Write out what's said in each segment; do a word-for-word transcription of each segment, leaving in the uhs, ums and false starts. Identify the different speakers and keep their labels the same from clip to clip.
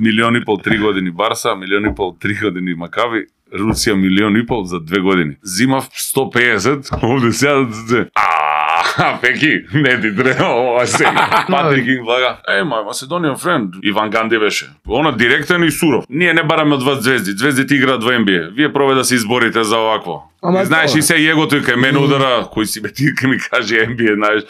Speaker 1: Милион и пол три години Барса, милион и пол три години Макаби, Русија милион и пол за две години. Зимав сто песет, овде сега а Пеки, не ти треба ова сега. Патрик им влага, е, мај Macedonian friend, Иван Ганди беше. Она директен и суров. Ние не бараме од вас звезди, звездите играат во Н Б А. Вие пробајте да се изборите за овакво. И знаеш и се егото и кај мене удара, кој си бе ти кај ми каже Н Б А, знаеш.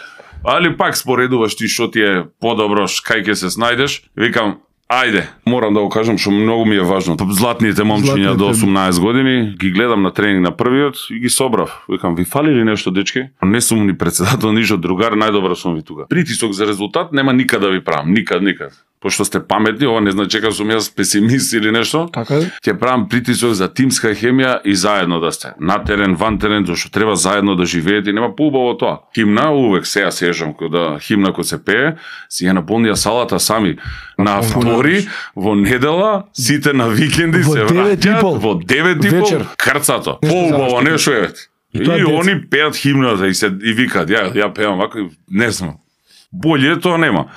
Speaker 1: Али пак споредуваш ти што ти е подобро, кај ќе се снајдеш. Викам, ајде, морам да го кажам што многу ми е важно. Златните момчиња до осумнаесет години ги гледам на тренинг на првиот и ги собрав. Викам, ви фали ли нешто, дечки? Не сум ни председател, ништо другар, најдобро сум ви тука. Притисок за резултат нема никад да ви правам, никад, никад. Пошто сте паметни, ова не значи дека сум јас песимист или нешто.
Speaker 2: Така е.
Speaker 1: Ќе правам притисок за тимска хемија и заедно да сте. На терен, ван терен, зашто треба заедно да живеете и нема поубаво тоа. Химна, увек се ја сежам кога химна кој се пее, си ја наполнија салата сами на втори, во недела, сите на викенди се враќаат во девет и пол крцато. Поубаво нешто е. И, и они пеат химната и се и викаат, ја ја пеам вака, не знам. Боле тоа нема.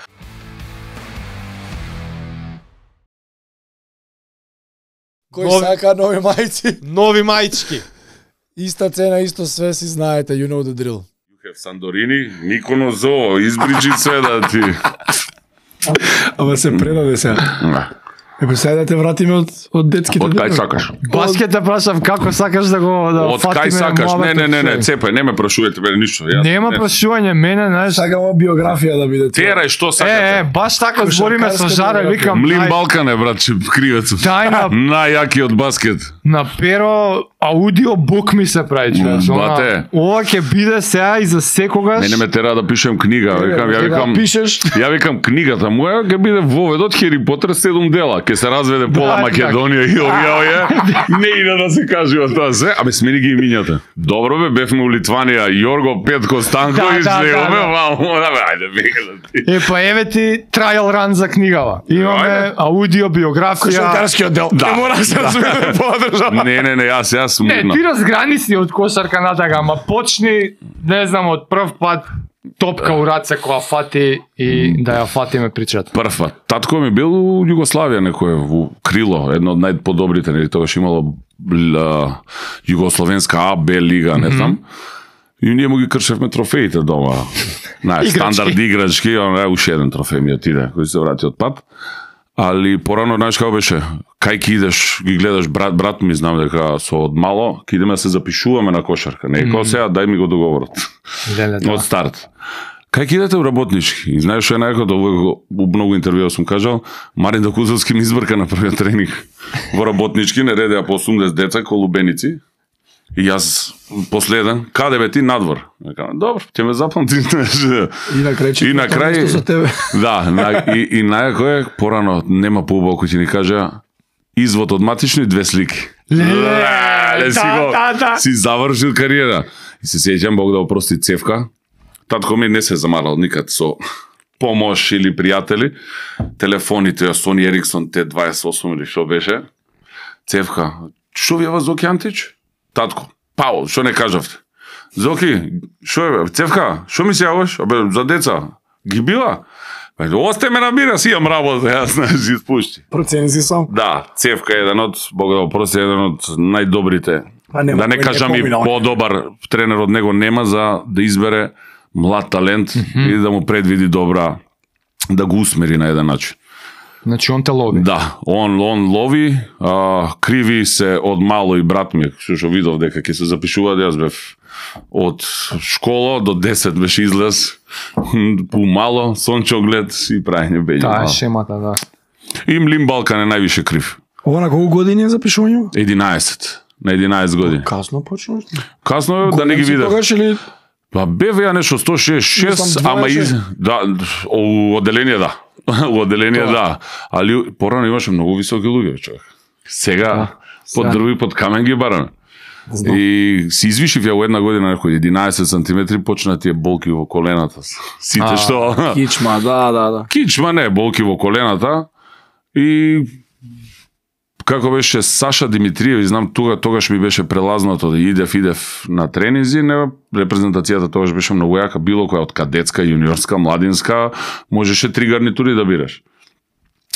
Speaker 2: Кој сака нови мајци?
Speaker 3: Нови мајчки.
Speaker 2: Иста цена, исто све, си знаете, you know the drill.
Speaker 1: You have Сандорини, Миконо Зоо, избриджи све да ти.
Speaker 2: Ама се предаде сега. Е, сега да те вратиме од, од детските...
Speaker 1: Од кај сакаш?
Speaker 3: Баскет те прашам, како сакаш да го да
Speaker 1: од кај сакаш? Не, не, не, не, цепај, не ме прашувајте мене ништо. Ја,
Speaker 3: нема не. Прашување, мене, знаеш...
Speaker 2: Сакам биографија да биде.
Speaker 1: Терај, што сакате?
Speaker 3: Е, е, баш така збориме со Жара, викам...
Speaker 1: Млин Балкан е, братче, кривецот.
Speaker 3: Тајна...
Speaker 1: Најјакиот баскет.
Speaker 3: На перо аудиобук ми се прави, човеш.
Speaker 1: Бате.
Speaker 3: Ова ќе биде сега и за секогаш.
Speaker 1: Мене ме тера да пишем книга, викам, ја викам...
Speaker 2: Пишеш?
Speaker 1: Ја викам книгата моја ќе биде воведот Хери Потер седум дела, ќе се разведе пола Македонија и овие овие. Не иде да се кажува тоа се, абе смени ги имињата. Добро бе, бевме у Литванија, Јорго Петко Станковиќ, легове, мамо, да бе, ајде бе.
Speaker 3: Е, па еве ти трајал ран за книгава. Имаме аудио биографија.
Speaker 2: Кошаркарскиот дел. Не мора се да се подржава.
Speaker 1: Не, не, не, јас јас
Speaker 3: Не, ти разграни си од кошарка натака, ама почни, не знам, од прв пат топка у раце која фати и да ја фатиме причата.
Speaker 1: Прва. Татко ми бил у Југославија некој во Крило, едно од најподобрите, нели тогаш имало Југословенска А, Б лига, не знам. И ние му ги кршевме трофеите дома. Знаеш, стандард играчки, он е уште еден трофеј ми отиде, кој се врати од пат. Али порано, знаеш како беше, кај ки идеш, ги гледаш брат, брат ми знам дека со од мало, ки идеме да се запишуваме на кошарка. Не, како сега, дај ми го договорот. Од старт. Кај ки идете у работнички? И знаеш што е најако, у многу интервјуа сум кажал, Марин Докузовски ми избрка на првиот тренинг во работнички, не редеа по осумдесет деца, колубеници. И јас последен, каде бе ти надвор? Добро, ќе ме запамти.
Speaker 2: И на крај,
Speaker 1: и на крај
Speaker 2: со тебе.
Speaker 1: Да, на, и, и најако е, порано нема поубаво кој ќе ни каже извод од матични две слики. Леле, си го, си завршил кариера. И се сеќам, Бог да опрости Цевка. Татко ми не се замарал никад со помош или пријатели. Телефоните, Сони Ериксон Т дваесет и осум или што беше. Цевка, што ви е Зоки Антич? Татко, пао, што не кажавте? Зоки, што е, Цевка, што ми се јаваш? Абе, за деца, ги била? Осте ме набира, си имам работа, јас не си испушти.
Speaker 2: Процени си сам.
Speaker 1: Да, Цевка е еден од, Бог да опрости, еден од најдобрите.
Speaker 2: Нема,
Speaker 1: да не кажам и подобар тренер од него нема за да избере млад талент mm -hmm. и да му предвиди добра, да го усмери на еден начин.
Speaker 3: Значи он те лови.
Speaker 1: Да, он он лови, а, криви се од мало и брат ми, што што видов дека ќе се запишува, јас бев од школа до десет беше излез, по мало, сончоглед и прајање бења.
Speaker 3: Таа е шемата, да.
Speaker 1: И Млин Балкан е највише крив.
Speaker 2: Ова на колку години е запишување?
Speaker 1: единаесет. На единаесет години.
Speaker 2: Касно почнаш?
Speaker 1: Касно да не ги видев.
Speaker 2: Тогаш или...
Speaker 1: Па беве ја нешто сто шест и шест, ама из... Да, у одделение да. У одделение да. Али порано имаше многу високи луѓе, човек. Сега, да, под дрви, под камен ги бараме. И си извишив ја у една година некој единаесет сантиметри, почна тие болки во колената. Сите а, што...
Speaker 2: Кичма, да, да, да.
Speaker 1: Кичма не, болки во колената. И... Како беше Саша Димитриев, знам тога тогаш ми беше прелазнато да идев, идев на тренинзи, не репрезентацијата тогаш беше многу јака, било која од кадетска, јуниорска, младинска, можеше три гарнитури да бираш.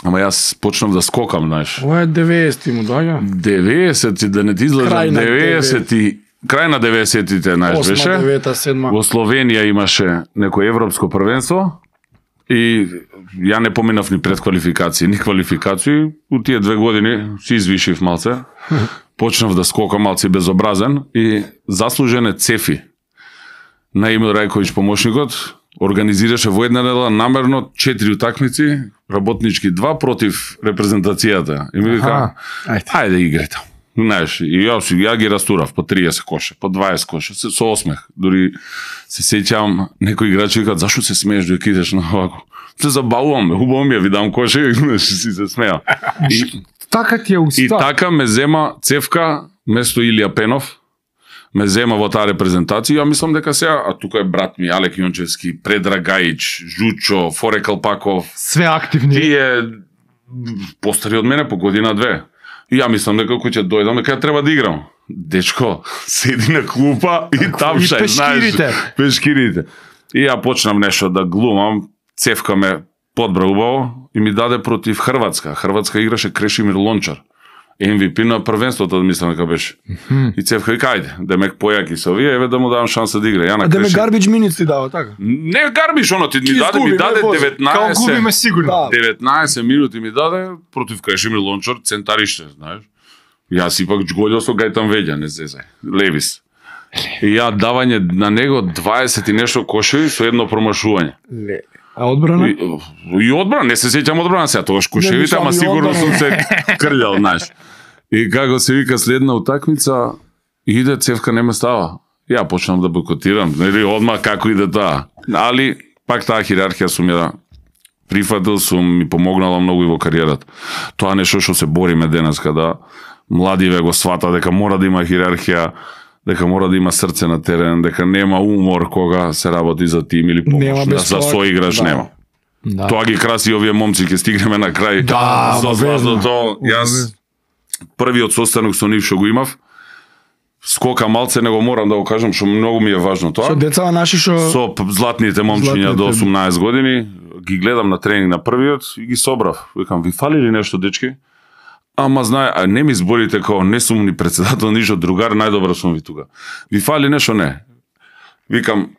Speaker 1: Ама јас почнав да скокам, знаеш.
Speaker 2: Ова е деветдесети му доаѓа.
Speaker 1: деветдесети, да не ти излажам,
Speaker 2: Крај на
Speaker 1: деветдесети, крај на деветдесетите, знаеш, беше.
Speaker 2: осма, девета, седма.
Speaker 1: Во Словенија имаше некој европско првенство и ја не поминав ни предквалификации, ни квалификации. У тие две години си извишив малце. Почнав да скокам малце безобразен и заслужен е Цефи. На Емил Рајковиќ помошникот организираше во една недела намерно четири утакмици, работнички два против репрезентацијата. И ми вика,
Speaker 2: ајде.
Speaker 1: ајде играјте. Знаеш, и ја, ја ги растурав по триесет коше, по дваесет коше, со осмех. Дури се сеќавам, некои играчи викаат, зашо се смееш док идеш на овако? Се забавувам, хубаво ми ја видам коше, знаеш, си се смеа. И,
Speaker 3: Така ти е уста.
Speaker 1: и така ме зема Цевка, место Илија Пенов, ме зема во таа репрезентација. Ја мислам дека сега, а тука е брат ми Алек Јончевски, Предраг Гајич, Жучо, Форе Калпаков,
Speaker 3: Све активни.
Speaker 1: тие постари од мене по година-две. И ја мислам дека кој ќе дојдам, дека треба да играм. Дечко, седи на клупа и тапшај,
Speaker 3: И пешкирите.
Speaker 1: знаеш. Пешкирите. И ја почнам нешто да глумам, Цевка ме подбра убаво и ми даде против Хрватска. Хрватска играше Крешимир Лончар. Ем Ви Пи на првенството, мислам дека беше. И Цевка вика, ајде, демек појаки со овие, еве да му давам шанса да игра. Ја на
Speaker 2: А да ме
Speaker 1: Креши-
Speaker 2: гарбич минutes ти дава, така?
Speaker 1: Не гарбиш, оно ти ми
Speaker 2: Ти
Speaker 1: даде,
Speaker 2: изгуби,
Speaker 1: ми даде
Speaker 2: не вози.
Speaker 3: Као
Speaker 1: деветнаесет.
Speaker 3: губиме сигурно.
Speaker 2: Да.
Speaker 1: деветнаесет минути ми даде против Крешимир Лончар, центариште, знаеш. Јас ипак джголјо со Гајтан Веѓа, не зезај. Левис. И ја давање на него дваесет и нешто кошеви со едно промашување.
Speaker 2: Ле. А одбрана?
Speaker 1: И, и одбрана, не се сеќам одбрана сега, тогаш кошевите,
Speaker 2: мислам
Speaker 1: ама
Speaker 2: и
Speaker 1: сигурно
Speaker 2: одбрана.
Speaker 1: сум се крљал, знаеш. И како се вика следна утакмица, иде Цевка не ме става. Ја почнам да бойкотирам, нели одма како иде таа. Али пак таа хиерархија сум ја прифатил, сум ми помогнала многу и во кариерата. Тоа нешто што се бориме денеска, да младиве го свата дека мора да има хиерархија, дека мора да има срце на терен, дека нема умор кога се работи за тим или
Speaker 2: Нема
Speaker 1: помош,
Speaker 2: без
Speaker 1: за
Speaker 2: тоа,
Speaker 1: соиграч
Speaker 2: да.
Speaker 1: нема.
Speaker 3: Да.
Speaker 1: Тоа ги краси овие момци, ќе стигнеме на крај.
Speaker 2: Да,
Speaker 1: со
Speaker 2: обавезно.
Speaker 1: златото. Јас првиот состанок со нив што го имав, скока малце, него морам да го кажам, што многу ми е важно тоа.
Speaker 2: Со децава наши што...
Speaker 1: Со п- златните момчиња
Speaker 2: Златните.
Speaker 1: до осумнаесет години, ги гледам на тренинг на првиот и ги собрав. Викам, ви фали ли нешто, дечки? Ама знае, а не ми зборите како не сум ни председател, ништо другар, најдобро сум ви тука. Ви фали нешто? Не. Викам,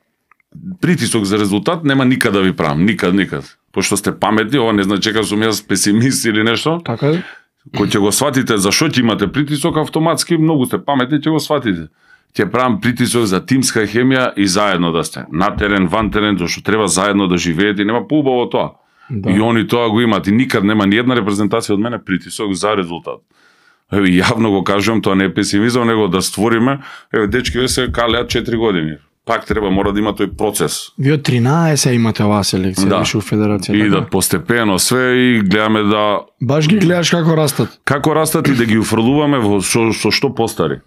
Speaker 1: притисок за резултат нема никад да ви правам, никад, никад. Пошто сте паметни, ова не значи дека сум јас песимист или нешто.
Speaker 2: Така е?
Speaker 1: Кој ќе го сватите зашо ќе имате притисок, автоматски многу сте паметни, ќе го сватите. Ќе правам притисок за тимска хемија и заедно да сте. На терен, ван терен, зашто треба заедно да живеете и нема поубаво тоа.
Speaker 2: Да.
Speaker 1: И они тоа го имаат и никад нема ни една репрезентација од мене притисок за резултат. Еве јавно го кажувам, тоа не е песимизам, него да створиме, еве дечки ве се калеат четири години. Пак треба мора да има тој процес.
Speaker 2: Ви од тринаесет имате оваа селекција,
Speaker 1: Да.
Speaker 2: више у федерација.
Speaker 1: И
Speaker 2: така?
Speaker 1: да постепено све и гледаме да
Speaker 2: Баш ги гледаш како растат.
Speaker 1: како растат и да ги уфрлуваме во со, со што постари.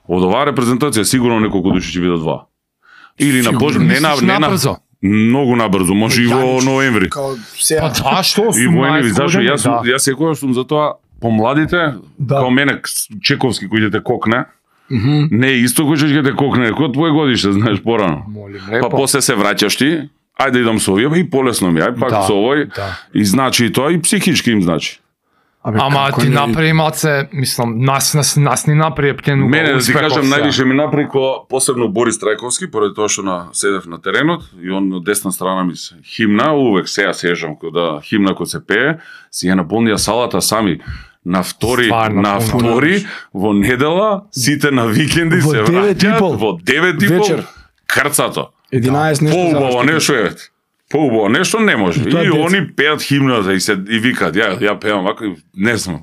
Speaker 1: Од оваа репрезентација сигурно неколку души ќе бидат два. Или на Бож... не на
Speaker 3: Мислиш
Speaker 1: не на
Speaker 3: набрзо?
Speaker 1: многу набрзо, може и во ноември.
Speaker 2: Као
Speaker 3: Па
Speaker 2: сега.
Speaker 3: да, што
Speaker 1: И
Speaker 3: сум
Speaker 1: во ноември, зашо
Speaker 3: години,
Speaker 1: јас сум,
Speaker 3: да.
Speaker 1: јас секогаш сум за тоа помладите,
Speaker 2: Да.
Speaker 1: као мене Чековски кој ќе те кокне,
Speaker 2: Мгм.
Speaker 1: не е исто кој ќе те кокне, кој твој годиште, знаеш порано.
Speaker 3: Молим,
Speaker 1: Па
Speaker 3: лепо.
Speaker 1: после се враќаш ти, ајде идам со овие, и полесно ми, ај пак
Speaker 3: Да,
Speaker 1: со овој.
Speaker 3: да.
Speaker 1: И значи и тоа и психички им значи.
Speaker 2: Абе,
Speaker 3: Ама
Speaker 2: како
Speaker 3: ти
Speaker 2: не-
Speaker 3: направи малце, мислам, нас, нас, нас ни направи птен
Speaker 1: Мене да ти кажам највише ми напреко посебно Борис Трајковски, поради тоа што на седев на теренот и он од десна страна ми се химна, увек сега сежам кога химна кога се пее, си ја наполнија салата сами. На втори,
Speaker 3: Стварно,
Speaker 1: на
Speaker 3: пуно.
Speaker 1: втори, во недела, сите на викенди
Speaker 2: Во
Speaker 1: се
Speaker 2: девет и
Speaker 1: враќаат,
Speaker 2: пол.
Speaker 1: во девет и пол,
Speaker 2: Вечер.
Speaker 1: крцато.
Speaker 2: единаесет нешто.
Speaker 1: Поубаво
Speaker 2: заврши.
Speaker 1: нешто е. Поубаво нешто не може.
Speaker 2: Тоа е
Speaker 1: И
Speaker 2: деца.
Speaker 1: они пеат химната и се и викаат, ја ја пеам вака, и не знам.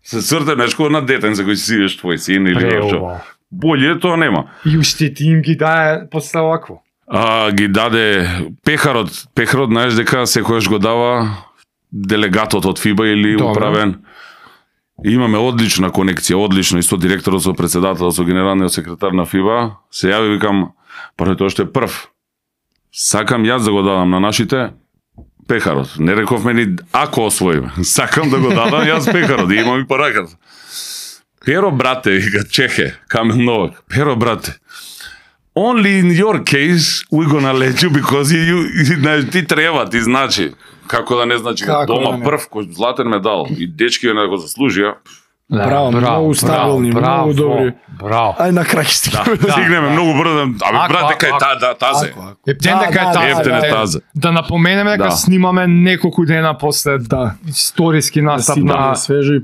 Speaker 1: Се црте нешко на детен за кој си идеш твој син или нешто.
Speaker 3: Преубаво.
Speaker 1: Боле тоа нема.
Speaker 3: И уште ти им ги дае после овакво.
Speaker 1: А, ги даде пехарот. Пехарот, знаеш дека секојаш го дава делегатот од ФИБА или
Speaker 2: Добро.
Speaker 1: управен. И имаме одлична конекција, одлично, и со директорот, со председателот, со генералниот секретар на ФИБА. Се јави, викам, поради тоа што е прв. Сакам јас да го дадам на нашите пехарот. Не рековме ни ако освоиме. Сакам да го дадам јас пехарот, и имам и по раката. Перо, брате, вика Чехе, Камил Новак. Перо, брате, only in your case we gonna let you because you, you знаеш, ти треба, ти значи. Како да не значи,
Speaker 2: Како
Speaker 1: дома
Speaker 2: да не?
Speaker 1: прв кој златен медал и дечки на го заслужија.
Speaker 3: Да,
Speaker 2: Браво, многу стабилни,
Speaker 3: браво,
Speaker 2: многу добри.
Speaker 3: Браво.
Speaker 2: Ај на крај ќе стигнеме.
Speaker 1: Да, стигнеме многу брзо. Абе
Speaker 3: Ако,
Speaker 1: брат, дека е
Speaker 3: ако,
Speaker 1: та да тазе.
Speaker 2: Ако, ако.
Speaker 3: Ептен дека е
Speaker 2: Да, да,
Speaker 3: тазе.
Speaker 1: Ептен е
Speaker 2: да,
Speaker 1: тазе.
Speaker 3: Да напоменеме дека
Speaker 1: Да.
Speaker 3: снимаме неколку дена после
Speaker 2: Да.
Speaker 3: историски настап
Speaker 2: Си
Speaker 3: на
Speaker 2: да свежо и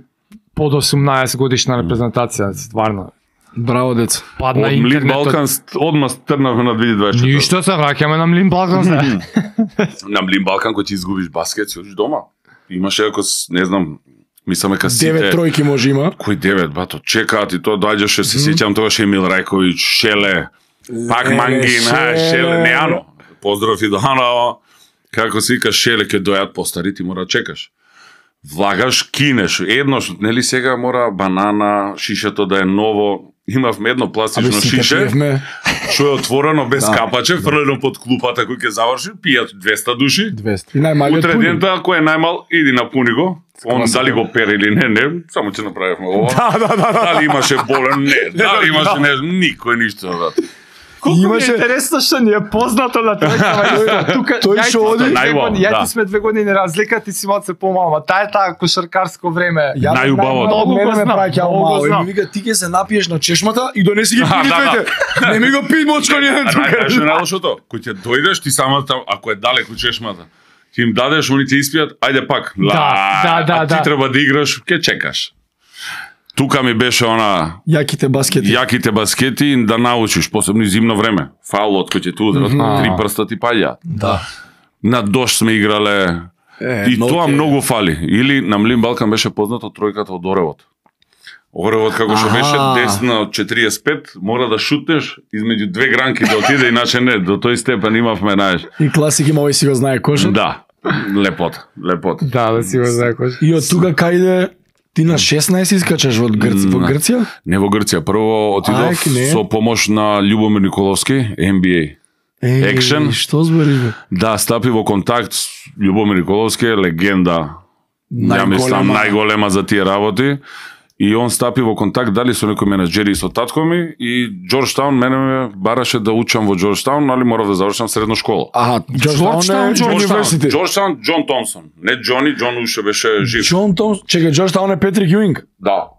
Speaker 3: под осумнаесет годишна репрезентација, стварно.
Speaker 2: браво деца.
Speaker 3: Падна
Speaker 1: Од Млин
Speaker 3: интернетот.
Speaker 1: Балкан одма стрнавме на две илјади дваесет и четврта.
Speaker 3: Ништо, се враќаме на Млин Балкан се.
Speaker 1: На Млин Балкан кој ти изгубиш баскет, си одиш дома. Имаше ако с- не знам, мислам дека
Speaker 2: Девет
Speaker 1: сите
Speaker 2: тројки може има.
Speaker 1: кој девет бато чекаат и тоа доаѓаше, се сеќам тогаш Емил Рајковиќ, Шеле, пак
Speaker 2: Леле,
Speaker 1: Мангин, а,
Speaker 2: Шеле.
Speaker 1: Шеле, не Ано. Поздрав и до Ано. Како се вика Шеле ќе дојат постари, ти мора да чекаш. Влагаш, кинеш, еднош, нели сега мора банана, шишето да е ново. Имавме едно
Speaker 2: Абе
Speaker 1: пластично
Speaker 2: сите
Speaker 1: шише,
Speaker 2: пиевме
Speaker 1: што е отворено без
Speaker 2: Да.
Speaker 1: капаче, фрлено под клупата кој ќе заврши, пијат двеста души.
Speaker 2: двеста. И најмалиот
Speaker 1: Утре
Speaker 2: пуни.
Speaker 1: дента, кој е најмал, иди напуни го. Он
Speaker 2: Класика.
Speaker 1: дали го пери или не, не, само ќе направивме ова.
Speaker 2: Да, да, да, да.
Speaker 1: Дали имаше болен, не. Дали имаше не, никој ништо, брат.
Speaker 3: Колку ми
Speaker 2: Имаше-
Speaker 3: е интересно што ни е познато на тројкава исто. Тука
Speaker 2: Тој
Speaker 3: ја и
Speaker 2: што
Speaker 3: ти
Speaker 2: оди-
Speaker 3: сме две
Speaker 1: Најубаво,
Speaker 3: години- Ја
Speaker 1: да.
Speaker 3: ти сме две години разлика, ти си малце помал, ма таа е таа кошаркарско време.
Speaker 2: Ја
Speaker 1: Најубавото.
Speaker 2: Од
Speaker 3: Многу
Speaker 2: мене
Speaker 3: го
Speaker 2: ме
Speaker 3: знам,
Speaker 2: праќа
Speaker 3: многу го
Speaker 2: мало. И
Speaker 3: знам.
Speaker 2: ми вика ти ќе се напиеш на чешмата и донеси ги
Speaker 1: А,
Speaker 2: пини
Speaker 1: да, да.
Speaker 2: двете. Не ми го пи мочко ни
Speaker 1: А
Speaker 2: тука.
Speaker 1: знаеш што е најлошото? Кој ќе дојдеш, ти самата, ако е далеку чешмата, ти им дадеш, они ќе испијат, ајде пак.
Speaker 3: Да, да, да,
Speaker 1: а ти
Speaker 3: да.
Speaker 1: треба да играш, ќе чекаш. Тука ми беше она
Speaker 2: Јаките баскети.
Speaker 1: јаките баскети да научиш, посебно и зимно време. Фаулот кој ќе те удрат,
Speaker 3: Мгм.
Speaker 1: три прста ти паѓаат.
Speaker 2: Да.
Speaker 1: На дожд сме играле.
Speaker 2: Е,
Speaker 1: И тоа
Speaker 2: ноќе.
Speaker 1: многу фали. Или на Млин Балкан беше познато тројката од Оревот. Оревот како што
Speaker 2: Аха.
Speaker 1: беше десна од четириесет и пет, мора да шутнеш измеѓу две гранки да отиде, иначе не, до тој степен имавме, знаеш.
Speaker 2: И класик има овој си го знае кошот.
Speaker 1: Да, лепота, лепота.
Speaker 3: Да, да си го знаеш.
Speaker 2: И од тука кајде ти на шеснаесет искачаш во Грција, во
Speaker 1: На-
Speaker 2: Грција?
Speaker 1: Не во Грција, прво отидов
Speaker 2: Ајк, не.
Speaker 1: со помош на Љубомир Николовски, Н Б А.
Speaker 2: Еј,
Speaker 1: Екшен.
Speaker 2: Што збориш бе?
Speaker 1: Да, стапи во контакт с Љубомир Николовски, легенда. Ја мислам
Speaker 2: Најголема.
Speaker 1: најголема за тие работи. И он стапи во контакт дали со некој менаџери со татко ми и Џорџтаун мене ме бараше да учам во Џорџтаун, али морав да завршам средна школа.
Speaker 2: Аха,
Speaker 3: Џорџтаун,
Speaker 2: Џорџтаун е
Speaker 3: Џорџтаун.
Speaker 2: универзитет.
Speaker 1: Џорџтаун, Џон Томсон. Не Џони, Џон уште беше жив.
Speaker 2: Џон Томс, чекај, Џорџтаун е Петрик Јуинг.
Speaker 1: Да.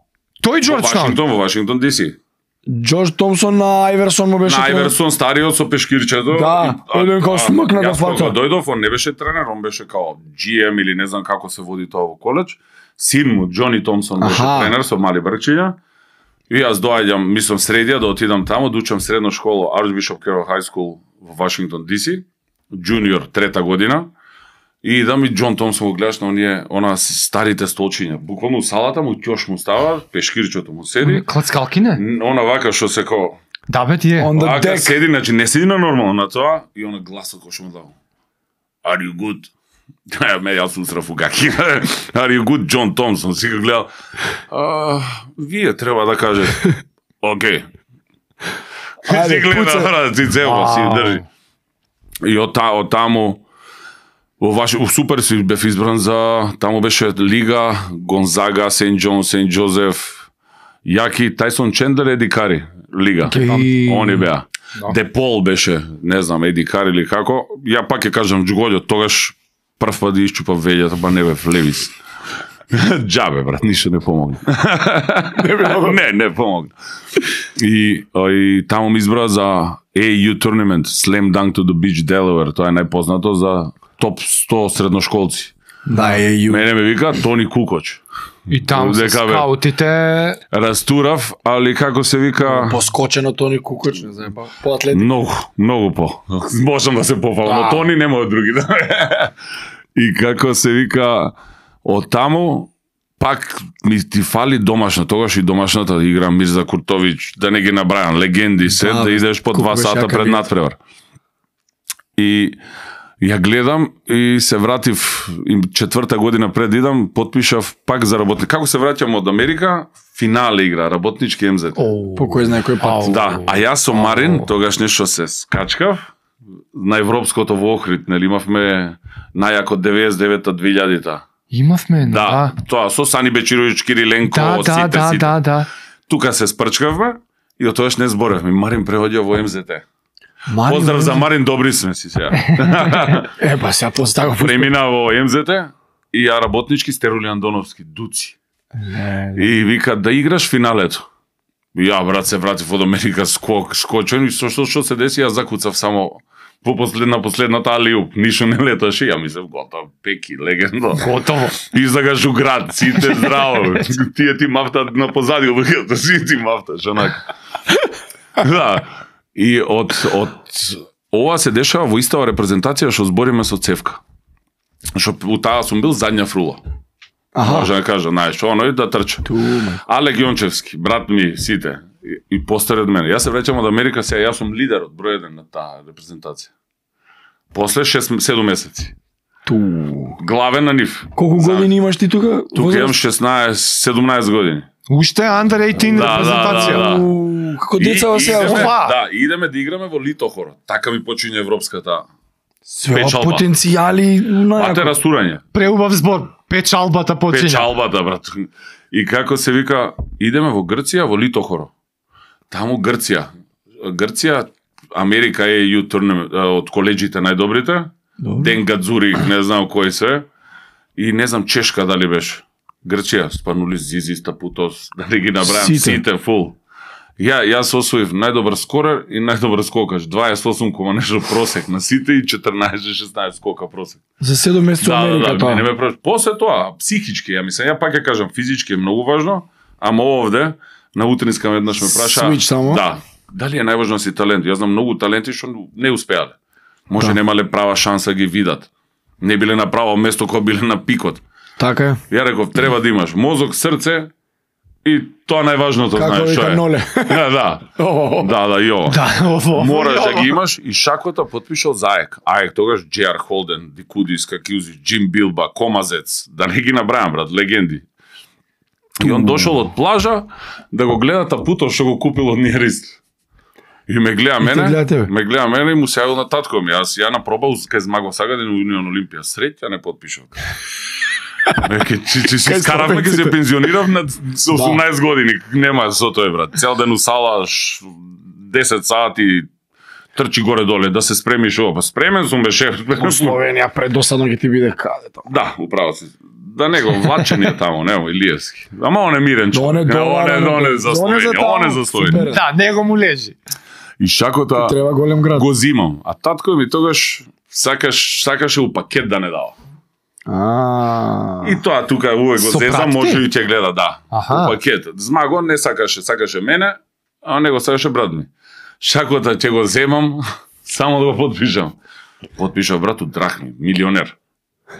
Speaker 3: Тој
Speaker 1: Во
Speaker 3: Џорџтаун.
Speaker 1: Вашингтон, во Вашингтон Ди Си.
Speaker 2: Џорџ Томсон на Ајверсон му беше
Speaker 1: На
Speaker 2: тренер.
Speaker 1: Ајверсон, стариот со пешкирчето.
Speaker 2: Да,
Speaker 1: И- а-
Speaker 2: еден као
Speaker 1: а-
Speaker 2: смркна го
Speaker 1: Јас кога
Speaker 2: фаќа.
Speaker 1: дојдов, он не беше тренер, он беше као Джи Ем или не знам како се води тоа во коледж. Син му, Џони Томсон, беше
Speaker 2: Аха.
Speaker 1: тренер со мали бркчиња. И јас доаѓам, мислам средија да отидам таму, да учам средна школа Archbishop Carroll High School во Вашингтон Ди Си, джуниор трета година. И идам и Џон Томсон го гледаш на оние, она старите столчиња. Буквално салата му ќош му става, пешкирчето му седи.
Speaker 3: Клацкалки не?
Speaker 1: Она вака што се као
Speaker 3: Да бе тие.
Speaker 2: On the
Speaker 1: Вака
Speaker 2: deck.
Speaker 1: седи, значи не седи на нормално на тоа и она гласот кој што му дава. Are you good? Ја ме јас усрав у гаки. Are you good, Џон Томсон? Си го гледал. А, вие треба да кажете. Океј.
Speaker 2: Ајде,
Speaker 1: Си гледа,
Speaker 2: пуца.
Speaker 1: брат, си цела, си
Speaker 3: Ау.
Speaker 1: држи. И од, та, од таму во ваш у супер си бев избран за таму беше Лига, Гонзага, Сент Џон, Сент Џозеф, Јаки, Тајсон Чендлер, Еди Кари, Лига.
Speaker 2: Океј.
Speaker 1: Они беа.
Speaker 3: Да.
Speaker 1: Депол беше, не знам, Еди Кари или како. Ја пак ќе кажам Џуголјо, тогаш прв пат да исчупав веѓата, па не бев левис. Џабе, брат, ништо не помогна. не, не помогна. И, а, и таму ми избра за А Ю Tournament, Slam Dunk to the Beach, Delaware. Тоа е најпознато за топ сто средношколци.
Speaker 2: Да, е Ю.
Speaker 1: Мене ме вика Тони Кукоч.
Speaker 3: И таму се
Speaker 1: Дека, бе.
Speaker 3: скаутите.
Speaker 1: Растурав, али како се вика...
Speaker 2: Поскочено Тони Кукоч, не знам, по атлетик.
Speaker 1: Многу, многу по. Можам да се пофалам, но
Speaker 2: Да.
Speaker 1: Тони нема од други. И како се вика, од таму, пак ми ти фали домашна, тогаш и домашната да игра Мирза Куртовиќ, да не ги набрајам, легенди се,
Speaker 2: Да,
Speaker 1: да,
Speaker 2: бе,
Speaker 1: идеш по
Speaker 2: колку
Speaker 1: два
Speaker 2: беше
Speaker 1: сата
Speaker 2: јака
Speaker 1: пред
Speaker 2: вид.
Speaker 1: надпревар. И ја гледам и се вратив и четврта година пред идам, потпишав пак за работник. Како се враќам од Америка, финале игра, работнички Ем Зет.
Speaker 2: По кој знае кој пат.
Speaker 3: Ау.
Speaker 1: Да, а јас со Марин, тогаш нешто се скачкав, на европското во Охрид, нели имавме најако деветдесет и девета две илјадите.
Speaker 3: Имавме,
Speaker 1: Да,
Speaker 3: да.
Speaker 1: тоа со Сани Бечировиќ, Кириленко,
Speaker 3: Да, да,
Speaker 1: сите,
Speaker 3: да,
Speaker 1: сите.
Speaker 3: да, да.
Speaker 1: Тука се спрчкавме и од тогаш не зборевме. Марин преоѓа во Ем Зет.
Speaker 2: Марин
Speaker 1: Поздрав за
Speaker 2: Добрисен.
Speaker 1: Марин Добрисен си сега.
Speaker 2: Е, па сега после така го
Speaker 1: Премина во Ем Зет и ја работнички Стероли Андоновски, Дуци. И вика да играш финалето. И ја брат се вратив од Америка скок, скочен и со што што се деси, јас закуцав само по последна последната алиуп, ништо не леташе, ја мислев готов, Пеки, легенда.
Speaker 3: Готово.
Speaker 1: Излагаш град, сите здраво. Тие ти мафта на позади луѓето, сите ти мафташ онака. Да. И од од ова се дешава во истава репрезентација што збориме со Цевка. Што у таа сум бил задња фрула.
Speaker 2: Аха.
Speaker 1: Може да кажа, знаеш, оној да трча.
Speaker 2: Тума.
Speaker 1: Алек Јончевски, брат ми, сите, и, и постари од мене. Јас се враќам од Америка, сега јас сум лидер од број еден на таа репрезентација. После шест седум месеци.
Speaker 2: Ту.
Speaker 1: Главен на нив.
Speaker 2: Колку години имаш ти тука?
Speaker 1: Тука имам шеснаесет седумнаесет години.
Speaker 3: Уште Under осемнаесет
Speaker 1: Да,
Speaker 3: репрезентација.
Speaker 1: да, да, да.
Speaker 2: У, Како деца во
Speaker 1: И-
Speaker 2: сега.
Speaker 1: идеме,
Speaker 3: Ова.
Speaker 1: да, идеме да играме во Литохор. Така ми почиња европската.
Speaker 2: Све
Speaker 1: печалба.
Speaker 2: потенцијали
Speaker 1: Пате
Speaker 2: на
Speaker 1: растурање.
Speaker 3: Преубав збор. Печалбата почиња.
Speaker 1: Печалбата, брат. И како се вика, идеме во Грција, во Литохоро. Таму Грција. Грција, Америка е ю турнем од коледжите најдобрите. Ден Гадзури, не знам кој се. И не знам Чешка дали беше. Грција, Спанулис, Зизи, Стапутос, дали ги набрајам
Speaker 2: Сите.
Speaker 1: сите фул. Ја јас освоив најдобар скорер и најдобар скокаш. дваесет и осум кома нешто просек на сите и четрнаесет шеснаесет скока просек.
Speaker 2: За седум месеци во
Speaker 1: Да, да,
Speaker 2: Америка
Speaker 1: да,
Speaker 2: тоа.
Speaker 1: не ме прош. После тоа, психички, ја мислам, ја пак ја кажам, физички е многу важно, ама овде, на утринска веднаш ме праша,
Speaker 2: Switch само?
Speaker 1: да, дали е најважно си талент? Јас знам многу таленти што не успеале. Може
Speaker 2: Да.
Speaker 1: немале права шанса ги видат. Не биле на право место кога биле на пикот.
Speaker 2: Така е.
Speaker 1: Ја реков, треба да имаш мозок, срце и тоа најважното,
Speaker 2: Како
Speaker 1: знаеш, што
Speaker 2: вика
Speaker 1: е.
Speaker 2: Ноле.
Speaker 1: Да, да,
Speaker 2: О,
Speaker 1: да, да, и ова.
Speaker 3: Да, ово.
Speaker 1: Мораш да
Speaker 3: ово.
Speaker 1: ги имаш и шакота потпишал за АЕК. АЕК тогаш Джей Ар Холден, Дикудис, Какиузи, Джим Билба, Комазец, да не ги набрајам, брат, легенди. И он дошол од плажа да го гледа тапуто што го купил од Ниерист. И ме гледа
Speaker 2: те гледа
Speaker 1: мене,
Speaker 2: тебе.
Speaker 1: ме гледа мене и му се јавил на татко ми. Јас ја напробал кај Змаго Сагадин у Унион Олимпија. Среќа не потпишав. Веќе чи чи си
Speaker 2: Кај
Speaker 1: скаравме, ке се
Speaker 2: спортовците.
Speaker 1: пензионирав на со осумнаесет години. Нема со тоа, брат. Цел ден у сала, ш- десет сати трчи горе доле да се спремиш ова. Па спремен сум беше.
Speaker 2: Во Словенија предосадно ќе ти биде каде тоа.
Speaker 1: Да, управо си. Да него влачен е таму, не, Илиевски. Ама он е мирен човек.
Speaker 2: Доне
Speaker 1: Не, он е,
Speaker 2: долар,
Speaker 1: он е за
Speaker 2: доне за
Speaker 1: Словенија,
Speaker 2: таму,
Speaker 1: он е за Словенија.
Speaker 2: супер.
Speaker 3: Да, него му лежи.
Speaker 1: И шакота
Speaker 2: Треба голем град.
Speaker 1: го зимам, а татко ми тогаш сакаш сакаше у пакет да не дава.
Speaker 2: А.
Speaker 1: И тоа тука увек го
Speaker 3: Со
Speaker 1: зезам,
Speaker 3: пратки?
Speaker 1: може и ќе гледа, да.
Speaker 3: Аха.
Speaker 1: У пакет. Змаго не сакаше, сакаше мене, а него сакаше брат ми. Шакота ќе го земам, само да го потпишам. Потпишав брат у драхми, милионер.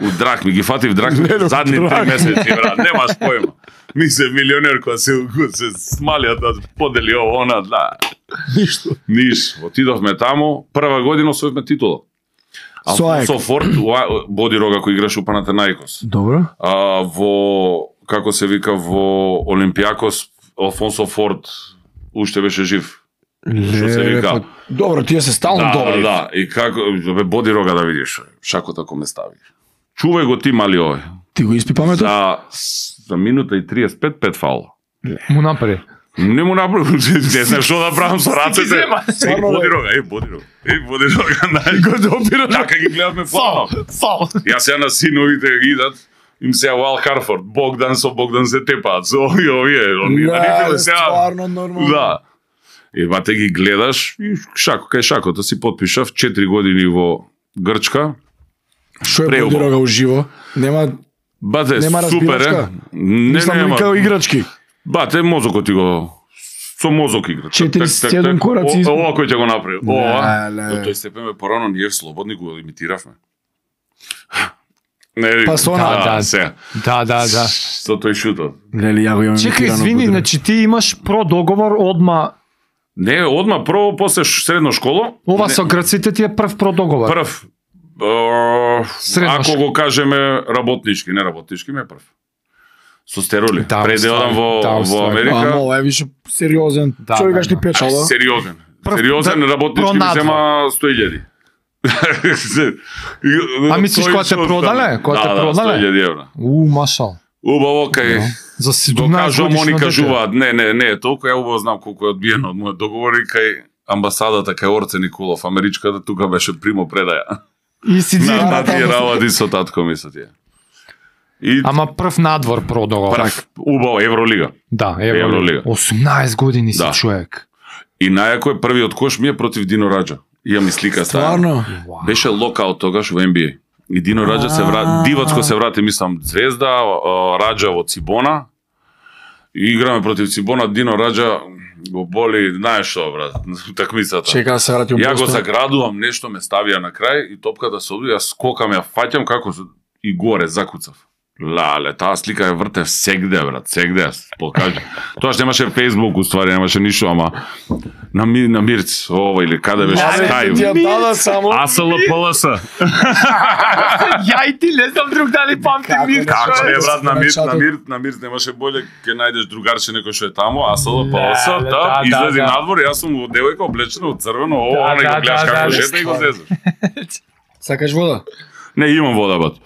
Speaker 1: У драхми, ги фатив драхми
Speaker 2: Леле,
Speaker 1: задни три
Speaker 2: драхми.
Speaker 1: месеци, брат, немаш појма. Ми се милионер која се, која се смалија да подели ово, она, да.
Speaker 2: Ништо.
Speaker 1: Ниш, отидовме таму, прва година освоивме титула.
Speaker 2: Со АЕК.
Speaker 1: Алфонсо Форд, уа- Боди Рога кој играше у Панатенаикос.
Speaker 2: Добро.
Speaker 1: А, во, како се вика, во Олимпијакос, Алфонсо Форд уште беше жив. Што се
Speaker 2: Леле,
Speaker 1: вика?
Speaker 2: па, добро, тие се стално
Speaker 1: Да,
Speaker 2: добри.
Speaker 1: да, и како, бе, Боди Рога да видиш, шакота ко ме стави. Чувај го ти, мали овој.
Speaker 2: Ти го испи паметот?
Speaker 1: За, за минута и триесет и пет, пет фаула.
Speaker 3: Му напари.
Speaker 1: Не му направи, не знам што да правам со рацете.
Speaker 3: зема.
Speaker 1: Е, Боди Рога, е, Боди Рога. Е, Боди Рога, нај.
Speaker 2: Го допира.
Speaker 1: Така ги гледавме
Speaker 3: Фал,
Speaker 1: фално.
Speaker 3: фал.
Speaker 1: Јас сега на синовите ги идат, им се Уал Харфорд, Богдан со Богдан се тепаат, со овие, овие, они на нив
Speaker 2: Да,
Speaker 1: сега.
Speaker 2: стварно нормално.
Speaker 1: Да. И бате ги гледаш, и шако, кај шакота си потпишав четири години во Грчка.
Speaker 2: Што е
Speaker 1: Преубаво.
Speaker 2: Боди Рога уживо? Нема
Speaker 1: Бате,
Speaker 2: Нема
Speaker 1: супер е.
Speaker 2: разбирачка?
Speaker 1: Не,
Speaker 2: мислам
Speaker 1: нема.
Speaker 2: вика играчки.
Speaker 1: Бате, мозокот ти го со мозок игра.
Speaker 2: четириесет и седум кораци.
Speaker 1: О, ова кој ќе го направи. Ова.
Speaker 2: Леле.
Speaker 1: До тој степен ме порано ние слободни го имитиравме. Не,
Speaker 2: Па со она-
Speaker 1: да,
Speaker 3: Да, да.
Speaker 1: се.
Speaker 3: Да, да, да.
Speaker 1: Со тој шутот.
Speaker 2: Леле, ја го имам.
Speaker 3: Чекај,
Speaker 2: имитирано
Speaker 3: извини,
Speaker 2: Боди Рога.
Speaker 3: значи ти имаш продоговор одма.
Speaker 1: Не, одма прво после ш- средно школо.
Speaker 3: Ова
Speaker 1: не,
Speaker 3: со грците ти е прв продоговор.
Speaker 1: прв. Е,
Speaker 3: Средно
Speaker 1: ако
Speaker 3: школо.
Speaker 1: го кажеме работнички, не работнички, ме е прв. Со стероли.
Speaker 3: Да,
Speaker 1: Пред да одам во,
Speaker 3: да,
Speaker 1: во
Speaker 3: уствари.
Speaker 1: Америка.
Speaker 2: Ама ова е више сериозен.
Speaker 3: Да,
Speaker 2: Човекаш
Speaker 3: да,
Speaker 2: ти печал, да?
Speaker 1: Сериозен.
Speaker 3: Прв-
Speaker 1: Сериозен
Speaker 3: да,
Speaker 1: работнички ми
Speaker 3: пронадвор.
Speaker 1: зема сто илјади.
Speaker 3: А мислиш
Speaker 1: Тој
Speaker 3: кога те
Speaker 1: што
Speaker 3: продале?
Speaker 1: остане.
Speaker 3: Кога те
Speaker 1: Да, да,
Speaker 3: продале?
Speaker 1: сто илјади евра.
Speaker 3: У, машал.
Speaker 1: Убаво кај
Speaker 3: За
Speaker 1: го
Speaker 3: седумнаесет
Speaker 1: кажувам,
Speaker 3: годишно
Speaker 1: они
Speaker 3: дете.
Speaker 1: кажуваат, не, не, не, толку ја убаво знам колку е одбиено од мојот договор и кај амбасадата кај Орце Николов, америчката, тука беше примо предаја.
Speaker 3: И си
Speaker 1: На,
Speaker 3: дзим.
Speaker 1: на тие работи со татко ми со тие. И
Speaker 3: Ама прв надвор продава.
Speaker 1: прв, убаво, Евролига.
Speaker 3: Да, ево.
Speaker 1: Евролига.
Speaker 3: осумнаесет години си
Speaker 1: Да.
Speaker 3: човек.
Speaker 1: И најако е првиот кош ми е против Дино Раджа. Имам и слика стаја.
Speaker 2: Стварно?
Speaker 1: Беше локал тогаш во Н Б А. И Дино Раджа се врати, дивацко се врати, мислам, Звезда, а, Раджа во Цибона. И играме против Цибона, Дино Раджа го боли, знаеш што, брат, такмицата.
Speaker 2: Чека се врати
Speaker 1: Ја го заградувам, нешто ме ставија на крај и топката се одби, јас скокам, ја фаќам како со- и горе закуцав. Лале, таа слика ја вртев сегде, брат, сегде, јас покажа. Тоа што немаше Facebook, уствари, немаше ништо, ама на, ми, на Мирц, ова или каде беше
Speaker 2: Абе,
Speaker 1: Skype.
Speaker 2: ти ја дада само.
Speaker 1: А С Л П Л С.
Speaker 3: Ја и ти не знам друг дали памти
Speaker 2: Како
Speaker 3: ми.
Speaker 2: не?
Speaker 1: Како
Speaker 2: Човек,
Speaker 1: е, брат, на
Speaker 2: на
Speaker 1: Мирц, на
Speaker 2: чатот.
Speaker 1: Мирц, на Мирц немаше боле, ќе најдеш другарче некој што е таму, а С Л П Л С,
Speaker 3: Да,
Speaker 1: да,
Speaker 3: да,
Speaker 1: излези
Speaker 3: да.
Speaker 1: надвор, јас сум во девојка облечена од црвено,
Speaker 3: Да,
Speaker 1: ова, не
Speaker 3: да,
Speaker 1: го гледаш
Speaker 3: да,
Speaker 1: како
Speaker 3: да,
Speaker 1: жета и го
Speaker 2: стварно.
Speaker 1: зезеш.
Speaker 2: Сакаш вода?
Speaker 1: Не, имам вода, бат.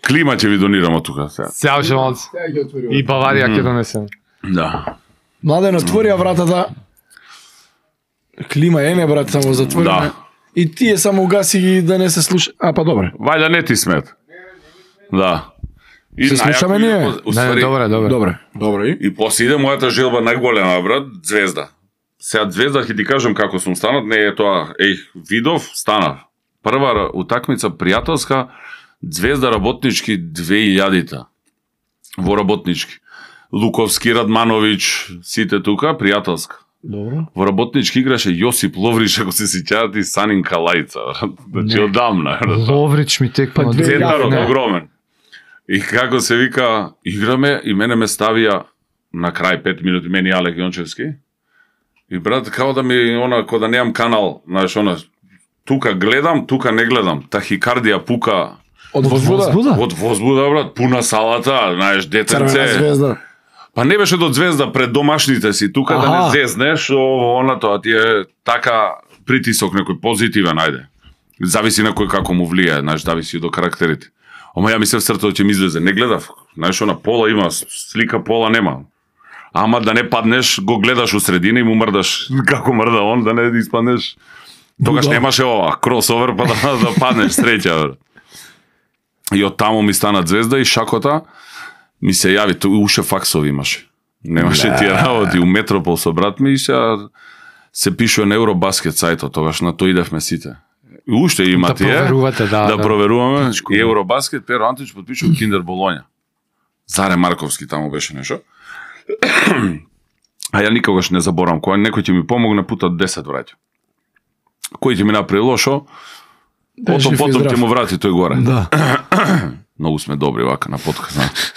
Speaker 1: Клима ќе ви донирам од тука сега.
Speaker 3: Сеа ше малце.
Speaker 2: Сега ги отвори.
Speaker 3: И Баварија ќе донесем.
Speaker 1: Да.
Speaker 2: Младен, отвори ја вратата. Клима е, не, брат, само затвори.
Speaker 1: Да.
Speaker 2: И тие само угаси ги да не се слуша. А, па добре.
Speaker 1: Вајда не ти смет. Да. И
Speaker 2: Се
Speaker 1: најако
Speaker 2: слушаме
Speaker 1: и
Speaker 2: ние?
Speaker 1: по- уствари,
Speaker 3: Не, добре, добре.
Speaker 2: Добре. Добре. И?
Speaker 1: И после иде мојата желба најголема, брат, Звезда. Сега Звезда ќе ти кажам како сум станат, не е тоа, еј, видов, станав. Прва ра- утакмица пријателска, Звезда работнички две илјадите. Во работнички. Луковски, Радмановиќ, сите тука, пријателска.
Speaker 2: Добро.
Speaker 1: Во работнички играше Јосип Ловриш, ако се сеќавате, и Санин Калајца. брат. Значи, одамна. брат.
Speaker 3: Ловрич ми текна
Speaker 2: Па
Speaker 3: од
Speaker 2: две
Speaker 1: Центарот
Speaker 2: Не.
Speaker 1: огромен. И како се вика, играме и мене ме ставија на крај пет минути, мене и Алек Јончевски. И брат, као да ми, она, кога да немам канал, знаеш, она, тука гледам, тука не гледам. Тахикардија пука
Speaker 2: Од возбуда?
Speaker 1: од возбуда, брат, пуна салата, знаеш,
Speaker 2: Црвена
Speaker 1: детенце.
Speaker 2: звезда.
Speaker 1: Па не беше до Звезда пред домашните си, тука да
Speaker 2: Аха.
Speaker 1: не зезнеш, ово, она тоа ти е така притисок некој позитивен, ајде. Зависи на кој како му влие, знаеш, зависи до карактерите. Ама ја мислев срцето ќе ми излезе, не гледав. Знаеш, она пола има, слика пола нема. Ама да не паднеш, го гледаш у средина и му мрдаш како мрда он, да не испаднеш. Тогаш
Speaker 2: Буда.
Speaker 1: немаше ова, кросовер, па да, да паднеш среќа. бре. И од таму ми стана Звезда и шакота ми се јави, тој уше факсови имаше. Немаше тие работи у Метропол со брат ми и се се пишува на Евробаскет сајтот, тогаш на тој идевме сите. И уште има
Speaker 3: Да
Speaker 1: тие.
Speaker 3: проверувате, да,
Speaker 1: да,
Speaker 3: да.
Speaker 1: проверуваме. И Евробаскет, Перо Антич подпишува Киндер Болоња. Заре Марковски таму беше нешто. А ја никогаш не заборам, кога некој ќе ми помогне, пута десет враќа. Кој ќе ми направи лошо,
Speaker 2: Да,
Speaker 1: потом,
Speaker 2: жив и
Speaker 1: потом
Speaker 2: здрав.
Speaker 1: ќе му врати тој горе.
Speaker 2: Да.
Speaker 1: Многу сме добри вака на подкаст, знаеш.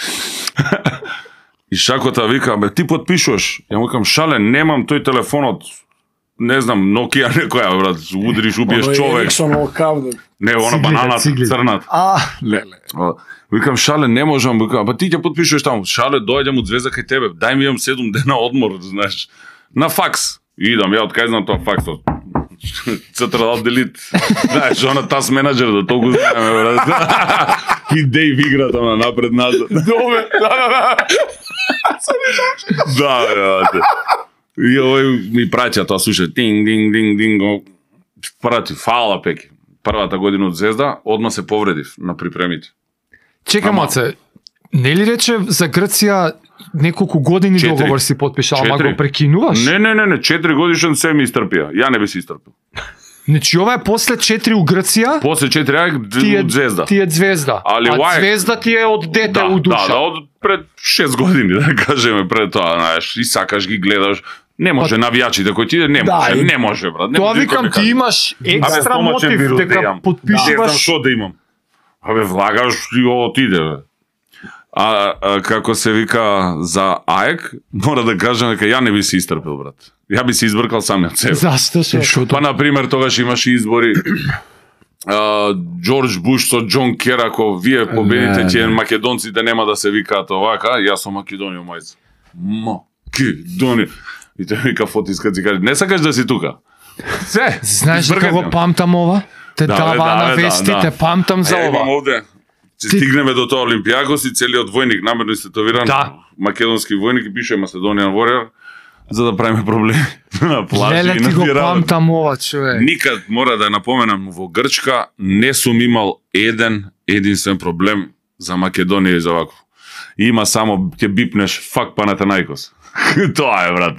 Speaker 1: И шакота вика, бе, ти подпишуваш. Ја му викам, шале, немам тој телефонот, не знам, Nokia некоја, брат, удриш, убиеш
Speaker 2: Оно е
Speaker 1: човек.
Speaker 2: Ериксон во кавден.
Speaker 1: Не, она
Speaker 3: Циглите,
Speaker 1: бананата,
Speaker 3: циглите.
Speaker 1: црната.
Speaker 2: А, леле.
Speaker 1: А, Викам, шале, не можам, викам, па ти ќе подпишуваш таму. Шале, доаѓам од Звезда кај тебе, дај ми имам седум дена одмор, знаеш. На факс. И идам, ја откај знам тоа факсот. Централ делит. Знаеш, она тас менеджер да толку знаеме, брат. И Дейв игра тamo напред назад.
Speaker 2: Добре. Да, да, да.
Speaker 1: Да, брате. И овој ми праќа тоа, слуша, тинг, динг, динг, динг, го прати, фала пеки. Првата година од Звезда, одма се повредив на припремите.
Speaker 3: Чека,
Speaker 1: Ама-
Speaker 3: маце, не ли рече за Грција неколку години
Speaker 1: Четири.
Speaker 3: договор си подпишал, ама
Speaker 1: Четири.
Speaker 3: го прекинуваш?
Speaker 1: Не, не, не, не, четири годишен се ми истрпија. Ја не би се истрпил.
Speaker 3: Значи ова е после четири у Грција,
Speaker 1: После четири ајк
Speaker 3: ти е
Speaker 1: од Звезда.
Speaker 3: Ти е Звезда.
Speaker 1: Али
Speaker 3: а
Speaker 1: лајк-
Speaker 3: Звезда ти е од дете
Speaker 1: да,
Speaker 3: у душа.
Speaker 1: да, да, од пред шест години, да кажеме, пред тоа, знаеш, и сакаш ги гледаш. Не може навијачите кои ти иде, не
Speaker 2: Да,
Speaker 1: може,
Speaker 2: и-
Speaker 1: не може, брат. Не
Speaker 3: Тоа
Speaker 1: може никој
Speaker 3: викам,
Speaker 1: ми
Speaker 3: ти
Speaker 1: каже.
Speaker 3: имаш екстра
Speaker 1: Абе, стомачен
Speaker 3: мотив
Speaker 1: вирус да
Speaker 3: дека
Speaker 1: имам. Не знам
Speaker 3: подпишуваш.
Speaker 1: што да имам. Абе, влагаш и отиде, бе. А, а како се вика за АЕК, мора да кажам дека ја не би се истрпел, брат. Ја би се избркал сам од себе.
Speaker 3: Зашто се?
Speaker 1: Па, на пример, тогаш имаше избори. А, Џорџ Буш со Џон Кер, ако вие победите,
Speaker 2: Не,
Speaker 1: ќе
Speaker 2: не.
Speaker 1: македонците нема да се викаат овака, јас сум Македонија, мајца. Македонија. И тој вика фотиска, си каже, не сакаш да си тука. Се,
Speaker 3: Знаеш дека
Speaker 1: избркате
Speaker 3: го
Speaker 1: ме.
Speaker 3: памтам ова? Те
Speaker 1: Да,
Speaker 3: дава
Speaker 1: бе, да,
Speaker 3: на
Speaker 1: бе, да,
Speaker 3: вестите,
Speaker 1: да.
Speaker 3: памтам за
Speaker 1: Ја имам
Speaker 3: ова.
Speaker 1: овде. Че стигнеме до тоа Олимпијакос и целиот војник намерно истетовиран,
Speaker 3: Да.
Speaker 1: македонски војник и пише Macedonian Warrior, за да правиме проблеми на плажи
Speaker 3: Леле,
Speaker 1: и на
Speaker 3: ти го
Speaker 1: тие работи.
Speaker 3: памтам ова, човек.
Speaker 1: Никад, мора да напоменам, во Грчка не сум имал еден единствен проблем за Македонија и за вако. Има само ќе бипнеш фак Панатенаикос. Тоа е, брат.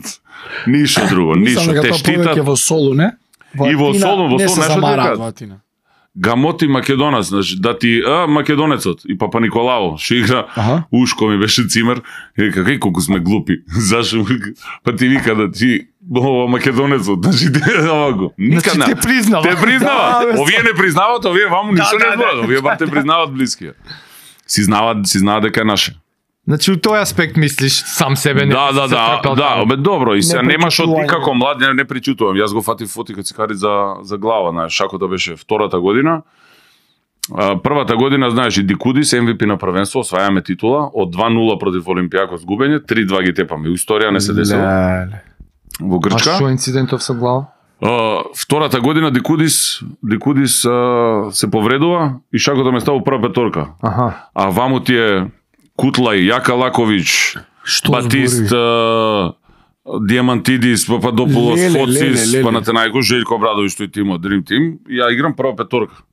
Speaker 1: Ништо друго, ништо.
Speaker 2: Мислам дека
Speaker 1: Те
Speaker 2: тоа повеќе
Speaker 1: штитат.
Speaker 2: во Солу, не?
Speaker 1: И во
Speaker 2: Атина
Speaker 1: Солу, во
Speaker 2: не
Speaker 1: Солу,
Speaker 2: се
Speaker 1: знаеш што
Speaker 2: замараат
Speaker 1: кажат?
Speaker 2: во Атина.
Speaker 1: Гамоти Македонец, значи, да ти, а, македонецот и Папа Николао, што игра,
Speaker 2: Аха.
Speaker 1: ушко ми беше цимер, и вика, кај колку сме глупи, зашо, па ти вика да ти, ова македонецот, значи, те, овако, никад
Speaker 3: Значи,
Speaker 1: не.
Speaker 3: те признава.
Speaker 1: Те признава,
Speaker 3: Да, бе,
Speaker 1: овие не признават, овие ваму ништо
Speaker 3: да,
Speaker 1: не
Speaker 3: да,
Speaker 1: зборат, овие бар те признават блискија. Си знаат, си знаат дека е наше.
Speaker 3: Значи, у тој аспект мислиш сам себе не
Speaker 1: Да, да,
Speaker 3: се
Speaker 1: да,
Speaker 3: трпел
Speaker 1: да,
Speaker 3: таму.
Speaker 1: бе добро, и се
Speaker 2: Не
Speaker 1: немаш од ти
Speaker 2: причутување.
Speaker 1: како млад, не, не причутувам. Јас го фатив фоти кога цикари за за глава, знаеш, шакото беше втората година. А, првата година, знаеш, и Дикудис, Ем Ви Пи на првенство, освајаме титула, од два нула против Олимпијакос губење, три два ги тепаме. Историја не се десила
Speaker 2: Леле.
Speaker 1: во
Speaker 3: А
Speaker 1: Грчка.
Speaker 3: што инцидентов со глава?
Speaker 1: А, втората година Дикудис, Дикудис а, се повредува и шакото ме става у прва петорка.
Speaker 3: Аха.
Speaker 1: А ваму ти е Кутлај, Јака Лаковиќ,
Speaker 2: Што
Speaker 1: Батист,
Speaker 2: збори?
Speaker 1: а, Диамантидис, Пападополос,
Speaker 2: Леле,
Speaker 1: Фоцис,
Speaker 2: леле, леле.
Speaker 1: Панатенаикос, Желјко Обрадовиќ, тој тим од Dream Team. И ја играм прва петорка.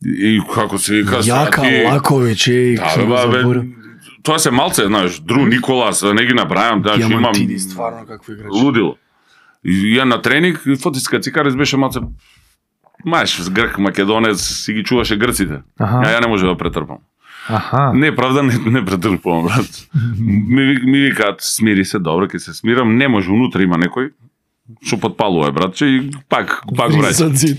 Speaker 1: И, и како се вика,
Speaker 2: Јака
Speaker 1: ти-
Speaker 2: Лаковиќ, еј,
Speaker 1: Да,
Speaker 2: што
Speaker 1: бе,
Speaker 2: го
Speaker 1: бе,
Speaker 2: заборав.
Speaker 1: тоа се малце, знаеш, Дру Николас, не ги набрајам, знаеш, имам
Speaker 2: Диамантиди, стварно какво играч.
Speaker 1: лудило. И ја на тренинг, и Фотиска Цикарис беше малце, маеш, грк, македонец, си ги чуваше грците.
Speaker 3: Аха.
Speaker 1: А ја не може да претрпам.
Speaker 3: Аха.
Speaker 1: Не, правда не, не претрпувам, брат. ми, ви- ми викаат, смири се, добро, ќе се смирам, не може, унутра има некој, што подпалува, братче, и пак, пак враќа.
Speaker 2: Зад зид.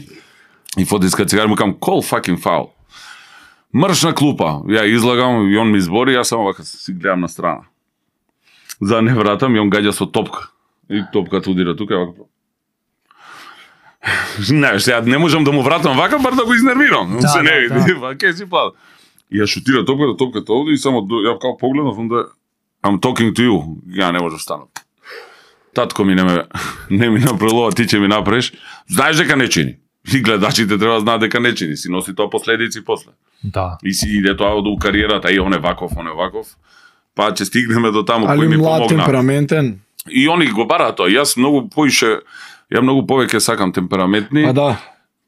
Speaker 1: И Фотиска Цикар му кам, call fucking foul. Мршна клупа, ја излагам, и он ми избори, јас само вака си гледам на страна. За да не вратам, и он гаѓа со топка. И топката удира тука, вака. Знаеш, сега не можам да му вратам вака, бар да го изнервирам. Он
Speaker 3: Да,
Speaker 1: се
Speaker 3: да,
Speaker 1: не види,
Speaker 3: да.
Speaker 1: вака си плава. И ја шутира топката, топката овде и само до- ја као погледнав, онда I'm talking to you. Ја не можам да станам. Татко ми не ме не ми направува, ти ќе ми направиш. Знаеш дека не чини. И гледачите треба да знаат дека не чини, си носи тоа последици после.
Speaker 3: Да.
Speaker 1: И си иде тоа до кариерата, и он е ваков, он е ваков. Па ќе стигнеме до таму кој
Speaker 2: Али
Speaker 1: ми
Speaker 2: млад,
Speaker 1: помогна.
Speaker 2: темпераментен.
Speaker 1: И они го бараат тоа. Јас многу поише, ја многу повеќе сакам темпераментни,
Speaker 2: А да.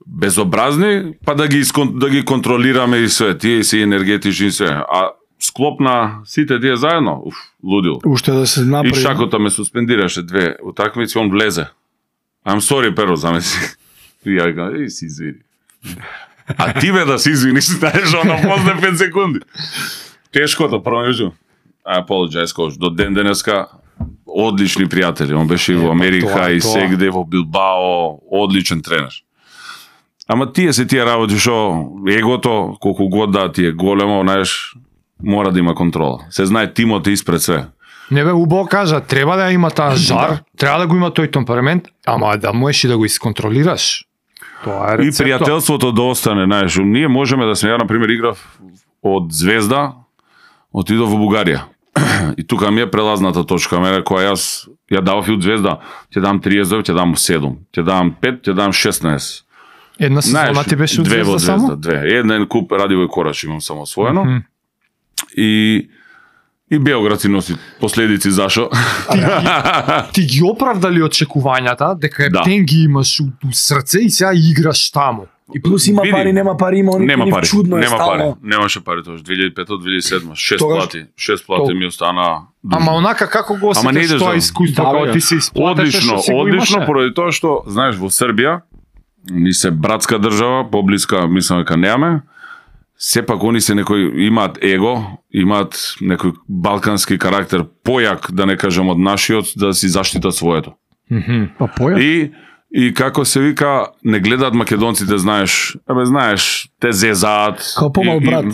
Speaker 1: безобразни, па да ги искон, да ги контролираме и све, тие си енергетични и све. А склоп на сите тие заедно, уф, лудил.
Speaker 2: Уште да се
Speaker 1: И
Speaker 2: направи.
Speaker 1: Шакота ме суспендираше две утакмици, он влезе. I'm sorry, Перо, замеси. И ја викам, еј, си извини. А ти бе да си извиниш, знаеш, оно после пет секунди. Тешкото, прво јужу. I apologize, кош. До ден денеска, одлични пријатели. Он беше и во Америка,
Speaker 2: тоа,
Speaker 1: и
Speaker 2: тоа.
Speaker 1: сегде во Билбао, одличен тренер. Ама тие се тие работи што егото, колку год да ти е големо, знаеш, мора да има контрола. Се знае тимот е испред све.
Speaker 3: Не бе, убаво кажа, треба да има таа жар, треба да го има тој темперамент, ама да можеш и да го исконтролираш. Тоа е
Speaker 1: И
Speaker 3: рецепто.
Speaker 1: пријателството да остане, знаеш, ние можеме да сме, ја на пример играв од Звезда, отидов во Бугарија. И тука ми е прелазната точка, мене која јас ја давав и од Звезда, ќе дам триесет, ќе дам седум, ќе дам пет, ќе дам шеснаесет.
Speaker 3: Една сезона
Speaker 1: Знаеш,
Speaker 3: ти беше од
Speaker 1: две во
Speaker 3: Звезда само?
Speaker 1: Звезда, две. Еден куп Радивој Кораш имам само освоено.
Speaker 3: Мгм.
Speaker 1: И и Белград си носи последици зашо.
Speaker 3: Ти ги оправдали очекувањата дека
Speaker 1: Да.
Speaker 3: Ептен ги имаш у, у срце и сега играш таму.
Speaker 2: И плюс има
Speaker 1: Види.
Speaker 2: пари, нема пари, има они
Speaker 1: Нема
Speaker 2: нив
Speaker 1: пари,
Speaker 2: чудно е
Speaker 1: нема пари.
Speaker 2: стално.
Speaker 1: Немаше пари тоа, две илјади и пета, две илјади и седма, шест
Speaker 2: Тогаш-
Speaker 1: плати, шест плати
Speaker 2: Тол-
Speaker 1: ми остана.
Speaker 3: Ама онака како го
Speaker 1: Ама не
Speaker 3: осетиш
Speaker 1: идеш
Speaker 3: тоа
Speaker 1: за-
Speaker 3: искуство,
Speaker 2: Да,
Speaker 3: кога
Speaker 2: бе.
Speaker 3: ти се исплатеше,
Speaker 1: Одлично,
Speaker 3: што си го
Speaker 1: одлично,
Speaker 3: имаше?
Speaker 1: поради тоа што, знаеш, во Србија, ни се братска држава, поблиска, мислам дека немаме, сепак они се некој, имаат его, имаат некој балкански карактер, појак, да не кажем од нашиот, да си заштитат своето.
Speaker 3: Мгм.
Speaker 2: Па поја.
Speaker 1: И и како се вика, не гледаат македонците, знаеш, абе знаеш, те зезаат.
Speaker 2: Као помал
Speaker 1: И- и-
Speaker 2: брат.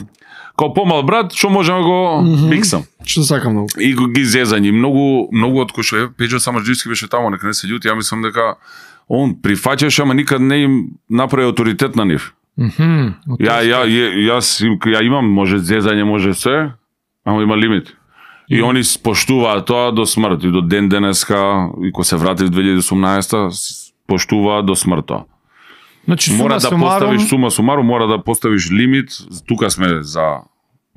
Speaker 1: Као помал брат, што можам да го
Speaker 2: Мгм.
Speaker 1: миксам.
Speaker 2: Што сакам многу.
Speaker 1: И го ги зезањи. Многу, многу од кој што е, Пеџо Самарџивски беше таму, нека не се љути, ја мислам дека он прифаќаше, ама никад не им направи авторитет на нив.
Speaker 3: Мгм.
Speaker 1: Ја, ја, ја, јас им- ја имам, може зезање, може се, ама има лимит. И они поштуваат тоа до смрт. И до ден денеска, и кога се врати в две илјади и осумнаесета, с- поштуваат до смрт тоа.
Speaker 3: Значи,
Speaker 1: Мора
Speaker 3: сума
Speaker 1: да
Speaker 3: сумарум,
Speaker 1: поставиш сума сумарум, мора да поставиш лимит. Тука сме за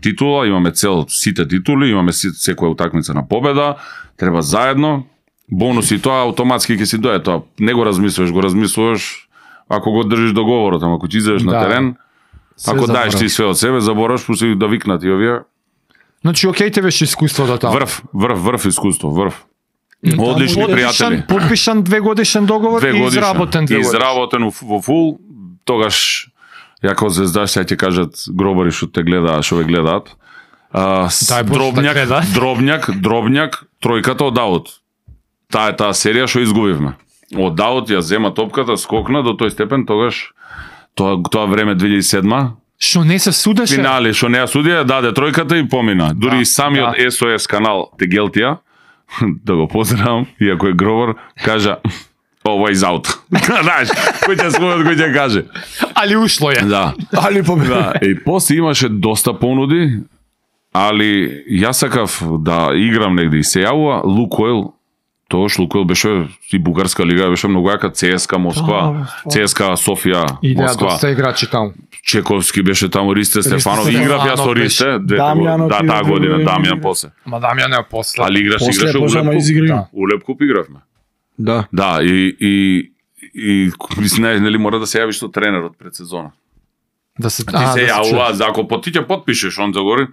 Speaker 1: титула, имаме цел сите титули, имаме си- секоја утакмица на победа, треба заедно бонуси, тоа автоматски ќе си дое тоа. Не го размислуваш, го размислуваш ако го држиш договорот, ама ако ти излезеш на
Speaker 3: Да.
Speaker 1: терен,
Speaker 2: Се
Speaker 1: ако даеш
Speaker 2: заборав.
Speaker 1: ти све од себе, забораваш пуси да викнат и овие.
Speaker 3: Значи, окей те беше искуството таму.
Speaker 1: Врв, врв, врв искуство, врв. Одлични
Speaker 3: Подпишан-
Speaker 1: пријатели.
Speaker 3: Подпишан две годишен договор
Speaker 1: Две
Speaker 3: и
Speaker 1: годишни.
Speaker 3: изработен две годишни.
Speaker 1: Изработен во- во фул, тогаш ја како звездаш сега ќе кажат гробари што те гледаат, што ве гледаат. А, с-
Speaker 3: Дај Боже да
Speaker 1: дробњак,
Speaker 3: гледаат.
Speaker 1: дробњак, дробњак, тројката од аут. Таа е таа серија што изгубивме. Од аут ја зема топката, скокна до тој степен, тогаш тоа тоа време две илјади и седма,
Speaker 3: Што не се судеше?
Speaker 1: финали што не ја судија, даде тројката и помина. Дури
Speaker 3: Да,
Speaker 1: и самиот
Speaker 3: да.
Speaker 1: Ес О Ес канал Тегелтија, да го поздравам, иако е гробар, кажа ова из аут. Знаеш, кој ќе спомнат, кој ќе каже.
Speaker 3: Али ушло е.
Speaker 1: Да.
Speaker 2: Али победа.
Speaker 1: Да, и после имаше доста понуди, али јас сакав да играм негде и се јавува Лукойл. Тогаш Лукойл беше и бугарска лига, беше многу јака, ЦСКА Москва,
Speaker 2: Да,
Speaker 1: ЦСКА Софија,
Speaker 3: Идеја
Speaker 1: Москва.
Speaker 3: доста играчи таму.
Speaker 1: Чековски беше таму, Ристе Стефанов,
Speaker 2: Стефанов
Speaker 1: играв јас со
Speaker 3: беше.
Speaker 1: Ристе, двете
Speaker 2: Дамјан
Speaker 1: го- да,
Speaker 2: отиде
Speaker 1: таа година,
Speaker 2: друго
Speaker 1: Дамјан
Speaker 2: игра.
Speaker 1: после.
Speaker 3: Ма Дамјан е после.
Speaker 1: Али играш,
Speaker 2: После
Speaker 1: играше
Speaker 2: почна ма
Speaker 1: Улеп
Speaker 2: изигри.
Speaker 1: Куп. Улеп Куп игравме.
Speaker 2: Да.
Speaker 1: Да, и и и мислам, нели мора да се јавиш со тренерот пред сезона.
Speaker 3: Да се
Speaker 1: Ти
Speaker 3: а,
Speaker 1: се
Speaker 3: да се
Speaker 1: јавува,
Speaker 3: чуе.
Speaker 1: за ако по- ти ќе потпишеш он загори.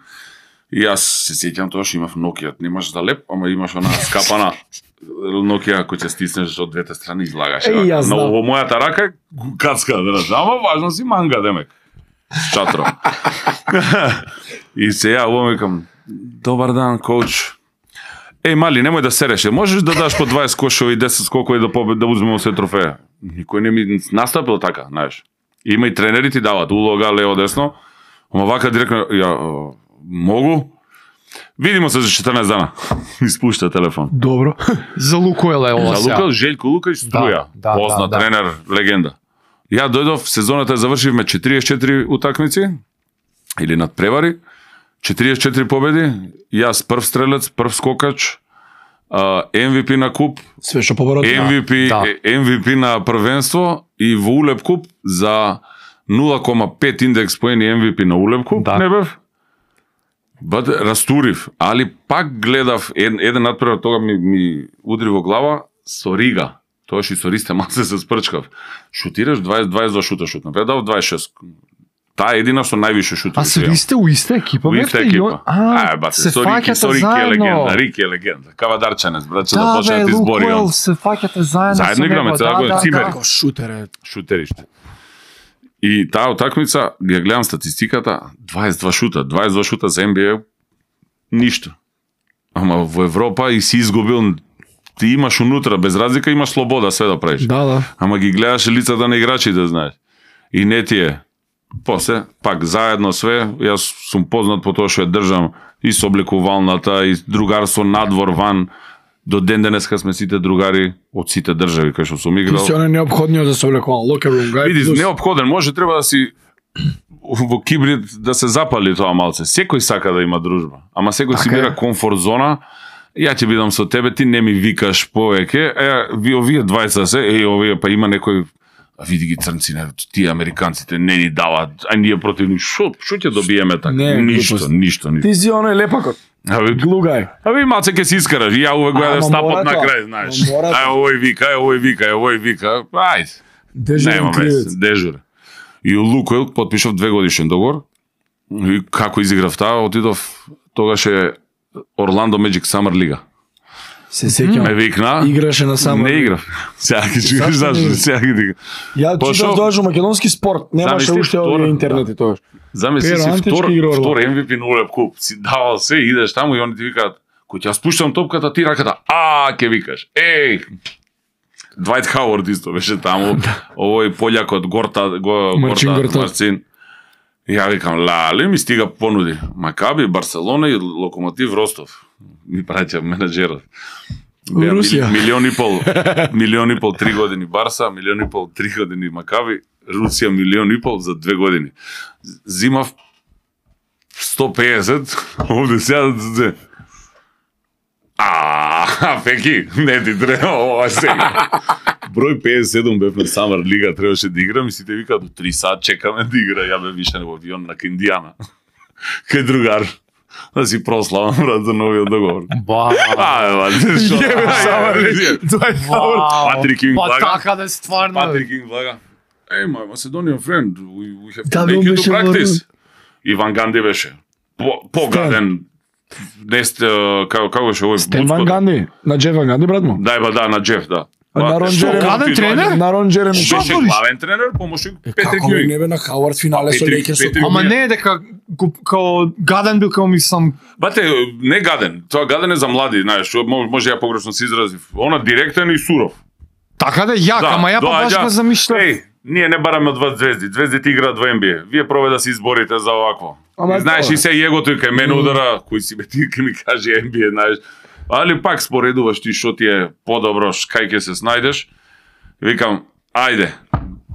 Speaker 1: И јас се сеќам тоа што имав Nokia, немаш за леп, ама имаш она скапана Nokia кој ќе стиснеш од двете страни излагаш.
Speaker 2: Е, јас
Speaker 1: Но
Speaker 2: знам.
Speaker 1: во мојата рака е кацка, да, ама важно си манга демек. С чатро. И се јавувам, викам, добар дан, коуч. Еј, мали, немој да сереше. Можеш да даш по дваесет кошови и десет скокови да побед, да узмеме се трофеја. Никој не ми настапил така, знаеш. Има и тренери ти дават улога лево десно. Ама вака директно ја о, могу. Видимо се за четрнаесет дана. Испушта телефон.
Speaker 2: Добро.
Speaker 3: За Лукойл е ова
Speaker 1: За
Speaker 3: сега.
Speaker 1: Лука, Желјко Лука и Струја.
Speaker 3: Да, да,
Speaker 1: Познат
Speaker 3: да, да.
Speaker 1: тренер, легенда. Ја дојдов, сезоната ја завршивме четириесет и четири утакмици или надпревари. четириесет и четири победи, јас прв стрелец, прв скокач, а, Ем Ви Пи на куп,
Speaker 2: Све што поборот.
Speaker 1: Ем Ви Пи,
Speaker 3: да.
Speaker 1: Ем Ви Пи на првенство и во Улеп куп за нула кома пет индекс поени Ем Ви Пи на Улеп куп,
Speaker 3: Да.
Speaker 1: не бев. Бат растурив, али пак гледав ед, еден надпревар, тога ми, ми удри во глава со Рига. Тоаш и со Ристе масе се спрчкав. Шутираш дваесет дваесет два шута шутна. Бе дав дваесет шест. Таа е едина што највише шутира.
Speaker 3: А се висте у иста екипа,
Speaker 1: Во иста
Speaker 3: бевте, и он-
Speaker 1: екипа.
Speaker 3: А,
Speaker 1: А, бате,
Speaker 3: се
Speaker 1: со Рики, со
Speaker 3: фаќате
Speaker 1: Рики е легенда,
Speaker 3: заедно.
Speaker 1: Рики е легенда. Кавадарчанец, браче, да
Speaker 3: Да,
Speaker 1: почне да
Speaker 3: бе,
Speaker 1: ти збори
Speaker 3: Лукойл,
Speaker 1: он.
Speaker 3: се фаќате заедно.
Speaker 1: Заедно
Speaker 3: со
Speaker 1: играме
Speaker 3: него,
Speaker 1: цела
Speaker 3: да,
Speaker 1: година,
Speaker 3: да,
Speaker 1: цимери.
Speaker 3: да.
Speaker 2: Како шутер е.
Speaker 1: Шутериште. И таа утакмица, ја гледам статистиката, дваесет два шута, дваесет два шута за Ен Би Ей, ништо. Ама во Европа и си изгубил, ти имаш унутра, без разлика имаш слобода све да правиш.
Speaker 2: Да, да.
Speaker 1: Ама ги гледаш лицата на играчите, знаеш. И не ти е. После, пак заедно све, јас сум познат по тоа што ја држам и со облекувалната, и другарство надвор, ван. До ден денеска сме сите другари од сите држави кај што сум
Speaker 2: Ти
Speaker 1: играл.
Speaker 2: си оне необходниот за соблекуван локер рум гај.
Speaker 1: Види,
Speaker 2: плюс-
Speaker 1: неопходен, може треба да си во кибрид да се запали тоа малце. Секој сака да има дружба, ама секој си
Speaker 2: Така е.
Speaker 1: бира комфорт зона. Ја ќе бидам со тебе, ти не ми викаш повеќе. Е, ви овие дваесет се, е, овие па има некој. А види ги црнци, не, тие американците не ни дават, а ние против нив. Шо, шо ќе добиеме така?
Speaker 2: Не,
Speaker 1: ништо,
Speaker 2: глупост.
Speaker 1: ништо, ништо.
Speaker 2: Ти си оне лепакот.
Speaker 1: А ви,
Speaker 2: Глугај.
Speaker 1: а ви маце ќе си искараш. Ја увек го
Speaker 2: Ама
Speaker 1: јадев стапот
Speaker 2: мора
Speaker 1: на
Speaker 2: тоа.
Speaker 1: крај, знаеш.
Speaker 2: Ама мора
Speaker 1: А
Speaker 2: тоа.
Speaker 1: овој вика, а овој вика, а овој вика. Ајде.
Speaker 2: Дежурен
Speaker 1: Нема
Speaker 2: кривец.
Speaker 1: вез, дежур. И у Лукойл потпишав две годишен договор. И како изиграв таа, отидов тогаш е Орландо Magic Summer Лига.
Speaker 2: Се сеќам.
Speaker 1: Ме викна.
Speaker 2: Играше на само.
Speaker 1: Не играв. Сега ќе чуеш
Speaker 2: Зашто
Speaker 1: зашто,
Speaker 2: не?
Speaker 1: сега ќе ти.
Speaker 2: Ја
Speaker 1: Пошол-
Speaker 2: читав тогаш во македонски спорт, немаше
Speaker 1: Замисли,
Speaker 2: уште
Speaker 1: втора-
Speaker 2: овие интернети тогаш.
Speaker 1: Замисли
Speaker 2: Перо
Speaker 1: си
Speaker 2: Антички
Speaker 1: втор,
Speaker 2: игра Орландо.
Speaker 1: втор Ем Ви Пи на Улеп куп. Си давал се, идеш таму и они ти викаат, кој ќе ја спуштам топката, ти раката, а, ќе викаш. Еј! Двајт Хауард исто беше таму. Овој пољакот Горта, го
Speaker 2: Марчин
Speaker 1: Горта
Speaker 2: Горта.
Speaker 1: Марцин. И ја викам, лале, ми стига понуди. Макаби, Барселона и Локомотив Ростов. Ми праќа менаџерот. Беа
Speaker 2: Русија.
Speaker 1: мили- Милион и пол, милион и пол три години Барса, милион и пол три години Макаби, Русија милион и пол за две години. Зимав сто пеесет, овде сега да се... А, Пеки, не ти треба ова сега. Број пеесет и седум бев на Самар Лига, требаше да играм и сите викаат до три сат чекаме да игра, ја бе више во авион на Индијана. Кај другар. да си прославам брат за новиот договор.
Speaker 3: Ба.
Speaker 1: А, ба, што? Патрик Кинг
Speaker 3: Па
Speaker 1: блага.
Speaker 3: така да стварно.
Speaker 1: Патрик Кинг блага. Hey, my Macedonian friend, we, we have to
Speaker 2: Да,
Speaker 1: make
Speaker 2: он
Speaker 1: you to
Speaker 2: беше
Speaker 1: practice. Иван Ганди беше. По, погаден. Не сте, како, како беше овој?
Speaker 2: Стен
Speaker 1: Буцко?
Speaker 2: Ван Ганди, на Джеф Ван Ганди, брат му.
Speaker 1: Да, ба, да, на Джеф, да.
Speaker 2: А на Рон
Speaker 1: што,
Speaker 2: Джереми-
Speaker 1: колку
Speaker 3: Гаден
Speaker 1: ти
Speaker 3: тренер?
Speaker 1: доаѓа?
Speaker 2: На Рон Джереми.
Speaker 3: Што
Speaker 1: Беше
Speaker 3: збориш?
Speaker 1: главен тренер, помошник Петрик
Speaker 2: Како бе,
Speaker 1: Јуин.
Speaker 2: не бе на Хауард финале со
Speaker 1: Петрик-
Speaker 2: Лейкерс.
Speaker 1: Петрик-
Speaker 3: Ама не е дека го- као гаден бил као мислам.
Speaker 1: Бате, не гаден. Тоа гаден е за млади, знаеш, што може, може ја погрешно се изразив. Она директен и суров.
Speaker 3: Така да јак, ама ја па баш
Speaker 1: доаѓа,
Speaker 3: го замишлям.
Speaker 1: Еј, ние не бараме од вас звезди. Звездите играат во Н Б А. Вие пробајте да се изборите за овакво.
Speaker 2: Ама
Speaker 1: И знаеш
Speaker 2: тоа.
Speaker 1: и се егото и кај мене удара, кој си бе ти ке ми каже Н Б А, знаеш. Али пак споредуваш ти што ти е подобро, ш- кај ќе се снајдеш. Викам, ајде.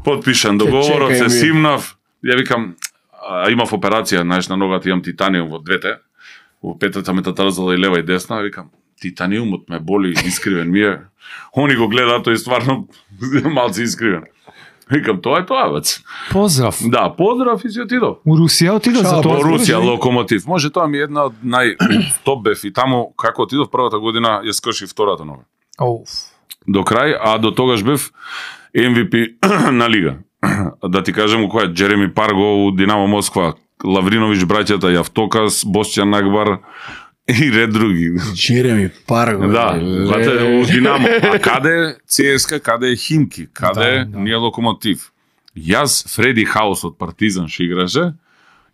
Speaker 1: Подпишан договорот,
Speaker 2: чекај,
Speaker 1: се
Speaker 2: ми.
Speaker 1: симнав. Ја викам, а, имав операција, знаеш, на ногата имам титаниум во двете. Во петата метатарзала и лева и десна, викам, титаниумот ме боли, искривен ми е. Они го гледаат, тој стварно малце искривен. Викам, тоа е тоа, бац.
Speaker 3: Поздрав.
Speaker 1: Да, поздрав и си отидов.
Speaker 3: У Русија отидов за
Speaker 2: Шо,
Speaker 3: тоа.
Speaker 1: Во Русија,
Speaker 3: збориш?
Speaker 1: Локомотив. Може тоа ми е една од нај топ бев и таму како отидов првата година ја скрши втората нога.
Speaker 3: Оуф.
Speaker 1: До крај, а до тогаш бев М В П на лига. Да ти кажем која Джереми Парго у Динамо Москва, Лавриновиќ браќата Јавтокас, Босчан Нагбар и ред други.
Speaker 2: Джереми Парго.
Speaker 1: Да,
Speaker 2: ле.
Speaker 1: бате, у Динамо. А каде Ц С К А, каде е Химки, каде
Speaker 3: Да, да.
Speaker 1: ние Локомотив. Јас, Фреди Хаус од Партизан ше играше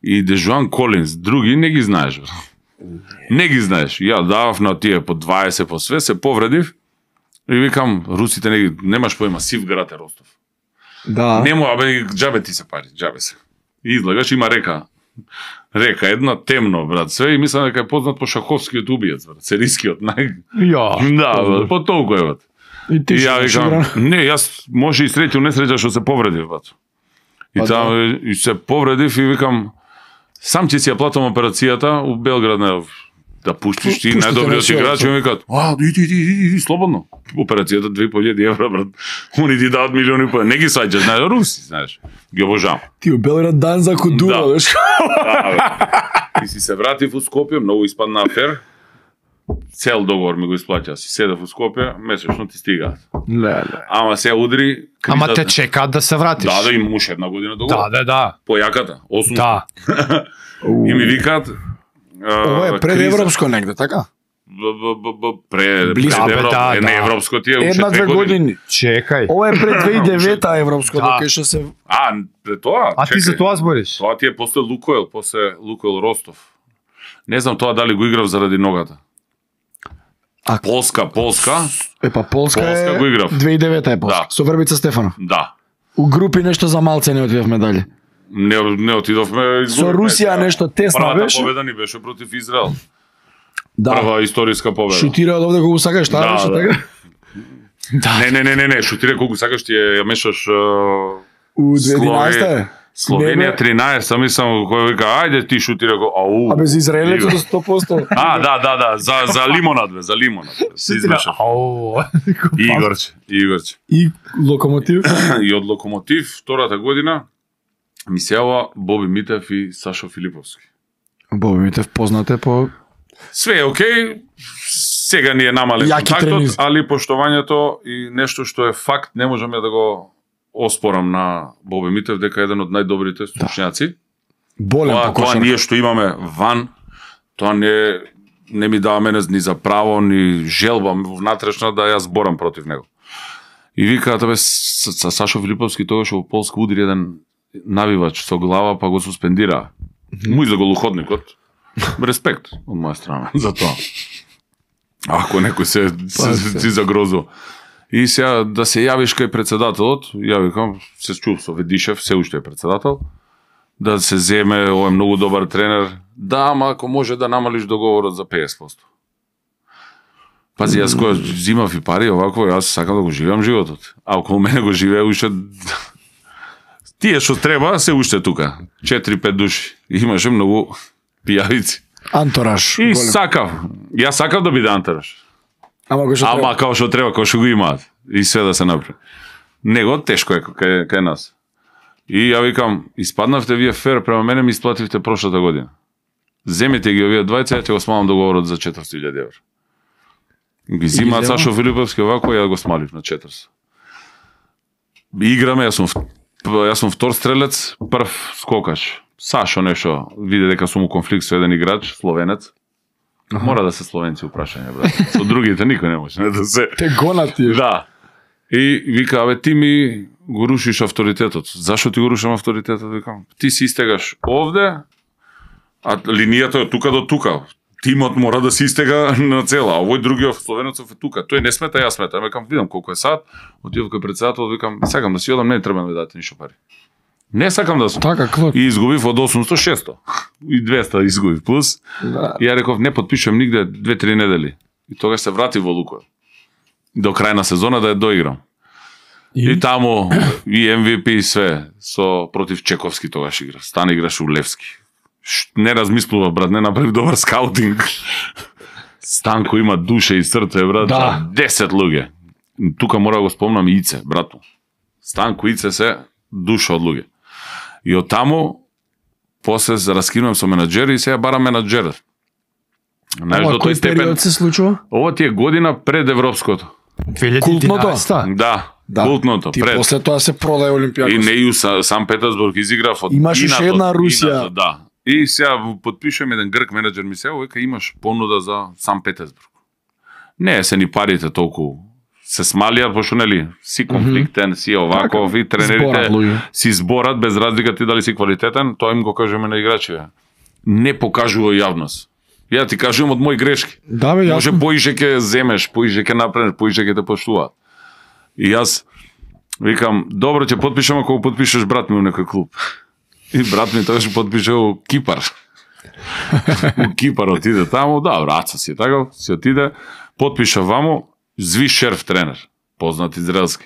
Speaker 1: и Дежуан Колинс, други не ги знаеш. бе. Не ги знаеш. Ја давав на тие по дваесет по све, се повредив и викам, русите не ги, немаш поема, сив град е Ростов.
Speaker 2: Да.
Speaker 1: Нему, абе, џабе ти се пари, џабе се. И излагаш, има река. Река една, темно, брат, све, и мислам дека е познат по шаховскиот убиец, брат, серискиот, нај...
Speaker 3: Ја.
Speaker 1: Да, брат, по толку е, брат.
Speaker 2: И ти
Speaker 1: И
Speaker 2: што
Speaker 1: ја
Speaker 2: беше
Speaker 1: викам,
Speaker 2: игран?
Speaker 1: не, јас може и среќу несреќа што се повредив, брат. И
Speaker 2: Па
Speaker 1: таму и се повредив и викам, сам ќе си ја платам операцијата у Белград, не, да пуштиш ти
Speaker 2: Пуштите
Speaker 1: најдобриот
Speaker 2: на силата.
Speaker 1: играч, и ми викаат, а, иди, иди, иди, иди, слободно. Операцијата две и пол илјади евра, брат. Они ти дават милиони и пол. Не ги сваќаш, знаеш, руси, знаеш. Ги обожавам.
Speaker 2: Ти у Белград дан за кудура,
Speaker 1: Да.
Speaker 2: знаеш.
Speaker 1: Да, бе. И си се вратив у Скопје, многу испадна афер. Цел договор ми го исплаќа. Си седав у Скопје, месечно ти стигаат.
Speaker 2: Ле, ле.
Speaker 1: Ама се удри кризата.
Speaker 3: Ама те чекаат да се вратиш.
Speaker 1: Да, да, имам уште една година договор.
Speaker 3: Да, да, да.
Speaker 1: Појаката, осум.
Speaker 3: Да.
Speaker 1: И ми викаат...
Speaker 2: Ова е пред европско негде, така?
Speaker 1: Пред
Speaker 2: Близко.
Speaker 1: пред
Speaker 3: Да, бе,
Speaker 1: Европ...
Speaker 3: да,
Speaker 1: е, не
Speaker 3: да.
Speaker 1: европско ти е уште
Speaker 2: Една-две
Speaker 1: две години.
Speaker 2: години.
Speaker 3: Чекај.
Speaker 2: Ова е пред две илјади и девета европско,
Speaker 3: Да.
Speaker 2: докај што се...
Speaker 1: А, пред тоа?
Speaker 3: А ти
Speaker 1: чекај.
Speaker 3: за тоа збориш?
Speaker 1: Тоа ти е после Лукойл, после Лукойл Ростов. Не знам тоа дали го играв заради ногата.
Speaker 2: А-
Speaker 1: Полска, Полска,
Speaker 2: Е, па Полска,
Speaker 1: Полска
Speaker 2: е...
Speaker 1: го играв.
Speaker 2: две илјади и девета е Полска.
Speaker 1: Да.
Speaker 2: Со Врбица Стефанов.
Speaker 1: да.
Speaker 2: У групи нешто за малце не отидовме дали.
Speaker 1: Не, не отидовме.
Speaker 2: Со Русија нешто тесна
Speaker 1: Првата
Speaker 2: беше.
Speaker 1: победа ни беше против Израел.
Speaker 2: Да.
Speaker 1: Прва историска победа.
Speaker 2: Шутира од овде кога го сакаш, таа
Speaker 1: Да,
Speaker 2: беше
Speaker 1: да.
Speaker 2: така.
Speaker 1: Не, не, не, не, не, шутира колку сакаш ти ја ја мешаш uh,
Speaker 2: У две илјади и единаесета е.
Speaker 1: Словенија
Speaker 2: Не, бе.
Speaker 1: тринаесет, мислам кој вика ајде ти шутира го. Ау.
Speaker 2: А без Израелецот
Speaker 1: Игра.
Speaker 2: до сто посто.
Speaker 1: А, да, да, да, за за лимонад бе, за лимонад. бе. Се измешав.
Speaker 3: Ау.
Speaker 1: Игорче, Игорче.
Speaker 2: И Локомотив.
Speaker 1: И од Локомотив втората година ми се јава Боби Митев и Сашо Филиповски.
Speaker 2: Боби Митев познате по...
Speaker 1: Све е окей, сега ни е намален
Speaker 2: Јаки
Speaker 1: контактот,
Speaker 2: тренизи.
Speaker 1: али поштованието и нешто што е факт, не можам ја да го оспорам на Боби Митев, дека е еден од најдобрите стручњаци.
Speaker 2: Болен
Speaker 1: Тоа,
Speaker 2: по
Speaker 1: тоа
Speaker 2: кошарка.
Speaker 1: ние што имаме ван, тоа не, не ми дава мене ни за право, ни желба внатрешна да ја зборам против него. И викаат, бе, с, с Сашо Филиповски тогаш во Полска удри еден навивач со глава, па го суспендира. Му за голуходникот. Респект од моја страна за тоа. Ако некој се, се, се, се загрозува. И сега да се јавиш кај председателот, ја викам, се чув со Ведишев, се уште е председател, да се земе, овој е многу добар тренер. Да, ама ако може да намалиш договорот за петдесет проценти. Пази, јас која зимав и пари, овако, јас сакам да го живеам животот. А околу мене го живее уште... Тие што треба, се уште тука. четири-пет души. Имаше многу пијавици.
Speaker 2: Антураж.
Speaker 1: И
Speaker 2: голем.
Speaker 1: сакав. Јас сакав да биде антураж.
Speaker 2: Ама го што
Speaker 1: Ама
Speaker 2: треба.
Speaker 1: као што треба, као што го имаат. И све да се направи. Него тешко е кај, кај нас. И ја викам, испаднавте вие фер, према мене ми исплативте прошлата година. Земете ги овие двајца, ја ќе го смалам договорот за четиристотини илјади евра. Ги зимаат Сашо Филиповски овако, ја го смалив на четиристотини. Играме, јас сум јас сум втор стрелец, прв скокаш. Сашо нешто виде дека сум у конфликт со еден играч, словенец. Аха. Мора да се словенци упрашање, брат. Со другите никој не може, не да се.
Speaker 2: Те гонати.
Speaker 1: Да. И вика, абе ти ми го рушиш авторитетот. Зашо ти го рушам авторитетот? Викам, ти си истегаш овде, а линијата е тука до тука. Тимот мора да се истега на цела, а овој другиот словенецов е тука. Тој не смета, јас смета. Викам, видам колку е сад, отидов кај председател, викам, сакам да си одам, не треба да ми дадете ништо пари. Не сакам да сум.
Speaker 2: Така, клоп.
Speaker 1: И изгубив од осумсто шесто. И двеста изгубив плюс.
Speaker 2: Да.
Speaker 1: И ја реков, не подпишувам нигде две-три недели. И тогаш се врати во Лукойл. До крај на сезона да ја доиграм. И, и таму и Ем Ви Пи и све со против Чековски тогаш игра. Стана играш у Левски. Не размислува, брат, не направи добар скаутинг. Станко има душа и срце, брат.
Speaker 2: Да.
Speaker 1: десет луѓе. Тука мора да го спомнам и Ице, брато. Станко и Ице се душа од луѓе. И од таму после раскинувам со менаџери и сега барам менаџер. Знаеш,
Speaker 2: Ова
Speaker 1: до тој
Speaker 2: кој
Speaker 1: степен.
Speaker 2: период се случува?
Speaker 1: Ова ти е година пред европското.
Speaker 3: две илјади и единаесета.
Speaker 1: Да,
Speaker 2: Да.
Speaker 1: култното.
Speaker 2: Ти
Speaker 1: пред.
Speaker 2: после тоа се продаде Олимпијакос.
Speaker 1: И не и у Са- Сан Петерсбург изиграв од
Speaker 2: Имаш уште
Speaker 1: инатот,
Speaker 2: една Русија.
Speaker 1: инатот, да. И сега подпишувам еден грк менеджер ми се, вика имаш понуда за Сан Петерсбург. Не се ни парите толку се смалија, пошто нели си конфликтен, си оваков и тренерите
Speaker 2: Зборат луѓе.
Speaker 1: си зборат без разлика ти дали си квалитетен, тоа им го кажеме на играчите. Не покажува јавност. Ја ти кажувам од мои грешки.
Speaker 2: Да, бе,
Speaker 1: Може
Speaker 2: јасно.
Speaker 1: поише ќе земеш, поише ќе направиш, поише ќе те поштуваат. И јас викам, добро ќе подпишам ако го подпишеш брат ми у некој клуб. И брат ми тогаш подпише у Кипар. У Кипар отиде таму, да, браца си така, си отиде, подпиша ваму, Зви Шерф тренер, познат израелски.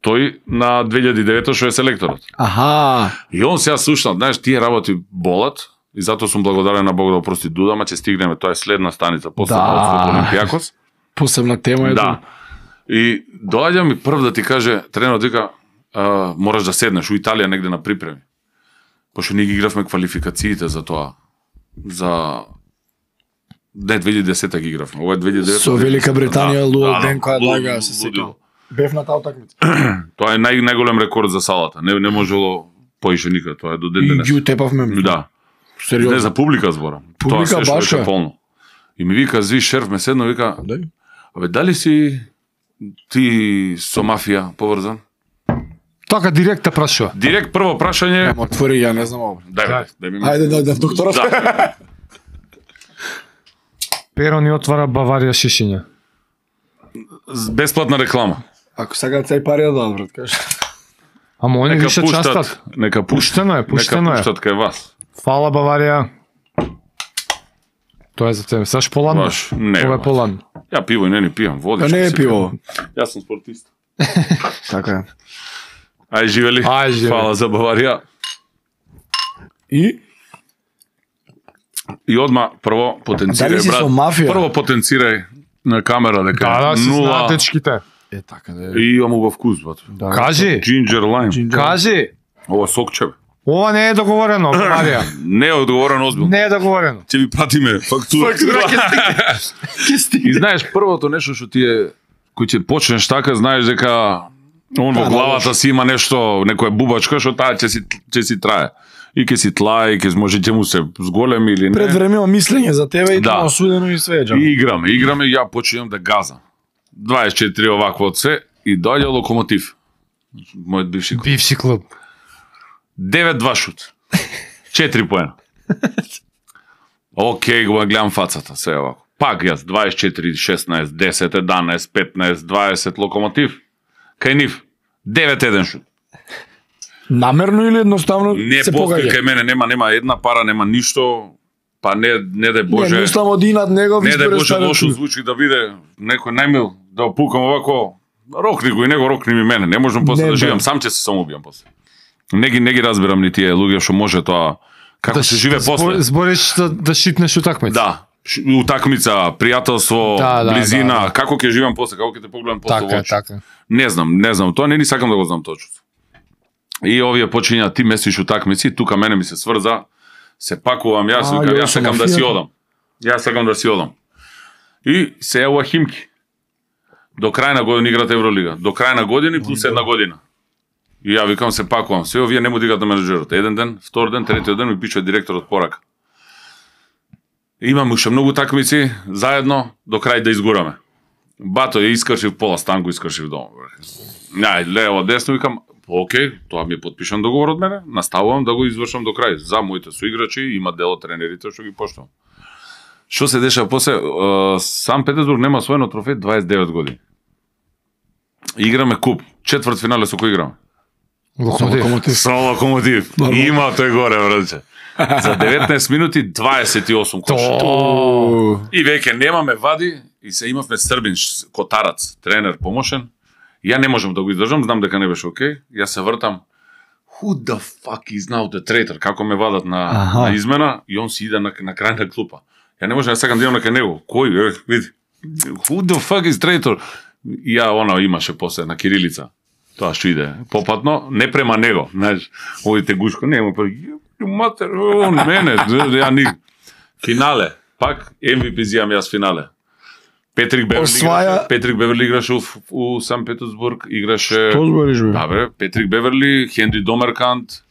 Speaker 1: Тој на две илјади и девета што е селекторот.
Speaker 2: Аха.
Speaker 1: И он сега слушнал, знаеш, тие работи болат, и затоа сум благодарен на Бог да опрости Дуда, ама ќе стигнеме, тоа е следна станица, после
Speaker 2: Да.
Speaker 1: од Олимпијакос.
Speaker 2: Посебна тема е
Speaker 1: Да.
Speaker 2: тоа.
Speaker 1: И доаѓа ми прв да ти каже, тренерот вика, а, мораш да седнеш у Италија негде на припреми. Пошто ние ги игравме квалификациите за тоа. За не две илјади и десета ги игравме. Ова е две илјади и девета.
Speaker 2: Со Велика Британија,
Speaker 1: Да,
Speaker 2: луд
Speaker 1: да,
Speaker 2: ден која
Speaker 1: луд-
Speaker 2: лага се сетам.
Speaker 1: лудило.
Speaker 2: Бев на таа утакмица.
Speaker 1: Тоа е нај најголем рекорд за салата. Не не можело поише никад, тоа е до ден
Speaker 2: И
Speaker 1: денес.
Speaker 2: ги утепавме.
Speaker 1: Да. Не
Speaker 2: Сериозно.
Speaker 1: за публика зборам.
Speaker 2: Публика
Speaker 1: Тоа се што
Speaker 2: баш е.
Speaker 1: беше полно. И ми вика Зви Шерф ме седно вика,
Speaker 2: Да.
Speaker 1: абе дали си ти со мафија поврзан?
Speaker 3: Така директ те прашува.
Speaker 1: Директ прво прашање.
Speaker 2: Емо отвори, ја не знам ова.
Speaker 1: Дај, дај, дај ми.
Speaker 2: Ајде, да, да, докторот.
Speaker 1: Да.
Speaker 3: Перо ни отвара Баварија шишиња.
Speaker 1: Бесплатна реклама.
Speaker 2: Ако сакаат цај пари да дадат, брат, кажеш.
Speaker 3: Ама они
Speaker 1: Нека
Speaker 3: више
Speaker 1: пуштат,
Speaker 3: частат.
Speaker 1: нека
Speaker 3: Пуштено е, пуштено
Speaker 1: нека
Speaker 3: е.
Speaker 1: пуштат кај вас.
Speaker 3: Фала Баварија. Тоа е за тебе. Саш поладно?
Speaker 1: Баш, не,
Speaker 3: Ова е
Speaker 1: баш.
Speaker 3: поладно.
Speaker 1: Ја пиво и не ни пијам, води.
Speaker 2: Па
Speaker 1: што
Speaker 2: не е
Speaker 1: си
Speaker 2: пиво.
Speaker 1: пијам. Јас сум спортист.
Speaker 2: Така е.
Speaker 1: Ај живели.
Speaker 3: Ај, живели.
Speaker 1: Фала за Баварија.
Speaker 2: И
Speaker 1: И одма прво
Speaker 2: Дали
Speaker 1: потенцирај
Speaker 2: си
Speaker 1: брат.
Speaker 2: со мафија?
Speaker 1: Прво потенцирај на камера дека
Speaker 3: Да, да, си
Speaker 1: нула
Speaker 3: знаат дечките.
Speaker 2: е така да е.
Speaker 1: и имам убав вкус, брат.
Speaker 2: Да.
Speaker 3: Кажи,
Speaker 1: Ginger lime.
Speaker 2: Ginger.
Speaker 3: кажи.
Speaker 1: Ова сокче. бе.
Speaker 3: Ова не е договорено, Баварија.
Speaker 1: Не е одговорено озбилно.
Speaker 3: Не е договорено.
Speaker 1: Ќе ви пратиме фактура. И знаеш првото нешто што ти е кој ќе почнеш така, знаеш дека он во
Speaker 2: Да,
Speaker 1: главата си има нешто, некоја бубачка што таа ќе си ќе си трае. И ќе си тлае, и ќе може ќе му се зголеми или не.
Speaker 2: Предвремено мислење за тебе и
Speaker 1: Да.
Speaker 2: тоа осудено и све, џа.
Speaker 1: И играме, играме, и ја почнувам да газам. дваесет и четири овакво од се и доаѓа Локомотив. Мојот бивши клуб.
Speaker 3: Бивши клуб.
Speaker 1: девет два шут. четири поена. Океј, го гледам фацата, се овако. Пак јас, дваесет и четири, шеснаесет, десет, еднаесет, петнаесет, дваесет, Локомотив. Кај нив, девет еден шут.
Speaker 2: Намерно или едноставно
Speaker 1: Не
Speaker 2: се
Speaker 1: постои
Speaker 2: погаѓа?
Speaker 1: кај мене, нема нема една пара, нема ништо. Па не, не дај
Speaker 2: Не,
Speaker 1: Боже.
Speaker 2: мислам од инат негов
Speaker 1: Не дај Боже
Speaker 2: испреставен
Speaker 1: лошо
Speaker 2: клуб.
Speaker 1: звучи да биде некој најмил да опукам овако. Рокни го и него рокни ми мене. Не можам после
Speaker 2: Не,
Speaker 1: да
Speaker 2: да.
Speaker 1: живеам, сам ќе се самоубијам после. Не ги не ги разбирам ни тие луѓе што може тоа како се живее после.
Speaker 3: Збориш да, да шитнеш утакмица.
Speaker 1: Да, ш- утакмица, пријателство,
Speaker 3: Да, да,
Speaker 1: близина,
Speaker 3: да, да.
Speaker 1: како ќе живеам после, како ќе те погледам после
Speaker 3: Така
Speaker 1: во
Speaker 3: е,
Speaker 1: очи.
Speaker 3: така.
Speaker 1: Не знам, не знам, тоа не ни сакам да го знам точно. И овие почињаат ти месиш утакмици, тука мене ми се сврза Се пакувам јас,
Speaker 2: А,
Speaker 1: викам,
Speaker 2: јо,
Speaker 1: јас сакам
Speaker 2: со
Speaker 1: да си
Speaker 2: мафијата?
Speaker 1: одам. Јас сакам да си одам. И се јавува Химки. До крај на година играт Евролига. До крај на година плюс една година. И ја викам се пакувам. Се овие не му дигат на менеджерот. Еден ден, втор ден, третиот ден ми пишува директорот порака. Имаме уште многу такмици заедно до крај да изгураме. Бато ја искршив пола станку, искршив дома. Нај, лево, десно, викам, окей, тоа ми е подпишан договор од мене, наставувам да го извршам до крај. За моите соиграчи, има дел од тренерите што ги поштувам. Што се деша после? Сан Петерсбург нема освоено трофеј дваесет и девет години. Играме куп, четврт финале со кој играме?
Speaker 3: Локомотив.
Speaker 1: Со Локомотив. Има тој горе, браце. За деветнаесет минути дваесет и осум коши. И веќе немаме вади и се имавме Србин Котарац, тренер помошен. Ја не можам да го издржам, знам дека не беше окей. Ја се вртам. Who the fuck is now the traitor? Како ме вадат на, на измена и он си иде на, на крај на клупа. Ја не можам да сакам да идам на кај него. Кој? Е, види. Who the fuck is traitor? И ја она имаше после на кирилица. Тоа што иде попатно, не према него, знаеш, овите гушко, не, па матер, он мене, ја ни финале, пак Ем Ви Пи зијам јас финале. Петрик Беверли
Speaker 2: Осваја...
Speaker 1: играше, Петрик Беверли играше у, у Сан Петерсбург, играше...
Speaker 2: Што збориш, бе?
Speaker 1: Да, бе, Петрик Беверли, Хенри Домеркант,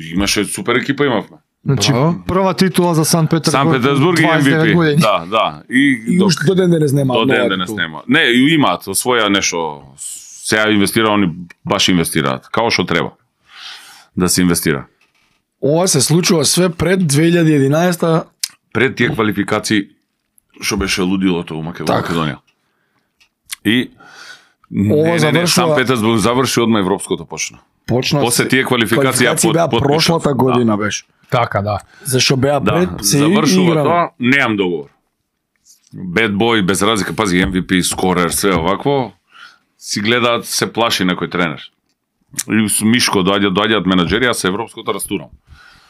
Speaker 1: имаше супер екипа имавме.
Speaker 3: Значи,
Speaker 2: Браво.
Speaker 3: прва титула за Сан Петерсбург.
Speaker 1: Сан Петерсбург и Ем Ви Пи.
Speaker 3: години.
Speaker 1: Да, да. И,
Speaker 2: И
Speaker 1: док-
Speaker 2: уште до ден денес нема.
Speaker 1: До ден
Speaker 2: нова
Speaker 1: денес
Speaker 2: титула.
Speaker 1: нема. Не, и имаат своја нешто. Сега инвестира, они баш инвестираат. Као што треба да се инвестира.
Speaker 2: Ова се случува све пред две илјади и единаесета.
Speaker 1: Пред тие квалификации што беше лудилото у Македонија.
Speaker 2: Така.
Speaker 1: Македонија. И
Speaker 2: Ова
Speaker 1: не, не, не,
Speaker 2: завршува-
Speaker 1: Сан Петерсбург заврши одма европското почна.
Speaker 2: Почна
Speaker 1: После тие квалификации ја
Speaker 2: квалификации
Speaker 1: под-
Speaker 2: беа
Speaker 1: подпишав.
Speaker 2: прошлата година беше.
Speaker 3: Така, да.
Speaker 2: Зашо беа
Speaker 1: Да,
Speaker 2: пред се
Speaker 1: завршува
Speaker 2: играме.
Speaker 1: тоа, неам договор. Bad boy, без разлика, пази, Ем Ви Пи, скорер, све овакво, си гледаат, се плаши некој тренер. И с Мишко доаѓа, доаѓаат менаџери, јас се европското растурам.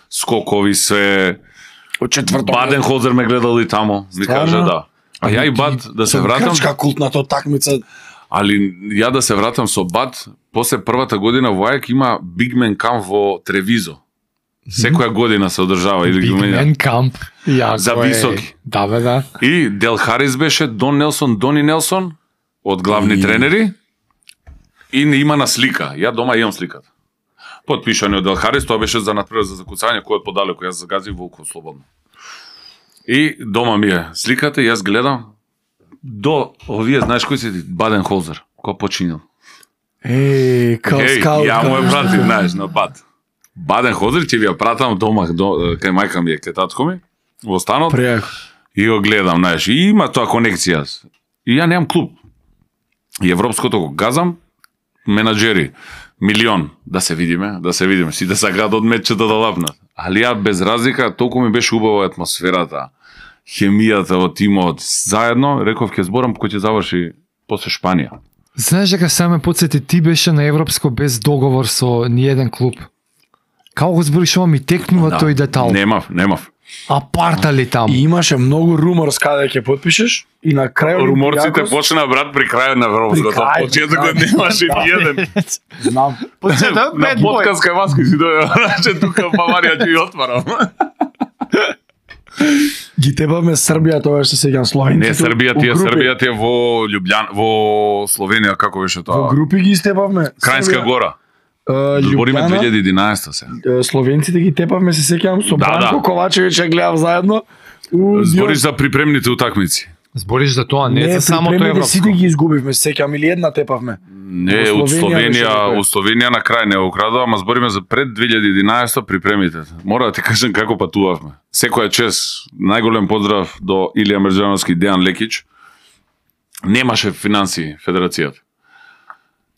Speaker 1: Скокови се,
Speaker 2: Од четврто.
Speaker 1: Баденхолзер ме гледал и тамо, ми
Speaker 2: Стварно?
Speaker 1: каже да. А ја и Бад да се вратам,
Speaker 2: Грчка култната такмица.
Speaker 1: али ја да се вратам со Бад, после првата година во Ајак има Бигмен камп во Тревизо. Секоја година се одржава или ги
Speaker 3: Big
Speaker 1: менја.
Speaker 3: Man Camp. Јако
Speaker 1: За
Speaker 3: е.
Speaker 1: високи.
Speaker 3: Да, бе, да.
Speaker 1: И Дел Харис беше Дон Нелсон, Дони Нелсон од главни
Speaker 2: И-
Speaker 1: тренери и не има на слика. Ја дома имам сликата. Подпишани од Дел Харис, тоа беше за надпревар за закуцање, кој од подалеку јас загазив волку слободно. И дома ми е сликата и јас гледам до овие, знаеш кој си Баденхолзер, кој починил.
Speaker 2: Е, као
Speaker 1: Еј,
Speaker 2: скаут.
Speaker 1: ја му е пратив, знаеш, на Бад. Баденхолзер ќе ви ја пратам дома, до, кај мајка ми е, кај татко ми, во станот.
Speaker 2: Пријако.
Speaker 1: И го гледам, знаеш, и има тоа конекција. И ја немам клуб. И европското го газам, менаџери, милион, да се видиме, да се видиме, си да сакаат од меччета да лапнат. Али ја без разлика, толку ми беше убава атмосферата, хемијата од тимот, заедно, реков ќе зборам кој ќе заврши после Шпанија.
Speaker 3: Знаеш дека сега ме подсети, ти беше на европско без договор со ниеден клуб. Како го збориш, ова ми текнува тој детал.
Speaker 1: Немав, немав.
Speaker 3: Апарта ли таму?
Speaker 2: И имаше многу руморс каде ќе подпишеш и на крај
Speaker 1: Руморците
Speaker 2: Олимпијакос-
Speaker 1: почна брат при крајот на европското.
Speaker 2: При крај,
Speaker 1: Почетокот
Speaker 2: да.
Speaker 1: немаше
Speaker 2: Да.
Speaker 1: ниеден.
Speaker 2: Знам.
Speaker 3: Почетокот
Speaker 1: На
Speaker 3: bad boy.
Speaker 1: подкаст кај Васко си дојде, значи тука в Баварија ќе ја отварам.
Speaker 2: Ги тепавме Србија, тоа што се сеќам Словенците.
Speaker 1: Не, Србија ти е,
Speaker 2: у групи.
Speaker 1: Србија ти е во Љубљан, во Словенија, како беше
Speaker 2: Во
Speaker 1: тоа?
Speaker 2: групи ги степавме.
Speaker 1: Крајнска
Speaker 2: Србија,
Speaker 1: гора.
Speaker 2: е,
Speaker 1: Збориме
Speaker 2: Љубљана,
Speaker 1: две илјади и единаесета се.
Speaker 2: е, Словенците ги тепавме, се сеќам со
Speaker 1: Да,
Speaker 2: Бранко
Speaker 1: да.
Speaker 2: Ковачевиќ ја гледав заедно. У
Speaker 1: Збориш за припремните утакмици.
Speaker 3: Збориш за тоа, не,
Speaker 2: не,
Speaker 3: за самото
Speaker 2: припремните
Speaker 3: европско.
Speaker 2: сите ги изгубивме, се сеќам или една тепавме.
Speaker 1: Не,
Speaker 2: Во
Speaker 1: од
Speaker 2: Словенија беше
Speaker 1: Словенија,
Speaker 2: како е.
Speaker 1: од Словенија на крај не украдува, ама збориме за пред две илјади и единаесета припремите. Мора да ти кажам како патувавме. Секоја чест, најголем поздрав до Илија Мерџановски и Дејан Лекич. Немаше финансии федерацијата.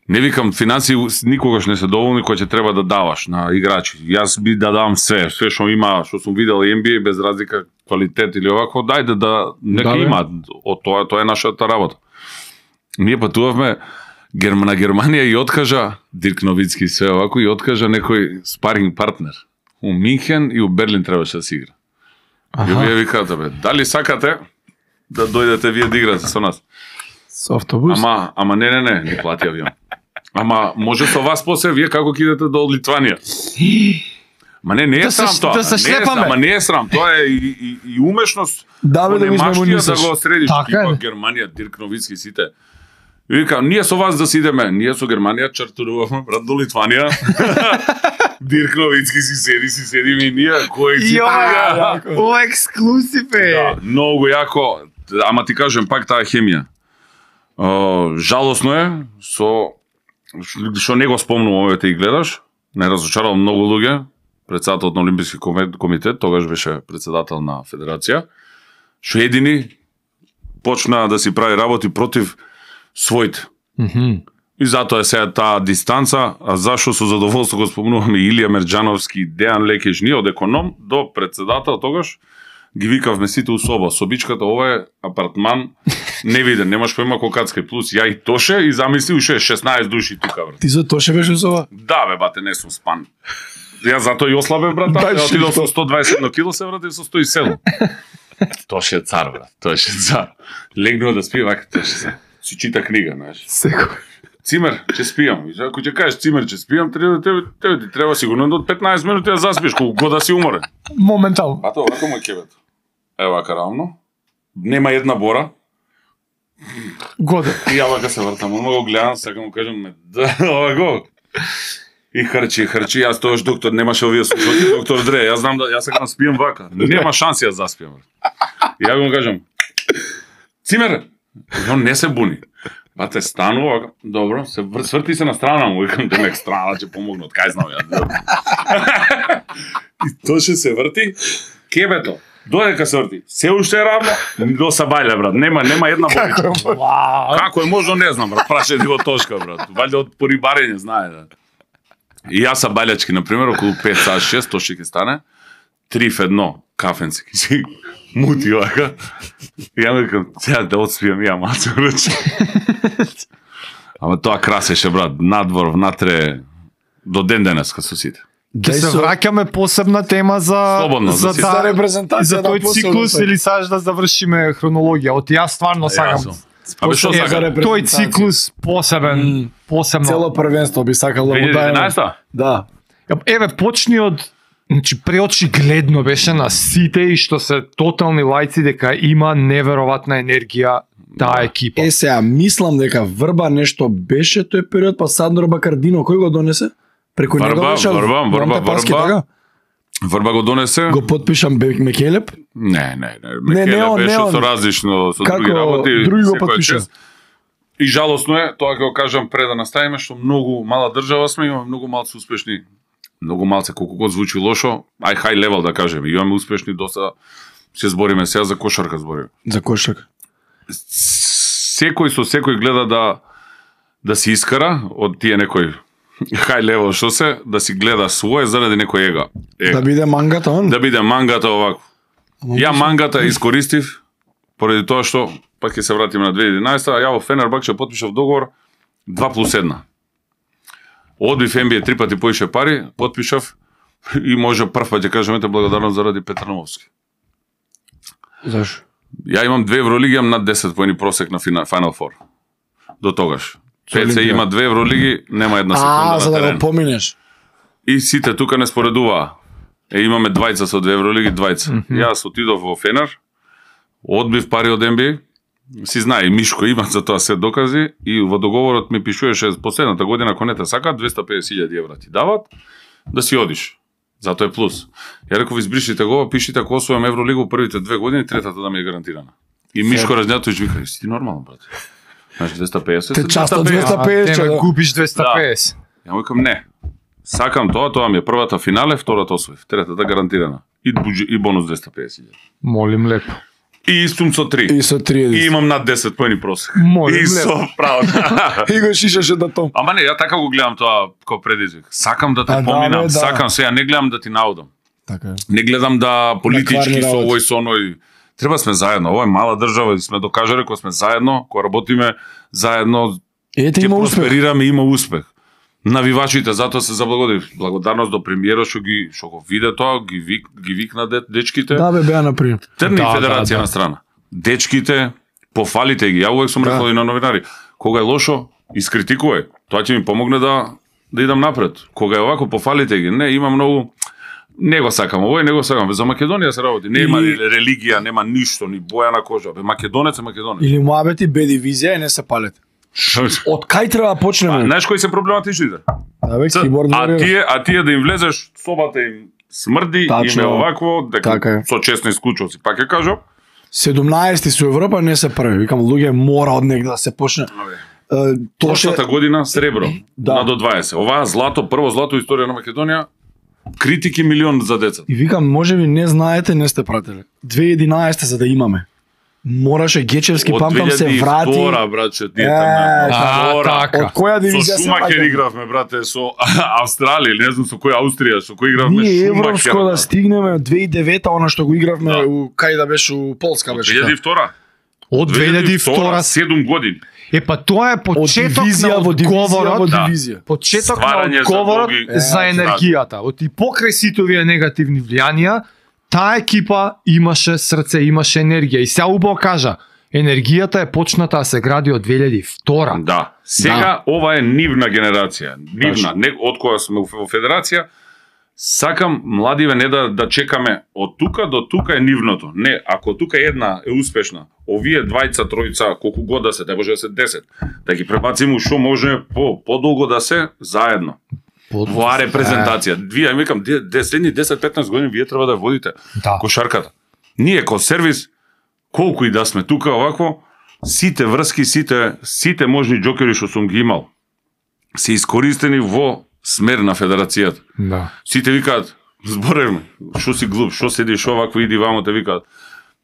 Speaker 1: Не викам финансии никогаш не се доволни кои ќе треба да даваш на играчи. Јас би да давам све, све што има, што сум видел и Ен Би Ей без разлика квалитет или овако, дајде да нека
Speaker 2: Да, бе.
Speaker 1: има од тоа, тоа е нашата работа. Ние патувавме Герм- на Германија и откажа Дирк Новицки све овако и откажа некој спаринг партнер. У Минхен и у Берлин требаше да се игра. И вие викате, бе, дали сакате да дојдете вие да играте со нас?
Speaker 2: Со автобус.
Speaker 1: Ама, ама не, не, не, ни плати авион. Ама може со вас после вие како ќе идете до Литванија? Ма не, не е
Speaker 3: Да се-
Speaker 1: срам тоа.
Speaker 3: да се
Speaker 1: Не е
Speaker 3: шлепаме.
Speaker 1: срам, ма не е срам, тоа е и, и, и умешност.
Speaker 2: Да, бе, да го
Speaker 1: Немаштија да
Speaker 2: измемонисаш.
Speaker 1: го средиш,
Speaker 3: Така е.
Speaker 1: типа Германија, Дирк Новицки, сите. И вика, ние со вас да си идеме, ние со Германија чартуруваме, брат, до Литванија. Дирк Новицки си седи, си седиме и ние, кој си
Speaker 3: Ја, ова ексклузив е.
Speaker 1: Да, многу јако, ама ти кажем пак таа хемија. Uh, жалосно е со што не го спомнувам овој те и гледаш, не разочарал многу луѓе. Председателот на Олимписки комитет, тогаш беше председател на федерација, што едини почна да си прави работи против своите.
Speaker 3: Мгм.
Speaker 1: И затоа е сега таа дистанца, а зашо со задоволство го спомнуваме Илија Мерџановски, Дејан Лекеш, ние од економ до председател тогаш ги викавме сите у соба. Собичката, ова е апартман невиден, немаш појма колкацка плюс ја и Тоше и замисли уште шеснаесет души тука, брат.
Speaker 2: Ти за Тоше беше со ова?
Speaker 1: Да, бе, бате, не сум спан. Ја затоа и ослабев, брат,
Speaker 2: Дај
Speaker 1: ја отидов
Speaker 2: шишто.
Speaker 1: со сто дваесет едно кило, се вратив со сто и седум. Тоше е цар, брат, Тоше е цар. Легнува да спи, вака, Тоше се. Си чита книга, знаеш.
Speaker 2: Секој.
Speaker 1: Цимер, ќе спијам. И ако ќе кажеш Цимер, ќе спијам, треба тебе, тебе ти треба сигурно до петнаесет минути да заспиш, колку god да си уморен.
Speaker 3: Моментално.
Speaker 1: А тоа вака му е кебето. Ева вака равно. Нема една бора.
Speaker 3: Годе.
Speaker 1: И ја вака се вртам, ома го гледам, сега му кажам ме, да, ова го. И харчи, харчи, јас тоаш доктор, немаше овие слушалки, доктор Дре, јас знам да, јас сега спијам вака. Нема шанси да заспијам. И ја му кажам, Цимер, и он не се буни. Бате, станува, вака, добро, се вр- сврти се на страна му, викам, демек страна ќе помогне, од кај знам ја. И Тоше се врти, кебето, додека се врти, се уште е равно, до Сабајле, брат, нема, нема една боричка.
Speaker 3: Вау.
Speaker 1: Како е можно, не знам, брат, прашајте го Тошка, брат, валјда од порибарење, знае, да. И јас са балјачки, например, околу пет саат шест, Тоши ќе стане, три в едно, кафенски, си мути вака. И ја му викам, сега да отспијам ја малце врачи. Ама тоа красеше, брат, надвор, внатре, до ден денеска со сите.
Speaker 3: Ќе се враќаме посебна тема за
Speaker 1: Слободно, за
Speaker 3: за
Speaker 1: си-
Speaker 2: За
Speaker 3: таа
Speaker 2: репрезентација
Speaker 3: за
Speaker 2: да
Speaker 3: тој
Speaker 2: посебно
Speaker 3: циклус
Speaker 2: се-
Speaker 3: или сакаш да завршиме хронологија? Оти јас стварно сакам.
Speaker 1: Јасно. Абе, што
Speaker 3: Е,
Speaker 1: сакаш?
Speaker 2: за репрезентација.
Speaker 3: Тој циклус посебен, посебно.
Speaker 2: Цело првенство би сакал да
Speaker 1: две
Speaker 2: му
Speaker 1: илјади и
Speaker 2: дајме.
Speaker 1: единаесета?
Speaker 2: Да.
Speaker 3: Еве, почни од Значи, преочигледно беше на сите и што се тотални лајци дека има неверојатна енергија таа екипа.
Speaker 2: Е, сега, мислам дека Врба нешто беше тој период, па Сандро Бакардино, кој го донесе? Преку
Speaker 1: Врба,
Speaker 2: него беше
Speaker 1: Врба, Врба,
Speaker 2: Лампе Паски,
Speaker 1: Врба.
Speaker 2: така?
Speaker 1: Врба го донесе?
Speaker 2: Го подпишам Бек Мекелеп.
Speaker 1: Не, не, не.
Speaker 2: Не, не
Speaker 1: Мекеле
Speaker 2: он,
Speaker 1: беше
Speaker 2: не он.
Speaker 1: со различно, со
Speaker 2: Како
Speaker 1: други работи.
Speaker 2: други го
Speaker 1: секоја
Speaker 2: потпиша?
Speaker 1: чест. И жалосно е, тоа ќе го кажам пред да наставиме, што многу мала држава сме, имаме многу малци успешни, многу малце, колку год звучи лошо, ај хај левел да кажеме, имаме успешни доста, се збориме сега за кошарка збориме.
Speaker 2: За кошак.
Speaker 1: Секој со секој гледа да да се искара од тие некој хај левел што се, да си гледа свое заради некој ега. ега.
Speaker 2: Да биде мангата он?
Speaker 1: Да биде мангата овако. Ја мангата искористив поради тоа што пак ќе се вратиме на две илјади и единаесета, а ја во Фенербахче потпишав договор два плюс една. Одбив Н Б А три пати поише пари, потпишав и може прв пат ќе кажам ете благодарност заради Петар Нововски.
Speaker 2: Зашо?
Speaker 1: Ја имам две Евролиги, имам над десет поени просек на Final Four. До тогаш. Пет се
Speaker 2: Олимпија.
Speaker 1: има две Евролиги, нема една секунда
Speaker 2: А, за
Speaker 1: на
Speaker 2: да го
Speaker 1: терен.
Speaker 2: поминеш.
Speaker 1: И сите тука не споредуваа. Е, имаме двајца со две Евролиги, двајца. Mm -hmm. Јас отидов во Фенер, одбив пари од Н Б А, си знае, и Мишко има за тоа се докази, и во договорот ми пишуваше последната година, ако не те сака, двеста и педесет илјади евра ти дават, да си одиш. Затоа е плюс. Ја реков, избришите го, пишите ако освојам Евролигу првите две години, третата да ми е гарантирана. И Мишко Разнјатовиќ вика, си ти нормално, брат? Значи двеста и педесет.
Speaker 2: Те часто
Speaker 1: двеста и педесет.
Speaker 2: двеста и педесет,
Speaker 3: А,
Speaker 2: да.
Speaker 3: тебе губиш двеста и педесет.
Speaker 1: Ја му викам не. Сакам тоа, тоа ми е првата финале, втората освоив, третата гарантирана. И буџи, и бонус двеста и педесет илјади.
Speaker 3: Молим лепо.
Speaker 1: И истум со три.
Speaker 2: И со три.
Speaker 1: И имам над десет поени просек.
Speaker 3: Молим
Speaker 1: И
Speaker 3: лепо.
Speaker 1: со право.
Speaker 2: И го шишаше да том.
Speaker 1: Ама не, ја така го гледам тоа како предизвик. Сакам да те
Speaker 2: А, да,
Speaker 1: поминам,
Speaker 2: бе, да.
Speaker 1: сакам се, ја не гледам да ти наудам.
Speaker 2: Така е.
Speaker 1: Не гледам да политички
Speaker 2: кварни
Speaker 1: со
Speaker 2: работи.
Speaker 1: овој со оној. Треба сме заедно. Ова е мала држава и сме докажале кога сме заедно, кога работиме заедно,
Speaker 2: Ете
Speaker 1: ќе
Speaker 2: има успех.
Speaker 1: просперираме, има успех. Навивачите затоа се заблагодарив. Благодарност до премиерот што ги што го виде тоа, ги вик, ги викна де, дечките.
Speaker 2: Да, бе, беа например.
Speaker 1: Трни
Speaker 3: Да,
Speaker 1: федерација
Speaker 3: да, да.
Speaker 1: на страна. Дечките, пофалите ги. Ја увек сум
Speaker 2: Да.
Speaker 1: рекол и на новинари. Кога е лошо, искритикувај. Тоа ќе ми помогне да да идам напред. Кога е овако, пофалите ги. Не, има многу Не го сакам овој, не го сакам. За Македонија се работи. Нема
Speaker 2: Или-
Speaker 1: религија, нема ништо, ни боја на кожа. Бе, Македонец е Македонец.
Speaker 2: Или муабети Б дивизија и не се палете. Од кај треба да почнеме?
Speaker 1: Знаеш кои се проблематичните?
Speaker 2: Да, бе,
Speaker 1: Ц-
Speaker 2: киборд
Speaker 1: А
Speaker 2: warrior.
Speaker 1: тие, а тие да им влезеш, собата им смрди,
Speaker 2: Тачно.
Speaker 1: им е овакво, дека
Speaker 2: Така е.
Speaker 1: со честни исклучоци. Пак ќе кажам,
Speaker 2: седумнаесети со Европа не се први. Викам, луѓе, мора од негде да се почне. Е, Тоше,
Speaker 1: прошлата година сребро,
Speaker 2: Да.
Speaker 1: на до дваесет. Оваа злато, прво злато историја на Македонија, критики милион за деца.
Speaker 2: и викам, може би не знаете, не сте пратели. две илјади и единаесета за да имаме. Мораше Гечевски,
Speaker 1: Од
Speaker 2: памтам се
Speaker 1: две илјади и
Speaker 2: врати.
Speaker 1: втора, братче, ние
Speaker 2: Е,
Speaker 1: таму.
Speaker 3: А,
Speaker 1: Втора.
Speaker 3: така.
Speaker 2: Од која
Speaker 1: Со
Speaker 2: дивизија се
Speaker 1: Шумахер
Speaker 2: враќаме?
Speaker 1: игравме, брате, со Австралија, или не знам со кој Австрија, со кој игравме
Speaker 2: Ние
Speaker 1: Шумахер.
Speaker 2: европско да стигнеме од две илјади и девета, она што го игравме
Speaker 1: Да.
Speaker 2: у кај да беше у Полска беше.
Speaker 1: две илјади и втора.
Speaker 3: Од две илјади и втора.
Speaker 1: седум години.
Speaker 3: Е па тоа е
Speaker 2: Од
Speaker 3: почеток
Speaker 2: дивизија
Speaker 3: на
Speaker 2: во дивизија во
Speaker 3: одговорот.
Speaker 1: Да.
Speaker 2: дивизија.
Speaker 3: Почеток
Speaker 1: Стварање
Speaker 3: на
Speaker 1: за
Speaker 3: одговорот
Speaker 1: долги-
Speaker 3: за
Speaker 2: Е,
Speaker 3: енергијата. Од и покрај сите овие негативни влијанија, таа екипа имаше срце, имаше енергија. И сега убаво кажа, енергијата е почната да се гради од две илјади и втора.
Speaker 1: Да. Сега ова е нивна генерација. Нивна,
Speaker 2: Точно.
Speaker 1: не од која сме во федерација. Сакам младиве не да да чекаме од тука до тука е нивното. Не, ако тука една е успешна, овие двајца, тројца, колку год да се, да може да се десет, да ги пребациме ушо може по подолго да се заедно. Во репрезентација. Вие, викам, де- де- следни десет-петнаесет години вие треба да водите
Speaker 3: Да.
Speaker 1: кошарката. Ние ко сервис, колку и да сме тука овакво, сите врски, сите сите можни џокери што сум ги имал се искористени во смер на федерацијата.
Speaker 3: Да.
Speaker 1: Сите викаат, зборевме, што си глуп, што седиш овакво, иди вамо, те викаат.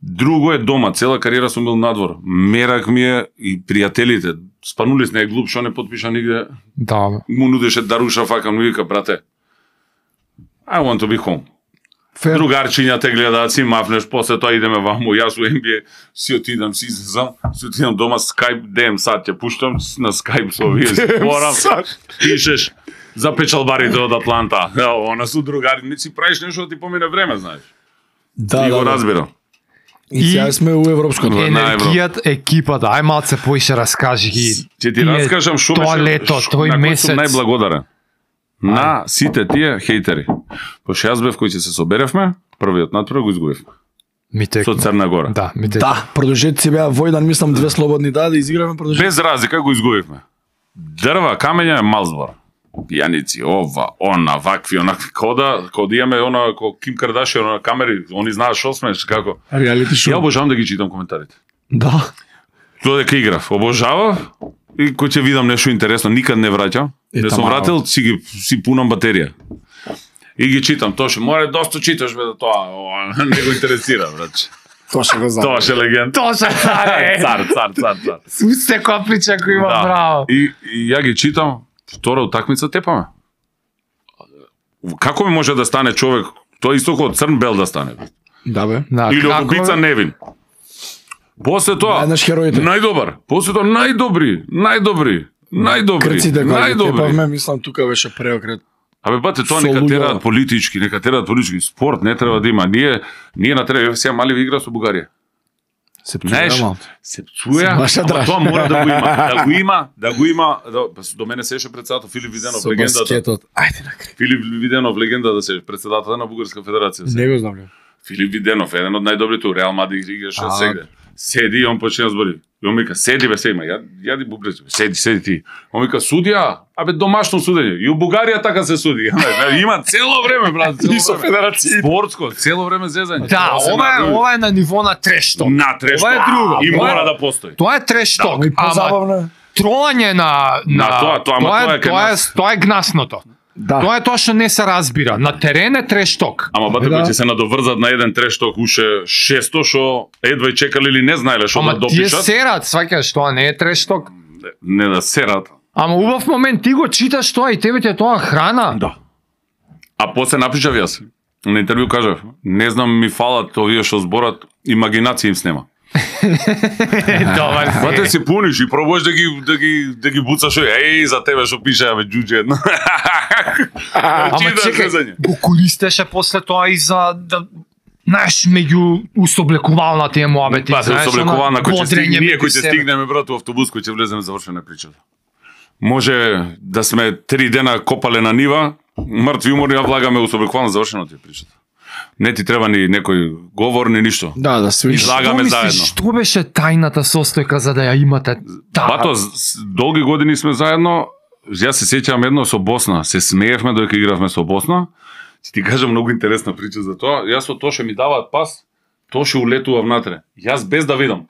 Speaker 1: Друго е дома, цела кариера сум бил надвор. Мерак ми е и пријателите. Спанулис не е глуп, што не потпиша нигде.
Speaker 3: Да. бе.
Speaker 1: Му нудеше Даруша факам, ми вика, брате, I want to be home.
Speaker 2: Фер.
Speaker 1: Другарчиња те гледаат, си мафнеш, после тоа идеме ваму, јас у Н Б А, си отидам, си излезам, си отидам дома, Skype, дем сат ќе пуштам, на Skype со овие зборам, пишеш, за печалбарите од Атланта, ево, она су другари, не си правиш нешто да ти помине време, знаеш.
Speaker 2: Да,
Speaker 1: И
Speaker 2: да,
Speaker 1: го
Speaker 2: да.
Speaker 1: разбирам.
Speaker 2: И сега сме у европското.
Speaker 1: Е, на
Speaker 3: Енергијата, екипата, ај малце поише раскажи ги.
Speaker 1: Ќе ти
Speaker 3: Тие
Speaker 1: раскажам што
Speaker 3: тоа
Speaker 1: беше,
Speaker 3: лето,
Speaker 1: што-
Speaker 3: тој
Speaker 1: на кој
Speaker 3: месец.
Speaker 1: сум најблагодарен. На сите тие хейтери. Пошто јас бев кој ќе се соберевме, првиот натпрев го изгубивме.
Speaker 3: Ми текна.
Speaker 1: Со Црна Гора.
Speaker 3: Да, ми текна.
Speaker 2: Да, продолжете си беа Војдан, мислам две слободни да да изиграме продолжете.
Speaker 1: Без разлика го изгубивме. Дрва, камења е мал збор. Пијаници, ова, она, вакви, онакви, кода, кода имаме она, ко Ким Кардашиан, она камери, они знаат што сме, како.
Speaker 2: Реалити
Speaker 1: Ја
Speaker 2: шоу.
Speaker 1: обожавам да ги читам коментарите.
Speaker 2: Да.
Speaker 1: Тоа дека играв, обожавав и кој ќе видам нешто интересно, никад не враќам.
Speaker 2: Е,
Speaker 1: Не сум
Speaker 2: тамаро.
Speaker 1: вратил, си ги си пунам батерија. И ги читам, тоа ше, море доста читаш бе да тоа, ова, не го интересира, братче.
Speaker 2: Тоа ќе го знам.
Speaker 1: Тоа ше легенда.
Speaker 3: Тоа се царе.
Speaker 1: Цар, цар, цар, цар.
Speaker 3: Секоја прича која има браво.
Speaker 1: И, и ја ги читам, втора утакмица тепаме. Како ми може да стане човек, тоа исто како Црн Бел да стане? бе?
Speaker 2: Да бе.
Speaker 3: Да,
Speaker 1: Или од
Speaker 3: како-
Speaker 1: убица Невин. После тоа,
Speaker 2: Еднаш хероите.
Speaker 1: најдобар. После тоа најдобри, најдобри, најдобри,
Speaker 2: Крците кога ги
Speaker 1: најдобри.
Speaker 2: тепавме, мислам тука беше преокрет.
Speaker 1: Абе бате, тоа
Speaker 2: Со
Speaker 1: нека
Speaker 2: луѓе.
Speaker 1: тераат политички, нека тераат политички. Спорт не треба да има. Ние ние на треба сега мали игра со Бугарија.
Speaker 2: Се
Speaker 1: Знаеш,
Speaker 2: пцуја
Speaker 1: се пцуја,
Speaker 2: Се баша
Speaker 1: ама
Speaker 2: драж.
Speaker 1: тоа мора да го има. Да го има, да го има. Да, до мене сеше председател Филип Виденов,
Speaker 2: Со
Speaker 1: легендата.
Speaker 2: баскетот. Ајде на крај.
Speaker 1: Филип Виденов, легенда да се председател на Бугарска федерација.
Speaker 2: Не го знам.
Speaker 1: Филип Виденов, еден од најдобрите у Реал Мадрид играше
Speaker 2: А.
Speaker 1: сегде. Седи и он почне да збори. И он вика, седи бе, седи, ја, јади бубрез, седи, седи ти. Он вика, судија, абе домашно судење. И у Бугарија така се суди. Има цело време, брат, цело
Speaker 2: И со
Speaker 1: време.
Speaker 2: федерација.
Speaker 1: Спортско, цело време зезање.
Speaker 3: Да,
Speaker 1: Тоа се
Speaker 3: ова е,
Speaker 1: направи.
Speaker 3: ова е на ниво на трешток.
Speaker 1: На трешто.
Speaker 3: Ова е друго.
Speaker 1: И
Speaker 3: Ова е-
Speaker 1: мора да постои.
Speaker 3: Тоа е трешток.
Speaker 2: Ама и позабавно.
Speaker 3: троање на на
Speaker 1: На тоа, тоа, ама
Speaker 3: тоа,
Speaker 1: тоа
Speaker 3: е
Speaker 1: е кај
Speaker 3: тоа е
Speaker 1: нас.
Speaker 3: тоа е гнасното.
Speaker 2: Да.
Speaker 3: Тоа е тоа што не се разбира. На терен е трешток.
Speaker 1: Ама бате
Speaker 2: Да.
Speaker 1: кои ќе се надоврзат на еден трешток уше шесто што едва и чекале или не знаеле што да
Speaker 3: Ама тие
Speaker 1: допишат.
Speaker 3: серат, сваќаш, тоа не е трешток.
Speaker 1: Не да серат.
Speaker 3: Ама убав момент ти го читаш тоа и тебе ти е тоа храна.
Speaker 1: Да. А после напишав јас. На интервју кажав, не знам ми фалат овие што зборат, имагинација им снема.
Speaker 3: Добар си.
Speaker 1: Бате си пуниш и пробуваш да ги да ги да ги буцаш, еј за тебе што пише бе џуџе едно.
Speaker 3: Ама
Speaker 1: Читаш
Speaker 3: чекај,
Speaker 1: зезање.
Speaker 3: го користеше после тоа и за да знаеш, меѓу усоблекувална тие муабети,
Speaker 1: Па се
Speaker 3: знаеш,
Speaker 1: соблекувана кој ќе
Speaker 3: бодрење
Speaker 1: стигне, ние
Speaker 3: меѓу
Speaker 1: кои ќе
Speaker 3: себе.
Speaker 1: стигнеме брат во автобус кој ќе влеземе завршена причата. Може да сме три дена копале на нива, Мртви умор, ја влагаме у собеквално завршено ти причата. Не ти треба ни некој говор, ни ништо.
Speaker 2: Да, да се
Speaker 1: излагаме заедно.
Speaker 3: Што беше тајната состојка за да ја имате? Та...
Speaker 1: Бато, долги години сме заедно. Јас се сеќавам едно со Босна. Се смеевме додека игравме со Босна. Ти ти кажам многу интересна прича за тоа. Јас со Тоше ми даваат пас, Тоше улетува внатре. Јас без да видам.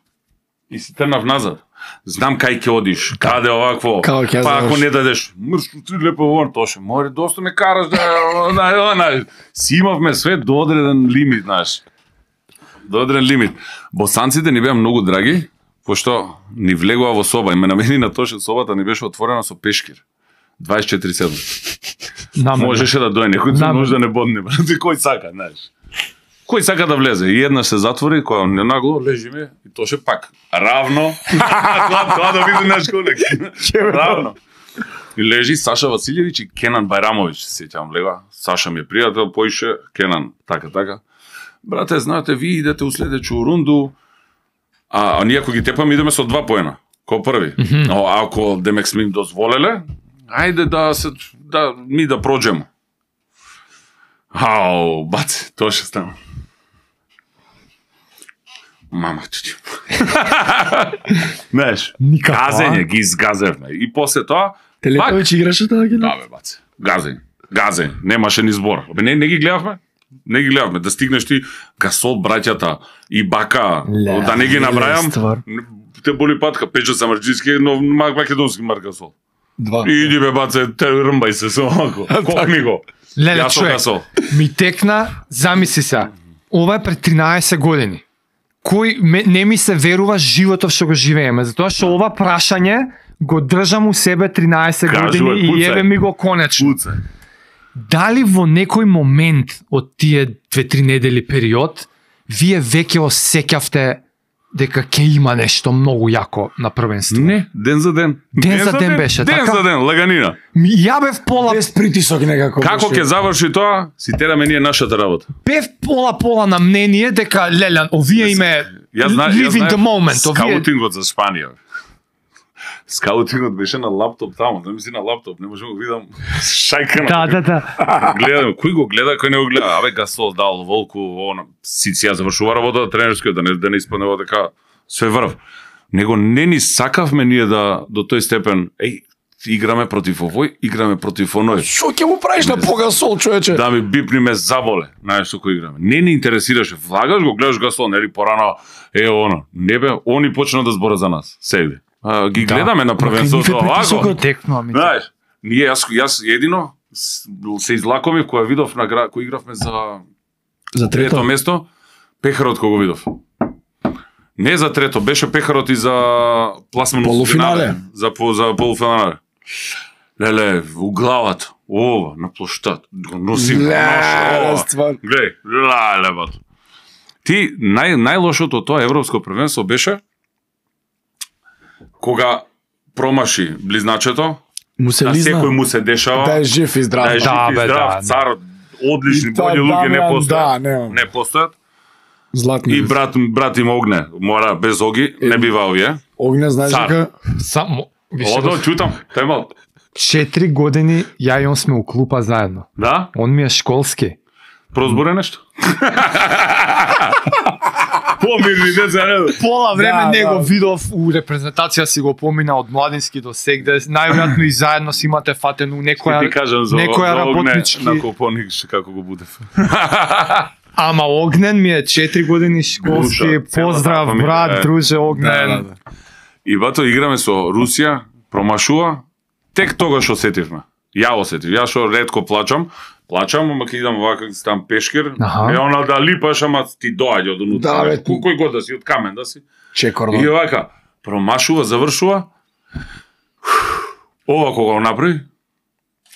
Speaker 1: И си трнав назад. Знам кај ќе одиш, каде овакво. Па ако не дадеш, мрш, ти лепо вон, Тоше, море, доста ме караш да, да, да, си имавме све до одреден лимит, знаеш. До одреден лимит. Босанците ни беа многу драги, пошто ни влегува во соба и ме намени на Тоше собата ни беше отворена со пешкир. дваесет и четири седум. Можеше да дојде некој, може да не бодне, брате, кој сака, знаеш. Кој сака да влезе? И една се затвори, која не нагло лежиме и Тоше пак равно. тоа, тоа да биде наш колег. Равно. И лежи Саша Василјевиќ и Кенан Бајрамовиќ, се сеќавам лега. Саша ми е пријател, поише Кенан, така така. Брате, знаете, ви идете у следеќу рунду, а, а ние ако ги тепаме идеме со два поена, кој први. Mm -hmm. Но ако демек сме им дозволеле, ајде да се да ми да проđемо. Ау, баце, тоа ще стана. Мама, чучу. Знаеш, газење, ги изгазевме. И после тоа...
Speaker 2: Телетович играше таа ги?
Speaker 1: Да, бе, баце. Газење. Газење. Немаше ни збор. Бе, не, не ги гледавме? Не ги гледавме. Да стигнеш ти Гасол, браќата и Бака, Ле, да не ги набрајам, те боли патка. Печо Самарджиски, но македонски Марк Гасол.
Speaker 2: Два.
Speaker 1: Иди бе, баце, те рмбај се со око. Кокни го.
Speaker 3: Леле, човек, ми текна, замисли се, ова е пред тринаесет години. Кој ме, не ми се верува животов што го живееме, затоа што ова прашање го држам у себе тринаесет години и еве ми го конечно.
Speaker 1: Пуцај.
Speaker 3: Дали во некој момент од тие две-три недели период, вие веќе осеќавте дека ќе има нешто многу јако на првенство?
Speaker 1: Не, ден за ден.
Speaker 3: Ден, ден за ден, ден беше,
Speaker 1: ден
Speaker 3: така?
Speaker 1: за ден, лаганина.
Speaker 3: Ја бев пола...
Speaker 2: Без притисок некако.
Speaker 1: Како ќе заврши тоа, си тераме ние нашата работа.
Speaker 3: Бев пола-пола на мнение дека, леле, овие име live in the moment.
Speaker 1: Скаутингот за Шпанија. Скаутингот беше на лаптоп таму, да мисли на лаптоп, не можам да видам шајка на.
Speaker 3: Да, да, да.
Speaker 1: Гледам, кој го гледа, кој не го гледа. Абе Гасол дал Волку, она си си ја завршува работа тренерска, да не да не испадне дека све врв. Него не ни сакавме ние да до тој степен, еј, играме против овој, играме против оној.
Speaker 2: Што ќе му правиш на по Гасол, човече?
Speaker 1: Да ми бипни ме заболе, знаеш со кој играме. Не ни интересираше, влагаш го, гледаш Гасол, нели порано, е оно. Не бе, они почна да збора за нас, сегде. А, ги гледаме да. На првенството овако. Знаеш, ние јас јас едино се излакомив кога видов на кој игравме за
Speaker 2: за трето,
Speaker 1: трето место, пехарот кога го видов. Не за трето, беше пехарот и за пласмано
Speaker 2: полуфинале.
Speaker 1: За за полуфинале. Леле, у главата, ова на плоштад, го носим. Глеј, леле бат. Ти нај најлошото тоа европско првенство беше кога промаши близначето, му се на секој му се дешава,
Speaker 2: да е жив и здрав,
Speaker 1: да е жив
Speaker 3: да,
Speaker 1: и
Speaker 3: бе,
Speaker 1: здрав,
Speaker 3: да,
Speaker 1: цар, одлични, бољи луѓе не постојат, да, не, не постојат.
Speaker 2: Златни.
Speaker 1: И брат, брат им Огне, мора без Оги, е, не бива овие.
Speaker 2: Огне, знаеш дека?
Speaker 3: Само,
Speaker 1: Одо, чутам, темал.
Speaker 3: Четири години ја и он сме у клупа заедно.
Speaker 1: Да?
Speaker 3: Он ми е школски.
Speaker 1: Прозборе нешто? Помирни, не за редо.
Speaker 3: Пола време
Speaker 2: да,
Speaker 3: него
Speaker 2: да.
Speaker 3: видов у репрезентација си го помина од младински до сегде. Најверојатно и заедно си имате фатено некоја
Speaker 1: ти кажам за,
Speaker 3: некоја
Speaker 1: за
Speaker 3: работнички.
Speaker 1: Огне, на Копоник како го будев.
Speaker 3: Ама Огнен ми е четири години школски.
Speaker 1: Душа,
Speaker 3: поздрав
Speaker 1: фамилија,
Speaker 3: брат,
Speaker 1: е.
Speaker 3: друже Огнен.
Speaker 2: Да, да, да.
Speaker 1: И бато играме со Русија, промашува, тек тогаш осетивме. Ја осетив, ја што ретко плачам, плачам, ама ќе идам вака там пешкир,
Speaker 3: Аха.
Speaker 1: и она да липаш, ама ти доаѓа од унутра.
Speaker 2: Да, бе,
Speaker 1: Кој кој год да си, од камен да си.
Speaker 2: Чекордон.
Speaker 1: И вака, промашува, завршува, ова кога го направи,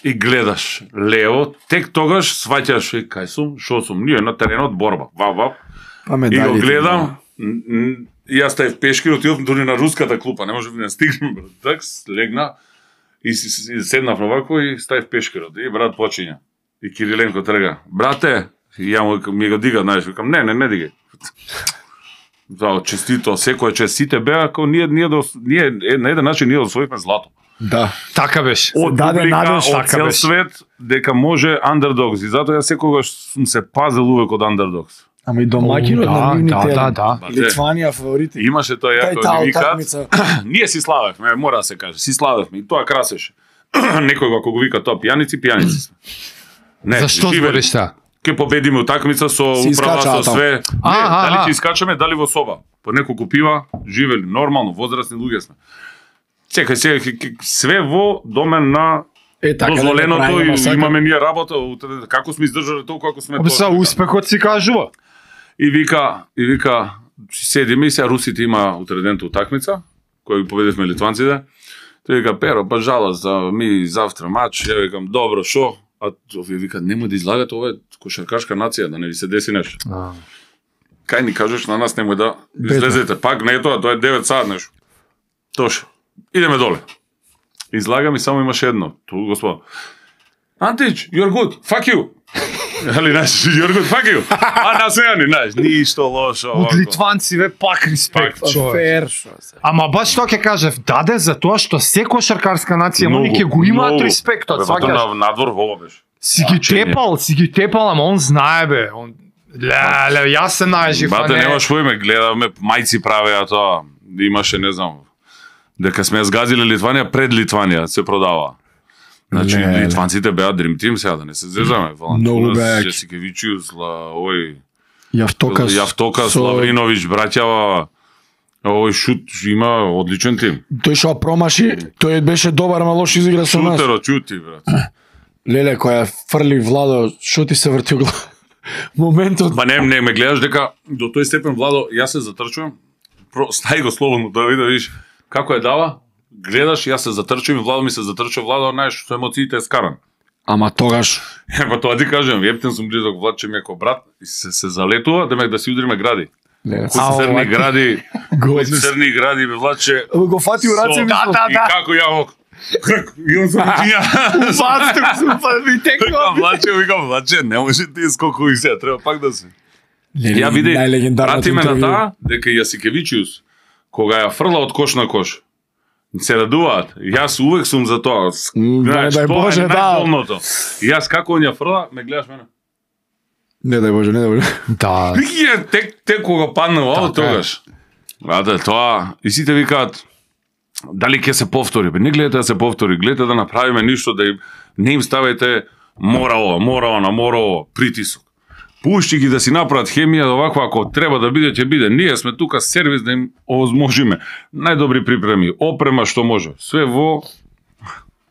Speaker 1: и гледаш лево, тек тогаш сваќаш, и кај сум, шо сум, ние на теренот борба, вап, вап,
Speaker 2: Па
Speaker 1: и
Speaker 2: медалите,
Speaker 1: го гледам, н- н- и јас стаев пешкир, отидов дури на руската клупа, не може да не стигнем, брат, так, легна, и, си- си- седнав навако и стаев пешкирот, и брат почиња. И Кириленко трга, брате, и ја му, ми го дига, знаеш, викам, не, не, не дигај. За честито, секој чест, сите беа како ние ние до ние на еден начин ние освоивме злато.
Speaker 2: Да.
Speaker 3: Така беше.
Speaker 2: Од даде надеж,
Speaker 1: од
Speaker 2: така
Speaker 1: цел
Speaker 2: беше.
Speaker 1: свет дека може андердогс и затоа јас секогаш сум се пазел увек од андердогс.
Speaker 2: Ама и домаќинот
Speaker 3: О,
Speaker 2: на
Speaker 3: да,
Speaker 2: нивните
Speaker 3: да, да.
Speaker 2: Литванија фаворити.
Speaker 1: Имаше тоа
Speaker 2: Тај
Speaker 1: јако
Speaker 2: таа
Speaker 1: ни викаат.
Speaker 2: утакмица.
Speaker 1: Ние си славевме, мора да се каже, си славевме и тоа красеше. Некој ако го вика тоа пијаници, пијаници сме. Не,
Speaker 3: Зашто
Speaker 1: живе-
Speaker 3: збориш тоа?
Speaker 1: Ке победиме утакмица со
Speaker 2: Си
Speaker 1: управа
Speaker 2: искачаа
Speaker 1: со
Speaker 2: таму.
Speaker 1: све. Не,
Speaker 3: А, а,
Speaker 1: дали
Speaker 3: а.
Speaker 1: ќе искачаме, дали во соба. По неколку пива, живели нормално, возрастни луѓе сме. Чекај, сега ќе- ќе- све во домен на
Speaker 2: Е, така да не
Speaker 1: дозволеното
Speaker 2: правиме
Speaker 1: и
Speaker 2: масакр.
Speaker 1: имаме ние работа, утре- како сме издржале толку како сме
Speaker 3: Обе са успехот си кажува.
Speaker 1: И вика, и вика, седиме и сега русите има утредента утакмица, која ги победивме литванците. Тој вика, Перо, па жалост, за ми завтра мач, ја викам, добро, шо? А овие вика, немој да излагате, ова е кошаркашка нација, да не ви се деси нешто. Кај ни кажеш на нас немој да излезете, пак не е тоа, тоа е девет саат нешто. Тош, идеме доле. Излагам и само имаше едно, ту господа. Антич, you're good, fuck you. Али, знаеш, you're good, fuck you. А, насејани, знаеш, ништо лошо.
Speaker 3: Од
Speaker 1: овако.
Speaker 3: литванци ве пак респект,
Speaker 1: Пак,
Speaker 3: човек.
Speaker 2: Фер, шо се.
Speaker 3: Ама баш тоа ќе кажев, даде за тоа што секоја шаркарска нација
Speaker 1: Многу,
Speaker 3: они ќе го имаат
Speaker 1: многу.
Speaker 3: респектот,
Speaker 1: Бе, па тоа
Speaker 3: сваќаш.
Speaker 1: на надвор во беше.
Speaker 3: Си ги
Speaker 1: Значење.
Speaker 3: тепал, си ги тепал, ама он знае бе. Он ле, ле, јас се најжив, а
Speaker 1: Бате,
Speaker 3: не.
Speaker 1: немаш во име, гледавме, мајци правеа тоа. Имаше, не знам, дека сме ја згазиле Литванија, пред Литванија се продава. Значи,
Speaker 2: Не, не.
Speaker 1: литванците беа Dream Team сега, да не се зезаме.
Speaker 2: Многу беа јаки.
Speaker 1: Джесикевичиус, ла, ој,
Speaker 2: Јавтокас.
Speaker 1: Јавтокас,
Speaker 2: со-
Speaker 1: Лавриновиќ, браќава, овој шут има одличен тим.
Speaker 2: Тој што промаши, тој беше добар, ама лош изигра со нас.
Speaker 1: Шутеро, чути, брат.
Speaker 2: Леле, која фрли Владо, што ти се врти у глава? Моментот.
Speaker 1: Ба не, не, ме гледаш дека до тој степен, Владо, јас се затрчувам, про, стај го слободно да види, да видиш како е дава, гледаш, јас се затрчувам и Владо ми се затрчува, Владо, знаеш, со емоциите е скаран.
Speaker 2: Ама тогаш,
Speaker 1: Ева тоа ти кажам, ептен сум близок, Влад че ми е ко брат и се, се залетува, демек да си удриме гради.
Speaker 2: леле,
Speaker 1: Кои црни гради, кои
Speaker 2: Годни се.
Speaker 1: црни гради, бе, Влад че...
Speaker 2: го фати у раце
Speaker 1: Со-
Speaker 2: ми.
Speaker 3: Да, да,
Speaker 1: И
Speaker 3: да.
Speaker 1: како ја во... И он се вичиња.
Speaker 3: Бацтук супа ми
Speaker 1: Викам,
Speaker 3: текла.
Speaker 1: Владче, викам, Владче, не може ти скоку и сега, треба пак да се.
Speaker 2: Леле,
Speaker 1: Ја види,
Speaker 2: најлегендарното
Speaker 1: прати ме на
Speaker 2: интервју.
Speaker 1: таа, дека Јасикевичиус, кога ја фрла од кош на кош, се радуваат. Јас увек сум за тоа.
Speaker 2: М, да,
Speaker 1: Знаеш,
Speaker 2: дај
Speaker 1: тоа
Speaker 2: Боже,
Speaker 1: е
Speaker 2: да.
Speaker 1: најболното. Јас како он ја фрла, ме гледаш мене.
Speaker 2: Не дај Боже, не дај Боже.
Speaker 3: Да.
Speaker 1: Вики е тек тек кога падна во
Speaker 3: Така е.
Speaker 1: тогаш. А да тоа и сите викаат дали ќе се повтори, бе не гледате да се повтори, гледате да направиме ништо да им не им ставите мора ова, мора она, мора ова, притисок. Пушти ги да си направат хемија, оваква ако треба да биде ќе биде. Ние сме тука сервис да им овозможиме најдобри припреми, опрема што може. Све во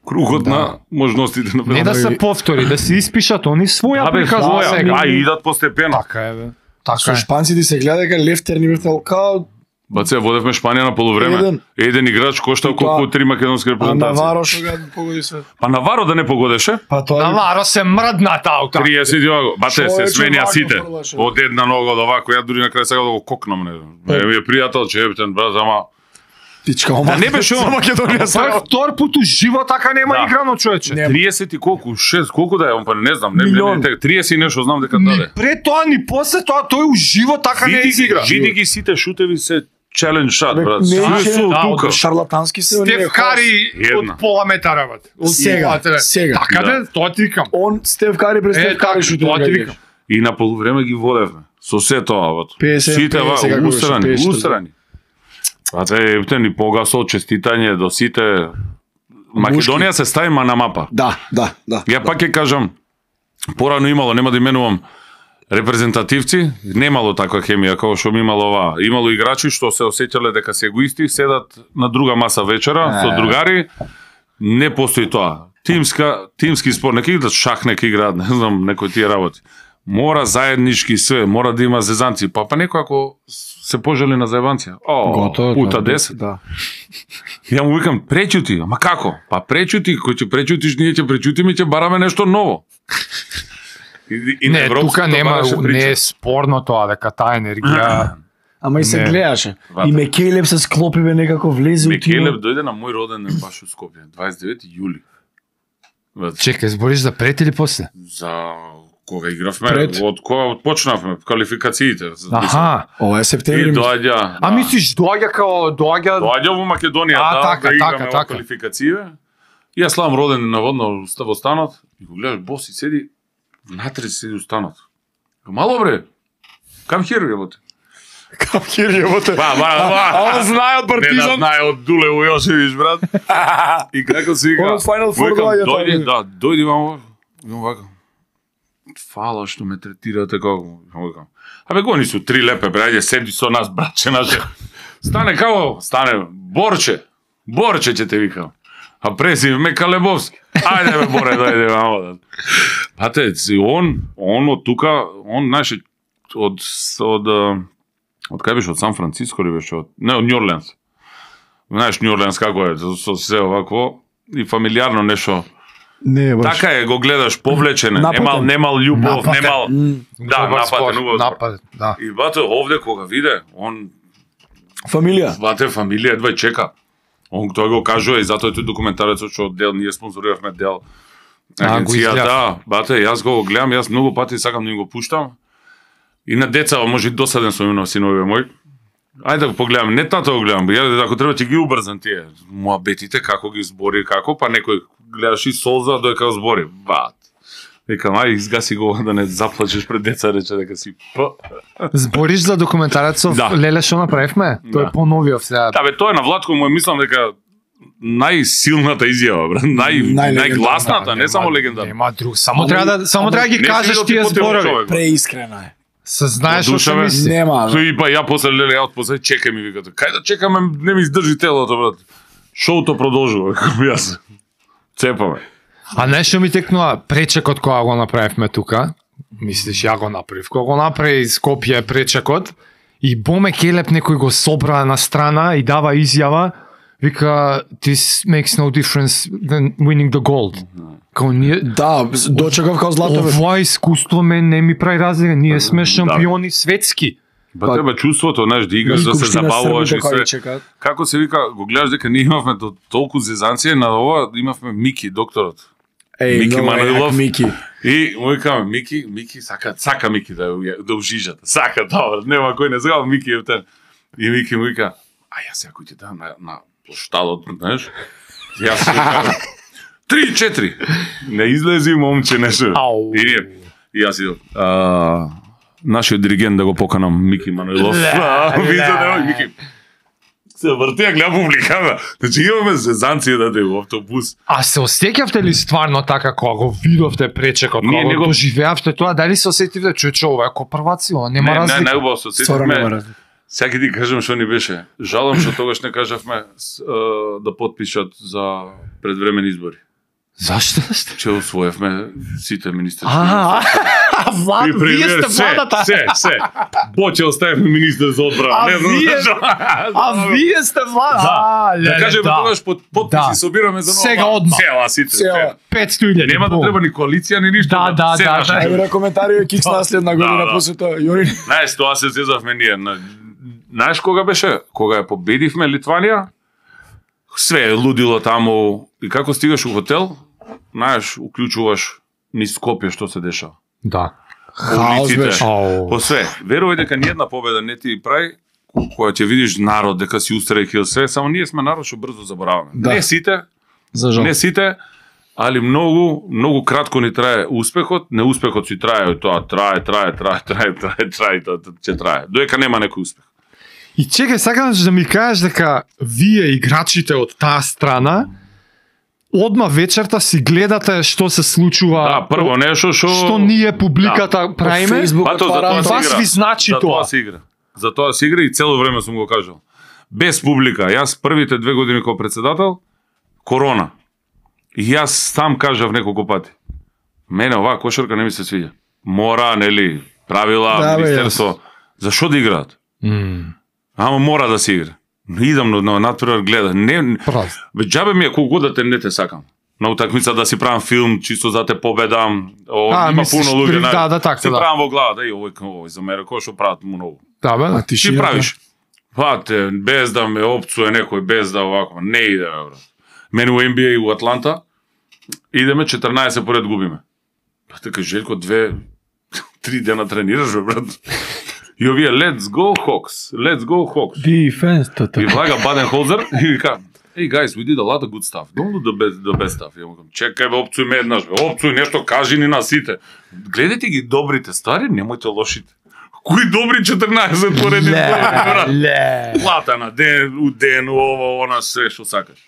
Speaker 1: кругот
Speaker 2: Да.
Speaker 1: на можностите на
Speaker 3: Не да се повтори, да се испишат они своја
Speaker 1: Абе,
Speaker 3: приказна
Speaker 1: своја,
Speaker 3: сега.
Speaker 1: а и идат постепено.
Speaker 3: Така е, бе. Така
Speaker 2: Со
Speaker 3: е.
Speaker 2: шпанците се гледа дека Лев Тернивиртел као
Speaker 1: Баце, водевме Шпанија на полувреме.
Speaker 2: Еден.
Speaker 1: Еден играч коштал
Speaker 2: И
Speaker 1: колку
Speaker 2: тоа-
Speaker 1: три македонски
Speaker 2: а
Speaker 1: репрезентации.
Speaker 2: Наваро што го погоди све.
Speaker 1: Па Наваро да не погодеше?
Speaker 2: Па тоа
Speaker 3: Наваро се мрдна таута.
Speaker 1: триесет и овако. Бате, се
Speaker 2: Човече,
Speaker 1: сменија
Speaker 2: вако
Speaker 1: сите.
Speaker 2: фрлаше.
Speaker 1: Од една нога до овако, ја дури на крај сега да го кокнам, не знам. Ме ми е пријател, че ептен, брат, ама...
Speaker 2: Тичка, ама
Speaker 1: Да не беше он.
Speaker 2: Македонија
Speaker 3: Тоа
Speaker 2: се.
Speaker 3: е втор пут у живот така нема
Speaker 1: Да.
Speaker 3: играно, човече.
Speaker 2: Не.
Speaker 1: триесет и колку, шест, колку да е, он па не знам, не
Speaker 2: Милион.
Speaker 1: не, триесет и нешто знам дека
Speaker 3: Ни
Speaker 1: даде.
Speaker 3: пред тоа, ни после тоа, тој у живот така не
Speaker 1: Види ги,
Speaker 3: изигра.
Speaker 1: види ги сите шутеви се challenge shot,
Speaker 2: Бе,
Speaker 1: брат.
Speaker 2: не
Speaker 1: Све
Speaker 2: ише-
Speaker 1: се од
Speaker 3: да,
Speaker 1: тука.
Speaker 3: од
Speaker 2: Шарлатански се. оние
Speaker 3: Стеф Кари
Speaker 1: Една.
Speaker 3: од пола метара, бат. Од
Speaker 2: Сега,
Speaker 3: пола,
Speaker 2: сега.
Speaker 3: Така
Speaker 1: Да.
Speaker 3: де, тоа ти викам.
Speaker 2: Он Стеф Кари пред
Speaker 3: Е,
Speaker 2: Стеф
Speaker 3: така,
Speaker 2: Кари шутира.
Speaker 3: тоа ти
Speaker 2: ги
Speaker 3: викам.
Speaker 1: И на полувреме ги водевме. Со се тоа, бат.
Speaker 2: песет,
Speaker 1: Сите ва,
Speaker 2: песет, како беше,
Speaker 1: устрани,
Speaker 2: песет,
Speaker 1: устрани. А те, ептен, и погасо, честитање до сите. Македонија се стави на мапа.
Speaker 2: Да, да, да.
Speaker 1: Ја пак ќе кажам, порано имало, нема да именувам репрезентативци, немало таква хемија како што ми имало ова. Имало играчи што се осеќале дека се егоисти, седат на друга маса вечера со другари. Не постои тоа. Тимска, тимски спорт, нека играат шах, нека играат, не знам, некои тие работи. Мора заеднички све, мора да има зезанци. Па па некој ако се пожели на заебанција. О,
Speaker 2: Готово,
Speaker 1: пута
Speaker 2: да,
Speaker 1: десет.
Speaker 2: Да.
Speaker 1: Ја му викам, пречути, ама како? Па пречути, кој ќе пречутиш, ние ќе пречутиме и ќе бараме нешто ново. И, и на
Speaker 3: Не,
Speaker 1: европското
Speaker 3: тука нема,
Speaker 1: бараше
Speaker 3: не
Speaker 1: прича.
Speaker 3: е спорно тоа дека таа енергија.
Speaker 2: Ама и се
Speaker 3: Не.
Speaker 2: гледаше.
Speaker 1: Вата.
Speaker 2: И Мекелеб се склопи бе некако влезе у
Speaker 1: Мекелеб дојде на мој роден ден баш од Скопје, дваесет и девети јули. Ват,
Speaker 3: Чекај, збориш за пред или после?
Speaker 1: За кога игравме,
Speaker 2: Пред?
Speaker 1: од кога почнавме квалификациите.
Speaker 3: Аха.
Speaker 2: Ова е
Speaker 1: И
Speaker 2: септември.
Speaker 1: доаѓа.
Speaker 3: А мислиш доаѓа као доаѓа
Speaker 1: Доаѓа во Македонија,
Speaker 3: А,
Speaker 1: да,
Speaker 3: така,
Speaker 1: да играме
Speaker 3: така,
Speaker 1: во
Speaker 3: така.
Speaker 1: квалификација. И јас славам роден наводно во станот и го гледаш бос и седи внатре седи у станот. Мало бре. Кам хир јebote.
Speaker 2: Кам хир јebote.
Speaker 1: Ба, ба, ба.
Speaker 2: А он знае од
Speaker 1: Не да
Speaker 2: Партизан.
Speaker 1: знае од Дулево Јошевич, брат. И како се вика?
Speaker 2: Он од Final Four
Speaker 1: Викам,
Speaker 2: доаѓа
Speaker 1: дојди,
Speaker 2: таму.
Speaker 1: да, дојди вамо. Викам вака. Фала што ме третирате како. Викам. Абе гони су три лепе, бре, ајде седи со нас, братче наше. Стане како? Стане Борче. Борче ќе те викам. А презив ме Калебовски. Ајде бе Боре, дојде вамо. Бате, си он, он од тука, он знаеш од од од кај беше од Сан Франциско ли беше од не од Нью Орлеанс. Знаеш Нью Орлеанс како е, со се овакво и фамилиарно нешто.
Speaker 2: Не, баш.
Speaker 1: Така е, го гледаш повлечен,
Speaker 2: Нападен.
Speaker 1: немал немал љубов,
Speaker 3: Нападен.
Speaker 1: немал да,
Speaker 3: Добар спорт,
Speaker 1: нападен, убав спорт.
Speaker 3: напад, да.
Speaker 1: И бате овде кога виде, он
Speaker 2: Фамилија.
Speaker 1: бате фамилија едва чека. Он тој го кажува и затоа е тој документарецот што дел ние спонзориравме дел
Speaker 3: А, го изгледав.
Speaker 1: агенцијата. Бате, јас го гледам, јас многу пати сакам да им го пуштам. И на деца, може и досаден сум на синове мој. Ајде да го погледам, не тато го гледам, ја ако треба ќе ги убрзам тие муабетите како ги збори како, па некој гледаш и солза додека збори. Бат. Викам, ај изгаси го да не заплачеш пред деца, рече дека си п.
Speaker 3: Збориш за документарецов
Speaker 1: Да.
Speaker 3: Леле што направивме? Тој
Speaker 1: Да.
Speaker 3: е поновиов сега.
Speaker 1: Да бе, тоа е на Владко, му мислам дека најсилната изјава, брат, нај
Speaker 2: Најлегендарна,
Speaker 1: најгласната,
Speaker 3: Да,
Speaker 1: не
Speaker 3: нема-
Speaker 1: само легендарна.
Speaker 3: Нема друг, само
Speaker 2: Ама-
Speaker 3: треба да само
Speaker 2: ама
Speaker 3: треба да ги
Speaker 1: не си
Speaker 3: кажеш
Speaker 1: видел
Speaker 3: тие
Speaker 1: ти потело
Speaker 3: зборови.
Speaker 1: човек.
Speaker 2: Преискрена е.
Speaker 3: Се знаеш
Speaker 1: Од
Speaker 3: што се
Speaker 1: душа, бе.
Speaker 3: мисли.
Speaker 2: Нема.
Speaker 1: Тој и па ја после леле ја од после чекај ми викате. Кај да чекаме, не ми издржи телото, брат. Шоуто продолжува, како јас. Цепаме.
Speaker 3: А нешто ми текнува пречекот кога го направивме тука. Мислиш ја го направив. Кога го направи Скопје пречекот и Боме Келеп некој го собра на страна и дава изјава, вика this makes no difference than winning the gold. Као ние
Speaker 2: Да, дочекав као злато бе.
Speaker 3: ова искуство мен не ми прави разлика, ние сме шампиони светски.
Speaker 1: Ба тебе чувството, знаеш, да играш, да се забавуваш и се.
Speaker 2: чекаат.
Speaker 1: Како се вика, го гледаш дека ние имавме до толку зезанција на ова, имавме Мики, докторот.
Speaker 2: Еј,
Speaker 1: Мики
Speaker 2: много
Speaker 1: Маноилов.
Speaker 2: јак Мики.
Speaker 1: И му викаме, Мики, Мики сака, сака Мики да ја- да ужижат. Сака тоа, нема кој не знае Мики е тен. И Мики му вика, а јас сега кој ти дам на на плоштадот, знаеш? Јас викам, три четири. Не излези момче нешто.
Speaker 3: Ау.
Speaker 1: И ние, и јас идам. А, нашиот диригент да го поканам Мики Маноилов.
Speaker 3: Ле,
Speaker 1: Видите
Speaker 3: ле.
Speaker 1: да Мики. Се врти ја гледа публиката. Значи имаме зезанција да во автобус.
Speaker 3: А се осеќавте ли стварно така кога го видовте пречекот,
Speaker 1: Ние
Speaker 3: кога
Speaker 1: не
Speaker 3: го
Speaker 1: го-
Speaker 3: доживеавте тоа, дали се осетивте чуче ова е ко прваци, ова нема
Speaker 1: Не, не,
Speaker 3: разлика.
Speaker 1: најубаво се
Speaker 2: Стварно нема
Speaker 1: сетивме.
Speaker 2: разлика.
Speaker 1: Сега ќе ти кажам што ни беше. Жалам што тогаш не кажавме с, е, да потпишат за предвремени избори.
Speaker 3: Зашто?
Speaker 1: Че усвоевме сите министерски.
Speaker 3: А, Влад, вие сте
Speaker 1: се,
Speaker 3: владата.
Speaker 1: се, се. Боќе оставивме министер за одбрана.
Speaker 3: А
Speaker 1: Не знам
Speaker 3: вие-
Speaker 1: зашо.
Speaker 3: А вие сте влада.
Speaker 1: Да.
Speaker 3: А,
Speaker 1: Да
Speaker 3: леле,
Speaker 1: кажеме тогаш под потписи
Speaker 3: Да.
Speaker 1: собираме за нова.
Speaker 3: Сега одма.
Speaker 1: Цела сите.
Speaker 2: Цела.
Speaker 1: цела.
Speaker 3: петстотини илјади.
Speaker 1: Нема да треба ни коалиција ни ништо.
Speaker 3: Да, да,
Speaker 1: се
Speaker 3: да,
Speaker 1: наше.
Speaker 3: да.
Speaker 2: Еј бре коментари е кикс наследна година
Speaker 1: да.
Speaker 2: после тоа. Јори.
Speaker 1: Знаеш, тоа се зезавме ние. На- Знаеш кога беше? Кога ја победивме Литванија, све е лудило таму. И како стигаш у хотел, знаеш, уклучуваш низ Скопје што се дешава.
Speaker 3: Да.
Speaker 2: Хаос
Speaker 1: улиците.
Speaker 2: беше.
Speaker 3: Ау.
Speaker 1: По све. Верувај дека ниедна победа не ти прави, ко- која ќе видиш народ, дека си устрекил све, само ние сме народ што брзо забораваме.
Speaker 2: Да.
Speaker 1: Не сите,
Speaker 2: За жал.
Speaker 1: не сите, али многу, многу кратко ни трае успехот, неуспехот си трае, и тоа трае, трае, трае, трае, трае, трае, и тоа ќе трае. Доека нема некој успех.
Speaker 3: И чекај, сакам да ми кажеш дека вие играчите од таа страна одма вечерта си гледате што се случува.
Speaker 1: Да, прво нешто што
Speaker 3: што ние публиката правиме.
Speaker 2: Фејсбук
Speaker 1: Па тоа, за
Speaker 2: отвара.
Speaker 1: тоа
Speaker 3: И
Speaker 1: се
Speaker 3: вас
Speaker 1: игра.
Speaker 3: ви значи
Speaker 1: За
Speaker 3: тоа.
Speaker 1: тоа се игра. За тоа се игра и цело време сум го кажал. Без публика, јас првите две години како председател, корона. И јас сам кажав неколку пати. Мене оваа кошарка не ми се свиѓа. Мора, нели, правила,
Speaker 2: Да, бе,
Speaker 1: министерство. Зашо да играат?
Speaker 3: М,
Speaker 1: Ама мора да се игра. Идам на, на натпревар гледа. Не,
Speaker 3: Прав.
Speaker 1: бе, џабе ми е колку год да те не те сакам. На утакмица да си правам филм, чисто за те победам. О,
Speaker 3: А,
Speaker 1: има
Speaker 3: мислиш,
Speaker 1: пуно луѓе,
Speaker 3: при-
Speaker 1: знаеш.
Speaker 3: да, да, така,
Speaker 1: си
Speaker 3: да.
Speaker 1: правам во глава, да и овој овој за мене кој што прават му многу.
Speaker 3: Да, бе.
Speaker 2: А ти
Speaker 1: Ти
Speaker 2: широко.
Speaker 1: правиш. Пате, без да ме опцуе некој, без да овако, не иде, бе, брат. Мене у Н Б А у Атланта идеме четрнаесет поред губиме. Па така Желко две Три дена тренираш, бе, брат. И овие, let's go Hawks, let's go Hawks.
Speaker 2: Defense,
Speaker 1: И влага Баденхолзер и вика, hey guys, we did a lot of good stuff. Don't do the best, the best stuff. И му кажам, чекај бе, опцуј ме еднаш, бе, опцуј нешто, кажи ни на сите. Гледајте ги добрите ствари, немојте лошите. Кои добри четрнаесет поредни брат?
Speaker 3: Ле.
Speaker 1: Плата на ден, у ден, ово, она, се што сакаш.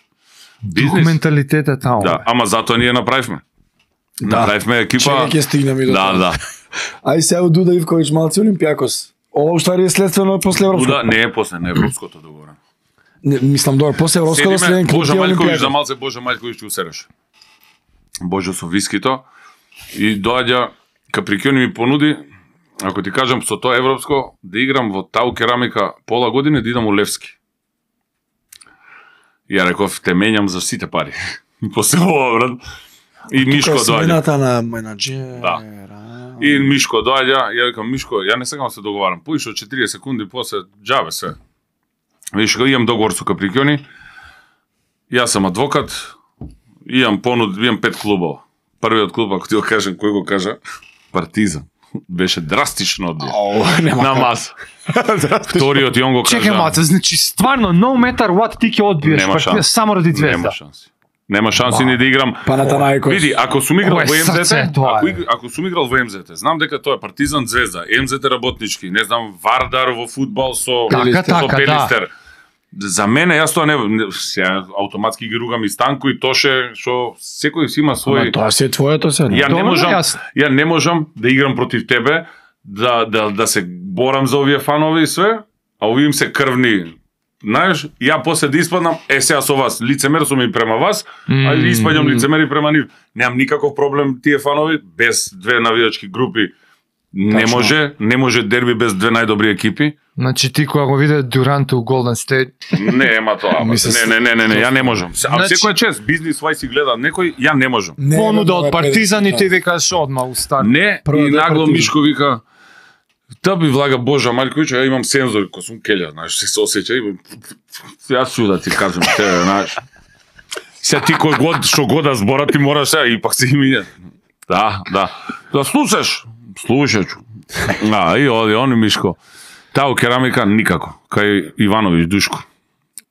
Speaker 3: Дух менталитет е таму.
Speaker 1: Да, ама затоа ние направивме.
Speaker 2: Да.
Speaker 1: Направивме екипа.
Speaker 2: Чека ќе стигнеме до
Speaker 1: Да,
Speaker 2: тоа.
Speaker 1: да.
Speaker 2: Ај сега Дуда Ивковиќ малци Олимпијакос. Ова уствари е следствено после Европско.
Speaker 1: Буда не е после, не е европското договорено.
Speaker 2: Не, мислам добро, после Европско да следен клуб
Speaker 1: Божа
Speaker 2: е
Speaker 1: Мајковиќ, за
Speaker 2: Олимпијакос.
Speaker 1: малце Божа Мајковиќ ќе усереше. Божо со вискито и доаѓа Каприкјони ми понуди, ако ти кажам со тоа европско, да играм во Тау Керамика пола година да идам у Левски. И ја реков, те менјам за сите пари. После ова, брат. И Мишко
Speaker 2: Тука е
Speaker 1: доаѓа.
Speaker 2: смената на менаџер.
Speaker 1: Да. И Мишко доаѓа, ја викам Мишко, ја не сакам да се договарам. Поише од четириесет секунди после џабе се. Виш, имам договор со Каприкјони. Јас сум адвокат. Имам понуд, имам пет клубова. Првиот клуб, ако ти го кажам, кој го кажа? Партизан. Беше драстично одбија.
Speaker 2: Ау, нема.
Speaker 1: На маса. Вториот и он го кажа.
Speaker 3: Чекај маца, значи стварно no matter what ти ќе одбиеш
Speaker 1: Нема
Speaker 3: партија
Speaker 1: шанс.
Speaker 3: само ради
Speaker 1: Нема
Speaker 3: Звезда.
Speaker 1: шанси. Нема шанси ни да играм.
Speaker 2: Панатанаикос.
Speaker 1: Види, ако сум играл
Speaker 3: Ова е
Speaker 1: во
Speaker 3: срце,
Speaker 1: ем зет,
Speaker 3: тоа
Speaker 1: ако,
Speaker 3: е.
Speaker 1: иг- ако сум играл во ем зет, знам дека тоа е Партизан Звезда, ем зет работнички, не знам, Вардар во фудбал со
Speaker 3: Така,
Speaker 1: со
Speaker 3: така, да.
Speaker 1: Пелистер. За мене јас тоа не, не сега автоматски ги ругам и Станко и Тоше, што секој си има
Speaker 2: Ама
Speaker 1: свој.
Speaker 2: тоа се е твоето се.
Speaker 1: Ја не
Speaker 3: Добро,
Speaker 1: можам,
Speaker 3: јас-
Speaker 1: ја не можам да играм против тебе, да да да се борам за овие фанови и све, а овие им се крвни. Знаеш, ја после да испаднам, е сега со вас, лицемер сум и према вас, а и испаѓам лицемери према нив. Немам никаков проблем тие фанови без две навијачки групи. Не
Speaker 2: Тачно.
Speaker 1: може, не може дерби без две најдобри екипи.
Speaker 3: Значи ти кога го виде Дюрант у Голден Стейт,
Speaker 1: Не, ема тоа.
Speaker 2: Ми се
Speaker 1: Не, не, не, не, не, ја не можам. А
Speaker 3: Значи-
Speaker 1: секој чест, бизнис вај си гледа некој, ја не можам.
Speaker 2: Не,
Speaker 3: понуда
Speaker 2: бе,
Speaker 3: од
Speaker 2: тоа е
Speaker 3: Партизан и
Speaker 2: петдесет,
Speaker 3: ти викаш одма у старт.
Speaker 1: Не,
Speaker 2: Прва
Speaker 1: и
Speaker 2: две
Speaker 1: нагло
Speaker 2: партиди.
Speaker 1: Мишко вика, та би влага Божа Мајковиќ, ја имам сензори, кој сум келја, знаеш, се осеќа, имам... Јас су да ти кажам, те, знаеш, се ти кој год, што год да збора, ти мораш сега, и пак се имиња. Да, да. Да слушаш? Слушаću. А, и оди, он и Мишко. Тау керамика никако, кај Ивановиќ Душко.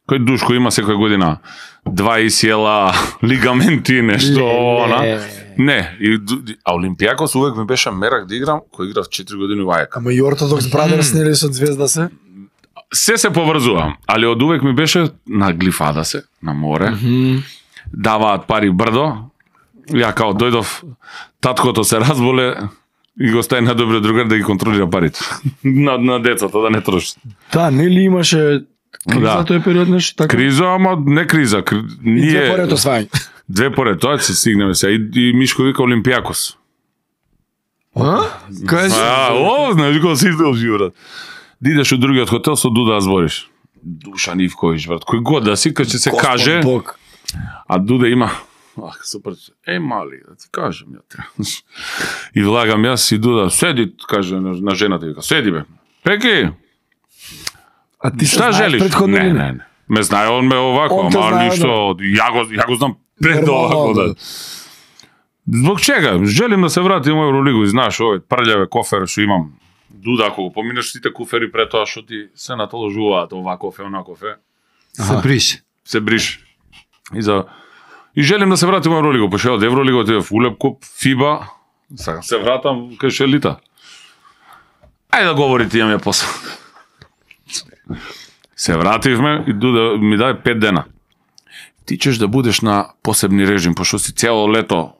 Speaker 1: Кој Душко има секоја година два исјела, лигаменти, нешто, она. Не, и, ду- а Олимпијакос увек ми беше мерак да играм, кој играв четири години во Ајака.
Speaker 2: Ама и Ортодокс Брадерс нели со Звезда се?
Speaker 1: Се се поврзувам, али од увек ми беше на глифада се, на море. Даваат пари брдо. Ја као дојдов, таткото се разболе и го стави на добриот другар да ги контролира парите. на, на децата, да не троши.
Speaker 2: Да, нели имаше криза
Speaker 1: Да.
Speaker 2: тој период нешто така?
Speaker 1: Криза, ама не криза. Кри...
Speaker 2: И
Speaker 1: Ние...
Speaker 2: две поред освајање.
Speaker 1: Две поред, тоа ќе се стигнеме сега. И, и Мишко вика Олимпијакос.
Speaker 3: А? Кажи.
Speaker 1: А, о, знаеш кој си издолжи, брат. Да идеш од другиот хотел со Дуда да збориш. Душан Ивковиќ, брат. Кој год да си, кога ќе се каже,
Speaker 2: Бог.
Speaker 1: а Дуда има... Ах, супер. Е, мали, да ти кажем, ја требаш. И влагам јас и Дуда, седи, каже на, на жената, вика, седи бе. Пеки,
Speaker 2: А ти се
Speaker 1: шта
Speaker 2: знаеш
Speaker 1: желиш?
Speaker 2: претходно
Speaker 1: Не,
Speaker 2: или
Speaker 1: не, не. Ме знае он ме овако,
Speaker 2: Он те
Speaker 1: ама
Speaker 2: знае,
Speaker 1: ништо, ја го, ја го знам пред овако, да. Због чега? Желим да се вратим во Евролигу и знаеш овој прљаве кофер што имам. Дуда, ако го поминеш сите куфери пред тоа што ти се натоложуваат ова кофе, она кофе,
Speaker 3: Се бриш.
Speaker 1: се бриш. И за и желим да се вратим во Евролигу, пошто од Евролига отидев Улеп куп, Фиба, сакам се вратам кај Шелита. Ајде да говорите имаме после. Се вративме и Дуда ми даде пет дена. Ти ćeš да будеш на посебни режим, пошто си цело лето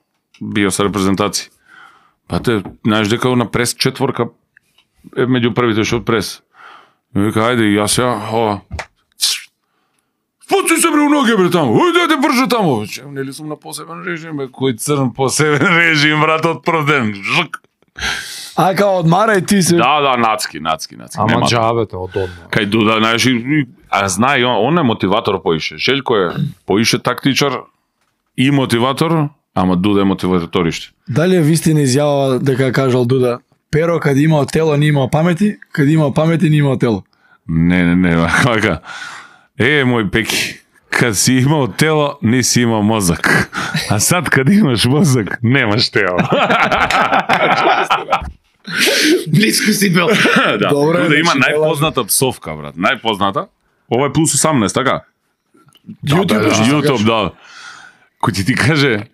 Speaker 1: био со репрезентација. Па те, знаеш дека на прес четворка е меѓу првите што од прес. И вика, ајде, и јас ја, ова. Спуци се бре у ноге, бре, таму. Ојде, ајде, бржо таму. Че, нели сум на посебен режим, бе, кој црн посебен режим, брат, од прв ден. Жк.
Speaker 2: А као одмарај ти се.
Speaker 1: Да, да, нацки, нацки, нацки.
Speaker 3: Ама
Speaker 1: Нема.
Speaker 3: џабете од одма.
Speaker 1: Кај Дуда, знаеш, и- и- а знае, он, он е мотиватор поише. Желјко е поише тактичар и мотиватор, ама Дуда е мотиваториште.
Speaker 2: Дали е вистина изјава дека кажал Дуда? Pero каде имао тело, не имао памети, каде имао памети, не имао тело.
Speaker 1: Не, не, не, вака. Е, мој Пеки, кад си имал тело, не си имал мозок. А сад кад имаш мозок, немаш тело.
Speaker 3: Близко си бил.
Speaker 1: Да,
Speaker 2: Добре,
Speaker 1: да има
Speaker 2: значи,
Speaker 1: најпозната псовка, брат. Најпозната. Ова е плюс осамнаесет, така?
Speaker 2: YouTube,
Speaker 1: да,
Speaker 2: што
Speaker 1: YouTube, да. Кој ти ти каже,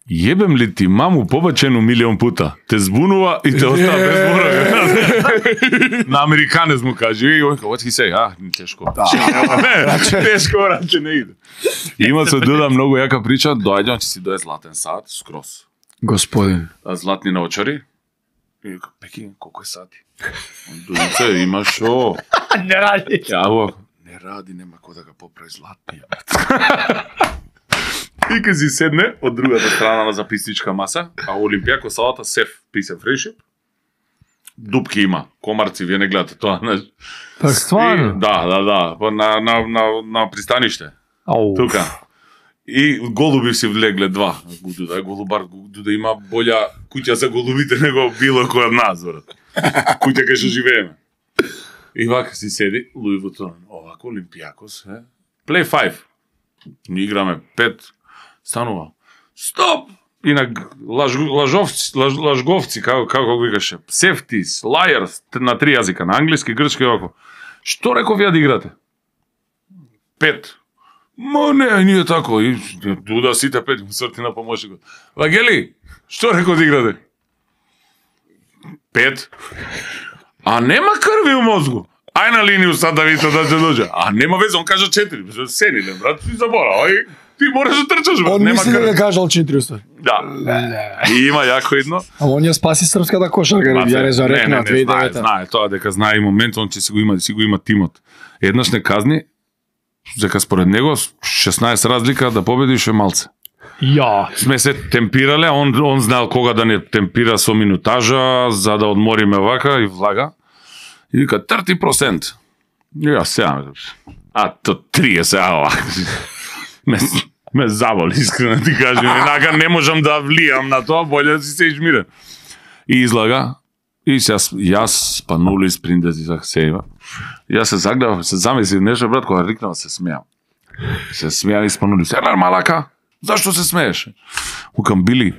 Speaker 1: јебем ли ти маму побачену милион пута, те збунува и те остава без зборови. На американец му каже, и он what he say, а, тешко. Не, тешко, брате, не иде. Има се Дуда многу јака прича, доаѓам, че си дое златен сат, скроз.
Speaker 2: Господин.
Speaker 1: Златни наочари. И вика, Пеки, колку е сати? Дуице, има шо?
Speaker 3: Не ради.
Speaker 1: Јаво, не ради, нема кој да ga поправи златни. И ка си седне од другата страна на записничка маса, а Олимпијако салата сеф писе фрешип. Дупки има, комарци, вие не гледате тоа, знаеш.
Speaker 3: Па стварно.
Speaker 1: Да, да, да, па на на на на пристаниште.
Speaker 3: Ау.
Speaker 1: Тука. И голуби си влегле два. Дуда е голубар, Дуда има болја куќа за голубите него било кој од нас, брат. Куќа кај што живееме. И вака си седи, Луи Вутон, овако Олимпијакос, е. Play five. Ни играме пет, станува. Стоп! И на лаж, лажовци, лаж, лажговци, како како го викаше, safeties, liars, на три јазика, на англиски, грчки и овако. Што реков ја да играте? Пет. Ма не, ние тако. И Дуда сите пет му срти на помошникот. Вагели, што рекол да играте? Пет. А нема крви у мозгу. Ај на линiju сад да видите да ќе дојде. А нема веза, он кажа четири. Сени, не, брат, ти забора. Ај, ти мораш да трчаш, брат.
Speaker 2: Он
Speaker 1: Нема
Speaker 2: мисли
Speaker 1: крви.
Speaker 2: дека кажал четиристо.
Speaker 1: Да. И има јако едно.
Speaker 2: А он ја спаси српската кошарка, ја не зарекна две
Speaker 1: знае,
Speaker 2: илјади и девета.
Speaker 1: знае, тоа дека знае и момент, он ќе си го има, си го има тимот. Еднаш не казни, дека според него шеснаесет разлика да победиш е малце.
Speaker 3: Ја.
Speaker 1: Сме се темпирале, он он знаел кога да не темпира со минутажа за да одмориме вака и влага. И вика тридесет процент. И ја сега, а то триесет, ава. Ме, ме заволи, искрено ти кажем. Инака не можам да влијам на тоа, болje да си се измирен. И излага. И сега јас спанули сприндези за сејва. Јас се загледав, се замислив нешто, брат, кога рикнав, се смеам. Се смеам и спанули. Селар малака, зашто се смееш? Укам, били,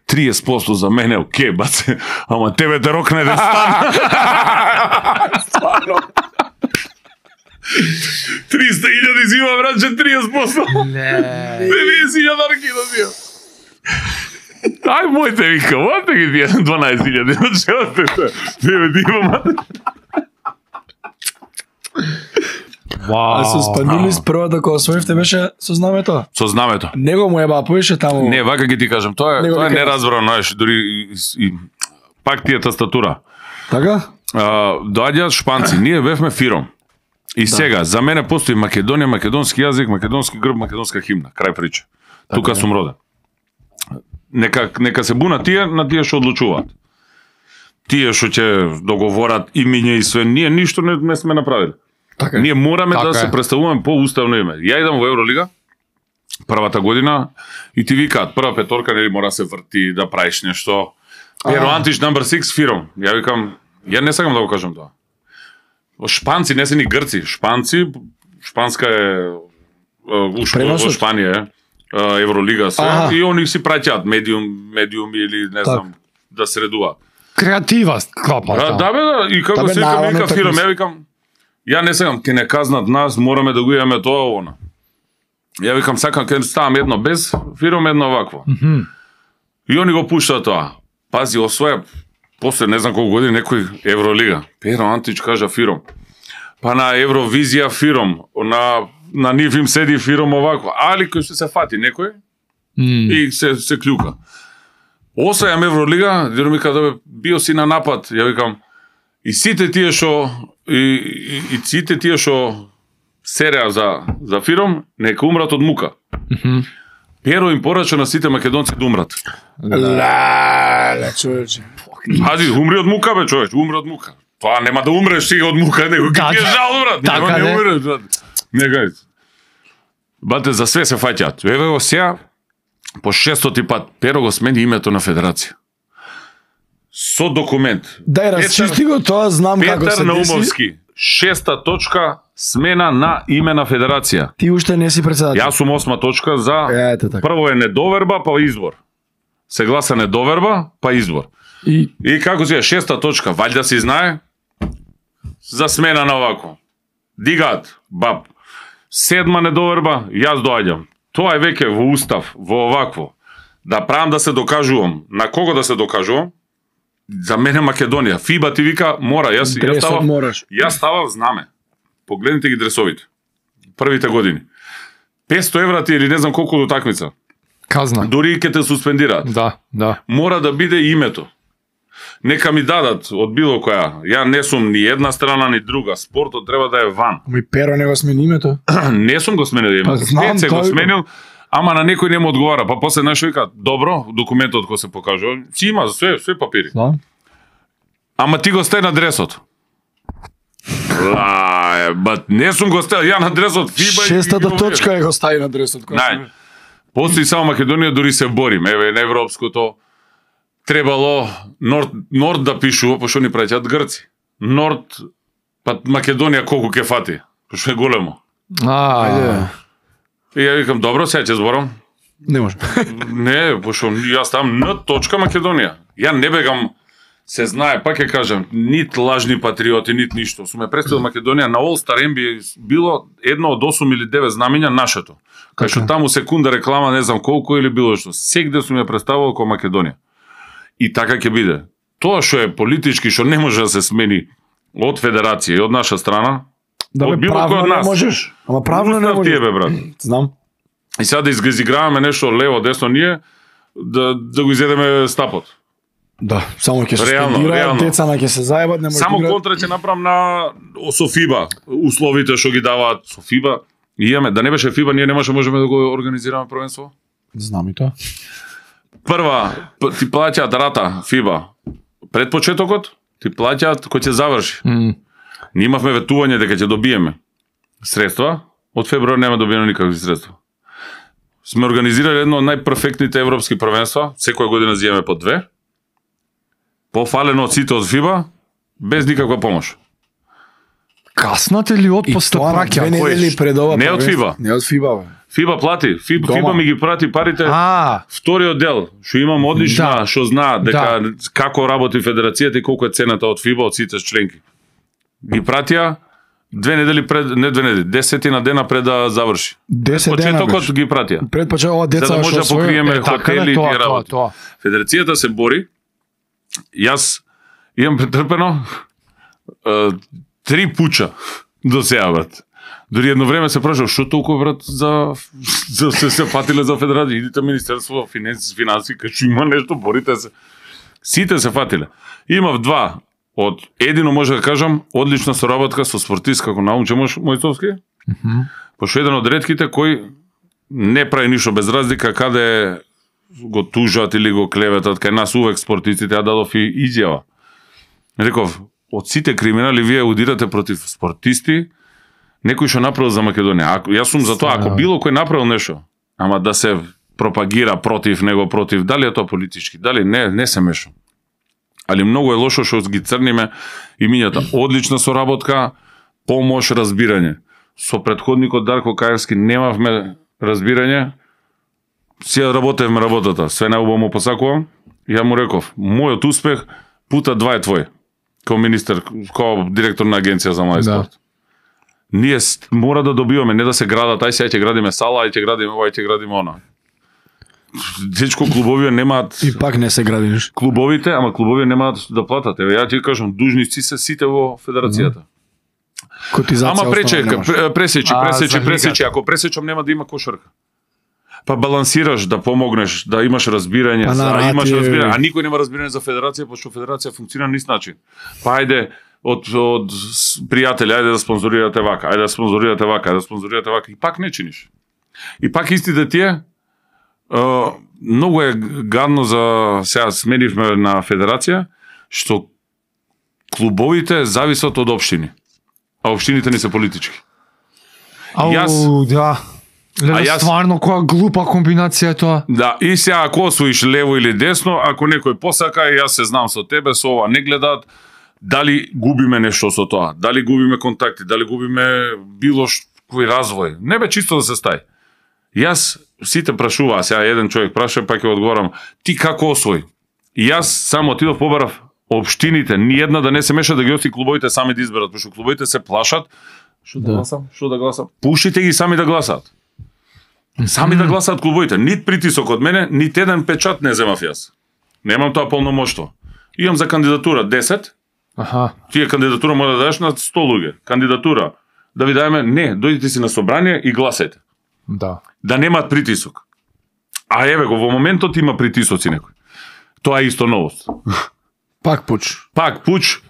Speaker 1: триесет проценти за мене, окей, баце, ама тебе те рокне да стана. триста илјади зима, братче, триесет проценти.
Speaker 3: Не.
Speaker 1: деведесет илјадарки да зима. Ај, мојте вика, мојте ги тие дванаесет илјади, челате те. Тебе ти имам.
Speaker 3: Вау.
Speaker 2: А со Спанилис првата кога освоивте беше со знамето.
Speaker 1: Со знамето.
Speaker 2: Него му еба поише таму.
Speaker 1: Не, вака ги ти кажам, тоа е,
Speaker 2: Него
Speaker 1: тоа е
Speaker 2: вика-
Speaker 1: неразбрано, знаеш, дури и, и пак тие тастатура.
Speaker 2: Така?
Speaker 1: А, доаѓаат шпанци, ние бевме фиром. И сега, за мене постои Македонија, македонски јазик, македонски грб, македонска химна, крај прича. Тука
Speaker 2: е.
Speaker 1: сум роден. Нека, нека се буна тие, на тие што одлучуваат. Тие што ќе договорат имиња и све, ние ништо не, не сме направили.
Speaker 2: Така.
Speaker 1: Ние мораме
Speaker 3: Така
Speaker 1: да
Speaker 3: е.
Speaker 1: се представуваме по уставно име. Ја идам во Евролига, првата година, и ти викаат, прва петорка, нели мора се врти, да правиш нешто. Pero Antić number six фиром. Ја викам, ја не сакам да го кажам тоа. Шпанци, не се ни грци, шпанци, шпанска е, у, Шп-
Speaker 2: Преносот?
Speaker 1: во Шпанија е, е, Евролига се,
Speaker 2: Аха.
Speaker 1: и они си праќаат медиум, медиум или не знам, да средуваат.
Speaker 3: Креатива клапа.
Speaker 1: Да, да, бе, да, и како
Speaker 2: Да, бе,
Speaker 1: се викам,
Speaker 2: наравно,
Speaker 1: вика
Speaker 2: така
Speaker 1: фиром,
Speaker 2: се-
Speaker 1: ја викам, ја не сакам, ке не казнат нас, мораме да го имаме тоа, она. Ја викам, сакам, ке ставам едно без фиром, едно вакво.
Speaker 3: Мгм.
Speaker 1: И они го пуштаат тоа. Пази, освоја, после не знам колку години, некој Евролига. Pero Antić кажа фиром. Па на Евровизија фиром, на, на нив им седи фиром овакво. Али кој што се фати некој,
Speaker 3: М.
Speaker 1: и се, се клюка. Освојам Евролига, диру ми када бе, био си на напад, ја викам, и сите тие што и, и, и сите тие што сереа за за фиром, нека умрат од мука.
Speaker 3: Мгм.
Speaker 1: Перо им порача на сите македонци да умрат.
Speaker 2: Леле, човече.
Speaker 1: Пази, умри од мука, бе, човеч, умри од мука. Тоа нема да умреш си од мука, него
Speaker 3: Да,
Speaker 1: ќе ти е
Speaker 3: да.
Speaker 1: жал, брат.
Speaker 3: Така
Speaker 1: Нема
Speaker 3: не.
Speaker 1: не умреш, брат. Не гај. Бате, за све се фаќаат. Еве го сега, по шестоти пат, Перо го смени името на федерација. Со документ.
Speaker 2: Дај расчисти го тоа, знам како
Speaker 1: Петар
Speaker 2: се деси.
Speaker 1: Наумовски, шеста точка, смена на име на федерација.
Speaker 2: Ти уште не си председател.
Speaker 1: Јас сум осма точка за...
Speaker 2: Ете така.
Speaker 1: Прво е недоверба, па избор. Се гласа недоверба, па избор.
Speaker 2: И
Speaker 1: И како си е шеста точка, ваljda си знае за смена на овако. Дигаат, баб. Седма недоверба, јас доаѓам. Тоа е веќе во устав, во овакво. Да правам да се докажувам. На кого да се докажувам? За мене Македонија. ФИБА ти вика, мора, јас, јас
Speaker 2: дресот
Speaker 1: ставав,
Speaker 2: мораш.
Speaker 1: јас ставав знаме. Погледнете ги дресовите. Првите години. петсто евра ти или не знам колку до такмица.
Speaker 3: Казна.
Speaker 1: Дури и ќе те суспендираат.
Speaker 3: Да, да.
Speaker 1: Мора да биде името. Нека ми дадат од било која. Ја не сум ни една страна ни друга. Спортот треба да е ван.
Speaker 2: Ми Перо не го смени името.
Speaker 1: Не сум го сменил името.
Speaker 2: Па, знам,
Speaker 1: Пет се го
Speaker 2: тој-
Speaker 1: сменил, ама на некој не му одговара. Па после знаеш вика, добро, документот кој се покажува, си има све, све папири.
Speaker 2: Да.
Speaker 1: Ама ти го стај на дресот. Лај, бат, не сум го стај, ја на дресот фиба. и-
Speaker 2: Шестата
Speaker 1: и-
Speaker 2: точка е го стави на дресот. која
Speaker 1: Нај.
Speaker 2: се-
Speaker 1: Постои само Македонија, дури се борим. Еве, на европското требало Норд, Норд да пишува, пошто ни праќаат грци. Норд, па Македонија колку ќе фати, пошто е големо.
Speaker 3: А,
Speaker 2: Ајде.
Speaker 1: И ја викам, добро, сега ќе зборам.
Speaker 2: Не може.
Speaker 1: Не, пошто јас там Н точка Македонија. Ја не бегам, се знае, пак ќе кажам, нит лажни патриоти, нит ништо. Сум ја представил Македонија на All Star Н Б А било едно од осум или девет знамења нашето. Кај што таму секунда реклама не знам колку или било што. Сегде сум ја представил како Македонија. И така ќе биде. Тоа што е политички, што не може да се смени од федерација и од наша страна,
Speaker 2: Да
Speaker 1: од
Speaker 2: бе,
Speaker 1: било кој
Speaker 2: правно
Speaker 1: од
Speaker 2: не
Speaker 1: нас.
Speaker 2: можеш. Ама правно не
Speaker 1: Устав ти е,
Speaker 2: можеш.
Speaker 1: бе, брат.
Speaker 2: Знам.
Speaker 1: И сега да изиграваме нешто лево, десно ние, да, да го изедеме стапот.
Speaker 2: Да, само ќе се
Speaker 1: Реално,
Speaker 2: стендираат,
Speaker 1: реално.
Speaker 2: деца на ќе се заебат, не може
Speaker 1: Само
Speaker 2: да играат.
Speaker 1: контра ќе направам на со фиба, условите што ги даваат со фиба. И имаме, да не беше фиба, ние немаше можеме да го организираме првенство.
Speaker 2: Знам и тоа.
Speaker 1: Прва, п- ти плаќаат рата фиба. Пред почетокот ти плаќаат кој ќе заврши.
Speaker 3: м,
Speaker 1: Ние имавме ветување дека ќе добиеме средства, од февруар нема добиено никакви средства. Сме организирали едно од најперфектните европски првенства, секоја година зиеме по две. Пофалено од сите од фиба, без никаква помош.
Speaker 3: Каснате ли од
Speaker 2: И
Speaker 3: после
Speaker 2: тоа на
Speaker 3: праќа?
Speaker 2: две недели пред ова.
Speaker 1: Не од
Speaker 2: првенство.
Speaker 1: фиба.
Speaker 2: Не од фиба, бе.
Speaker 1: Фиба плати, Фиба,
Speaker 2: Дома.
Speaker 1: Фиба ми ги прати парите.
Speaker 3: А,
Speaker 1: Вториот дел, што имам одлична,
Speaker 3: Да.
Speaker 1: што знаат дека како работи федерацијата и колку е цената од Фиба од сите членки. Ги пратија две недели пред, не две недели, десетина дена пред да заврши.
Speaker 2: десет дена
Speaker 1: Почетокот
Speaker 2: беше.
Speaker 1: ги пратија.
Speaker 2: Пред почеток ова
Speaker 1: За
Speaker 2: деца
Speaker 1: да може да
Speaker 2: што освојува-
Speaker 1: покриеме
Speaker 3: е, така
Speaker 1: хотели
Speaker 3: бе,
Speaker 1: и
Speaker 3: тоа,
Speaker 1: тие
Speaker 3: тоа,
Speaker 1: работи.
Speaker 3: тоа.
Speaker 1: Федерацијата се бори. Јас имам претрпено е, три пуча до сега, брат. Дори едно време се прашав, што толку, брат, за, за се, се фатиле за федерација. Идите Министерство финанси, финанси, кажу, има нешто, борите се. Сите се фатиле. Имав два. Од едино може да кажам, одлична соработка со спортист како Наумче Мојцовски. Пошто еден од ретките кој не прави ништо без разлика каде го тужат или го клеветат, кај нас увек спортистите, ја дадов и изјава. Реков, од сите криминали вие удирате против спортисти, некој што направил за Македонија. Ако јас сум за тоа, ако било кој направил нешто, ама да се пропагира против него, против, дали е тоа политички, дали не, не се мешам. Али многу е лошо што ги црниме имињата. Одлична соработка, помош, разбирање. Со претходникот Дарко Кајарски немавме разбирање. Сега работевме работата. Све најубаво му посакувам. Ја му реков, мојот успех пута два е твој. Као министер, као директор на агенција за млади
Speaker 3: Да.
Speaker 1: спорт. Ние с- мора да добиваме, не да се градат, ај сега ќе градиме сала, ај ќе градиме ова, ај ќе градиме она. Дечко клубовија немаат
Speaker 2: И пак не се гради ништо.
Speaker 1: клубовите, ама клубовија немаат да платат. Еве ја ти кажам, дужници се сите во федерацијата.
Speaker 2: Котизација
Speaker 1: Ама пречека,
Speaker 2: основна немаш.
Speaker 1: пре- пресечи,
Speaker 3: А,
Speaker 1: пресечи,
Speaker 3: за лигата.
Speaker 1: пресечи. Ако пресечам нема да има кошарка. Па балансираш, да помогнеш, да имаш разбирање,
Speaker 2: Па,
Speaker 1: за,
Speaker 2: на
Speaker 1: имаш
Speaker 2: рати е-
Speaker 1: разбирање, а никој нема разбирање за федерација, пошто федерација функционира на ист начин. Па ајде од од с- пријатели, ајде да спонзорирате вака, ајде да спонзорирате вака, ајде да спонзорирате вака и пак не чиниш. И пак истите тие е, многу е гадно за сега сменивме на федерација што клубовите зависат од општини. А општините не се политички.
Speaker 3: Ау,
Speaker 1: Јас-
Speaker 3: да.
Speaker 1: А
Speaker 3: Леле,
Speaker 1: јас-
Speaker 3: стварно која глупа комбинација е тоа.
Speaker 1: Да, и сега ако освоиш лево или десно, ако некој посака, јас се знам со тебе, со ова не гледаат, дали губиме нешто со тоа, дали губиме контакти, дали губиме било кој развој. Не бе чисто да се стај. Јас сите прашуваа, сега еден човек праша, па ќе одговорам, ти како освои? И јас само отидов побарав општините, ни една да не се меша, да ги остави клубовите сами да изберат, пошто клубовите се плашат. Што да, да гласам? Што да гласам? Пуштите ги сами да гласаат. Сами да гласаат клубовите. Нит притисок од мене, нит еден печат не земав јас. Немам тоа полномоштво. Имам за кандидатура десет.
Speaker 3: Аха.
Speaker 1: Тие кандидатура мора да дадеш на сто луѓе. Кандидатура да ви даеме, не, дојдите си на собрание и гласајте.
Speaker 3: Да.
Speaker 1: Да немаат притисок. А еве го, во моментот има притисоци некој. Тоа е исто новост.
Speaker 2: Пак пуч.
Speaker 1: Пак пуч.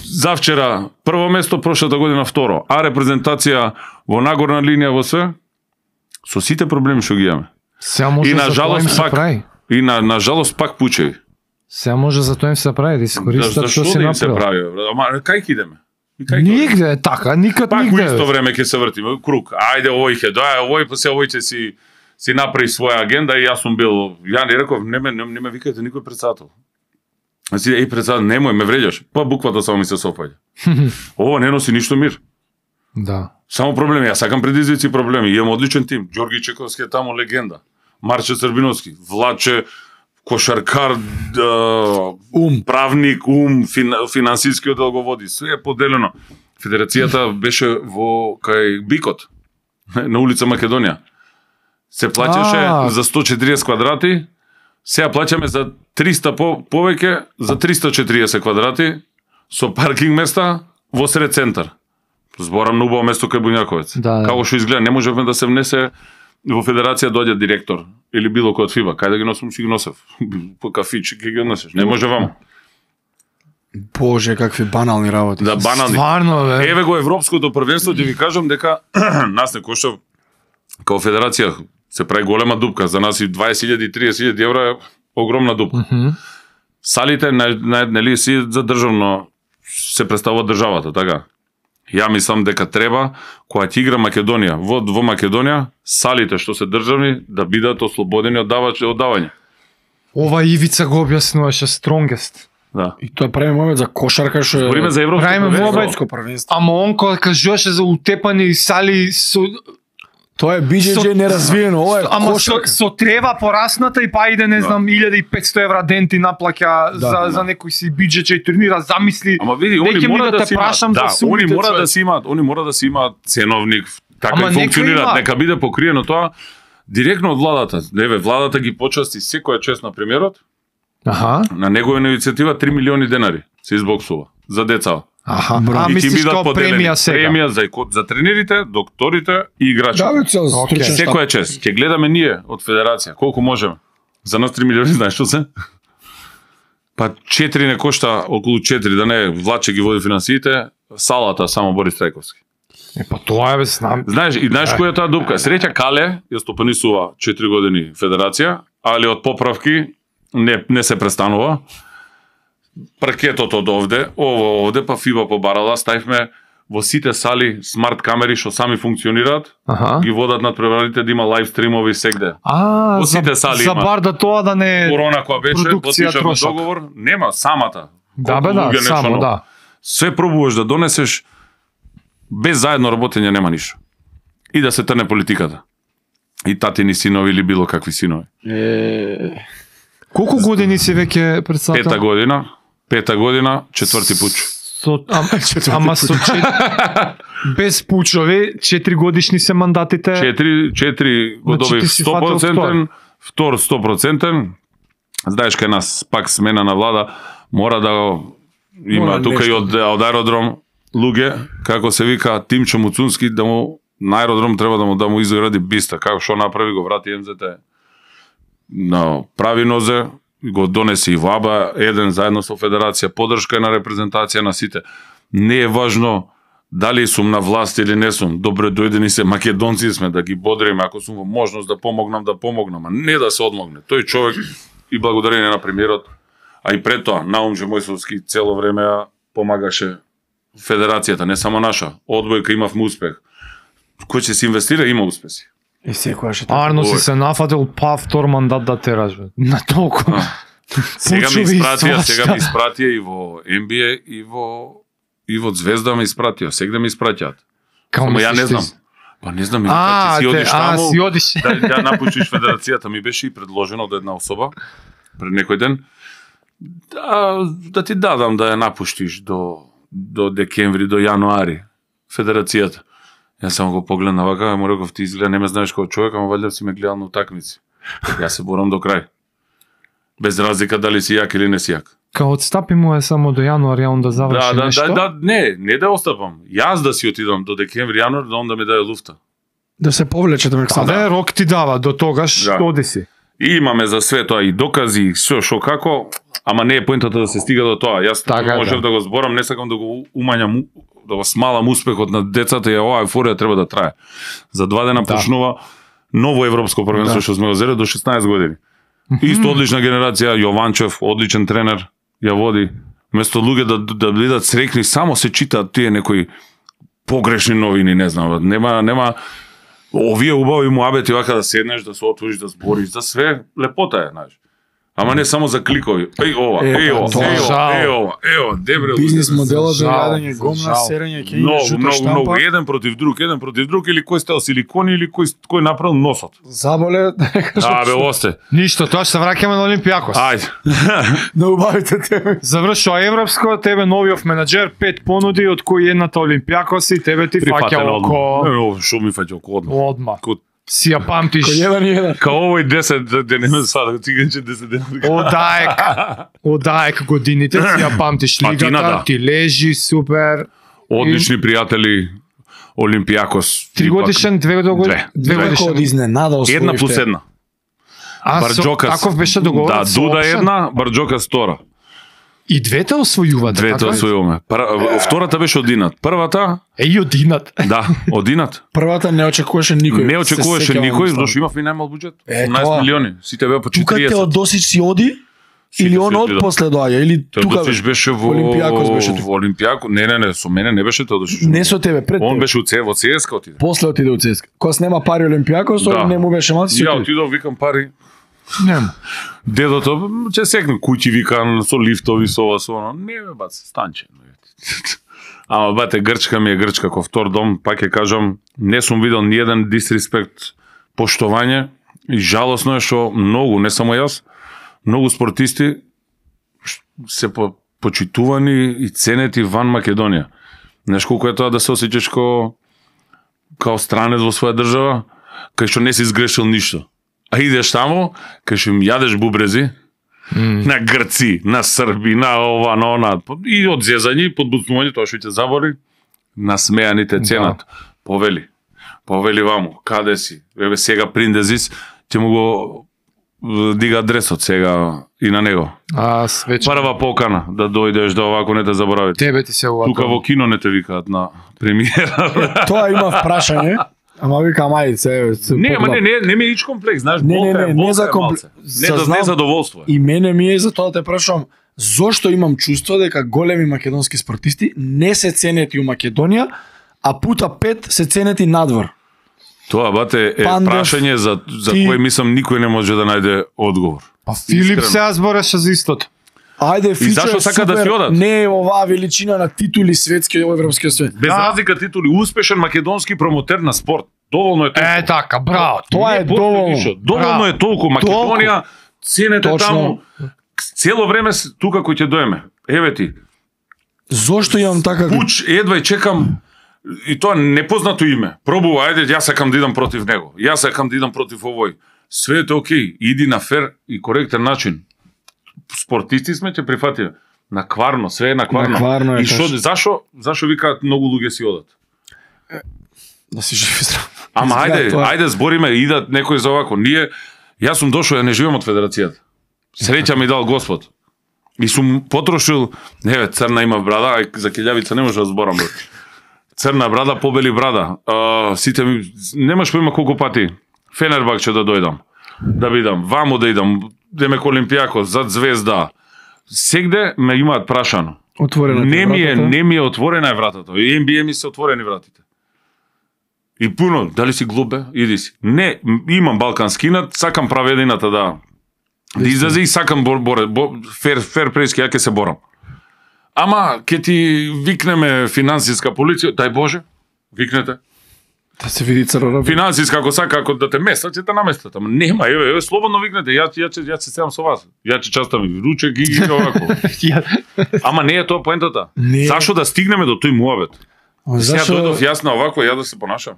Speaker 1: Завчера прво место, прошлата година второ. А репрезентација во нагорна линија во све, со сите проблеми што ги имаме.
Speaker 3: Сега може
Speaker 1: И на
Speaker 3: за тоа им
Speaker 1: жалост
Speaker 3: се
Speaker 1: пак,
Speaker 3: прави.
Speaker 1: и на, на жалост пак пучеви.
Speaker 3: Сега може за тоа им се прави, да искористат
Speaker 1: Зашто
Speaker 3: што си
Speaker 1: да им се
Speaker 3: направил.
Speaker 1: прави? бе? Ама кај ќе идеме? И кај ќе одиме?
Speaker 3: Нигде е така, никад
Speaker 1: Пак во
Speaker 3: нигде.
Speaker 1: исто време ќе се вртиме, круг. Ајде, овој ќе доја, овој после овој ќе си си направи своја агенда и јас сум бил, ја не реков, не ме не, не ме викајте никој председател. Значи, еј председател, немој ме вреđаш. Па буквата само ми се сопаѓа. Ова не носи ништо мир.
Speaker 3: Да.
Speaker 1: Само проблеми, јас сакам предизвици и проблеми. Имам одличен тим. Ѓорги Чековски е таму легенда. Марче Србиновски, Влаче, кошаркар, да,
Speaker 2: Ум.
Speaker 1: правник, ум, фин, финансиски оддел го води. Све е поделено. Федерацијата беше во кај Бикот, на улица Македонија. Се плаќаше
Speaker 3: А.
Speaker 1: за сто и четириесет квадрати, сега плаќаме за триста по, повеќе, за триста и четириесет квадрати, со паркинг места во сред центар. Зборам на убаво место кај Буњаковец.
Speaker 3: Да, да.
Speaker 1: Како што изгледа, не можевме да се внесе во федерација доаѓа директор или било кој од ФИБА. Кај да ги носам, ќе ги носев. По кафичи ќе ги носеш. Не може ваму.
Speaker 2: Боже, какви банални работи.
Speaker 1: Да, банални.
Speaker 3: Стварно, бе.
Speaker 1: Еве го европското првенство, ќе ви кажам дека нас не кошта као федерација се прави голема дупка. За нас и дваесет илјади и триесет илјади евра е огромна дупка.
Speaker 3: Мгм.
Speaker 1: Салите на, на, нели си за државно се представува државата, така. Ја мислам дека треба кога ќе игра Македонија во во Македонија, салите што се државни да бидат ослободени од давање од давање.
Speaker 3: Ова Ивица го објаснуваше strongest.
Speaker 1: Да.
Speaker 2: И тоа правиме момент за кошарка што е
Speaker 1: Збориме за европско
Speaker 3: Правиме
Speaker 1: првенство.
Speaker 3: мобајл.
Speaker 2: европско првенство.
Speaker 3: Ама он кога кажуваше за утепани сали со
Speaker 2: Тоа е би џи џи
Speaker 3: Со-
Speaker 2: неразвиено, ова е
Speaker 3: ама со,
Speaker 2: кошарка.
Speaker 3: со трева порасната и па иде не
Speaker 1: Да.
Speaker 3: знам илјада и петсто евра ден ти наплаќа
Speaker 2: Да,
Speaker 3: за
Speaker 2: да.
Speaker 3: за некој си биџече и турнира, замисли.
Speaker 1: Ама види,
Speaker 3: Неќе
Speaker 1: они
Speaker 3: ми
Speaker 1: мора
Speaker 3: да
Speaker 1: да,
Speaker 3: те
Speaker 1: си имаат,
Speaker 3: прашам за
Speaker 1: да,
Speaker 3: сумите,
Speaker 1: они мора
Speaker 3: човек.
Speaker 1: да си имаат, они мора да си имаат ценовник, така
Speaker 3: Ама
Speaker 1: и
Speaker 3: нека
Speaker 1: функционираат,
Speaker 3: има.
Speaker 1: нека биде покриено тоа директно од владата. Еве, владата ги почасти секоја чест на премиерот,
Speaker 3: Аха.
Speaker 1: на негова иницијатива три милиони денари се избоксува за деца.
Speaker 3: Аха.
Speaker 2: Браво.
Speaker 3: А
Speaker 1: И ќе
Speaker 3: мислиш
Speaker 1: бидат
Speaker 3: као
Speaker 1: поделени
Speaker 3: премија сега?
Speaker 1: премија за за тренерите, докторите и играчите.
Speaker 2: Да, бе, цел
Speaker 3: Океј.
Speaker 2: стручен штаб.
Speaker 1: Секоја чест. Ќе гледаме ние од федерација колку можеме. За нас три милиони, знаеш што се? Па четири не кошта, околу четири, да не Влаче ги води финансиите, салата само Борис Трајковски.
Speaker 3: Е, па тоа е, бе, знам.
Speaker 1: Знаеш, и знаеш која е таа дупка? Среќа Кале ја стопанисува четири години федерација, али од поправки не не се престанува. Паркетот од овде, ово овде, па ФИБА побарала, ставивме во сите сали смарт камери што сами функционираат,
Speaker 3: Аха.
Speaker 1: ги водат над преварите да има лайв стримови сегде.
Speaker 3: А,
Speaker 1: Во
Speaker 3: за,
Speaker 1: сите сали
Speaker 3: за
Speaker 1: има.
Speaker 3: бар да тоа да не
Speaker 1: Корона која беше,
Speaker 3: продукција
Speaker 1: потпишавме
Speaker 3: трошок.
Speaker 1: договор, нема самата.
Speaker 3: Да,
Speaker 1: Колку
Speaker 3: бе, да,
Speaker 1: луѓе, нешто
Speaker 3: само,
Speaker 1: ново.
Speaker 3: да.
Speaker 1: Све пробуваш да донесеш, без заедно работење нема ништо. И да се трне политиката. И татини синови или било какви синови.
Speaker 2: Е,
Speaker 3: Колку години си веќе председател?
Speaker 1: Пета година, пета година, четврти пуч.
Speaker 3: Со, ам, ама со чет... без пучови, четири годишни се мандатите.
Speaker 1: Четири, четири го
Speaker 3: Значи,
Speaker 1: добив
Speaker 3: ти си
Speaker 1: сто
Speaker 3: фатил
Speaker 1: проценти, втор сто проценти. Знаеш кај нас пак смена на влада, мора да го има
Speaker 2: Мора
Speaker 1: тука и
Speaker 2: нешто.
Speaker 1: од, од аеродром луѓе, како се вика Тимчо Муцунски, да му на аеродром треба да му да му изгради биста, како што направи го врати ем зет на прави нозе, го донеси и во АБА, еден заедно со федерација, подршка на репрезентација на сите. Не е важно дали сум на власт или не сум. Добре дојдени се македонци сме да ги бодриме, ако сум во можност да помогнам, да помогнам, а не да се одмогне. Тој човек и благодарение на премиерот, а и пред тоа Наум Мојсовски цело време ја помагаше федерацијата, не само наша. Одбојка имавме успех. Кој ќе се инвестира има успеси.
Speaker 2: и секојаш е така.
Speaker 3: Арно си
Speaker 1: Ой.
Speaker 3: се нафатил па втор мандат да тераш, бе. На толку.
Speaker 1: Сега ми
Speaker 3: Пучови и
Speaker 1: испратија,
Speaker 3: свашта.
Speaker 1: сега ми испратија и во Ен Би Ей и во и во Звезда ми испратија, сега ми испраќаат.
Speaker 3: Као
Speaker 1: Само ја
Speaker 3: мислиш
Speaker 1: не
Speaker 3: ти?
Speaker 1: знам. Па не знам,
Speaker 3: А,
Speaker 1: а, ти си
Speaker 3: те-
Speaker 1: одиш
Speaker 3: а,
Speaker 1: таму,
Speaker 3: си одиш.
Speaker 1: да, да напуштиш федерацијата, ми беше и предложено од една особа пред некој ден. Да, да ти дадам да ја напуштиш до до декември, до јануари федерацијата. Јас само го погледна вака, му реков ти изгледа не ме знаеш како човек, ама валјда си ме гледал на утакмици. Јас се борам до крај. Без разлика дали си јак или не си јак.
Speaker 3: Као отстапи му е само до јануар, он да заврши
Speaker 1: да, да,
Speaker 3: нешто.
Speaker 1: Да, да, не, не да остапам. Јас да си отидам до декември, јануар, да он да ми даде луфта.
Speaker 2: Да се повлечете ме
Speaker 3: А да, рок ти дава, до тогаш
Speaker 1: Да.
Speaker 3: оди си.
Speaker 1: И имаме за све тоа и докази, и се шо како, ама не е поентата да се стига до тоа. Јас
Speaker 3: Така,
Speaker 1: можев
Speaker 3: да.
Speaker 1: да го зборам, не сакам да го умањам, да го смалам успехот на децата и оваа еуфорија треба да трае. За два дена
Speaker 3: Да.
Speaker 1: почнува ново европско првенство
Speaker 2: Да.
Speaker 1: што сме го зеле до шеснаесет години. Исто одлична генерација, Јованчев, одличен тренер, ја води. Место луѓе да да бидат среќни, само се читаат тие некои погрешни новини, не знам, нема нема овие убави муабети вака да седнеш, да се отвориш, да збориш, за све лепота е, знаеш. Ама не само за кликови. Еј ова,
Speaker 2: Е,
Speaker 1: еј
Speaker 2: па,
Speaker 1: ова,
Speaker 2: тоа
Speaker 1: еј ова,
Speaker 3: жал.
Speaker 1: еј ова, еј ова, дебре.
Speaker 2: Бизнес моделот за
Speaker 3: Жал,
Speaker 2: јадење
Speaker 3: за
Speaker 2: гомна,
Speaker 3: жал.
Speaker 2: серење ќе
Speaker 1: Многу,
Speaker 2: шута
Speaker 1: многу, многу,
Speaker 2: штампа.
Speaker 1: еден против друг, еден против друг, или кој стел силикони, или кој кој направил носот.
Speaker 2: Заболе, да не кажам.
Speaker 1: А, бе, осте.
Speaker 3: Ништо, тоа се враќаме на Олимпијакос.
Speaker 1: Ајде.
Speaker 2: Да убавите тебе.
Speaker 3: Завршува европско, тебе новиот менаџер, пет понуди, од кои едната Олимпијакос и тебе ти фаќа
Speaker 1: Прифатено
Speaker 3: око.
Speaker 1: одма. Шо ми фаќа око одма.
Speaker 3: Одма.
Speaker 1: Ко-
Speaker 3: Си ја памтиш.
Speaker 2: Кој еден и еден.
Speaker 1: Као овој десет ден не сада, циганче десет дена.
Speaker 3: Одаек. Одаек годините си ја памтиш лигата,
Speaker 1: Патината.
Speaker 3: ти лежи супер.
Speaker 1: Одлични пријатели, Олимпијакос.
Speaker 3: Три годишен, две годишен.
Speaker 1: Две.
Speaker 3: Две
Speaker 2: Како од
Speaker 3: годишен.
Speaker 2: изненада освоивте.
Speaker 1: Една плюс една.
Speaker 3: А со,
Speaker 1: Барџокас.
Speaker 3: таков беше договорот.
Speaker 1: Да,
Speaker 3: со
Speaker 1: Дуда
Speaker 3: опшен?
Speaker 1: една, Барџокас втора.
Speaker 3: И двете освојуваат.
Speaker 1: Двете
Speaker 3: така?
Speaker 1: освојуваме. Пр- Втората беше одинат. Првата,
Speaker 3: Е, и одинат.
Speaker 1: да, одинат.
Speaker 2: Првата не очекуваше никој.
Speaker 1: Не
Speaker 2: Се
Speaker 1: очекуваше
Speaker 2: сеќавам
Speaker 1: никој,
Speaker 2: стварно.
Speaker 1: зашто имавме најмал буџет.
Speaker 2: Е,
Speaker 1: осумнаесет
Speaker 2: тоа.
Speaker 1: милиони. Сите беа по
Speaker 2: Тука
Speaker 1: четириесет.
Speaker 2: Теодосич си оди
Speaker 1: Сите
Speaker 2: или
Speaker 1: си
Speaker 2: он од
Speaker 1: отидоа.
Speaker 2: после доаѓа или тука
Speaker 1: Теодосич беше во
Speaker 2: Олимпијакос беше тука.
Speaker 1: во Олимпијако. Не, не, не, со мене не беше Теодосич.
Speaker 2: Не со тебе, пред
Speaker 1: Он
Speaker 2: тебе.
Speaker 1: беше у Це, во ЦСКА отиде.
Speaker 2: После отиде у ЦСКА. Кога снема пари Олимпијакос,
Speaker 1: Да.
Speaker 2: да. не му беше мал, си
Speaker 1: Ја
Speaker 2: отиде.
Speaker 1: отидов, викам пари.
Speaker 3: Нема.
Speaker 1: Дедото, ќе секне куќи, викам, со лифтови, со ова, со оно. Не, бе, бац, станче. Ама, бате, Грчка ми е Грчка, ко втор дом, пак ќе кажам, не сум видел ни еден дисреспект, поштовање, и жалосно е што многу, не само јас, многу спортисти ш- се по, почитувани и ценети ван Македонија. Знаеш колку е тоа да се осеќаш ко као странец во своја држава, кај што не си изгрешил ништо. А идеш таму, кај што им јадеш бубрези,
Speaker 3: Mm.
Speaker 1: на Грци, на Срби, на ова, на она, и од зезање, подбуцнување, тоа што ќе забори, насмеаните ценат. Да. Повели, повели ваму, каде си? Еве сега приндезис, ќе му го е, дига адресот сега и на него.
Speaker 3: А свече.
Speaker 1: Прва покана да дојдеш да овако не те заборавите.
Speaker 3: Тебе ти се ова.
Speaker 1: Тука во кино не те викаат на премиера.
Speaker 2: Тоа имав прашање, ама викам ајде се. се
Speaker 1: Не, ама
Speaker 2: погледам.
Speaker 1: не, не, не ми е ич комплекс, знаеш,
Speaker 2: Не, не,
Speaker 1: болка е,
Speaker 2: не, не
Speaker 1: болка
Speaker 2: за
Speaker 1: е
Speaker 2: компл-
Speaker 1: малце. Не за
Speaker 2: Зазнав-
Speaker 1: не задоволство. е.
Speaker 2: И мене ми е за тоа да те прашувам, зошто имам чувство дека големи македонски спортисти не се ценети у Македонија, а пута пет се ценети надвор.
Speaker 1: Тоа, бате, е
Speaker 2: Пандев,
Speaker 1: прашање за, за
Speaker 2: ти-
Speaker 1: кој мислам никој не може да најде одговор.
Speaker 3: Па Филип
Speaker 1: Искрено.
Speaker 3: се збореше за истото.
Speaker 2: Ајде, Фичо
Speaker 1: зашто
Speaker 2: е
Speaker 1: сака да
Speaker 2: супер,
Speaker 1: си одат?
Speaker 2: не е оваа величина на титули светски и европски свет.
Speaker 1: Без
Speaker 3: Да.
Speaker 1: разлика титули, успешен македонски промотер на спорт. Доволно е толку.
Speaker 3: Е, така, браво.
Speaker 2: Тоа е
Speaker 1: Не постои
Speaker 2: доволно.
Speaker 1: више. Доволно
Speaker 3: Браво.
Speaker 1: е толку. Македонија, ценете
Speaker 2: Точно.
Speaker 1: таму. Цело време с- тука кој ќе доеме. Еве ти,
Speaker 2: Зошто имам така
Speaker 1: Пуч, едва и чекам, и тоа непознато име. Пробува, ајде, јас сакам да идам против него. Јас сакам да идам против овој. Све е окей, иди на фер и коректен начин. Спортисти сме, ќе прифатиме. На кварно, све е на кварно.
Speaker 2: На кварно е
Speaker 1: и шо,
Speaker 2: точно.
Speaker 1: зашо, зашо викаат многу луѓе си одат?
Speaker 2: да си жив и здрав.
Speaker 1: Ама
Speaker 2: Изгледа
Speaker 1: ајде,
Speaker 2: тоа.
Speaker 1: ајде збориме, идат некој за овако. Ние, јас сум дошол, ја не живеам од федерацијата. Среќа ми дал Господ. И сум потрошил, еве, црна има брада, ај за Келјавица не може да зборам. Бе. Црна брада, побели брада. А, сите ми, немаш поима колку пати. Фенербахче да дојдам, да бидам, вамо да идам, Демек Олимпијакос, зад Звезда. Сегде ме имаат прашано.
Speaker 2: Отворена
Speaker 1: Не ми е,
Speaker 2: вратата.
Speaker 1: не ми е отворена е вратата. И Н Б А ми се отворени вратите. И пуно, дали си глуп бе? Иди си. Не, м- имам балкански инат, сакам праведината да да излезе и сакам бор, бор, бор, фер, фер прески, ја ќе се борам. Ама, ќе ти викнеме финансиска полиција, дај Боже, викнете.
Speaker 2: Да се види црвена.
Speaker 1: Финансиска, ако сака, ако да те местат, ќе те наместат. Ама нема, еве, еве, слободно викнете, ја ја ќе ја ќе седам со вас. Ја ќе частам и ручек и и овако. Ама не е тоа поентата.
Speaker 2: Не.
Speaker 1: Зашо да стигнеме до тој муабет? Сега
Speaker 2: Зашо
Speaker 1: дојдов јас на овако, ја да се понашам.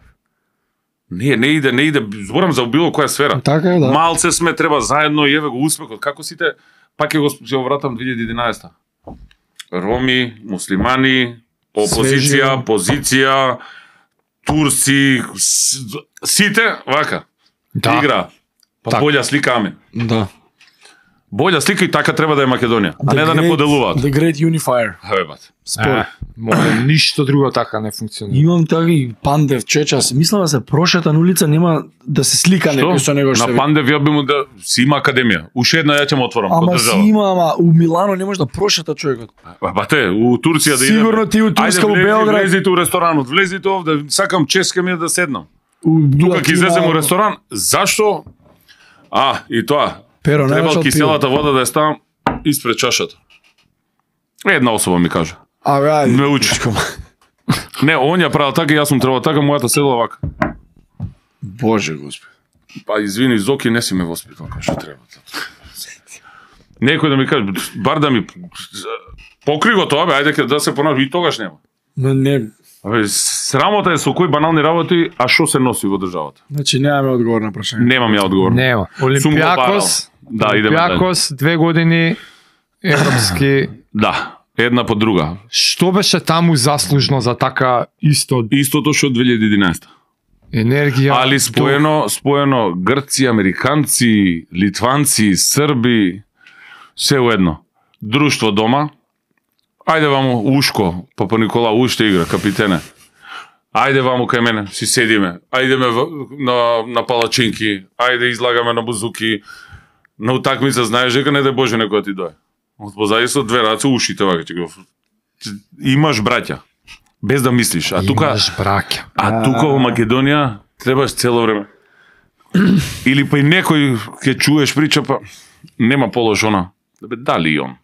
Speaker 1: Не, не иде, не иде, зборам за било која сфера.
Speaker 2: Така е, да.
Speaker 1: Малце сме, треба заедно и еве го успехот. Како сите, пак ќе го ќе го вратам две илјади и единаесета. Роми, муслимани, опозиција,
Speaker 2: Свежи.
Speaker 1: позиција, турци, с- сите вака.
Speaker 3: Да.
Speaker 1: Игра. Па
Speaker 3: Так.
Speaker 1: болја слика амен.
Speaker 2: Да.
Speaker 1: Болја слика и така треба да е Македонија, а
Speaker 2: The
Speaker 1: не да не
Speaker 2: great-
Speaker 1: поделуваат.
Speaker 2: The Great Unifier.
Speaker 1: Еве бат.
Speaker 2: Според.
Speaker 3: Е, може, ништо друго така не функционира.
Speaker 2: Имам таки Пандев Чечас. Мислам да се прошета на улица, нема да се слика некој со него што
Speaker 1: На
Speaker 2: ви-
Speaker 1: Пандев ја би му да си има академија. Уште една ја ќе му отворам
Speaker 2: Ама
Speaker 1: под
Speaker 2: си
Speaker 1: држава.
Speaker 2: има, ама у Милано не може да прошета човекот.
Speaker 1: Ба, Бате, у Турција да идеме.
Speaker 2: Сигурно ти у Турска,
Speaker 1: Ајде,
Speaker 2: у
Speaker 1: влези,
Speaker 2: Белград.
Speaker 1: Влезите у ресторанот, влезите овде, сакам ческа ми е да седнам.
Speaker 2: У
Speaker 1: Тука ќе
Speaker 2: има-
Speaker 1: излезем у ресторан, зашто? А, и тоа.
Speaker 2: Перо,
Speaker 1: Требал
Speaker 2: немаш од
Speaker 1: киселата вода да ја ставам испред чашата. Една особа ми кажа.
Speaker 2: Абе, ајде.
Speaker 1: Ме учи. Не, он ја правил така, јас сум требал така, мојата седла вака.
Speaker 2: Боже Господи.
Speaker 1: Па извини, Зоки, не си ме воспитал како што треба. Некој да ми каже, бар да ми покри го тоа, бе, ајде ке да се понавам, и тогаш нема.
Speaker 2: Но не,
Speaker 1: Абе, срамота е со кои банални работи, а што се носи во државата?
Speaker 2: значи немаме одговор на прашање.
Speaker 1: Немам ја одговор.
Speaker 3: Нема. Олимпијакос,
Speaker 1: Да, идеме дале.
Speaker 3: Олимпијакос, две години европски.
Speaker 1: Да, една по друга.
Speaker 3: Што беше таму заслужно за така исто
Speaker 1: Истото што од две илјади и единаесета.
Speaker 3: енергија?
Speaker 1: Али споено, споено Грци, американци, литванци, срби, се уедно. Друштво дома. Ајде вамо Ушко, Папа Никола уште игра, капитене. Ајде вамо кај мене, си седиме. Ајдеме в- на, на палачинки, ајде излагаме на бузуки. На утакмица знаеш дека не дај Боже некој да ти дое. Од позади со две раце ушите вака ќе го. Имаш браќа, без да мислиш. А тука
Speaker 3: Имаш браќа.
Speaker 1: А тука во Македонија требаш цело време. Или па и некој ќе чуеш прича, па нема положона. Да бе, дали и он?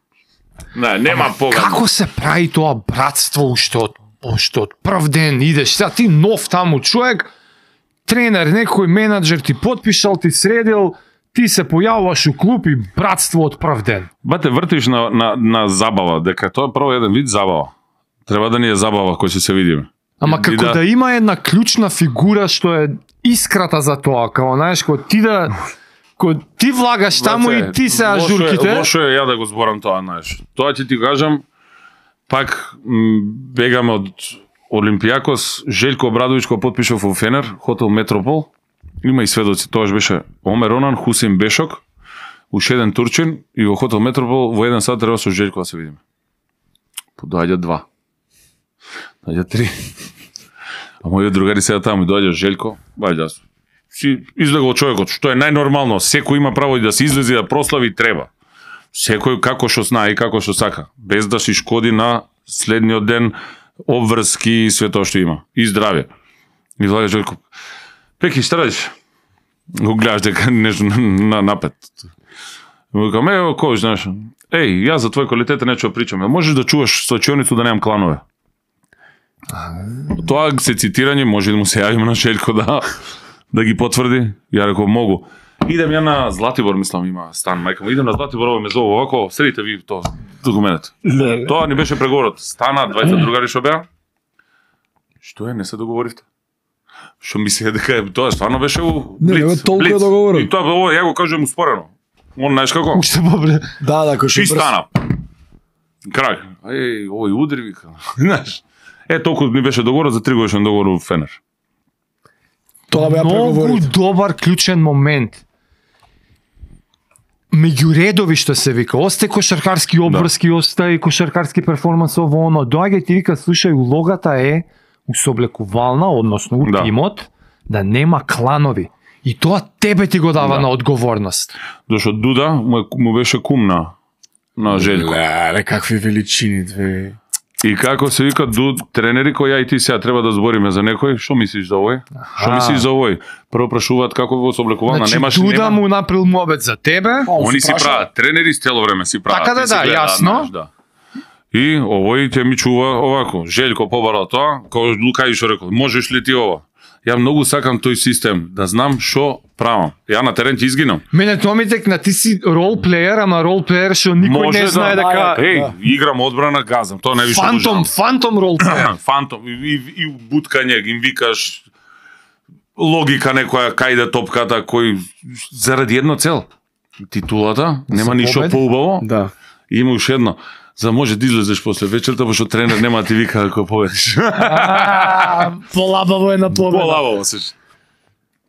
Speaker 1: Не, нема погад.
Speaker 3: Како се прави тоа братство уште од уште од прв ден идеш, сега ти нов таму човек, тренер, некој менаџер ти потпишал, ти средил, ти се појавуваш у клуб и братство од прв ден.
Speaker 1: Бате, вртиш на, на, на забава, дека тоа е прво еден вид забава. Треба да ни е забава кој ќе се видиме.
Speaker 3: Ама
Speaker 1: И
Speaker 3: како да... има една клучна фигура што е искрата за тоа, како знаеш, кога ти да кога ти влагаш таму
Speaker 1: Бате,
Speaker 3: и ти се
Speaker 1: лошо е-
Speaker 3: ажурките.
Speaker 1: Лошо е ја да го зборам тоа, знаеш. Тоа ќе ти кажам, пак м, бегаме од Олимпијакос, Желко Обрадовиќ кој потпишав во Фенер, хотел Метропол. Има и сведоци, тоаш беше Омер Онан, Хусейн Бешок, уште еден турчин и во хотел Метропол во еден сат треба со Желко да се видиме. Подоаѓа два. Доаѓа три. А мојот другари сега таму и доаѓа Желко, бајде јас. Си излегол човекот, што е најнормално, секој има право и да се излези да прослави треба. Секој како што знае и како што сака, без да си шкоди на следниот ден обврски и све тоа што има. И здравје. И доаѓа Желко. Пеки, што радиш? Го гледаш дека нешто на, на напет. Му викам, ево, кој знаеш? Еј, јас за твој квалитет нечу да причам. Можеш да чуваш сочионицу да немам кланове. Тоа се цитирање, може да му се јавиме на Желко да да ги потврди. Ја реков могу. Идем ја на Златибор, мислам, има стан, мајка му. Идем на Златибор, ово ме зову овако, средите ви тоа документот. Тоа ни беше преговорот. Стана двајца другари што беа. Што е, не се договоривте? Што мисли дека е, тоа стварно беше у
Speaker 2: Не,
Speaker 1: Блиц,
Speaker 2: не, толку е
Speaker 1: Блиц.
Speaker 2: договорот.
Speaker 1: И тоа ово ја го кажувам успорено. Он знаеш како?
Speaker 3: Уште побре.
Speaker 2: Да, да, кој
Speaker 1: Ши
Speaker 2: што брз.
Speaker 1: стана. Крак. Еј, овој удри вика. Знаеш. Е толку ни беше договорот за три годишен договор во Фенер.
Speaker 2: Тоа беа
Speaker 3: Многу
Speaker 2: преговорите.
Speaker 3: добар клучен момент. Меѓу редови што се вика, осте кошаркарски обврски, да. Осте и кошаркарски перформанс ово оно. Доаѓа и ти вика, слушај, улогата е у соблекувална, односно у
Speaker 1: Да.
Speaker 3: тимот, да нема кланови. И тоа тебе ти го дава
Speaker 1: Да.
Speaker 3: на одговорност.
Speaker 1: Зашто Дуда му, е- му беше кум на на Желко.
Speaker 2: Леле, какви величини, две.
Speaker 1: И како се вика Дуд, тренери кои ја и ти сега треба да збориме за некој, што мислиш за овој? Што мислиш за овој? Прво прашуваат како во соблекувална,
Speaker 3: Значи,
Speaker 1: немаш
Speaker 3: Дуда
Speaker 1: нема.
Speaker 3: му направил мобет за тебе.
Speaker 1: Они си прават, тренери с цело време си прават.
Speaker 3: Така да,
Speaker 1: ти си
Speaker 3: да,
Speaker 1: гледаат,
Speaker 3: јасно.
Speaker 1: знаеш, да. И овој ќе ми чува овако. Желко побара тоа, кога Лукај што рекол, можеш ли ти ова? Ја многу сакам тој систем, да знам што правам. Ја на терен ќе изгинам.
Speaker 3: Мене тоа ми текна, ти си ролплеер, ама ролплеер што никој
Speaker 1: Може
Speaker 3: не знае
Speaker 1: да,
Speaker 3: дека...
Speaker 1: Еј,
Speaker 2: да.
Speaker 1: играм одбрана, газам, тоа не више
Speaker 3: Фантом, фантом ролплеер.
Speaker 1: Фантом, и, и, и буткање, им викаш логика некоја, кај да топката, кој заради едно цел. Титулата, нема
Speaker 3: За
Speaker 1: ништо
Speaker 3: победи?
Speaker 1: поубаво.
Speaker 2: Да.
Speaker 1: Има уште едно. За може да излезеш после вечерта, пошто тренер нема да ти вика ако победиш.
Speaker 2: А, полабаво е на победа.
Speaker 1: Полаво се.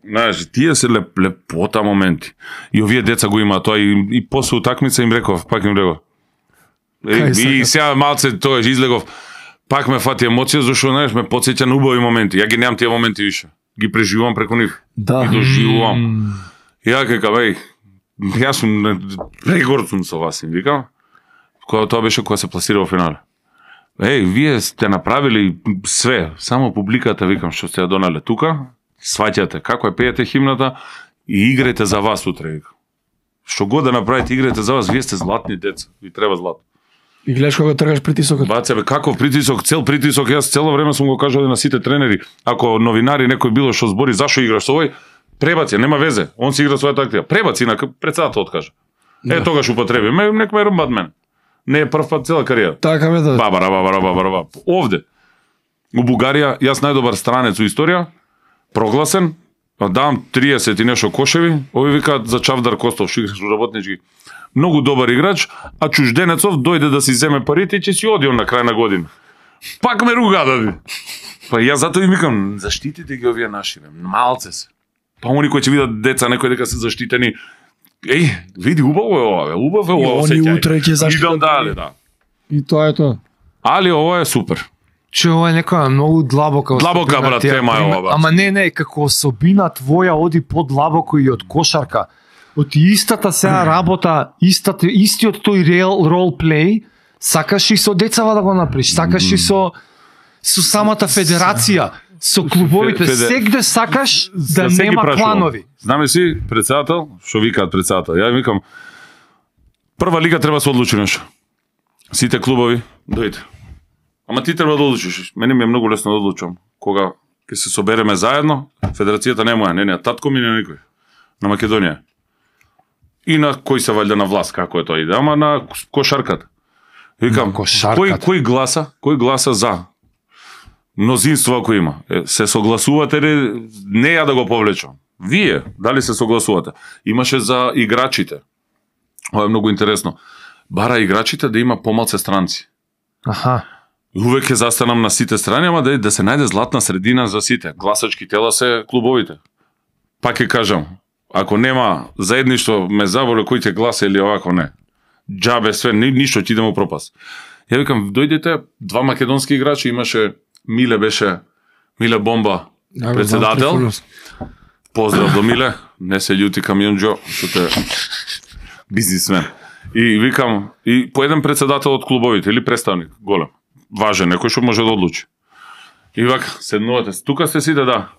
Speaker 1: Знаеш, тие се леп, лепота моменти. И овие деца го имаат тоа и, и после утакмица им реков, пак им реков.
Speaker 2: Кај
Speaker 1: Е, и
Speaker 2: сакаш?
Speaker 1: сега малце тоа излегов. Пак ме фати емоција зашто знаеш ме потсеќа на убави моменти. Ја ги немам тие моменти више. Ги преживувам преку нив.
Speaker 2: Да.
Speaker 1: И доживувам. Ја кажам, еј, јас сум прегорд сум со вас, им викам. Кога тоа беше кога се пласира во финале. Еј, вие сте направили све, само публиката, викам, што сте ја донале тука, сваќате како е пеете химната и играјте за вас утре, викам. Што god да направите, играјте за вас, вие сте златни деца, ви треба злато.
Speaker 2: И гледаш кога тргаш притисокот.
Speaker 1: Баце, бе, каков притисок, цел притисок, јас цело време сум го кажал на сите тренери, ако новинари некој било што збори, зашо играш со овој, пребаци, нема везе, он си игра својата актива, пребаци, на председател откаже. Е,
Speaker 2: Да.
Speaker 1: тогаш употреби, ме, нек ме рмбат мене. Не е прв пат цела кариера.
Speaker 2: Така бе да.
Speaker 1: Бабара, бабара, бабара, бабара. Овде, у Бугарија, јас најдобар странец у историја, прогласен, давам триесет и нешто кошеви, ови викаат за Чавдар Костов, што играш у работнички. Многу добар играч, а чужденецов дојде да си земе парите и ќе си оди он на крај на година. Пак ме руга да. Па јас затоа им викам, заштитите ги овие наши, бе, малце се. Па они кои ќе видат деца некои дека се заштитени, еј, види, убаво е ова, бе, убаво е
Speaker 2: И
Speaker 1: ова,
Speaker 2: они
Speaker 1: осеќај.
Speaker 2: утре ќе заштитат.
Speaker 1: Идам дале, да.
Speaker 2: И тоа е тоа.
Speaker 1: Али ова е супер.
Speaker 3: Че ова е некоја многу длабока
Speaker 1: Длабока,
Speaker 3: особина,
Speaker 1: брат,
Speaker 3: тие
Speaker 1: тема е
Speaker 3: пример-
Speaker 1: ова, брат.
Speaker 3: Ама не, не, како особина твоја оди подлабоко и од кошарка. Од истата сега работа, истата, истиот тој рел, ролплей, сакаш и со децава да го направиш, сакаш и со со самата федерација, со клубовите,
Speaker 1: Феде-
Speaker 3: сегде сакаш да
Speaker 1: За се ги
Speaker 3: нема
Speaker 1: прашувам.
Speaker 3: кланови.
Speaker 1: Знаме си, председател, што викаат председател. Ја викам, прва лига треба да се одлучи нешто. Сите клубови, дојде. Ама ти треба да одлучиш. Мене ми е многу лесно да одлучам. Кога ќе се собереме заедно, федерацијата не е моја, не, не, татко ми не никој. На Македонија. И на кој се валјда на власт, како е тоа иде, ама на кошарката. Викам,
Speaker 3: На кошарката.
Speaker 1: кој кој гласа, кој гласа за? Мнозинство ако има. Е, се согласувате ли? Не ја да го повлечам. Вие, дали се согласувате? Имаше за играчите. Ова е многу интересно. Бара играчите да има помалце странци.
Speaker 3: Аха.
Speaker 1: Увек ќе застанам на сите страни, ама да, да се најде златна средина за сите. Гласачки тела се клубовите. Пак ќе кажам, ако нема заедништво ме заболе кој ќе гласа или овако не. Џабе све, ни, ништо ќе идеме у пропаст. Ја викам, дојдете, два македонски играчи, имаше Миле беше, Миле Бомба,
Speaker 2: Да,
Speaker 1: председател.
Speaker 2: знам,
Speaker 1: Поздрав до Миле, не се љути камионџо, што те бизнисмен. И викам, и по еден председател од клубовите или представник, голем, важен, некој што може да одлучи. И вака, седнувате, тука сте сите, да.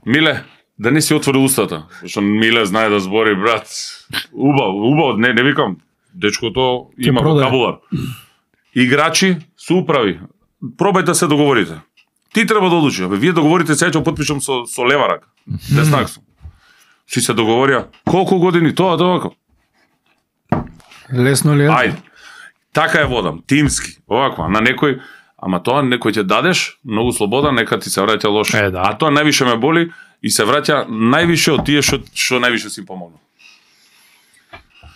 Speaker 1: Миле, да не си отвори устата, што Миле знае да збори, брат. Убаво, убаво, не, не викам, дечкото има
Speaker 2: продаде.
Speaker 1: вокабулар. Играчи се управи. Пробајте се договорите. Ти треба да одлучиш. Абе, вие договорите, сега ќе потпишам со, со лева рака. Деснак сум. Чи се договорија, колку години, тоа, тоа,
Speaker 2: Лесно ли е?
Speaker 1: ајде. Така е водам, тимски, оваква, на некој, ама тоа некој ќе дадеш, многу слобода, нека ти се враќа лошо.
Speaker 3: Е, да.
Speaker 1: А тоа највише ме боли и се враќа највише од тие што што највише си помогнал.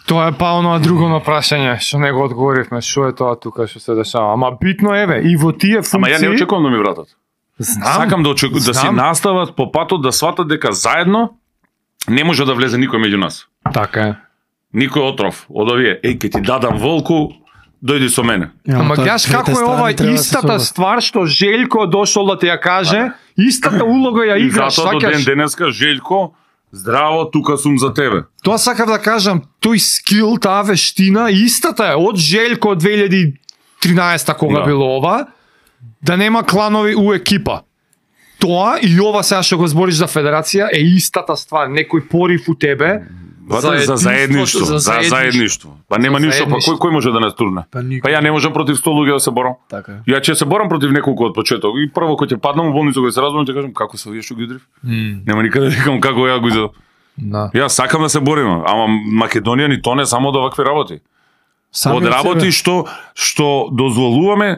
Speaker 3: Тоа е па оно друго на прашање, што не го одговоривме, што е тоа тука што се дешава. Ама битно еве, и во тие функции...
Speaker 1: Ама ја не очекувам да ми вратат.
Speaker 3: Знам,
Speaker 1: Сакам да очеку... да си
Speaker 3: знам.
Speaker 1: настават по патот, да сватат дека заедно не може да влезе никој меѓу нас.
Speaker 3: Така е.
Speaker 1: Никој отров од овие, еј, ке ти дадам волку, дојди со мене.
Speaker 3: Ама
Speaker 2: тоа
Speaker 3: гледаш
Speaker 2: двете
Speaker 3: како е
Speaker 2: страни
Speaker 3: ова
Speaker 2: треба да се
Speaker 3: истата
Speaker 2: соберат.
Speaker 3: ствар што Желјко дошол да ти ја каже, истата улога ја
Speaker 1: И
Speaker 3: играш,
Speaker 1: затоа до ден
Speaker 3: сакаш.
Speaker 1: денеска, Желјко, здраво, тука сум за тебе.
Speaker 3: Тоа сакав да кажам, тој скил, таа вештина, истата е од Желјко од две илјади и тринаесета кога
Speaker 1: Да.
Speaker 3: било ова, да нема кланови у екипа. Тоа и ова сега што го збориш за федерација е истата ствар, некој порив у тебе,
Speaker 1: Бате, за заедништво, за заедништво. Па нема
Speaker 3: За
Speaker 1: ништо, па
Speaker 3: заедништво.
Speaker 1: кој кој може да нас турне?
Speaker 2: Па никој.
Speaker 1: Па ја не можам против сто луѓе да се борам.
Speaker 2: Така е.
Speaker 1: Ја ќе се борам против неколку од почеток и прво кој ќе паднам во болница кој се разборам ќе кажам како се вие што ги удрив. Нема никаде да викам како ја го изедов.
Speaker 3: Да.
Speaker 1: Јас сакам да се борим, ама Македонија ни тоне само од овакви работи.
Speaker 2: Сами
Speaker 1: Од
Speaker 2: од
Speaker 1: работи
Speaker 2: себе.
Speaker 1: што што дозволуваме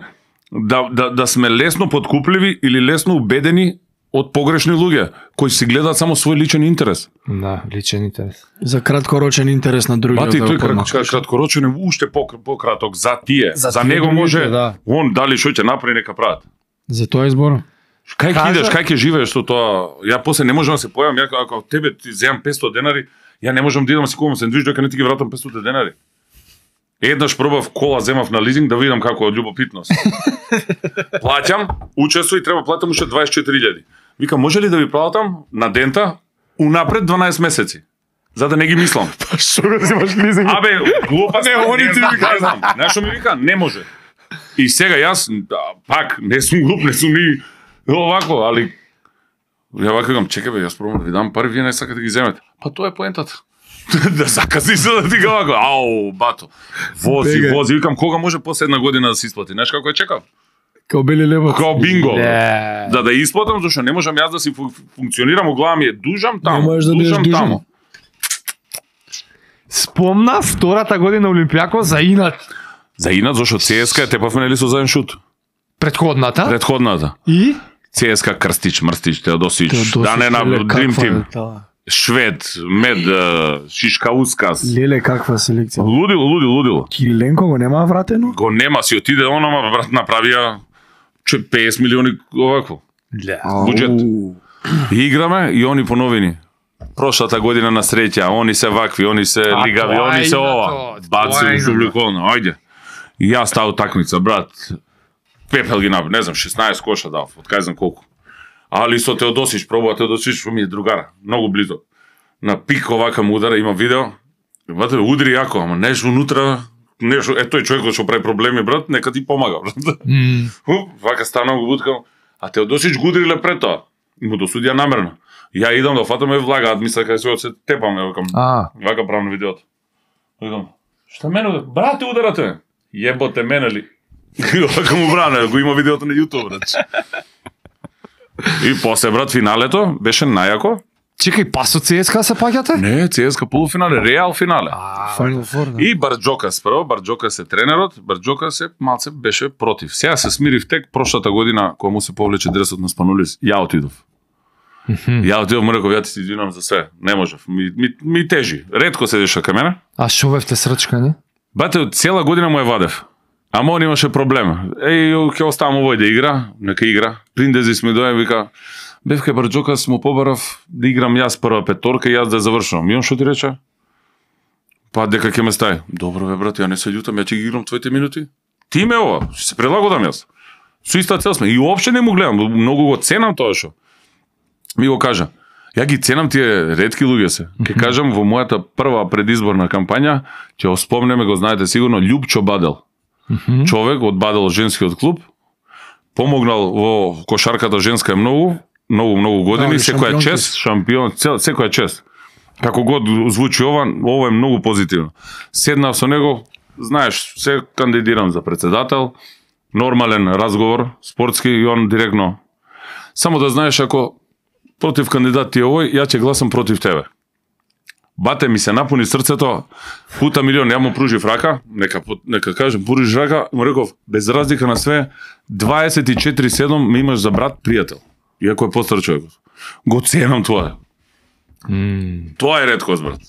Speaker 1: да да да сме лесно подкупливи или лесно убедени од погрешни луѓе кои си гледаат само свој личен интерес.
Speaker 3: Да, личен интерес.
Speaker 2: За краткорочен интерес на другиот.
Speaker 1: Бати,
Speaker 2: да
Speaker 1: тој
Speaker 2: го помакаш.
Speaker 1: крат, краткорочен е уште по, пократок за тие.
Speaker 2: За
Speaker 1: За,
Speaker 2: тие
Speaker 1: него
Speaker 2: другите,
Speaker 1: може,
Speaker 2: да.
Speaker 1: он дали што ќе направи, нека прават.
Speaker 2: За тоа изборам.
Speaker 1: Кај ќе
Speaker 3: Кажа-
Speaker 1: идеш, кај ќе живееш со тоа? Ја после не можам да се појавам, ја ако од тебе ти земам петсто денари, ја не можам да идам да си купам сендвич дека не ти ги вратам петсто денари. Еднаш пробав кола земав на лизинг да видам како од љубопитност. Плаќам, учествувам и треба платам уште дваесет и четири илјади. Викам, може ли да ви платам на дента унапред дванаесет месеци? За да не ги мислам.
Speaker 2: Што го земаш лизинг?
Speaker 1: Абе, глупа
Speaker 2: Не,
Speaker 1: стvar,
Speaker 2: они
Speaker 1: не
Speaker 2: ти
Speaker 1: знам,
Speaker 2: викаат.
Speaker 1: не знам. Знаеш што ми вика? Не може. И сега јас, да, пак, не сум глуп, не сум ни овако, али ја вака викам, чекај бе, јас пробам да ви дам пари, вие не сакате да ги земете. Па тоа е поентата. Да закази се да ти го вака. Ау, бато. Вози,
Speaker 2: Бегај.
Speaker 1: вози. Викам, кога може после една година да се исплати? Знаеш како ја чекав?
Speaker 2: Као бели лебот.
Speaker 1: Као бинго. бе.
Speaker 3: Не.
Speaker 1: Да да исплатам, зашто не можам јас да си фу- функционирам, у глава ми е дужам
Speaker 2: Не
Speaker 1: таму,
Speaker 2: можеш да бидеш
Speaker 1: дужам
Speaker 2: дужан.
Speaker 1: таму.
Speaker 3: Спомна втората година Олимпијако за инат.
Speaker 1: За инат, зашто ЦСКА тепавме нели со заеден шут.
Speaker 3: Предходната.
Speaker 1: Предходната.
Speaker 3: И
Speaker 1: ЦСКА Крстич, Мрстич, Теодосич,
Speaker 2: Теодосич,
Speaker 1: да не на
Speaker 2: леле,
Speaker 1: Dream
Speaker 2: каква
Speaker 1: Team,
Speaker 2: е таа?
Speaker 1: Швед, Мед, е, Шишка Ускас.
Speaker 2: Леле, каква селекција.
Speaker 1: Лудило, лудило, лудило.
Speaker 2: Кириленко го нема вратено?
Speaker 1: Го нема, си отиде оно, ма брат направија че петдесет милиони овако. Буџет.
Speaker 2: Ау.
Speaker 1: И играме и они поновини. Прошлата година на среќа, они се вакви, они се
Speaker 3: А,
Speaker 1: лигави,
Speaker 3: тоа е
Speaker 1: они се
Speaker 3: инато,
Speaker 1: ова.
Speaker 3: тоа е
Speaker 1: Баци
Speaker 3: инато.
Speaker 1: субликолно, ајде. И јас таа утакмица, брат. Пепел ги направи, не знам, шеснаесет коша дав, од кај знам колку. Али со Теодосич, пробува Теодосич, што ми е другара, многу близо. На пик овака му удара, има видео. Бате, удри јако, ама нешто внутра, нешто, е тој човекот што прави проблеми, брат, нека ти помага, брат.
Speaker 3: М,
Speaker 1: Хуп, вака станам го буткам, а Теодосич го удриле пред тоа. И му досудија намерно. Ја идам да фатаме влагаат, мисля кај се се тепаме, викам.
Speaker 3: А,
Speaker 1: Вака правам на видеото. Викам, што мене удар? Брате ударате. Јеботе мене ли? Вака му бране, го има видеото на YouTube, брат. И после, брат, финалето беше најако.
Speaker 3: чекај, па со ЦСКА се паѓате?
Speaker 1: Не, ЦСКА полуфинале, Реал финале.
Speaker 2: Final Four, да.
Speaker 1: И Барџокас прво, Барџокас е тренерот, Барџокас е малце беше против. Сега се смирив тек прошлата година кога му се повлече дресот на Спанулис, ја отидов. Ја отидов, му реков, ја ти се извинувам за све. Не можев, ми, ми, ми тежи. Ретко седеше кај мене.
Speaker 3: А шовевте срчкани?
Speaker 1: Бате, цела година му е вадев. Ама он имаше проблем. Еј, ќе оставам овој да игра, нека игра. Приндезис ми дојде, вика, бев кај Барџокас му побарав да играм јас прва петорка и јас да ја завршувам. И он што ти рече? Па дека ќе ме стаи. Добро бе брат, ја не се љутам, ја ќе ги играм твоите минути. Ти ме ова, ќе се прилагодам јас. Со иста цел сме. И уопште не му гледам, многу го ценам тоа што. Ми го кажа. Ја ги ценам тие ретки луѓе се. Ќе кажам во мојата прва предизборна кампања, ќе оспомнеме, го знаете сигурно, Љупчо Бадел. Човек од Бадел женскиот клуб, помогнал во кошарката женска многу, многу многу години,
Speaker 2: Да,
Speaker 1: секоја
Speaker 2: шампионки
Speaker 1: чест, шампион, цел, секоја чест. Како год звучи ова, ова е многу позитивно. Седнав со него, знаеш, се кандидирам за председател, нормален разговор, спортски и он директно. Само да знаеш, ако против кандидат ти е овој, ја ќе гласам против тебе. Бате ми се напуни срцето, пута милион, ја му пружив рака, нека, нека кажем, пружиш рака, му реков, без разлика на све, дваесет и четири седум ми имаш за брат пријател, иако е постар човекот. Го ценам тоа. Тоа е реткост, брат.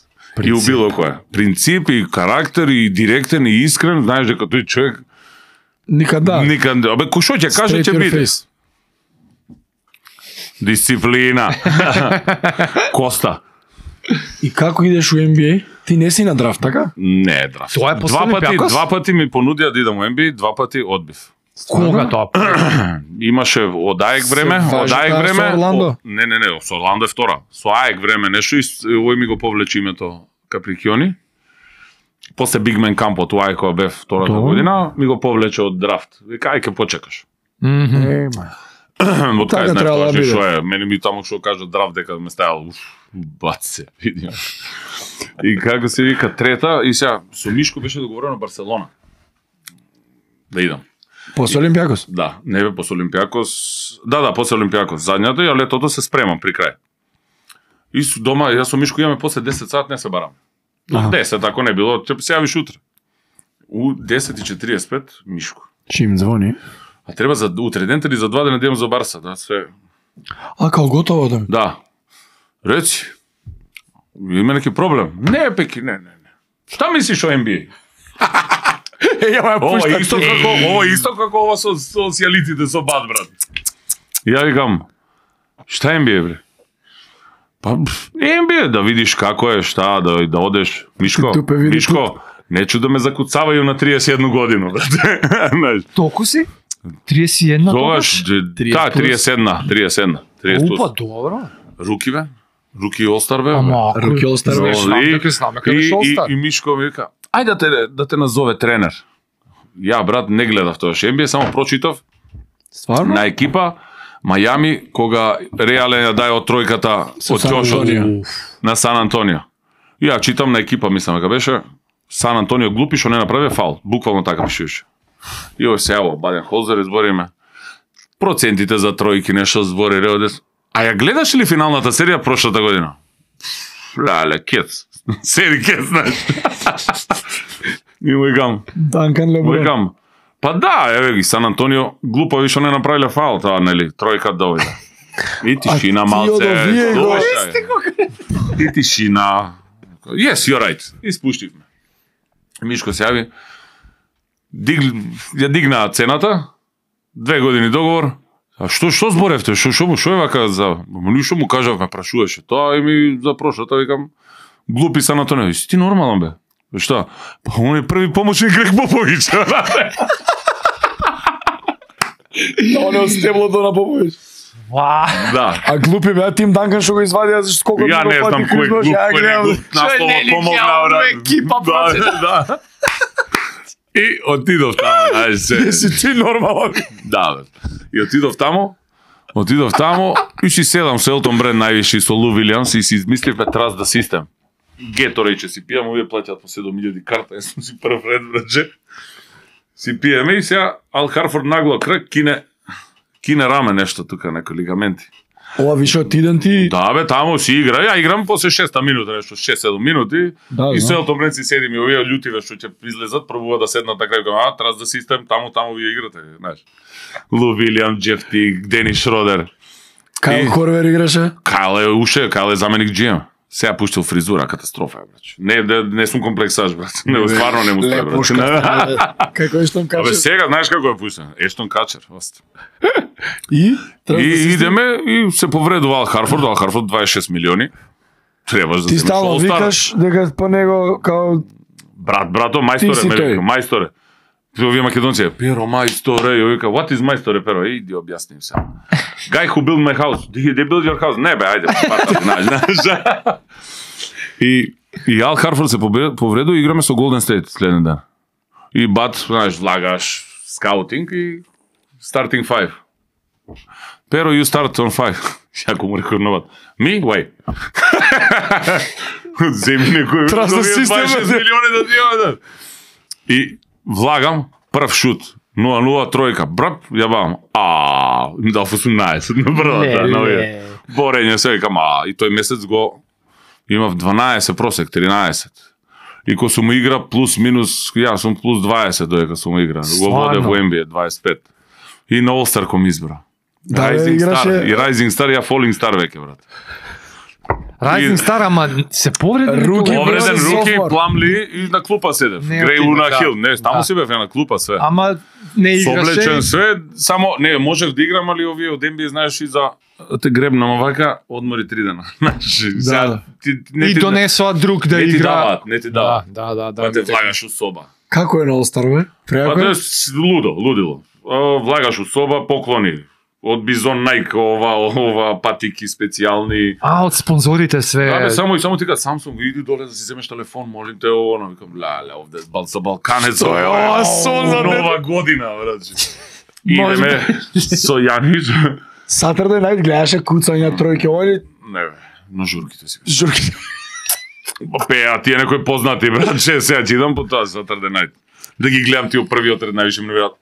Speaker 1: И у било која. Принцип и карактер и директен и искрен, знаеш дека тој човек
Speaker 2: Никада.
Speaker 1: никад, абе кој што ќе каже
Speaker 2: Straight
Speaker 1: ќе
Speaker 2: your
Speaker 1: биде.
Speaker 2: face.
Speaker 1: Дисциплина. Коста.
Speaker 2: И како идеш у Н Б А? Ти не си на драфт, така?
Speaker 1: Не, драфт.
Speaker 3: Тоа е после
Speaker 1: два пати,
Speaker 3: Олимпијакос?
Speaker 1: два пати ми понудија да идам во Н Б А, два пати одбив.
Speaker 3: Кога тоа?
Speaker 1: Имаше од АЕК време,
Speaker 2: Се
Speaker 1: од
Speaker 2: важи
Speaker 1: АЕК
Speaker 2: таа
Speaker 1: време.
Speaker 2: со Орландо?
Speaker 1: о- Не, не, не, со Орландо е втора. Со АЕК време нешто и с- овој ми го повлече името Каприкјони. После Бигмен кампот у АЕК кога бев втората
Speaker 2: Тоа.
Speaker 1: година, ми го повлече од драфт. Вика, ај ке почекаш.
Speaker 3: Мгм.
Speaker 2: Ема.
Speaker 1: Од
Speaker 2: Така
Speaker 1: кај знаеш
Speaker 2: требало
Speaker 1: тоа
Speaker 2: да биде.
Speaker 1: што е. Мене ми таму што кажа драфт дека ме стајал, уф, баце, види. И како се вика трета, и сега со Мишко беше договорено Барселона. Да идам.
Speaker 2: После Олимпиакос?
Speaker 1: Да, не бе после Олимпиакос. Да, да, после Олимпиакос. Задњата, ја летото се спремам при крај. И со дома, јас со Мишко имаме после десет сат, не се барам. До десет, ако не било, ќе се јавиш утре. У десет и четириесет и пет, Мишко.
Speaker 2: Чим звони?
Speaker 1: А треба за утре ден или за два дена да идем за Барса, да, се...
Speaker 2: А, као готово да ми?
Speaker 1: Да. Реци, има неки проблем? Не, Пеки, не, не, не. Шта мислиш о Н Б А?
Speaker 2: Е, ја ме
Speaker 1: Ова
Speaker 2: пушта.
Speaker 1: е исто како, ова е исто како ова со социјалитите со бат, брат. Ја викам, шта Н Б А, бре? Па, Н Б А, да видиш како е, шта, да, да одеш. Мишко,
Speaker 2: Тупе, види
Speaker 1: Мишко, нечу да ме закуцавају на триесет и една година, брат. Знаеш.
Speaker 3: Толку си? триесет и една
Speaker 1: Тогаш, да, триесет и една, триесет и една. триесет
Speaker 3: Опа, добро.
Speaker 1: Руки, бе. Руки Олстар, бе.
Speaker 3: Ама, ако...
Speaker 2: Руки Олстар, бе.
Speaker 3: Не знам дека знам, дека
Speaker 1: И,
Speaker 3: беше
Speaker 1: и,
Speaker 3: Олстар.
Speaker 1: и Мишко ми вика, ајде да те, да те назове тренер. Ја, брат, не гледав тоа Н Б А, само прочитав
Speaker 2: Стварно?
Speaker 1: на екипа Мајами, кога Реален ја дај од тројката од
Speaker 2: Сан
Speaker 1: ќошот
Speaker 2: Антонио.
Speaker 1: на Сан Антонио. И ја читам на екипа, мислам дека беше Сан Антонио глупи што не направи фаул. Буквално така пишеше. И ој се јаво, Баден Холзер избориме. Процентите за тројки, нешто збори Реодес. А ја гледаш ли финалната серија прошлата година? Леле, кец. Сери кец, знаеш. И му викам,
Speaker 2: Данкан Леброн.
Speaker 1: викам, па да, еве ги, Сан Антонио, глупави што не направиле фаул, таа, нели, тројка дојде. И тишина
Speaker 2: А ти
Speaker 1: малце.
Speaker 2: од овие го-
Speaker 1: слушај. И тишина. Yes, you're right. И спуштивме. Мишко се јави. Диг, ја дигнаа цената, две години договор. А што што зборевте? Што што му што е вака за ништо му кажав, ме прашуваше. Тоа и ми за прошлата викам глупи Сан Антонио. Си ти нормален бе? Што? Па он е први помошник Грег Поповиќ.
Speaker 2: Он е од стеблото на Попович.
Speaker 3: Ва.
Speaker 1: Да.
Speaker 2: А глупи бе, Тим Данкан што го извадија за сколку
Speaker 1: Ја не знам кој е глуп, кој не е глуп. Наслово помогнаа, брат.
Speaker 3: екипа,
Speaker 1: Да, да. И отидов таму, знаеш се.
Speaker 2: Си ти нормален.
Speaker 1: Да, бе. И отидов таму, отидов таму, и си седам со Елтон Брен највише со Лу Вилиамс и си измисливме Trust the System. Геторейд че си пијам, овие плаќаат по седум илјади карта, јас сум си прв ред, братче. Си пиеме и сега Ал Харфорд нагло крак, кине, кине раме нешто тука, некои лигаменти.
Speaker 2: Ова више од тиден ти.
Speaker 1: Да, бе, таму си игра. Ја играм после шеста минута, нешто шест-седум минути.
Speaker 2: Да,
Speaker 1: и
Speaker 2: да.
Speaker 1: со Елтон Брен си седим и овие љутиве што ќе излезат, пробува да седнат така и кажа, а, Trust the System, таму, таму вие играте, знаеш. Лу Вилиам, Джеф Тиг, Дени Шродер.
Speaker 2: Кај
Speaker 1: И-
Speaker 2: Корвер играше?
Speaker 1: Кайл е уше, Кайл е заменик Джи Ем. Сега пуштил фризура, катастрофа е, брач. Не, не, не сум комплексаж, брат. Не, стварно не му стои, брат.
Speaker 2: Лепошка. Како Ештон
Speaker 1: Абе,
Speaker 2: Качер.
Speaker 1: сега, знаеш како е пуштен? Ештон Качер. ост.
Speaker 2: И? Треба
Speaker 1: И
Speaker 2: да се
Speaker 1: идеме и се повредува Ал Харфорд, Ал Харфорд дваесет и шест милиони. Требаш да
Speaker 2: Ти
Speaker 1: земеш
Speaker 2: стално
Speaker 1: All-Star.
Speaker 2: викаш дека по него као
Speaker 1: Брат, брато,
Speaker 2: Ти
Speaker 1: мајсторе,
Speaker 2: си
Speaker 1: ме
Speaker 2: тој.
Speaker 1: вика, мајсторе. Овие македонци, Перо, мајсторе, и вика, what is мајсторе, Перо? Иди, објасним се. Guy who built my house. Did they build your house? Не, бе, ајде, пата, знаеш, знаеш. И, и Ал Харфорд се побре- повредува и играме со Голден Стейт следен ден. И бат, знаеш, влагаш скаутинг и starting five. Pero you start on five. Јако му рекор на бат. Me? Why? Земи некој
Speaker 2: Trust the system,
Speaker 1: дваесет и шест
Speaker 2: бе.
Speaker 1: милиони да ти ја И влагам прв шут. нула нула тројка. Брап, ја бавам. А, им дал осумнаесет на првата, на овие. Борење се викам, а, и тој месец го имав дванаесет просек, тринаесет. И ко сум игра плюс минус, ја сум плюс дваесет додека сум игра. Го воде во Н Б А дваесет и пет. И на All-Star ком избра.
Speaker 2: Да,
Speaker 1: Rising
Speaker 2: играше-
Speaker 1: Star. И Rising Star, ја Falling Star веќе, брат.
Speaker 3: Rising Star, ама се повреди.
Speaker 2: Руки,
Speaker 3: никога?
Speaker 1: Повреден
Speaker 2: беше
Speaker 1: руки,
Speaker 2: sophomore.
Speaker 1: Пламли и на клупа седев.
Speaker 3: Не,
Speaker 1: Греј
Speaker 3: отиде,
Speaker 1: Луна
Speaker 3: да.
Speaker 1: Хил. Не, таму
Speaker 3: Да.
Speaker 1: си бев ја на клупа све.
Speaker 3: Ама не играше.
Speaker 1: Соблечен све, само не можев да играм, али овие од Н Б А знаеш и за да те гребнам овака, одмори три дена. Знаеш, сега
Speaker 2: да.
Speaker 1: ти не
Speaker 3: И
Speaker 1: ти
Speaker 3: донесоа друг да
Speaker 1: не ти
Speaker 3: игра.
Speaker 1: даваат, не ти
Speaker 3: Да,
Speaker 1: даваат.
Speaker 3: да, да, да.
Speaker 1: Па те влагаш у соба.
Speaker 2: Како е на All-Star, бе?
Speaker 1: Па
Speaker 2: Преако
Speaker 1: тоа
Speaker 2: е?
Speaker 1: е с- лудо, лудило. О, Влагаш у соба, поклони. Од Бизон Nike, ова, ова патики специјални.
Speaker 3: А, од спонзорите све.
Speaker 1: Да, бе, само и само ти кажа, Samsung, иди доле да си земеш телефон, молим те, оно, викам, леле, овде бал за Балканец, ова е,
Speaker 2: Ова,
Speaker 1: ова,
Speaker 2: сон за
Speaker 1: нова година, брат.
Speaker 3: Може
Speaker 1: Идеме со Јанич.
Speaker 2: Saturday Night гледаше куцања тројки, ова ли
Speaker 1: Не, бе, на журките си.
Speaker 2: журки.
Speaker 1: Пеа, тие некои познати, брат, че сега ќе идам по тоа Saturday Night. Да ги гледам тие првиот ред, највише ме навијат.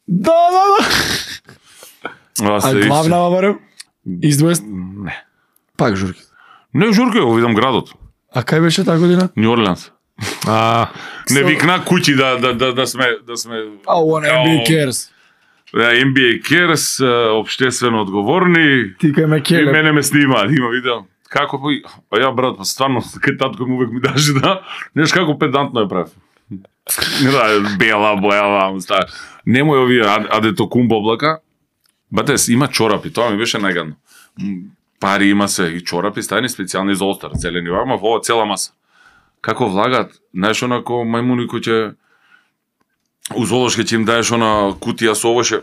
Speaker 2: Да, да, да. А главна барем? East West?
Speaker 1: Не.
Speaker 2: Пак журки.
Speaker 1: Не журки, го видам градот.
Speaker 2: А кај беше таа година?
Speaker 1: Нью Орлеанс.
Speaker 3: А,
Speaker 1: Не викна куќи да да да да сме да сме
Speaker 2: А, one N B A cares.
Speaker 1: Н Б А cares, општествено одговорни.
Speaker 2: Ти кај ме
Speaker 1: И
Speaker 2: келе.
Speaker 1: мене ме снима, има видео. Како па, па ја брат, па стварно, кај татко ми увек ми даше да, неш како педантно е прав. Не да, бела, бојава, уста. Немој овие адето кумбо облака. Бате, има чорапи, тоа ми беше најгадно. Пари има се и чорапи, стајни специјални за остар, целени вама, ова цела маса. Како влагат, знаеш онако мајмуни кои ќе у зоолошки ќе им даеш она кутија со овоше.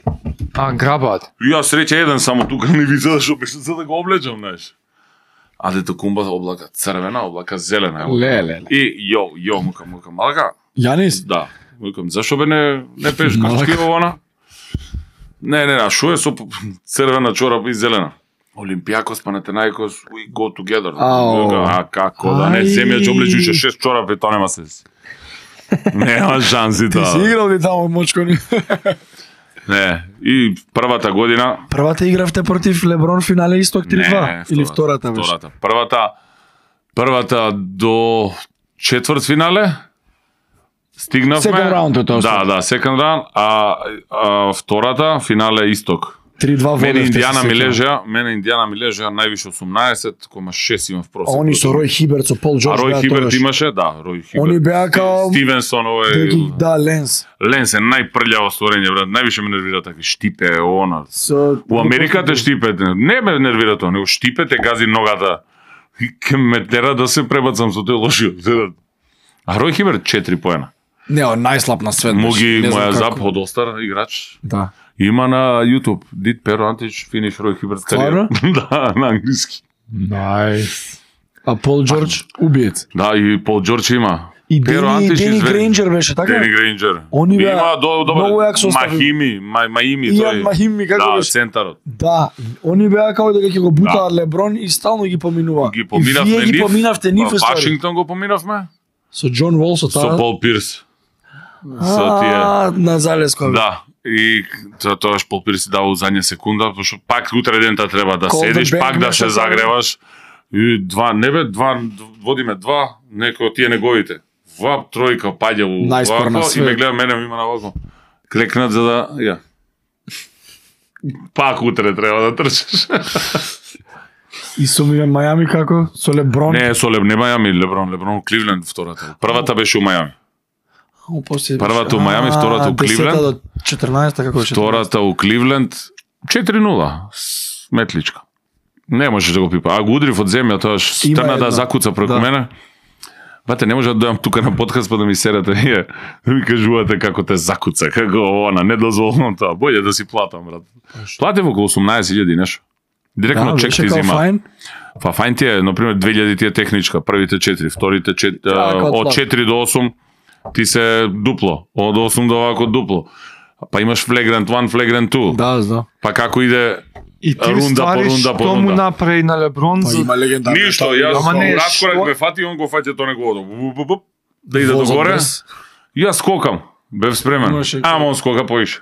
Speaker 3: а грабаат.
Speaker 1: И јас среќа еден само тука не ви за што беше за да го облечам, знаеш. А дето кумба облака црвена, облака зелена.
Speaker 2: Ле, ле, ле.
Speaker 1: И јо, јо, мукам, мукам, малка.
Speaker 2: Јанис?
Speaker 1: Да, мукам, зашо бе не не пеш качки овона? Не, не, а шо е со црвена чорапа и зелена? Олимпијакос, Панатенаикос, we go together.
Speaker 2: Ау.
Speaker 1: А како да не
Speaker 2: Ај.
Speaker 1: земја ќе облечуше шест чорапи, тоа нема се. Нема шанси
Speaker 2: Ти си
Speaker 1: тоа.
Speaker 2: играл ли таму мочкони?
Speaker 1: Не, и првата година
Speaker 2: Првата игравте против Леброн финале Исток три-два или втората беше?
Speaker 1: Втората. Првата првата до четврт финале стигнавме.
Speaker 2: Second round е тоа.
Speaker 1: Да, да, second round, а, а втората финале Исток.
Speaker 2: три-два
Speaker 1: Мене
Speaker 2: водевте.
Speaker 1: Индијана
Speaker 2: се
Speaker 1: ми
Speaker 2: сеќавам.
Speaker 1: лежа, мене Индијана ми лежа највише осумнаесет кома шест имав
Speaker 2: А
Speaker 1: просек.
Speaker 2: они со Рој Хиберт, со Пол
Speaker 1: А
Speaker 2: Джордж
Speaker 1: Рој
Speaker 2: беа
Speaker 1: Хиберт
Speaker 2: тогаш.
Speaker 1: имаше, да, Рој Хиберт.
Speaker 2: Они беа као-
Speaker 1: Стивенсон,
Speaker 2: Да
Speaker 1: овој
Speaker 2: ги- Да, Ленс.
Speaker 1: Ленс е најпрљаво створење, брат. Највише ме нервира такви штипе, она.
Speaker 2: Со
Speaker 1: У Америка те штипе, не ме нервира тоа, него штипе те гази ногата. И ке ме тера да се пребацам со тој лошиот. А Рој Хиберт четири поена.
Speaker 2: Не, он најслаб на свет. беше.
Speaker 1: Моги
Speaker 2: Не знам
Speaker 1: моја
Speaker 2: како.
Speaker 1: зап од Остар играч.
Speaker 2: Да.
Speaker 1: Има на YouTube. Did Pero Antic finish Рој Хиберт
Speaker 2: Стварно?
Speaker 1: Да, на англиски.
Speaker 3: Најс.
Speaker 2: А Пол Джордж убиец.
Speaker 1: Да, и Пол Джордж има.
Speaker 2: И
Speaker 1: Pero
Speaker 2: Дени,
Speaker 1: Antic
Speaker 2: Дени
Speaker 1: изве-
Speaker 2: Грейнџер беше, така?
Speaker 1: Дени Грейнџер.
Speaker 2: Они беа
Speaker 1: Има до добро.
Speaker 2: многу јак состав.
Speaker 1: Махими, Ма- Маими
Speaker 2: Иан
Speaker 1: тој.
Speaker 2: Махими, како
Speaker 1: Да,
Speaker 2: беше?
Speaker 1: центарот.
Speaker 2: Да, они беа како дека ќе го бутаат Леброн и стално ги поминува.
Speaker 1: Ги
Speaker 2: И
Speaker 1: поминавме
Speaker 2: вие ги
Speaker 1: нив.
Speaker 2: поминавте нив
Speaker 1: Во
Speaker 2: ствари.
Speaker 1: Вашингтон го поминавме.
Speaker 2: Со Џон Вол со
Speaker 1: Со
Speaker 2: таа.
Speaker 1: Пол Пирс. Со тие.
Speaker 2: А, на залескова.
Speaker 1: Да. И тоа тоаш Пол Пирс си дава задња секунда, пошто пак утре дента треба да
Speaker 2: Call the
Speaker 1: седиш,
Speaker 2: bank
Speaker 1: пак да
Speaker 2: нешто
Speaker 1: се
Speaker 2: само.
Speaker 1: загреваш. И два, не бе, два, водиме два, некој од тие неговите. Вап, тројка, паѓа у
Speaker 2: Најспор на
Speaker 1: вако, и
Speaker 2: свет.
Speaker 1: ме гледа мене, има на вако. Клекнат за да, ја. Пак утре треба да трчаш.
Speaker 2: И со ми Мајами како? Со Леброн?
Speaker 1: Не, со Леб, не Мајами, Леброн, Леброн, Кливленд втората. Првата беше у Мајами.
Speaker 2: О, после
Speaker 1: Првата у Мајами,
Speaker 2: А,
Speaker 1: втората у
Speaker 2: десета
Speaker 1: Кливленд.
Speaker 2: до четрнаесета како беше?
Speaker 1: Втората у Кливленд четири нула. Сметличка. Не можеш да го пипа. А го удрив од земја, тоа
Speaker 2: Има
Speaker 1: трна да
Speaker 2: една.
Speaker 1: закуца преку
Speaker 2: Да.
Speaker 1: мене. Бате, не може да дојам тука на подкаст па да ми серете вие. Да ми кажувате како те закуца, како она, недозволено тоа. Боље да си платам, брат. Платив околу осумнаесет илјади нешто. Директно
Speaker 2: Да,
Speaker 1: чек
Speaker 2: беше
Speaker 1: ти
Speaker 2: као
Speaker 1: зима.
Speaker 2: фајн.
Speaker 1: Па фајн ти е, например, две илјади ти е техничка, првите четири, вторите четири,
Speaker 2: Да, како
Speaker 1: од
Speaker 2: плат.
Speaker 1: четири до осум ти се дупло, од осум до овако дупло. Па имаш флегрант еден, флегрант два.
Speaker 2: Да, да.
Speaker 1: Па како иде
Speaker 3: И ти
Speaker 1: Рунда по
Speaker 3: ствари
Speaker 1: рунда по
Speaker 3: што му
Speaker 1: рунда.
Speaker 3: направи на Леброн
Speaker 2: Па
Speaker 3: за...
Speaker 2: има легендарна.
Speaker 1: ништо,
Speaker 2: таа
Speaker 1: јас
Speaker 3: Ама не,
Speaker 1: раскорак
Speaker 3: што?
Speaker 1: ме фати, он го фаќа тоа неговото. Буп, буп, буп, да иде
Speaker 2: возот
Speaker 1: догоре.
Speaker 2: брз.
Speaker 1: Јас скокам. Бев спремен.
Speaker 2: Имаше-
Speaker 1: Ама он скока поише.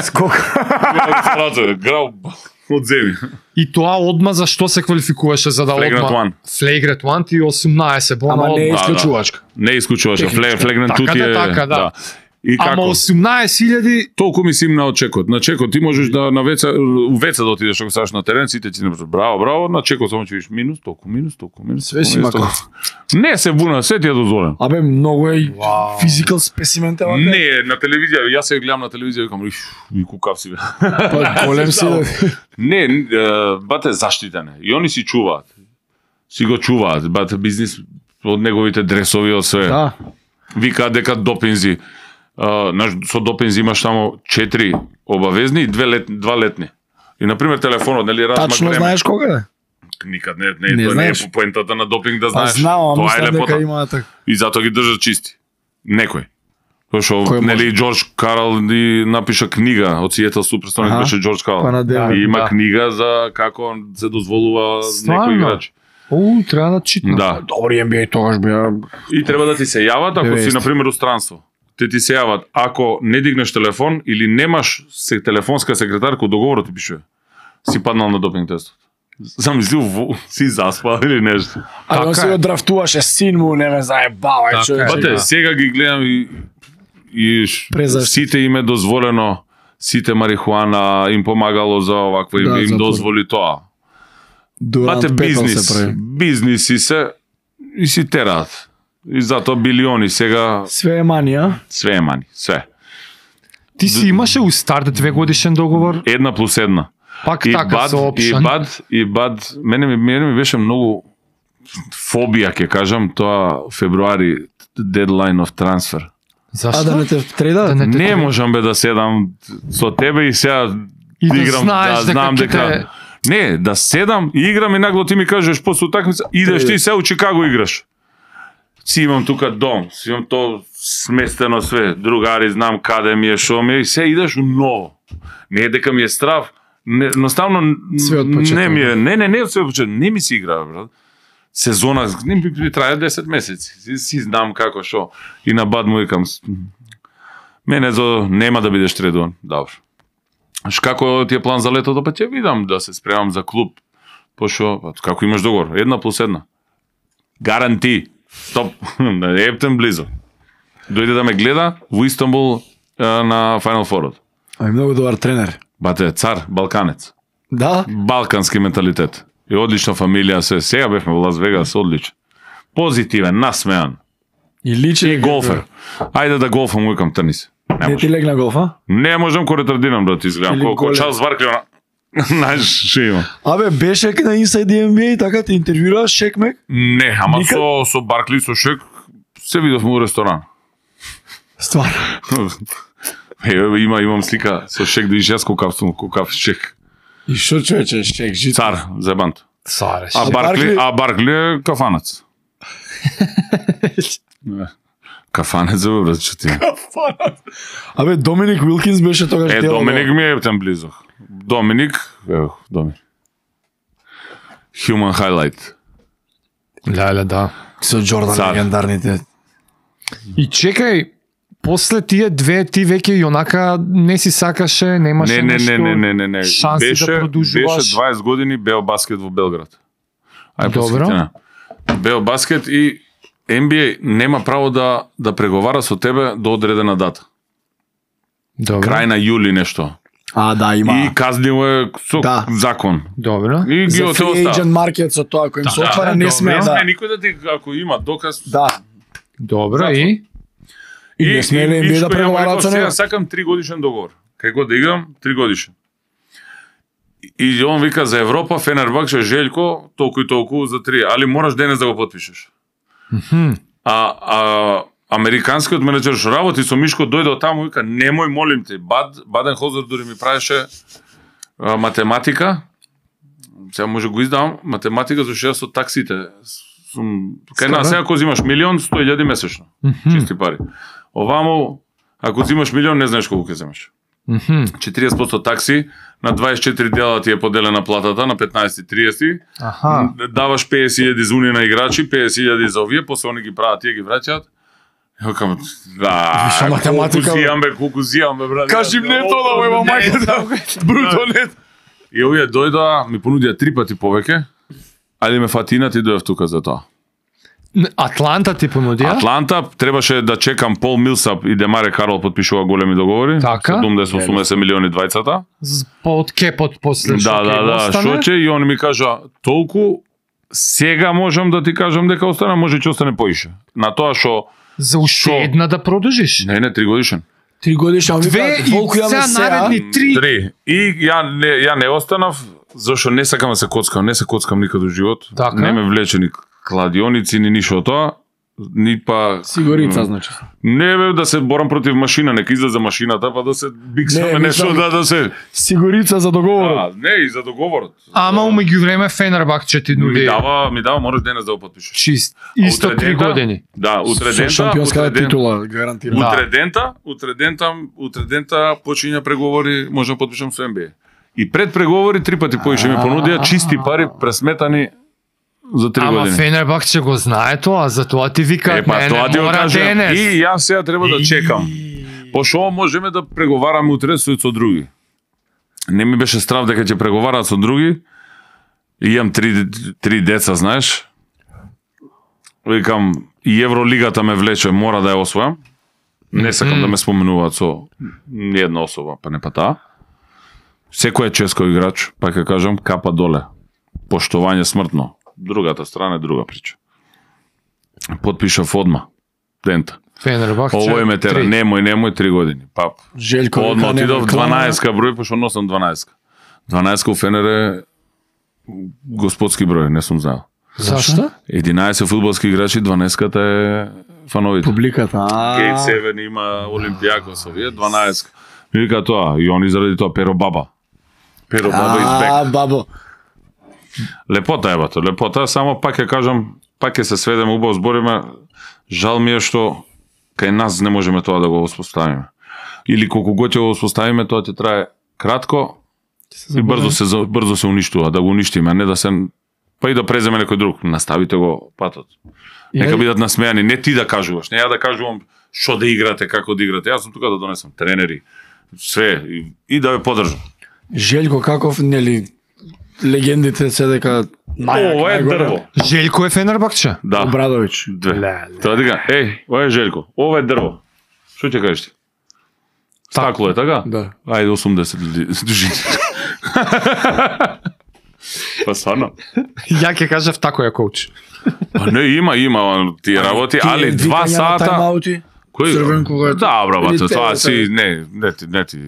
Speaker 2: Скок.
Speaker 1: Грау од земи.
Speaker 3: И тоа одма за што се квалификуваше за да
Speaker 1: Flagrant
Speaker 3: одма?
Speaker 1: one.
Speaker 3: Flagrant one ти осумнаесет бона
Speaker 2: Ама не е
Speaker 3: одма.
Speaker 2: исклучувачка.
Speaker 1: Не исклучуваше.
Speaker 2: Техничка.
Speaker 1: Флегрант
Speaker 3: Така
Speaker 1: тути
Speaker 3: да,
Speaker 1: е.
Speaker 3: така, да.
Speaker 1: И
Speaker 3: Ама
Speaker 1: како?
Speaker 3: осумнаесет илјади
Speaker 1: Толку ми симна од чекот. На чекот ти можеш да на веца, у веца да отидеш ако ставаш на терен, сите ти не браво, браво, на чекот само ќе видиш минус, толку минус, толку минус.
Speaker 2: Све си
Speaker 1: толку
Speaker 2: има
Speaker 1: минус, толку. Не се буна, се ти е дозволено.
Speaker 2: Абе, многу е
Speaker 3: Вау.
Speaker 2: физикал спесимен те вака.
Speaker 1: Не, на телевизија, јас се гледам на телевизија и викам, иш, и кукав си бе.
Speaker 2: Па голем си да.
Speaker 1: Не, е, бате заштитен е. И они си чуваат. Си го чуваат, бате бизнис од неговите дресови од све.
Speaker 2: Да.
Speaker 1: Викаат дека допинзи. А, наш, со допинзи имаш само четири обавезни и две лет, два летни. И на пример телефонот, нели размак
Speaker 2: Тачно
Speaker 1: време.
Speaker 2: знаеш кога е?
Speaker 1: Никад не, не,
Speaker 2: Не
Speaker 1: тоа не е
Speaker 2: знаеш?
Speaker 1: по поентата на допинг да
Speaker 2: А
Speaker 1: знаеш.
Speaker 2: знам, а
Speaker 1: Тоа е
Speaker 2: мислам дека
Speaker 1: лепота.
Speaker 2: има така.
Speaker 1: И затоа ги држат чисти. Некој. Тоа што,
Speaker 2: Кој
Speaker 1: нели,
Speaker 2: може?
Speaker 1: Џорџ Карал ни напиша книга од Сиетл Суперсоник
Speaker 2: Аха.
Speaker 1: беше Џорџ Карал.
Speaker 2: Па на дел.
Speaker 1: И има
Speaker 3: Да.
Speaker 1: книга за како се дозволува
Speaker 3: Стварно?
Speaker 1: некој играч.
Speaker 3: У, треба да читам.
Speaker 1: Да.
Speaker 2: Добри Н Б А тогаш беа.
Speaker 1: И треба да ти се јават ако си
Speaker 2: деветдесет.
Speaker 1: на пример у странство. Те ти се јават ако не дигнеш телефон или немаш се телефонска секретарка, договорот ти пишува. Си паднал на допинг тестот. Замисли, во- си заспал или нешто.
Speaker 2: А
Speaker 3: Така
Speaker 2: он се
Speaker 3: е.
Speaker 2: го драфтуваше син му, не ме заебава,
Speaker 3: Така
Speaker 2: човече.
Speaker 3: е.
Speaker 1: Бате,
Speaker 3: да.
Speaker 1: сега ги гледам и, и ш-
Speaker 2: Презашто.
Speaker 1: сите им е дозволено, сите марихуана им помагало за овакво, им,
Speaker 2: Да,
Speaker 1: им
Speaker 2: за
Speaker 1: дозволи тоа.
Speaker 2: Дурант
Speaker 1: Бате,
Speaker 2: Пепел
Speaker 1: бизнис,
Speaker 2: се прави.
Speaker 1: бизниси се и си тераат. И затоа билиони сега,
Speaker 2: Све е манија.
Speaker 1: све е мани, све.
Speaker 3: Ти си имаше у старт две годишен договор,
Speaker 1: Една плюс една.
Speaker 3: пак
Speaker 1: И
Speaker 3: така
Speaker 1: бад,
Speaker 3: со
Speaker 1: и
Speaker 3: опшен.
Speaker 1: бад, и бад, мене ми, мене ми беше многу фобија, ќе кажам, тоа февруари, deadline of transfer.
Speaker 3: Зашто?
Speaker 2: А да не те треда?
Speaker 3: Да не те
Speaker 1: Не
Speaker 3: треба.
Speaker 1: можам бе да седам со тебе и сега
Speaker 3: И да
Speaker 1: играм,
Speaker 3: знаеш
Speaker 1: да
Speaker 3: дека
Speaker 1: знам
Speaker 3: ќе
Speaker 1: дека...
Speaker 3: те-
Speaker 1: Не, да седам и играм и нагло ти ми кажеш после утакмица, идеш
Speaker 2: Треде.
Speaker 1: ти се у Чикаго играш. Си имам тука дом, си имам то сместено све, другари, знам каде ми е, шо ми е, и се идеш у ново. Не е дека ми е страв, не, едноставно
Speaker 2: Све од почеток.
Speaker 1: не ми е, не, не, не од све од почеток, не ми си игра, брат. Сезона, не ми, ми трае десет месеци, си, си знам како шо. И на бад му викам, мене за нема да бидеш тредуван, добро. Ш како ти е план за летото, па ќе видам да се спремам за клуб. Пошо, па, како имаш договор? Една плюс една. Гаранти. Стоп. На Ептен близо. Дојде да ме гледа во Истанбул а, на Final Four.
Speaker 2: Ами многу добар тренер.
Speaker 1: Бате, цар, балканец.
Speaker 2: Да?
Speaker 1: Балкански менталитет. И одлична фамилија, се. Сега бевме во Лас Вегас, одличен. Позитивен, насмеан.
Speaker 2: И личи.
Speaker 1: И голфер. Ајде да голфам, викам, трни се. Не,
Speaker 2: Не ти
Speaker 1: можам.
Speaker 2: легна голфа?
Speaker 1: Не можам ко ретардирам да ти изгледам.
Speaker 2: Или
Speaker 1: Колко
Speaker 2: голем.
Speaker 1: Чарлз Баркли, она... Знаеш, што има.
Speaker 2: Абе, беше на Inside Н Б А, така те интервјура Шекмек?
Speaker 1: Не, ама
Speaker 2: Никад?
Speaker 1: со, со Баркли, со Шек, се видовме у ресторан.
Speaker 2: Стварно.
Speaker 1: Е, има, имам слика со Шек да ишјас кокав сум, кокав Шек.
Speaker 2: И шо човече, Шек, жит.
Speaker 1: Цар, зебант.
Speaker 3: Цареш.
Speaker 1: А
Speaker 2: А
Speaker 1: Баркли,
Speaker 2: Баркли-
Speaker 1: а Баркли е кафанец. Не. Кафанец е брат, што ти.
Speaker 2: Абе, Доминик Уилкинс беше тогаш
Speaker 1: Е,
Speaker 2: дел од
Speaker 1: Доминик
Speaker 2: ова.
Speaker 1: ми е там близо. Доминик, ево, Доминик. Human highlight.
Speaker 3: Леле, да.
Speaker 2: Со Джордан
Speaker 1: Цар.
Speaker 2: легендарните.
Speaker 3: И чекај, после тие две ти веќе и онака не си сакаше, немаше
Speaker 1: Не, не,
Speaker 3: нешто,
Speaker 1: не, не, не, не, не.
Speaker 3: шанси
Speaker 1: Беше,
Speaker 3: да продолжуваш.
Speaker 1: беше дваесет години Бео баскет во Белград. Ај
Speaker 3: Добро.
Speaker 1: посветена. Бео баскет и Н Б А нема право да да преговара со тебе до одредена дата.
Speaker 3: Добро.
Speaker 1: Крај на јули нешто.
Speaker 2: А, да, има.
Speaker 1: И казниво е со
Speaker 2: Да.
Speaker 1: закон.
Speaker 3: Добро.
Speaker 1: И ги
Speaker 2: За
Speaker 1: оте
Speaker 2: free agent
Speaker 1: остава.
Speaker 2: маркет со тоа кој им се
Speaker 3: Да,
Speaker 2: отвара
Speaker 3: да,
Speaker 2: не
Speaker 3: добро.
Speaker 2: смее
Speaker 1: Не
Speaker 2: да.
Speaker 1: сме никој да ти, ако има доказ.
Speaker 2: Да.
Speaker 3: Добро
Speaker 1: Затвор.
Speaker 3: и
Speaker 2: И не смее ли Н Б А да преговараат со
Speaker 1: него?
Speaker 2: него?
Speaker 1: Сега сакам три годишен договор. Кај го да играм, три годишен. И он вика за Европа, Фенербахче, Желјко, толку и толку за три, али мораш денес да го потпишеш.
Speaker 3: Мгм.
Speaker 1: А, а американскиот менеджер што работи со Мишко дојде од таму и вика немој молим те. Бад Баденхолзер дури ми правеше а, математика. Сега може го издавам математика зашто јас со таксите сум кај нас сега ако земаш милион сто илјади месечно.
Speaker 3: Мгм.
Speaker 1: Чисти пари. Овамо ако земаш милион не знаеш колку ќе земеш.
Speaker 3: Мгм.
Speaker 1: четириесет проценти такси, на дваесет и четири дела ти е поделена платата, на петнаесет и триесет.
Speaker 3: Аха.
Speaker 1: Даваш песет илјади за унија на играчи, песет илјади за овие, после они ги прават, тие ги враќаат. Ја кажам, да,
Speaker 2: Виша математика,
Speaker 1: колку
Speaker 2: бе.
Speaker 1: зијам бе, колку зијам бе, брат.
Speaker 2: Кажи мне тоа да мојма мајка.
Speaker 1: Бруто не. И овие дојдоа, ми понудија три пати повеќе, али ме фатинат и дојав тука за тоа.
Speaker 3: Атланта ти понудија?
Speaker 1: Атланта требаше да чекам Пол Милсап и Демаре Карол подпишува големи договори.
Speaker 3: Така.
Speaker 1: седумдесет осумдесет милиони двајцата.
Speaker 3: З- Под кепот после што
Speaker 1: Да,
Speaker 3: ќе
Speaker 1: да,
Speaker 3: им
Speaker 1: да,
Speaker 3: остане?
Speaker 1: што ќе и он ми кажа толку сега можам да ти кажам дека остане, може ќе остане поише. На тоа што
Speaker 3: За уште
Speaker 1: Шо?
Speaker 3: една да продолжиш.
Speaker 1: не, не, три годишен.
Speaker 2: Три годишни, а
Speaker 3: Две
Speaker 2: вика,
Speaker 3: и
Speaker 2: волку ја ме
Speaker 3: сега
Speaker 2: сеа.
Speaker 3: наредни три.
Speaker 1: Три. И ја не, ја не останав, зашто не сакам да се коцкам, не се коцкам никаде во живот.
Speaker 3: Така.
Speaker 1: Не ме влече ни кладионици, ни ништо од тоа. Ни па...
Speaker 2: Сигурица, значи.
Speaker 1: Не бе да се борам против машина, нека излезе машината, па да се биксаме
Speaker 2: Не,
Speaker 1: нешто,
Speaker 2: мислам-
Speaker 1: да, да се...
Speaker 2: Сигурица за договорот.
Speaker 1: А, не, и за договорот.
Speaker 3: Ама умеѓу време Фенербахче ти
Speaker 1: Ми
Speaker 3: нуди
Speaker 1: дава, ми дава, можеш денес да го потпишеш.
Speaker 3: чист.
Speaker 1: А
Speaker 3: Исто
Speaker 1: утре
Speaker 3: три
Speaker 1: дента-
Speaker 3: години.
Speaker 1: Да, утре
Speaker 2: Со
Speaker 1: дента,
Speaker 2: шампионска
Speaker 1: утре ден-
Speaker 2: титула, гарантирам.
Speaker 3: Да.
Speaker 1: Утре дента, утре дента, утре дента почиња преговори, може да потпишам со Н Б А. И пред преговори три пати поише ми понудија чисти пари пресметани за три
Speaker 3: Ама
Speaker 1: години.
Speaker 3: Фенербахче го знае тоа, затоа ти вика,
Speaker 1: Е, па
Speaker 3: не,
Speaker 1: тоа
Speaker 3: не,
Speaker 1: ти го
Speaker 3: мора
Speaker 1: кажам.
Speaker 3: денес.
Speaker 1: И јас сега треба да чекам. Пошто можеме да преговараме утре со со други. Не ми беше страв дека ќе преговараат со други. И имам три, три деца, знаеш. Викам, и Евролигата ме влече, мора да ја освојам. Не сакам да ме споменуваат со ниједна особа, па не па таа. Секој е ческо играч, па ќе кажам, капа доле. Поштовање смртно. Другата страна е друга прича. Потпишав одма. Дента.
Speaker 3: Фенербахче.
Speaker 1: Ово ме тера,
Speaker 3: три.
Speaker 1: немој, немој три години. Пап.
Speaker 2: Желко
Speaker 1: Одма
Speaker 2: вика,
Speaker 1: отидов
Speaker 2: немој клана.
Speaker 1: дванаесет број, пошто носам дванаесет. дванаесет у Фенер е господски број, не сум знаел.
Speaker 3: Зашто?
Speaker 1: единаесет фудбалски играчи, дванаесет е фановите.
Speaker 2: Публиката. а.
Speaker 1: Гейт седум има Олимпијакос, овие дванаесет. Ми вика тоа, и они заради тоа Перо Баба. Перо Баба is back.
Speaker 2: А, бабо.
Speaker 1: Лепота е бато, лепота, само пак ќе кажам, пак ќе се сведеме, убаво збориме, жал ми е што кај нас не можеме тоа да го воспоставиме. Или колку год ќе го воспоставиме, тоа ќе трае кратко и брзо се за- брзо се уништува, да го уништиме, а не да се па и да преземе некој друг. Наставите го патот. Нека бидат насмејани, не ти да кажуваш, не ја да кажувам што да играте, како да играте. Јас сум тука да донесам тренери, све и, и да ве поддржам.
Speaker 2: Желко каков, нели, легендите се дека најак,
Speaker 1: Ова е
Speaker 2: најгоре.
Speaker 1: дрво.
Speaker 3: Желко е Фенербахче.
Speaker 1: Да.
Speaker 2: Обрадович.
Speaker 1: Две.
Speaker 3: Леле.
Speaker 1: Тоа дека, еј, ова е Желко, ова е дрво. Што ќе кажеш ти? Стакло е, така?
Speaker 2: Да.
Speaker 1: Ајде осумдесет дужини. Па стварно.
Speaker 3: Ја ќе кажав тако е коуч.
Speaker 1: Па не, има, има тие работи,
Speaker 2: Тие
Speaker 1: али два
Speaker 2: викања на
Speaker 1: сата...
Speaker 2: тайм-аути,
Speaker 1: Кој?
Speaker 2: црвен кога е-
Speaker 1: Да, бра, бате,
Speaker 2: Или
Speaker 1: тоа
Speaker 2: те-
Speaker 1: си, не, не ти, не ти...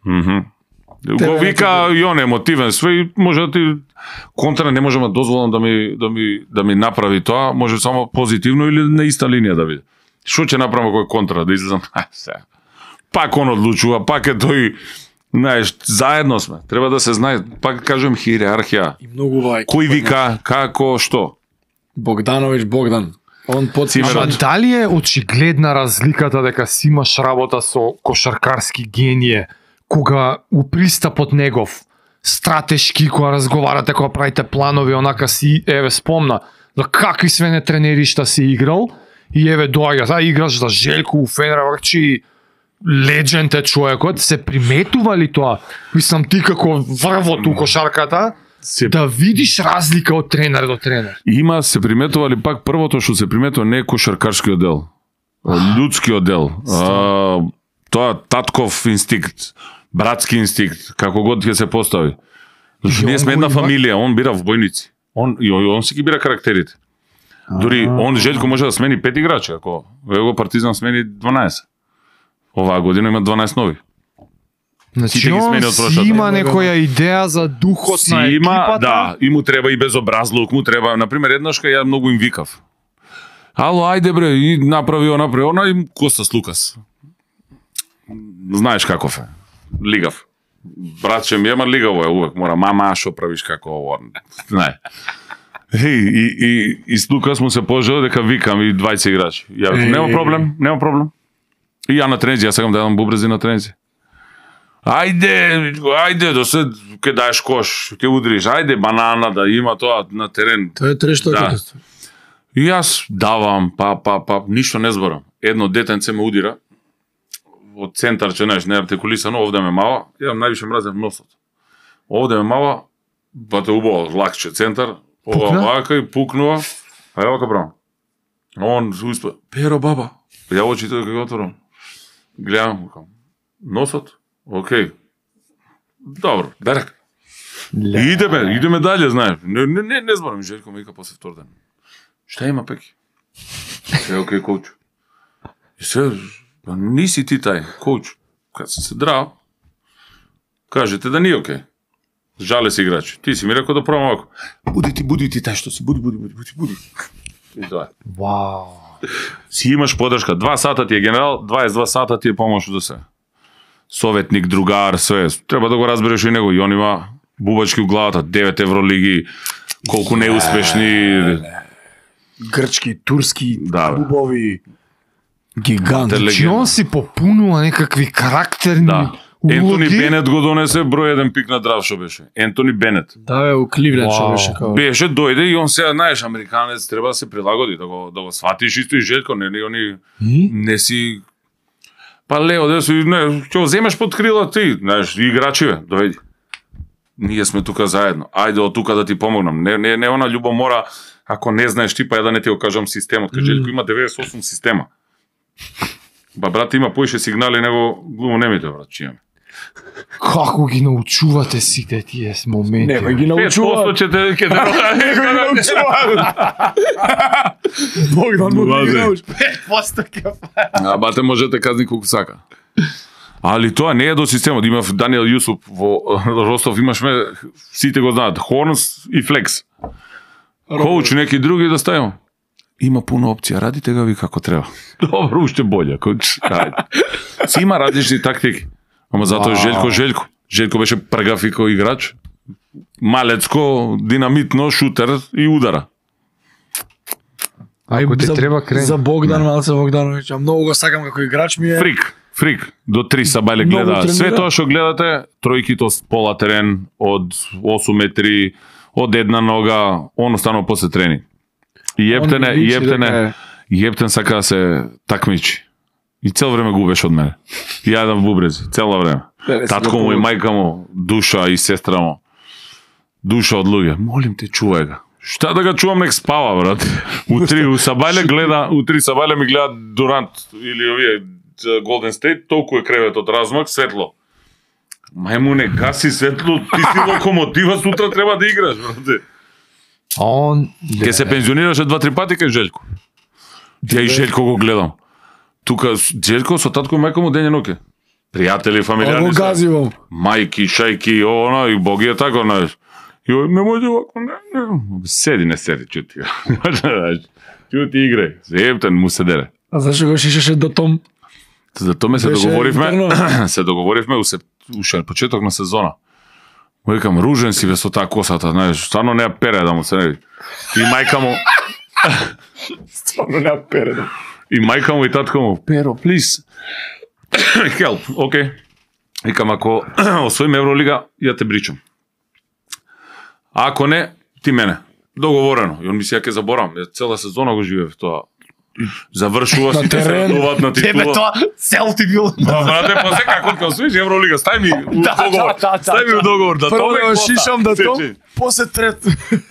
Speaker 1: Мгм.
Speaker 2: Те-
Speaker 1: Го вика и он емотивен све и може да ти контра не можам да дозволам да ми да ми да ми направи тоа, може само позитивно или на иста линија да биде. Што ќе направам кој контра да излезам? Ај, се. Пак он одлучува, пак е тој, знаеш, заедно сме. Треба да се знае, пак кажем хиерархија.
Speaker 2: И многу вај.
Speaker 1: Кој вика, како, што?
Speaker 2: Богданович Богдан. Он подсима.
Speaker 3: Ама дали е очигледна разликата дека си имаш работа со кошаркарски генije, кога у пристапот негов, стратешки, кога разговарате, кога правите планови, онака си, еве, спомна, за какви све не тренеришта си играл, и еве доаѓа, а играш за Желко у Фенербахче, легенд е човекот, се приметува ли тоа? Мислам, ти како врвот у кошарката,
Speaker 1: Се
Speaker 3: да видиш разлика од тренер до тренер.
Speaker 1: Има, се приметували пак првото што се приметува не е кошаркарскиот дел, а людскиот дел. А, тоа татков инстинкт, братски инстинкт, како год ќе се постави. Зашто
Speaker 3: И
Speaker 1: ние
Speaker 3: он
Speaker 1: сме
Speaker 3: го
Speaker 1: една
Speaker 3: има?
Speaker 1: фамилија, он бира војници. Он и он си ги бира карактерите. Дури он Желко може да смени пет играчи, ако его Партизан смени дванаесет. Оваа година има дванаесет нови.
Speaker 3: Значи,
Speaker 1: Сите ги
Speaker 3: он
Speaker 1: смени од
Speaker 3: си
Speaker 1: прошлата.
Speaker 3: има некоја идеја за духот
Speaker 1: Си
Speaker 3: на
Speaker 1: има,
Speaker 3: екипата.
Speaker 1: да, и му треба и безобразлук, му треба, например, еднаш кај ја многу им викав. Ало, ајде бре, и направи она, направи она, и Костас Лукас. Знаеш каков е. Лигав. Братче ми, ема лигаво е увек, мора, мама, шо правиш како ово, знае. И, и, и, и с Лукас му се пожел дека викам и двајца играчи. Ја викам, нема проблем, нема проблем. И ја на трензи, јас сакам да јадам бубрези на трензи. Ајде, ајде, до се ќе даеш кош, ќе удриш, ајде банана да има тоа на терен.
Speaker 2: Тоа е трешто
Speaker 1: Да.
Speaker 2: катастрофа.
Speaker 1: И јас давам, па, па, па, ништо не зборам. Едно детенце ме удира, од центар, че знаеш, не артикулисано, овде ме мава, ја највише мразев носот. Овде ме мава, бате убаво, лакче центар, ова
Speaker 3: Пукна?
Speaker 1: вака и пукнува, а ја вака брам. Он се успа, Перо баба, ја очите дека го отворам. Гледам, викам, носот, окей. Добро, дерек. И идеме, идеме дале, знаеш. Не, не, не, не зборам, Желко ме вика после втор ден. Šta ima, Peki? Е, окей, коуч. И се, па ниси ти тај, коуч. Кад се се драв, кажете да ни окей. Жале си играчи. Ти си ми рекол да пробам овако. Буди ти, буди ти тај што си, буди, буди, буди, буди, буди. И тоа е.
Speaker 3: Вау.
Speaker 1: Си имаш подршка. Два сата ти е генерал, дваесет и два сата ти е помош до се. Советник, другар, све. Треба да го разбереш и него. И он има бубачки у главата, девет евролиги, колку неуспешни.
Speaker 2: Грчки, турски,
Speaker 1: Да, бе.
Speaker 2: клубови, гигант.
Speaker 1: Теле-
Speaker 3: Значи он си попунува некакви карактерни
Speaker 1: Да. Ентони
Speaker 3: Улоги?
Speaker 1: Бенет го донесе број еден пик на драфт што беше. Ентони Бенет.
Speaker 2: Да, бе, у Кливленд што
Speaker 3: Вау.
Speaker 2: беше као.
Speaker 1: Беше, дојде и он сега, знаеш, американец треба да се прилагоди, да го, да го сватиш исто и Желко, не, не, они не си... Па Лео, да си, не, ќе го земеш под крила ти, знаеш, играчи, бе, дојди. Ние сме тука заедно. Ајде од тука да ти помогнам. Не, не, не она љубомора, ако не знаеш ти, па ја да не ти го кажам системот. Кај Желко има деветдесет и осум система. Ба брат има поише сигнали него глумонемите, брат, че имаме.
Speaker 3: Како ги научувате сите тие моменти?
Speaker 2: Некој ги
Speaker 1: пет
Speaker 2: научува.
Speaker 1: проценти ќе те ќе те
Speaker 2: Некој ги научува. Богдан му ги
Speaker 1: Вазе.
Speaker 2: научува.
Speaker 3: пет проценти ќе
Speaker 1: А бате можете казни колку сака. Али тоа не е до системот. Имав Даниел Јусуп во Ростов, имашме, сите го знаат, Хорнс и Флекс. Коуч неки други да ставим. Има пуно опција, радите ga ви како треба. Добро, уште боле, коуч. Ајде. Си има различни тактики. Ама затоа е Желко Желко. Желко беше пргав и кој играч. Малецко, динамитно, шутер и удара.
Speaker 3: Ако ти
Speaker 2: За-
Speaker 3: треба крен.
Speaker 2: За Богдан Малце Богдановиќ, а многу го сакам како играч ми е.
Speaker 1: Фрик, фрик. До три Сабајле
Speaker 2: Многу
Speaker 1: гледа. Све
Speaker 2: тренира.
Speaker 1: тоа што гледате, тројките од пола терен, од осум метри, од една нога, он останува после тренинг. И Ептене,
Speaker 2: Он ми личи
Speaker 1: Ептене,
Speaker 2: дека е-
Speaker 1: Ептен сака да се такмичи. И цел време губеш од мене. И јадам бубрези, цело време.
Speaker 2: Леле, си
Speaker 1: Татко
Speaker 2: го
Speaker 1: му и
Speaker 2: повод.
Speaker 1: мајка му, душа и сестра му. Душа од луѓе. Молим те, чувај го. Шта да го чувам, нек спава, брат. Утри у Сабајле гледа, утри Сабајле ми гледа Дурант или овие Голден Стейт, толку е креветот размак, светло. Мајмуне, гаси светло, ти си локомотива, сутра треба да играш, брате.
Speaker 3: А он...
Speaker 1: Ке се пензионираше два-три пати кај Желко. Ја и Желко го гледам. Тука Желко со татко и мајка му дење ноќе. Пријатели,
Speaker 2: Го
Speaker 1: фамилијарни се.
Speaker 2: газивам.
Speaker 1: Мајки, шајки, оно, и Боги е тако, знаеш. И ој, не може овако, не, не. Седи, не седи, чути. Чути играј. Ептен му се дере.
Speaker 2: А зашо го шишеше до Том?
Speaker 1: За тоа се
Speaker 2: Беше
Speaker 1: договоривме,
Speaker 2: интерно.
Speaker 1: се договоривме у се уште почеток на сезона. Му викам, ружен си бе со таа косата, знаеш, стварно не ја пере да му се не види. И мајка му,
Speaker 2: Стварно не пере.
Speaker 1: и мајка му и татко му, Перо, please. Help, окей. Викам, ако освоим Евролига, ја те бричам. А ако не, ти мене. Договорено. И он ми се ќе заборам. Ја цела сезона го живеев тоа. Завршува
Speaker 2: На
Speaker 1: сите се
Speaker 2: терен.
Speaker 1: радуваат на
Speaker 3: Тебе
Speaker 1: титула.
Speaker 3: тоа цел ти бил.
Speaker 1: Па брате, после како ќе освоиш Евролига, стај ми у
Speaker 3: Да,
Speaker 1: договор.
Speaker 3: да, да, да,
Speaker 1: Стај ми у договор да
Speaker 2: Прво
Speaker 1: тоа
Speaker 2: го шишам да Том,
Speaker 1: Сечи.
Speaker 2: после трет.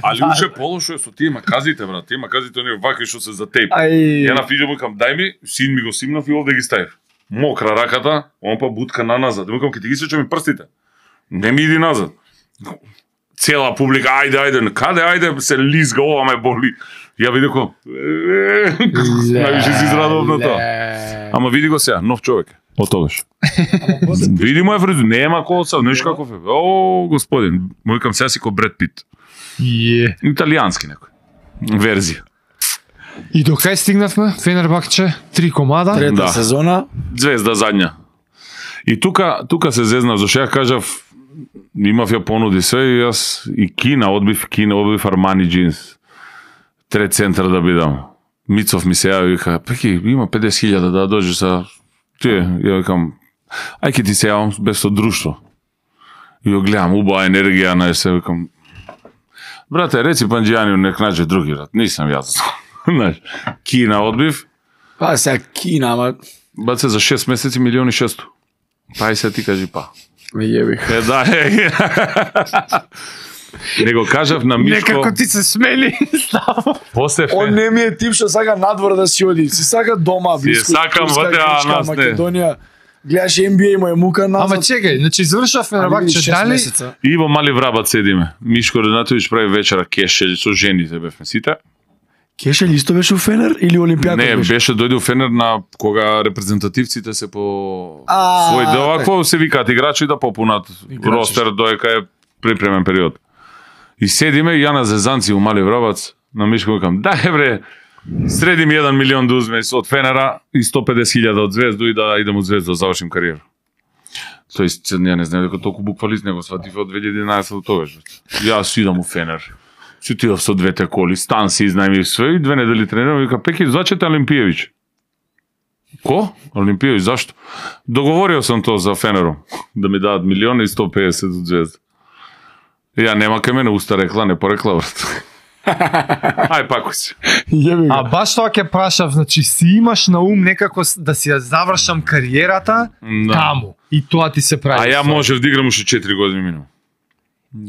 Speaker 1: Али уште полошо е со тие маказите, брат. Тие маказите оние вакви што се за тейп.
Speaker 2: Ај.
Speaker 1: Ја на фиџо му викам, дај ми, син ми го симнав и овде ги ставив. Мокра раката, он па бутка на назад. Му викам, ќе ти ги сечам и прстите. Не ми иди назад. Цела публика, ајде, ајде, каде, ајде, се лизга, ова ме боли. Ја видеко, највише си израдував на тоа. Ама види го сега, нов човек. Од тогаш. Види му е фризур, нема коса, знаеш каков е. О, господин, му викам сега си ко Бред Пит.
Speaker 3: Е.
Speaker 1: Италијански некој. Верзија.
Speaker 3: И до кај стигнавме? Фенербахче, три комада.
Speaker 2: Трета
Speaker 1: Да.
Speaker 2: сезона.
Speaker 1: Звезда задња. И тука, тука се зезнав, зашто ја кажав, имав ја понуди све и јас и Кина, одбив Кина, одбив Армани джинс. Трет центар да бидам. Мицов ми се јави и вика, Пеки, има педесет хиљада да дојдеш са тие. Ја викам, ај ке ти се јавам без со друштво. И ја гледам, убава енергија, на се викам, брате, реци Панџијанiju нек наđe други, брат, нисам јас. Знаеш, Кина одбив,
Speaker 2: Па сега Кина, ама
Speaker 1: баце за шест месеци милиони и шесто. Па и се ти кажи па.
Speaker 2: ме јебих.
Speaker 1: Е, да, е. Не го кажав на Мишко,
Speaker 3: Некако ти се смели. Ставо.
Speaker 1: после
Speaker 2: Он
Speaker 1: фен.
Speaker 2: не ми е тип што сака надвор да си оди. Си сака дома,
Speaker 1: Си е
Speaker 2: близко.
Speaker 1: сакам
Speaker 2: Турска,
Speaker 1: вътре, а
Speaker 2: Грчка,
Speaker 1: нас не.
Speaker 2: Македонија. Гледаш Н Б А и му е мука назад.
Speaker 3: Ама чекај, значи завршува
Speaker 2: Али
Speaker 3: Фенербахче,
Speaker 2: шест
Speaker 3: дали
Speaker 2: месеца.
Speaker 1: И во Мали Врабат седиме. Мишко Ренатовиќ прави вечера кешелј со жените бевме сите.
Speaker 2: Кешел исто беше у Фенер или Олимпијакот
Speaker 1: Не,
Speaker 2: беше?
Speaker 1: беше дојде у Фенер на кога репрезентативците се по
Speaker 2: А,
Speaker 1: свој дел,
Speaker 2: така.
Speaker 1: ако се викаат играчи да попунат
Speaker 2: Играчи.
Speaker 1: ростер доека е припремен период. И седиме и ја на зезанци у Мали Врабац, на Мишко викам, дај бре, среди ми еден милион да узме од Фенера и сто педесет хиљада од Звезду и да идем од Звезда да завршим кариера. Тој ја не знам дека толку буквалист него сватив од две илјади и единаесетта до тогаш. Јас идам у Фенер. Си отидов со двете коли, стан си изнајмив све и две недели тренирам и вика Пеки звачете Олимпиевиќ. Ко? Олимпијоvić, зашто? Договорио сам тоа за Фенером, да ми дадат милиони и сто педесет од Звезда. Ја нема кај мене уста рекла, не порекла, брат. Ај пако си.
Speaker 3: А баш тоа ќе прашав, значи си имаш на ум некако да си ја завршам кариерата
Speaker 1: Да.
Speaker 3: таму. И тоа ти се прави.
Speaker 1: А ја можев да играм уште четири години минимум.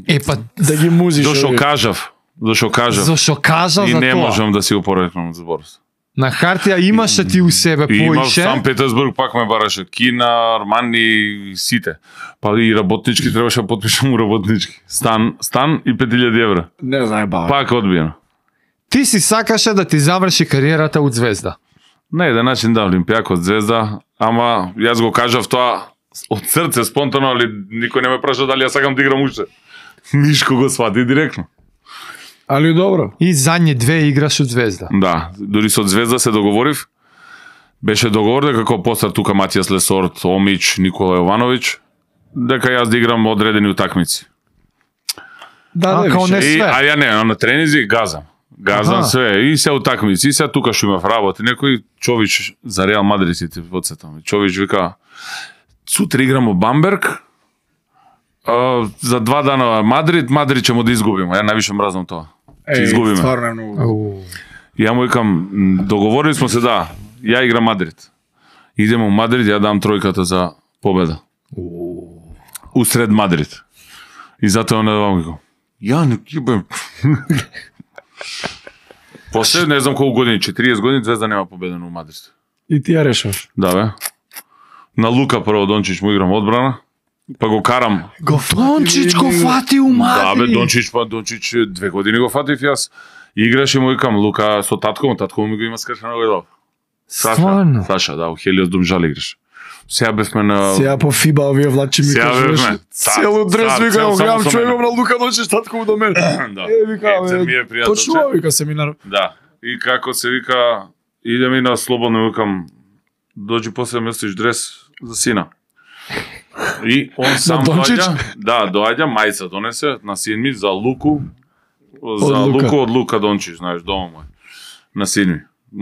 Speaker 3: Е па
Speaker 2: Да ги музиш.
Speaker 1: Зошто
Speaker 2: овие.
Speaker 1: кажав, зошто кажав.
Speaker 3: зашо кажа
Speaker 1: И
Speaker 3: за
Speaker 1: не
Speaker 3: тоа.
Speaker 1: можам да си опорекнам од зборот.
Speaker 3: На хартија имаше ти у себе
Speaker 1: И имав
Speaker 3: поише.
Speaker 1: Сан Петерсбург, пак ме бараше Кина, Армани и сите. Па и работнички требаше да потпишам у работнички. Стан, стан и пет илјади евра.
Speaker 2: Не знае баба.
Speaker 1: Пак одбиено.
Speaker 3: Ти си сакаше да ти заврши кариерата од Звезда.
Speaker 1: На еден начин да, Олимпијакот, Звезда, ама јас го кажав тоа од срце, спонтано, али никој не ме праша дали ја сакам да играм уште. Мишко го свати директно.
Speaker 2: Али добро.
Speaker 3: И задни две играш од Звезда.
Speaker 1: Да, дури со Звезда се договорив. Беше договор дека како постар тука Матијас Лесорт, Омич, Никола Јовановиќ, дека јас да играм одредени утакмици.
Speaker 2: Да,
Speaker 3: А,
Speaker 2: да,
Speaker 3: као
Speaker 2: више.
Speaker 3: не
Speaker 1: И,
Speaker 3: све.
Speaker 1: а ја не, на тренизи газам. Газам
Speaker 3: Аха.
Speaker 1: све. И се утакмици, и се тука што имав работа. Некој Чович за Реал Мадрид си ти подсетам. Чович вика, сутре играмо Бамберг, а, за два дана Мадрид, Мадрид ќе му да изгубиме. Ја највише мразнам тоа. Ќе
Speaker 2: Еј,
Speaker 1: изгубиме.
Speaker 2: стварно е многу.
Speaker 3: Ау.
Speaker 1: Ја му викам, м, договорили сме се да, ја играм Мадрид. Идемо у Мадрид, ја дам тројката за победа. Усред Мадрид. И затоа не вам викам. Ја не кибем. После не знам колку години, четириесет години Звезда нема победено у Мадрид.
Speaker 2: И ти ја решаваш.
Speaker 1: Да бе. На Лука прво Дончич му играм одбрана, па го карам.
Speaker 3: Го Дончич го фати у
Speaker 1: Да
Speaker 3: Мадрид.
Speaker 1: бе, Дончич, па Дончич две години го фатив јас. Играше му викам Лука со татко, му татко ми го има скршено го дал. Саша,
Speaker 3: Стварно.
Speaker 1: Саша, да, у Хелиос Домжал играш. Сега бевме на...
Speaker 2: Сега по фиба овие влачи ми
Speaker 1: Сега
Speaker 2: кажеш.
Speaker 1: бевме.
Speaker 2: Цело дрес
Speaker 1: Цар,
Speaker 2: вика,
Speaker 1: цел
Speaker 2: го
Speaker 1: само
Speaker 2: гледам
Speaker 1: со
Speaker 2: човеков
Speaker 1: мене.
Speaker 2: на Лука Дончич, татко му до мене.
Speaker 1: Да.
Speaker 2: Е, вика,
Speaker 1: Епце ми
Speaker 2: бе,
Speaker 1: е пријателче.
Speaker 2: точно ова, вика семинар.
Speaker 1: Да. И како се вика, идем и на слободно, викам, доđi после да местиш дрес за сина. И он сам
Speaker 2: Дончич?
Speaker 1: доаѓа, да, доаѓа, мајца донесе на син ми за Луку, за
Speaker 2: Од Лука.
Speaker 1: Луку од Лука Дончич, знаеш, дома мој, на син ми.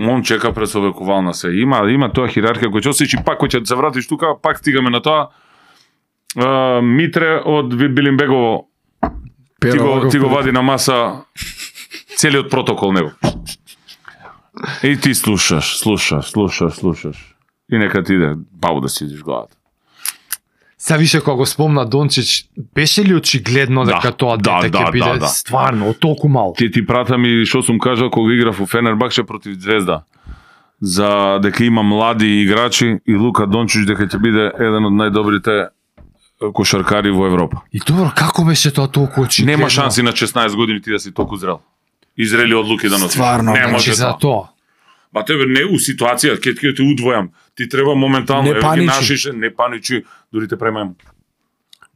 Speaker 1: Он чека пред совекувална се. Има, има тоа хиерархија кој ќе осеќи, пак кој ќе се вратиш тука, пак стигаме на тоа. А, Митре од Билимбегово ти го, ти го вади на маса целиот протокол него. И ти слушаш, слушаш, слушаш, слушаш. И нека ти иде бау да си идиш главата.
Speaker 3: Са више кога го спомна Дончич, беше ли очигледно
Speaker 1: Да,
Speaker 3: дека тоа
Speaker 1: да,
Speaker 3: дете
Speaker 1: да,
Speaker 3: ќе биде
Speaker 1: да, да.
Speaker 3: стварно од толку мал?
Speaker 1: Ти ти прата ми што сум кажал кога играв у Фенербахче против Звезда. За дека има млади играчи и Лука Дончич дека ќе биде еден од најдобрите кошаркари во Европа.
Speaker 3: И добро, како беше тоа толку очигледно?
Speaker 1: Нема шанси на шеснаесет години ти да си толку зрел. Изрели одлуки да носиш.
Speaker 2: Стварно,
Speaker 1: не
Speaker 2: значи
Speaker 1: може
Speaker 3: Значи за
Speaker 1: тоа.
Speaker 3: тоа.
Speaker 1: Ба тебе не у ситуација, ќе ќе те удвојам. Ти треба моментално
Speaker 2: Не
Speaker 1: еве ги
Speaker 2: паничи.
Speaker 1: нашиш, не паничи, дури те премајам.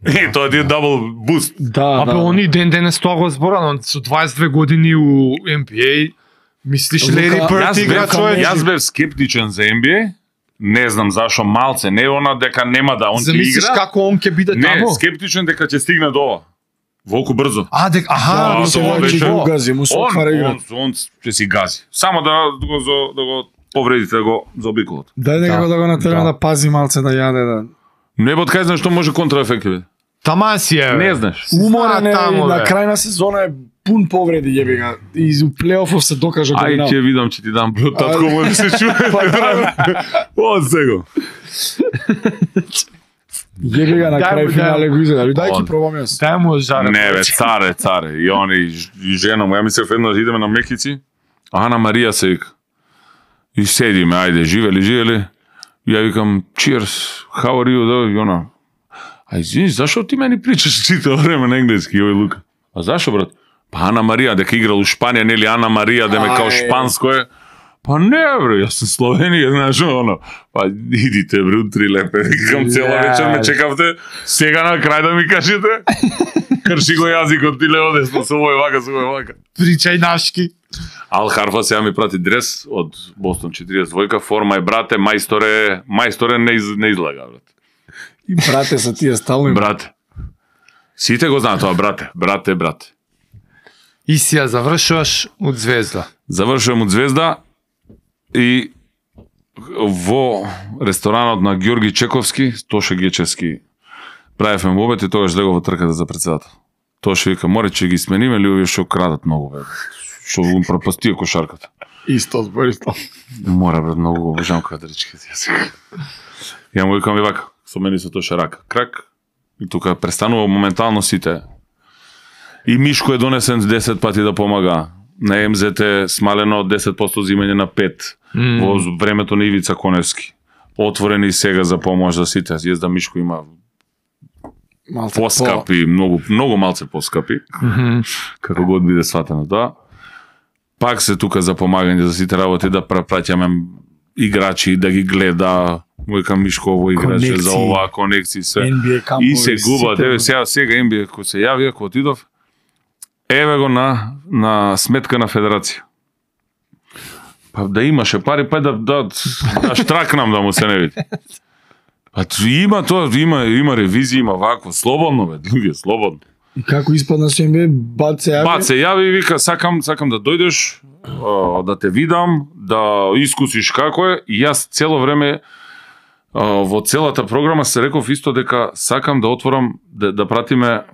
Speaker 1: Е, тоа ти е дабл буст.
Speaker 2: Да,
Speaker 3: Абе,
Speaker 2: да.
Speaker 3: они ден денес тоа го зборано, со дваесет и две години у Н Б А, мислиш
Speaker 2: Лука-
Speaker 3: Лери Бирд
Speaker 1: Јас
Speaker 3: игра
Speaker 1: бев,
Speaker 3: човек?
Speaker 1: јас бев скептичен за Н Б А. Не знам зашо малце, не она дека нема да он ќе
Speaker 3: Замислиш
Speaker 1: игра.
Speaker 3: како он ќе биде
Speaker 1: Не,
Speaker 3: таму?
Speaker 1: скептичен дека ќе стигне до ова. Волку брзо.
Speaker 3: А, дек, аха,
Speaker 1: Да,
Speaker 3: да,
Speaker 2: се
Speaker 1: тоа
Speaker 2: враќа
Speaker 1: беше-
Speaker 2: го гази, му се
Speaker 1: Он,
Speaker 2: отвара игра.
Speaker 1: он, он ќе си гази. Само да го зо- да го повредите да го заобиколат.
Speaker 2: Дај некако
Speaker 3: Да.
Speaker 2: да го натерам
Speaker 3: Да.
Speaker 2: да пази малце да јаде да.
Speaker 1: Не бот кај знаеш што може контраефект бе.
Speaker 3: Таман си е. бе.
Speaker 1: Не знаеш.
Speaker 2: Уморен е,
Speaker 3: таму,
Speaker 2: на
Speaker 3: бе.
Speaker 2: крај на сезона е пун повреди јеби га. И у плейофов се докажа
Speaker 1: Ај
Speaker 2: година.
Speaker 1: ќе видам ќе ти дам бро татко
Speaker 2: Ајде.
Speaker 1: може да се чуе. Од сега.
Speaker 2: Јеби га на
Speaker 3: Дај
Speaker 2: крај
Speaker 3: му,
Speaker 2: финале
Speaker 3: дај
Speaker 2: го изеда. Дај
Speaker 1: Он.
Speaker 2: ќе пробам јас.
Speaker 3: Дај му жаре.
Speaker 1: Не бе, царе, царе. И они и жена му, ја мислев еднаш идеме на Мекици. Ана Марија се вика. И седиме, ајде, живели, живели. И ја викам, cheers, how are you, да, и она. А извини, зашо ти мени причаш читао време на енглески, ој Лука? А зашо, брат? Па Ана Марија, дека играл у Шпанија, нели Ана Марија, да ме као
Speaker 2: Ај.
Speaker 1: шпанско е. Па не, бре, јас сум Словенија, знаеш, оно. Па идите, бре, утри лепе. Викам, цела вечер ме чекавте, сега на крај да ми кажете. Крши го јазикот, ти лево десно, со овој вака, со овој вака.
Speaker 3: Причај нашки.
Speaker 1: Ал Харфа сега ми прати дрес од Бостон четириесет двојка, форма е, брате, мајсторе, мајсторе не, из, не излага, брат.
Speaker 2: И брате са тие стално.
Speaker 1: Брате. Сите го знаат тоа, брате, брате, брате.
Speaker 3: И си ја завршуваш од Звезда.
Speaker 1: Завршувам од Звезда и во ресторанот на Ѓорги Чековски, Тоше Гечевски, правевме обед и тогаш легов во трката за председател. Тоше вика, море ќе ги смениме или овие што крадат многу, бе. Што го пропастија кошарката.
Speaker 2: Исто збор, исто.
Speaker 1: Мора, брат, многу го обожавам квадрички. Ја му викам и вака, со мене со Тоше рака. Крак, и тука престанува моментално сите. И Мишко е донесен десет пати да помага. На Ем Зет е смалено од десет проценти зимање на пет mm. во времето на Ивица Коневски. Отворени сега за помош за сите. Језда Мишко има малце поскапи, по... многу многу малце поскапи. Mm -hmm. Како год биде сватено тоа. Пак се тука за помагање за сите работи, да прапраќаме играчи, да ги гледа, викам Мишко ово играче за ова конекции се.
Speaker 2: Ен Би Ей кампови,
Speaker 1: и се губа, деве сега сега Ен Би Ей кога се јави, кога отидов, еве го на на сметка на федерација. Па да имаше пари, па да да, да штракнам да му се не види. Па има тоа, има има ревизија, има вакво, слободно бе, луѓе, слободно.
Speaker 2: И како испадна со Ен Би Ей, бат се јави?
Speaker 1: Бат се јави и вика, сакам, сакам да дојдеш, да те видам, да искусиш како е, и јас цело време во целата програма се реков исто дека сакам да отворам, да, да пратиме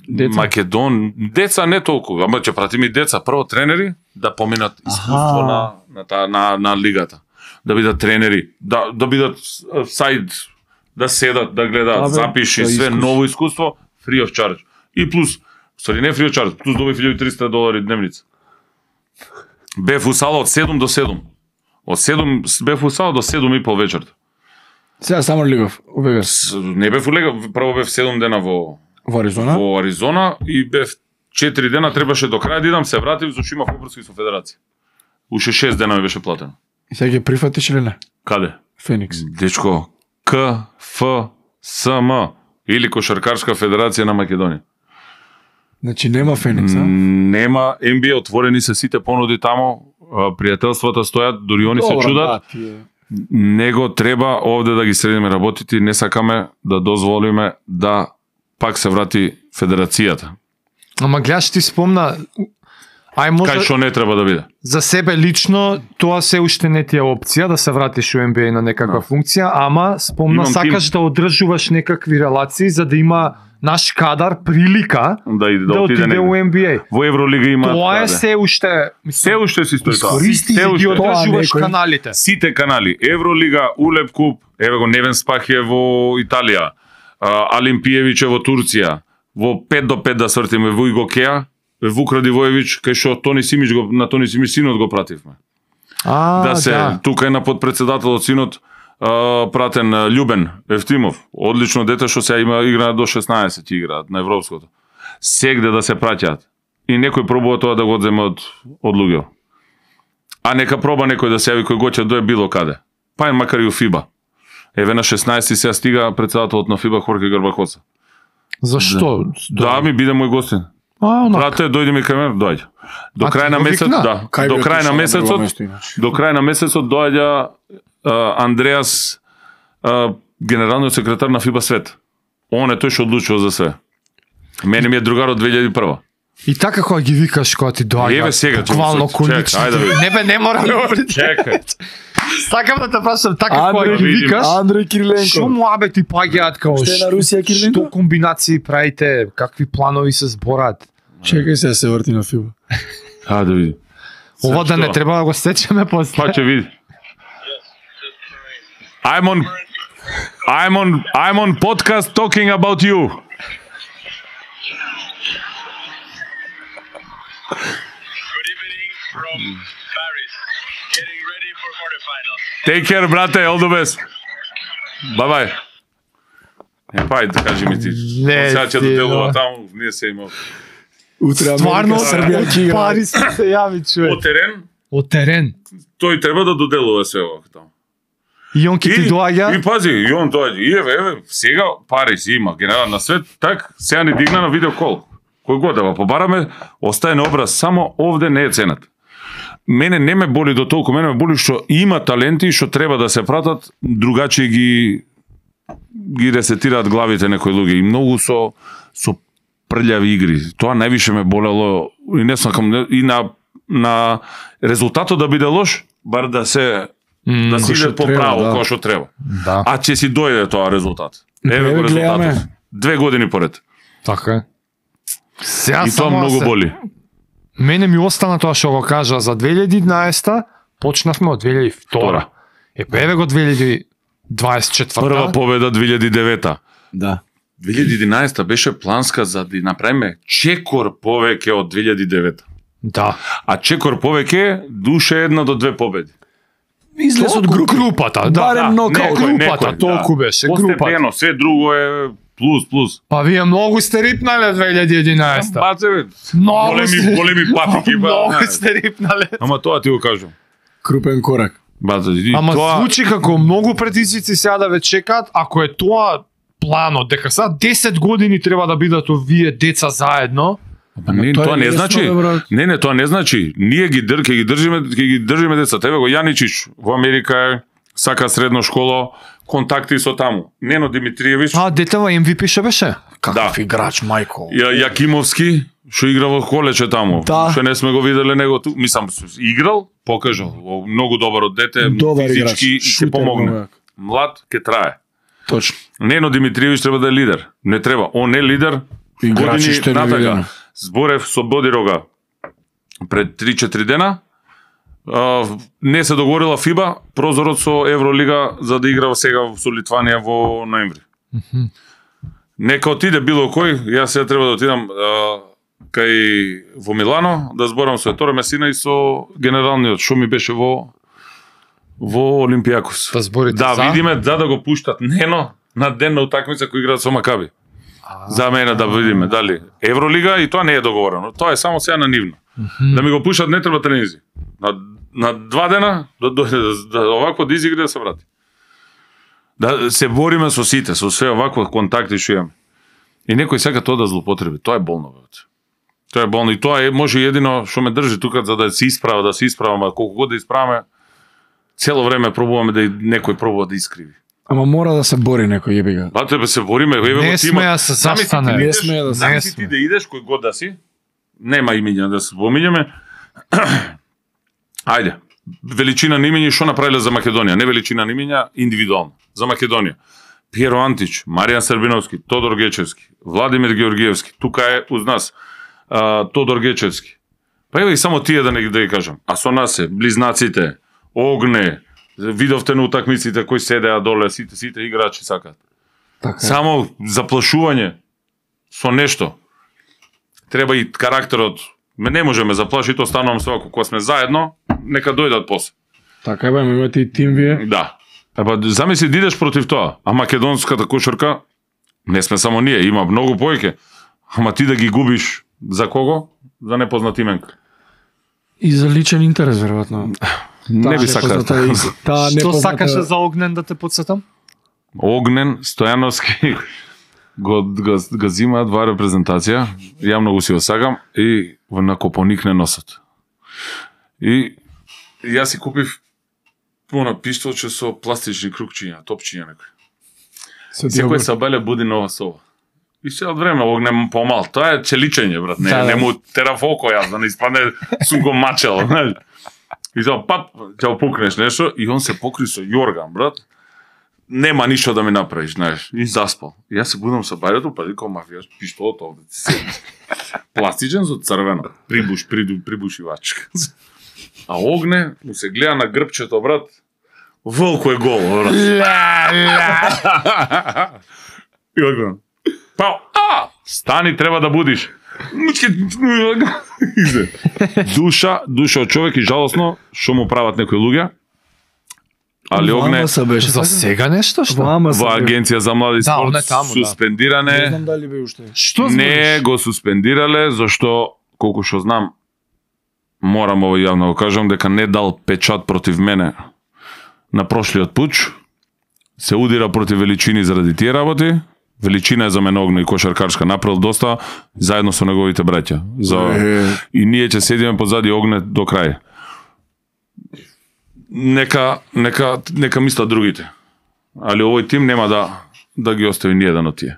Speaker 1: деца? Македон, деца не толку, ама ќе пратиме и деца, прво тренери да поминат искуство на на, на на на лигата, да бидат тренери, да да бидат сайд, да седат, да гледаат, запиши све искус. Ново искуство, free of charge. И плюс, стари не free of charge, плюс добив илјада и триста долари дневница. Бев у сала од седум до седум. Од седум бев у сала до седум и пол вечерта.
Speaker 2: Сега само лигов, у Вегас.
Speaker 1: Не бев у лигов, прво бев седум дена во
Speaker 2: во Аризона.
Speaker 1: Во Аризона и бев четири дена, требаше до крај да идам, се вратив, зашто имав обврски со федерација. Уште шест дена ми беше платено.
Speaker 2: И сега ги прифатиш или не?
Speaker 1: Каде?
Speaker 2: Феникс.
Speaker 1: Дечко, К Ф С М или Кошаркарска федерација на Македонија.
Speaker 2: Значи нема Феникс, а?
Speaker 1: Нема, Ен Би Ей отворени се сите понуди тамо, пријателствата стојат, дури они се чудат. Него треба овде да ги средиме работите, не сакаме да дозволиме да пак се врати федерацијата.
Speaker 3: Ама гледаш, ти спомна, ај може...
Speaker 1: Кај што не треба да биде?
Speaker 3: За себе лично, тоа се уште не ти е опција да се вратиш у Ен Би Ей на некаква no. функција, ама спомна Имам сакаш тим. Да одржуваш некакви релации за да има наш кадар прилика
Speaker 1: да, да,
Speaker 3: да отиде, отиде у Ен Би Ей.
Speaker 1: Во Евролига има
Speaker 3: тоа е се уште
Speaker 1: се уште си стои тоа.
Speaker 3: Се уште одржуваш каналите.
Speaker 1: Сите канали, Евролига, Улеп куп, еве го Невен Спахе во Италија, Алимпиевич во Турција, во пет до пет да свртиме во Игокеа, Вук Радивоевич, кај што Тони Симич го на Тони Симич синот го пративме.
Speaker 3: А,
Speaker 1: да се
Speaker 3: да.
Speaker 1: Тука е на подпредседателот синот Uh, пратен uh, Љубен Евтимов, одлично дете што сега има игра до шеснаесет играат на европското. Сегде да се праќаат. И некој пробува тоа да го одземе од од луѓе. А нека проба некој да се јави кој гоќе дое било каде. Па е макар и у ФИБА. Еве на шеснаесети сега стига председателот на ФИБА Хорхе Гарбакоса.
Speaker 3: Зашто?
Speaker 1: Да, да ми биде мој гостин.
Speaker 3: А,
Speaker 1: брате, дојди ми кај мене, доаѓа. До крај на месец, да. Кај до крај на месецот, до крај на месецот доаѓа Uh, Андреас, uh, генералниот секретар на ФИБА Свет. Он е тој што одлучува за све. Мене ми е другар од две илјади и прва.
Speaker 3: И така кога ги викаш кога ти доаѓа.
Speaker 1: Еве сега,
Speaker 3: буквално колички. Не бе, не мора да говори.
Speaker 1: Чекај.
Speaker 3: Сакам да те прашам така кога ги викаш.
Speaker 2: Андреј Кириленко.
Speaker 3: Што муабети паѓаат као
Speaker 2: што на Русија Кириленко?
Speaker 3: Што комбинации правите, какви планови се зборат?
Speaker 2: Чекај се да се врти на ФИБА.
Speaker 1: А да види.
Speaker 3: Ова да не треба да го сечеме после.
Speaker 1: Па ќе види. I'm on I'm on I'm on podcast talking about you.
Speaker 4: Good evening from Paris. Getting ready for quarterfinals.
Speaker 1: Take care, brate, all the best. Bye bye. Не пај да кажи ми ти. Сега ќе доделува таму, ние се имав.
Speaker 2: Утре Америка, Србија ќе игра.
Speaker 3: Пари се јави човек.
Speaker 1: Од терен?
Speaker 3: Од терен.
Speaker 1: Тој треба да доделува се ова таму.
Speaker 3: И он ки ти доаѓа.
Speaker 1: И пази, и он доаѓа. И еве, еве, сега пари си има, генерал на свет, так, сега ни дигна на видеокол. Кој го да го побараме, остае на образ, само овде не е ценат. Мене не ме боли до толку, мене ме боли што има таленти што треба да се пратат, другачи ги ги ресетираат главите некои луѓе и многу со со прљави игри. Тоа највише ме болело и не сакам и на на резултатот да биде лош, бар да се
Speaker 3: М,
Speaker 1: да си
Speaker 2: кој што
Speaker 1: иде по
Speaker 2: треба,
Speaker 1: право,
Speaker 2: да.
Speaker 1: кој што треба.
Speaker 3: Да,
Speaker 1: А ќе си дојде тоа резултат. Еве
Speaker 2: Еве
Speaker 1: го
Speaker 2: гледаме.
Speaker 1: резултатот. Две години поред.
Speaker 3: така е. Сега
Speaker 1: И тоа
Speaker 3: само
Speaker 1: многу
Speaker 3: се-
Speaker 1: боли.
Speaker 3: Мене ми остана тоа што го кажа за две илјади и еднаесета, почнавме од две илјади и втора. Е, па еве го две илјади и дваесет и четврта.
Speaker 1: Прва победа две илјади и девета.
Speaker 2: Да.
Speaker 1: две илјади и единаесета беше планска за да направиме чекор повеќе од две илјади и девета.
Speaker 3: Да.
Speaker 1: А чекор повеќе душе една до две победи.
Speaker 2: Излез од група.
Speaker 3: групата, да.
Speaker 2: Барем
Speaker 3: да.
Speaker 2: нокаут.
Speaker 3: Не,
Speaker 1: Некој,
Speaker 3: групата,
Speaker 1: некој,
Speaker 3: толку
Speaker 1: да.
Speaker 3: беше,
Speaker 1: Постепено,
Speaker 3: групата.
Speaker 1: све друго е плюс, плюс.
Speaker 3: Па вие многу сте рипнале две илјади и единаесета.
Speaker 1: Баце, бе,
Speaker 3: Многу
Speaker 1: големи,
Speaker 3: сте-
Speaker 1: големи патики. ба,
Speaker 3: Многу
Speaker 1: знаеш.
Speaker 3: сте рипнале.
Speaker 1: Ама тоа ти го кажам.
Speaker 2: Крупен корак.
Speaker 1: Баце, и
Speaker 3: Ама
Speaker 1: тоа...
Speaker 3: звучи како многу претицици сега да ве чекаат, ако е тоа планот, дека сега десет години треба да бидат овие деца заедно.
Speaker 1: Па не,
Speaker 2: Тоа е
Speaker 1: тоа не
Speaker 2: лесно,
Speaker 1: значи.
Speaker 2: бе, брат.
Speaker 1: Не, не, тоа не значи. Ние ги дрке, ги држиме, ќе ги држиме деца. Тебе го Јаничич во Америка е, сака средно школо, контакти со таму. Нено Димитриевич,
Speaker 3: А, детева Ем Ви Пи ше беше?
Speaker 2: Каков
Speaker 1: Да.
Speaker 2: играч, мајко.
Speaker 1: Ја, Јакимовски, што игра во колече таму.
Speaker 2: Да.
Speaker 1: Што не сме го виделе него ту. Мислам, играл, покажал. О, многу добар од дете,
Speaker 2: Добар играч.
Speaker 1: физички и ќе
Speaker 2: Шутер,
Speaker 1: помогне.
Speaker 2: многу јак.
Speaker 1: Млад, ќе трае.
Speaker 2: Точно.
Speaker 1: Нено Димитриевич треба да е лидер. Не треба. Он е лидер.
Speaker 2: Играчи
Speaker 1: Години
Speaker 2: што е
Speaker 1: натака.
Speaker 2: невидено.
Speaker 1: Зборев со Бодирога пред три-четири дена. А, не се договорила ФИБА прозорот со Евролига за да игра сега со Литванија во ноември. Нека отиде било кој, јас сега треба да отидам а, кај во Милано да зборам со Еторе Месина и со генералниот што ми беше во во Олимпијакос.
Speaker 3: Да зборите
Speaker 1: Да,
Speaker 3: за?
Speaker 1: видиме да да го пуштат Нено на ден на утакмица кој играат со Макаби. За мене да видиме дали Евролига и тоа не е договорено. Тоа е само сега на нивно. Да ми го пуштат не треба тренинзи. На на два дена да дојде да, да овако да изигра да се врати. Да се бориме со сите, со све овакво контакти што имаме. И некој сака тоа да злоупотреби. Тоа е болно, бе. Тоа е болно и тоа е може едино што ме држи тука за да се исправа, да се исправаме, колку год да исправаме. Цело време пробуваме да и некој пробува да искриви.
Speaker 2: Ама мора да се бори некој, јеби га.
Speaker 1: Ба тебе се бориме, еве
Speaker 3: Не
Speaker 1: го
Speaker 3: сме
Speaker 1: тимот.
Speaker 3: да се
Speaker 1: Замисли ти
Speaker 3: застане.
Speaker 1: да
Speaker 2: Не
Speaker 1: идеш-
Speaker 2: сме да се-
Speaker 1: замисли
Speaker 3: не
Speaker 1: ти
Speaker 3: сме.
Speaker 1: да идеш кој год да си. Нема имиња да се помињаме. Ајде. Величина на имиња што направиле за Македонија, не величина на имиња индивидуално. За Македонија. Пиеро Антич, Маријан Србиновски, Тодор Гечевски, Владимир Георгиевски, тука е уз нас. А, Тодор Гечевски. Па еве и само тие да не да ги кажам. А со нас е близнаците, Огне, видовте на утакмиците кои седеа доле, сите сите играчи сакаат.
Speaker 2: Така е.
Speaker 1: Само заплашување со нешто. Треба и карактерот. Ме не можеме заплаши, то станувам свако. Кога сме заедно, нека дојдат после.
Speaker 2: Така е, бе, имате и тим вие.
Speaker 1: Да. Епа, замисли да идеш против тоа. А македонската кошарка, не сме само ние, има многу повеќе. Ама ти да ги губиш за кого? За непознат именка.
Speaker 2: И за личен интерес, веројатно.
Speaker 1: Не би сакал.
Speaker 2: Таа
Speaker 3: Што
Speaker 2: непозната-
Speaker 3: сакаше за Огнен да те подсетам?
Speaker 1: Огнен, Стојановски го, го, го зимаат во репрезентација. Ја многу си го сакам и во на Копоник не носат. И јас си купив пуна пиштолче со пластични крукчиња, топчиња некои.
Speaker 2: Се
Speaker 1: Секој
Speaker 2: дијагор-
Speaker 1: сабеле буди нова сова. И се од време Огнен помал. Тоа е челичење, брат. Не,
Speaker 3: Да, да.
Speaker 1: не му тера фоко јас да не испадне сум го мачел, знаеш. И тоа пап ќе опукнеш нешто и он се покри со јорган, брат. Нема ништо да ми направиш, знаеш. И заспал. И јас се будам со бајето, па викам мафија, пиштолот овде. Пластичен со црвено. Прибуш, приду, прибушивачка. А Огне му се гледа на грбчето, брат. Волко е гол, брат.
Speaker 3: Ла, ла.
Speaker 1: И одгледам. Па, а, стани, треба да будиш. Мучке, Изе. Душа, душа од човек и жалосно што му прават некои луѓе. Али
Speaker 2: Во
Speaker 1: Огне
Speaker 2: Амаса беше.
Speaker 3: За
Speaker 2: така?
Speaker 3: сега нешто
Speaker 2: Во
Speaker 3: што?
Speaker 2: Амаса
Speaker 1: во
Speaker 2: бе.
Speaker 1: агенција за млади
Speaker 3: Да, он е
Speaker 1: спорт
Speaker 3: таму, да.
Speaker 2: Не
Speaker 1: суспендиране.
Speaker 2: знам дали бе уште.
Speaker 3: Што
Speaker 1: Не
Speaker 3: збориш?
Speaker 1: го суспендирале зашто колку што знам морам ово јавно го кажам дека не дал печат против мене на прошлиот пуч. Се удира против Величини заради тие работи. Величина е за мене Огне и кошаркарска направил доста заедно со неговите браќа. За
Speaker 2: Е.
Speaker 1: и ние ќе седиме позади Огне до крај. Нека нека нека мислат другите. Али овој тим нема да да ги остави ни еден од тие.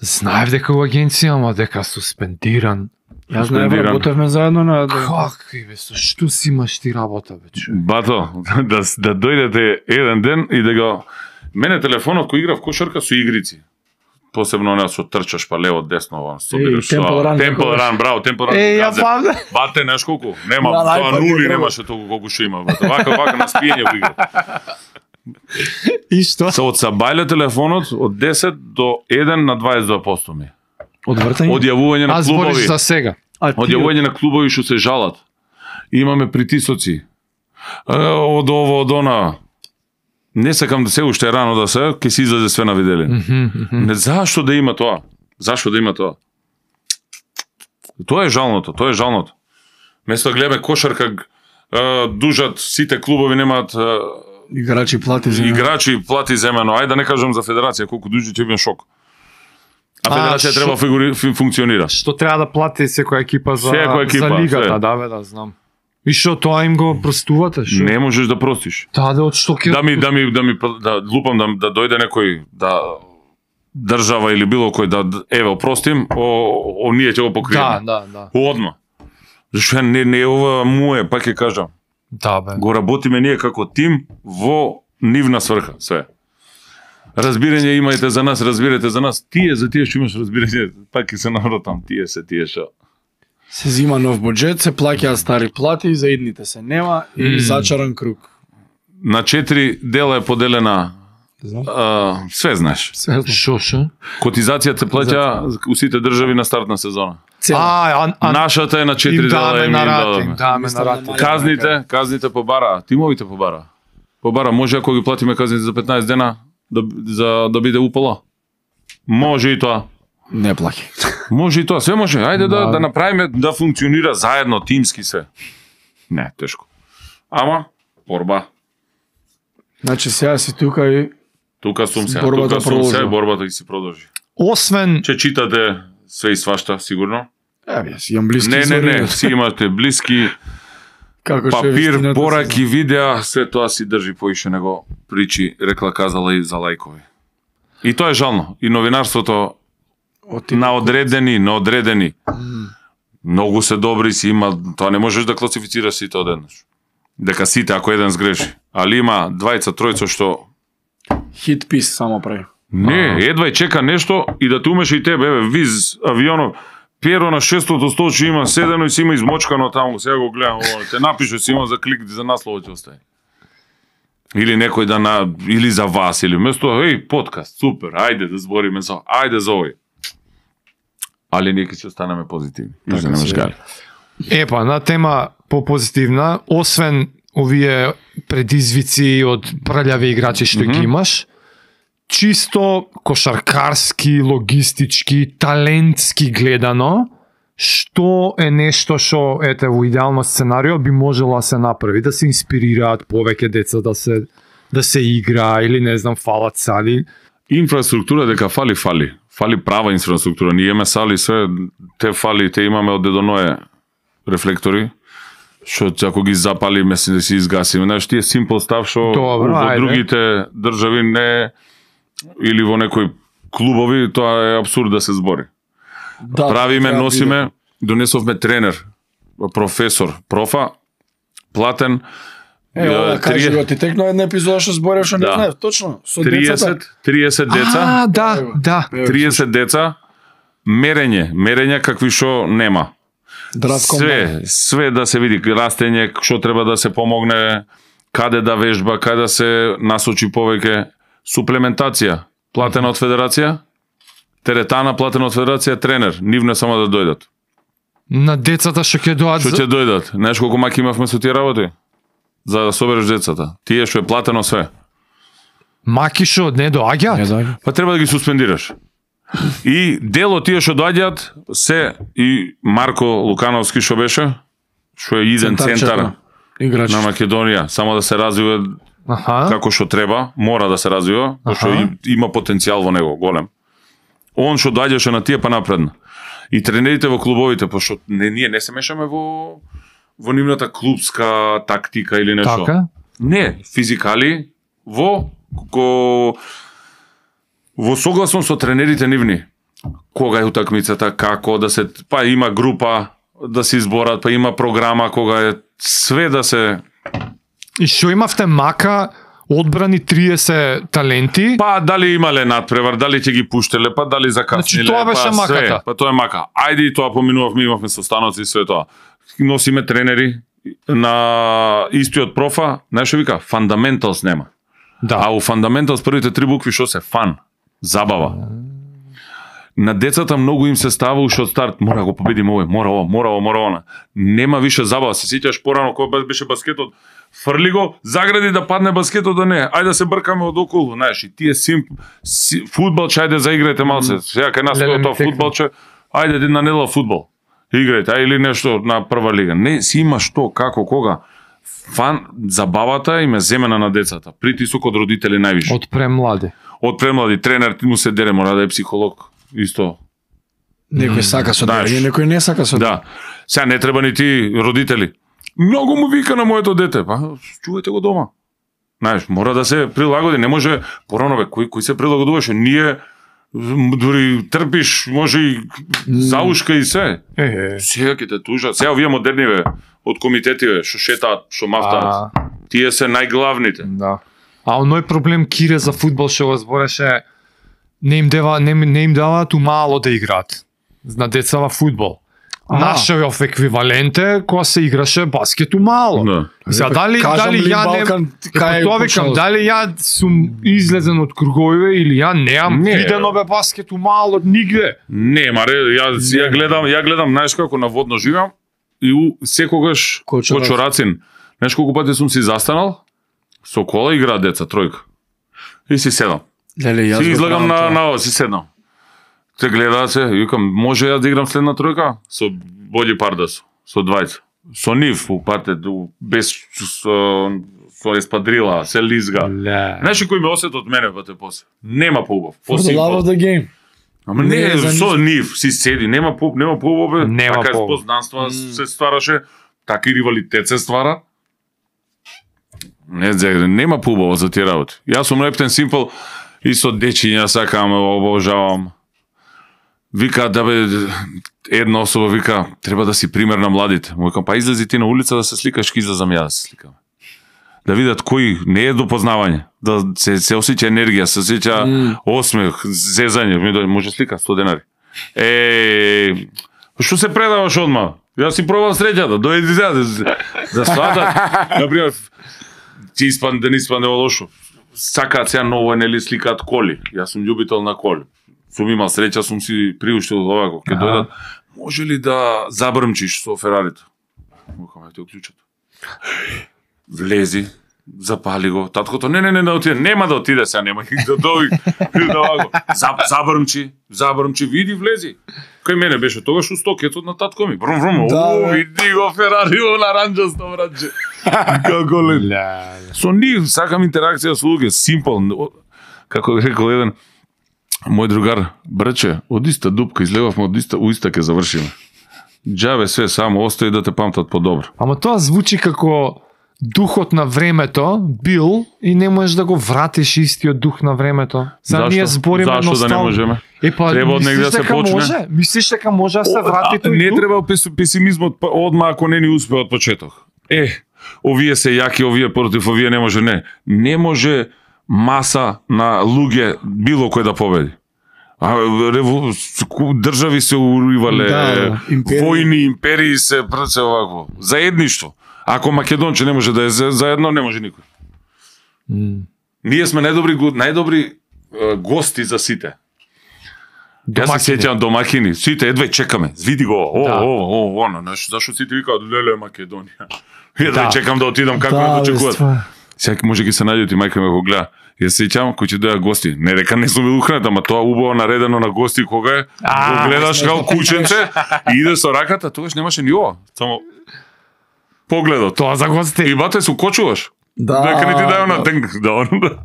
Speaker 3: Знаев дека у агенција, ама дека суспендиран.
Speaker 2: Јас не
Speaker 1: Суспендиран.
Speaker 2: работевме заедно на
Speaker 3: Какви бе, со што си имаш ти работа, бе, човек?
Speaker 1: Бато, да, да дојдете еден ден и да го... Мене телефонот кој играв кошарка со игрици. Посебно она со трчаш па лево, десно, вон, собираш.
Speaker 2: Temple Run,
Speaker 1: Темпл
Speaker 2: некогаш.
Speaker 1: ран, браво, Темпл ран.
Speaker 3: Е, ја памтам.
Speaker 1: Бате, знаеш колку? Нема,
Speaker 2: Да,
Speaker 1: тоа
Speaker 2: најпак
Speaker 1: нули
Speaker 2: е треба.
Speaker 1: немаше толку колку што има. Бате. Вака, вака на спиење го игра.
Speaker 3: И што?
Speaker 1: Се од сабајле телефонот од десет до еден на дваесет и два проценти ми.
Speaker 2: од вртање.
Speaker 1: Одјавување на
Speaker 3: А збориш
Speaker 1: клубови.
Speaker 3: за сега.
Speaker 2: А ти-
Speaker 1: Одјавување на клубови што се жалат. Имаме притисоци. Е, од ово, од она. Не сакам да се уште е рано да се, ќе се излезе све на видели. Не, зашто да има тоа? Зашто да има тоа? Тоа е жалното, тоа е жалното. Место да гледаме кошарка, е, дужат, сите клубови немаат е,
Speaker 2: Играчи плати за
Speaker 1: играчи плати земено. Ајде да не кажам за федерација, колку дужи ќе бидам шок. А
Speaker 3: А,
Speaker 1: федерација
Speaker 3: шо-
Speaker 1: треба фигури, фи- функционира.
Speaker 3: Што треба да плати секоја екипа за,
Speaker 1: Секоја екипа,
Speaker 3: за лигата,
Speaker 1: све.
Speaker 3: да бе, да знам. И што тоа им го простувате, што?
Speaker 1: Не можеш да простиш.
Speaker 3: Да, да, од што ќе...
Speaker 1: Да ми да ми да ми да лупам да да дојде некој да држава или било кој да еве опростим, о, о ние ќе го
Speaker 3: Да,
Speaker 1: покриеме.
Speaker 3: да, да.
Speaker 1: Одма. Зашто не не е ова мое, пак ќе кажам.
Speaker 3: Да, бе.
Speaker 1: Го работиме ние како тим во нивна сврха, све. Разбирање имајте за нас, разбирате за нас. Тие за тие што имаш разбирање, пак ќе се навратам, тие се тие што.
Speaker 2: се зима нов буџет, се плаќаат стари плати, за идните се нема и
Speaker 3: Мм.
Speaker 2: зачаран круг.
Speaker 1: На четири дела е поделена,
Speaker 2: Знам.
Speaker 1: а, све знаеш.
Speaker 2: Се
Speaker 3: Шо, шо?
Speaker 1: Котизацијата се плаќа у сите држави на старт на сезона.
Speaker 2: цела.
Speaker 3: А, а, а
Speaker 1: Нашата е на четири
Speaker 3: им
Speaker 1: дела
Speaker 3: даме
Speaker 1: и ми
Speaker 3: на
Speaker 1: им
Speaker 3: рат, им
Speaker 1: дадаме.
Speaker 3: даме на
Speaker 2: Мислам
Speaker 3: рат.
Speaker 2: да
Speaker 1: Казните, казните по бара, тимовите по бара. По бара, може ако ги платиме казните за петнаесет дена да, за да биде упола. Може и тоа.
Speaker 2: Не плаќа.
Speaker 1: Може и тоа, све може. Ајде да
Speaker 3: Да.
Speaker 1: да направиме да функционира заедно тимски се. Не, тешко. Ама борба.
Speaker 2: Значи сега си тука и
Speaker 1: Тука сум се,
Speaker 2: Борбата
Speaker 1: тука сум
Speaker 2: продолжува.
Speaker 1: се, борбата ќе се продолжи.
Speaker 3: Освен
Speaker 1: Че читате све и свашта, сигурно?
Speaker 2: Еве, јас имам блиски
Speaker 1: Не, не,
Speaker 2: изори.
Speaker 1: не, си имате блиски,
Speaker 2: Како што е
Speaker 1: папир,
Speaker 2: вистината,
Speaker 1: пораки, видеа, се тоа си држи поише него причи, рекла казала и за лајкови. И тоа е жално. И новинарството
Speaker 2: Оти-
Speaker 1: на одредени, на одредени. Многу се добри си има, тоа не можеш да класифицираш сите одеднаш. Дека сите ако еден сгреши. Али има двајца, тројца што
Speaker 2: хит пис само прави.
Speaker 1: не, едва и чека нешто и да те умеше и тебе, еве, виз авионов, Пиеро на шестото столче има седено и си има измочкано таму, сега го гледам, ово, те напише си има за клик за наслово ќе остане. Или некој да на или за вас или место, еј, подкаст, супер, ајде да збориме за, ајде за овој. Али ние ќе се останеме позитивни.
Speaker 2: Така
Speaker 1: Така не
Speaker 2: си е.
Speaker 1: гали.
Speaker 3: Епа, на тема попозитивна, освен овие предизвици од прљави играчи што ги имаш, чисто кошаркарски, логистички, талентски гледано, што е нешто што ете во идеално сценарио би можело да се направи, да се инспирираат повеќе деца да се да се игра или не знам фалат сали.
Speaker 1: Инфраструктура дека фали, фали. Фали права инфраструктура. Ние имаме сали све, те фали, те имаме од дедоное рефлектори, што ако ги запали, мислам да си изгасиме. Знаеш, тие simple став што
Speaker 3: Добро,
Speaker 1: во
Speaker 3: ајде.
Speaker 1: другите држави не или во некои клубови, тоа е абсурд да се збори.
Speaker 2: Да,
Speaker 1: Правиме,
Speaker 2: треба
Speaker 1: носиме, донесовме тренер, професор, профа, платен,
Speaker 2: Е, ова кажи
Speaker 1: трие-
Speaker 2: го, ти текно една епизода што зборев што не
Speaker 1: Да.
Speaker 2: знаев, точно, со децата.
Speaker 1: триесет, триесет деца,
Speaker 3: А, да, да.
Speaker 1: триесет деца, мерење, мерења какви што нема.
Speaker 2: Драфт
Speaker 1: Све, све да се види, растење, што треба да се помогне, каде да вежба, каде да се насочи повеќе, суплементација, платена од федерација, теретана платена од федерација, тренер, нивне само да дојдат.
Speaker 3: На децата што ќе доаѓаат
Speaker 1: Што ќе дојдат? Знаеш колку маки имавме со тие работи? За да собереш децата. Тие што е платено све.
Speaker 3: маки што не доаѓаат.
Speaker 2: да.
Speaker 1: Па треба да ги суспендираш. И дел од тие што доаѓаат се и Марко Лукановски што беше, што е иден центар
Speaker 2: Играч.
Speaker 1: на Македонија, само да се развива
Speaker 3: Аха.
Speaker 1: како што треба, мора да се развива, зашто
Speaker 3: Аха.
Speaker 1: и- има потенцијал во него голем. Он што доаѓаше на тие па напредна. И тренерите во клубовите, пошто не ние не се мешаме во во нивната клубска тактика или нешто.
Speaker 3: Така.
Speaker 1: Не, физикали во ко во согласно со тренерите нивни. кога е утакмицата, како да се, па има група да се изборат, па има програма кога е све да се.
Speaker 3: И што имавте мака, одбрани триесет таленти?
Speaker 1: Па дали имале надпревар, дали ќе ги пуштеле, па дали закасниле,
Speaker 3: Значи, тоа беше
Speaker 1: па
Speaker 3: маката.
Speaker 1: све, па тоа е мака. Ајде и тоа поминувавме, имавме состаноци и све тоа. Носиме тренери на истиот профа, знаеш што вика, fundamentals нема.
Speaker 3: Да.
Speaker 1: А у fundamentals првите три букви што се фан, забава. На децата многу им се става уште од старт, мора го победиме овој, мора ова, мора ова, мора она. Нема више забава, се сеќаш порано кога беше баскетот, фрли го, загради да падне баскетот, да не, ајде да се бркаме од околу, знаеш, и тие сим, си, фудбалче, ајде заиграјте малце, сега кај нас
Speaker 3: Леле,
Speaker 1: тоа
Speaker 3: ми текна.
Speaker 1: фудбалче, ајде една недела фудбал, играјте, а или нешто на прва лига. Не, си има што, како, кога. Фан, забавата им е земена на децата, притисок од родители највише.
Speaker 3: Од премлади.
Speaker 1: Од премлади тренер ти му се дере, мора да е психолог, исто.
Speaker 2: Некој сака со
Speaker 1: Знаеш.
Speaker 2: дерење, некој не сака со
Speaker 1: Да. Сега не треба ни ти родители. Многу му вика на моето дете, па чувајте го дома. Знаеш, мора да се прилагоди, не може порано бе, кој кој се прилагодуваше, ние м, дури трпиш, може и заушка и се.
Speaker 3: Е,
Speaker 1: Сега ќе те тужат. Сега овие модерни бе, од комитетиве, што шетаат, што мафтаат.
Speaker 3: А,
Speaker 1: Тие се најглавните.
Speaker 3: да. А оној проблем Кире за фудбал што го збореше, не им дева не, не им даваат умало да играат на деца во фудбал.
Speaker 2: Аха.
Speaker 3: Нашиот еквивалент е кога се играше баскет умало.
Speaker 1: Да.
Speaker 3: Сега дали
Speaker 2: Кажам
Speaker 3: дали
Speaker 2: ли
Speaker 3: ја не
Speaker 2: Балкан,
Speaker 3: Е,
Speaker 2: кај
Speaker 3: па тоа
Speaker 2: почнал?
Speaker 3: викам, дали ја сум излезен од круговиве или ја неам
Speaker 1: Не.
Speaker 3: видено бе баскет умало од нигде.
Speaker 1: Не, маре, ја ја гледам, ја гледам, знаеш како на водно живеам и у, секогаш
Speaker 2: Кочорацин.
Speaker 1: Кочорацин. Знаеш колку пати сум си застанал со кола играат деца тројка. И си седам.
Speaker 2: Леле, јас
Speaker 1: Си
Speaker 2: го
Speaker 1: излагам
Speaker 2: правам
Speaker 1: на
Speaker 2: тоа.
Speaker 1: на ова, си седнам. Те гледаат се, и викам, може ја да играм следна тројка со Боди Пардас, со двајца. Со нив у партет, у- без со, со еспадрила, се лизга.
Speaker 3: Ле.
Speaker 1: Знаеш ли кој ме осет од мене пате после? Нема поубав.
Speaker 2: For the love of the game.
Speaker 1: Ама
Speaker 2: Не
Speaker 1: не,
Speaker 2: е за
Speaker 1: со нив си седи, нема по нема поубав, бе.
Speaker 3: Нема
Speaker 1: Така
Speaker 3: поубав.
Speaker 1: познанства се ствараше, така и ривалитет се ствара. Не, зегре, нема поубаво за тие работи. Јас сум рептен симпл и со дечиња сакам, обожавам. Вика да бе една особа вика треба да си пример на младите. Му викам па излези ти на улица да се сликаш, ки излезам ја да се сликам. Да видат кој не е до познавање, да се се осеќа енергија, се осеќа
Speaker 2: Mm.
Speaker 1: осмех, зезање, ми дојде, може слика сто денари. Е, што се предаваш одма? Јас си пробам среќата, дојди сега да да сватат. Например, ти испан да не испане лошо. Сакаат сега ново нели сликаат коли. Јас сум љубител на коли. Сум имал среќа, сум си приуштил овако. Ке
Speaker 3: Аха.
Speaker 1: дојдат, може ли да забрмчиш со Ферарито? Викам, ајде уклучат. Влези, запали го. Таткото, не, не, не, да отиде. Нема да отиде сега, нема и да дојди. Да овако. Заб, забрмчи, забрмчи, види, влези. Кај мене беше тогаш у стокетот на татко ми. Брум, брум,
Speaker 2: Да,
Speaker 1: о,
Speaker 2: бе.
Speaker 1: види го Ферарио на ранџасто, братче. Како лет.
Speaker 3: Ле.
Speaker 1: Со нив сакам интеракција со луѓе, симпл. Како рекол еден мој другар, братче, од иста дупка излегавме, од иста у иста ќе завршиме. Џабе све, само остави да те памтат подобро.
Speaker 3: Ама тоа звучи како духот на времето бил и не можеш да го вратиш истиот дух на времето. За
Speaker 1: Зашто?
Speaker 3: ние збориме
Speaker 1: Зашто да не
Speaker 3: ностал-
Speaker 1: можеме?
Speaker 3: Е па
Speaker 1: Треба од негде
Speaker 3: мислиш
Speaker 1: да се
Speaker 3: дека
Speaker 1: почне?
Speaker 3: Може? Мислиш дека може да се
Speaker 1: О,
Speaker 3: врати
Speaker 1: а,
Speaker 3: тој
Speaker 1: не
Speaker 3: дух?
Speaker 1: треба пес- песимизмот па- одма ако не ни успе од почеток. Е, овие се јаки, овие против овие не може, не. Не може маса на луѓе било кој да победи. А реву... држави се уривале,
Speaker 2: Да, империи.
Speaker 1: војни, империи се прце овако. Заедништво. Ако Македонче не може да е за- заедно, не може никој.
Speaker 3: М.
Speaker 1: Ние сме најдобри го- најдобри е, гости за сите. Јас се
Speaker 3: Домакини.
Speaker 1: сеќавам домакини, сите едвај чекаме. Види го, о,
Speaker 3: Да.
Speaker 1: о, о, оно, знаеш, зашо сите викаат леле Македонија. Едвај
Speaker 3: Да.
Speaker 1: чекам да отидам како
Speaker 2: Да,
Speaker 1: да
Speaker 2: бе,
Speaker 1: очекуваат.
Speaker 2: стварно.
Speaker 1: Сега може ги се најдете мајка ме го гледа. Јас се сеќавам кои ќе дојдат гости. Не дека не сум бил ухранет, ама тоа убаво наредено на гости кога е.
Speaker 3: А,
Speaker 1: Го гледаш како кученце и иде со раката, тогаш немаше ни ова. Само погледот.
Speaker 3: Тоа за гости.
Speaker 1: И бате се укочуваш.
Speaker 2: Да.
Speaker 1: Дека не ти дај на денг, да оно да.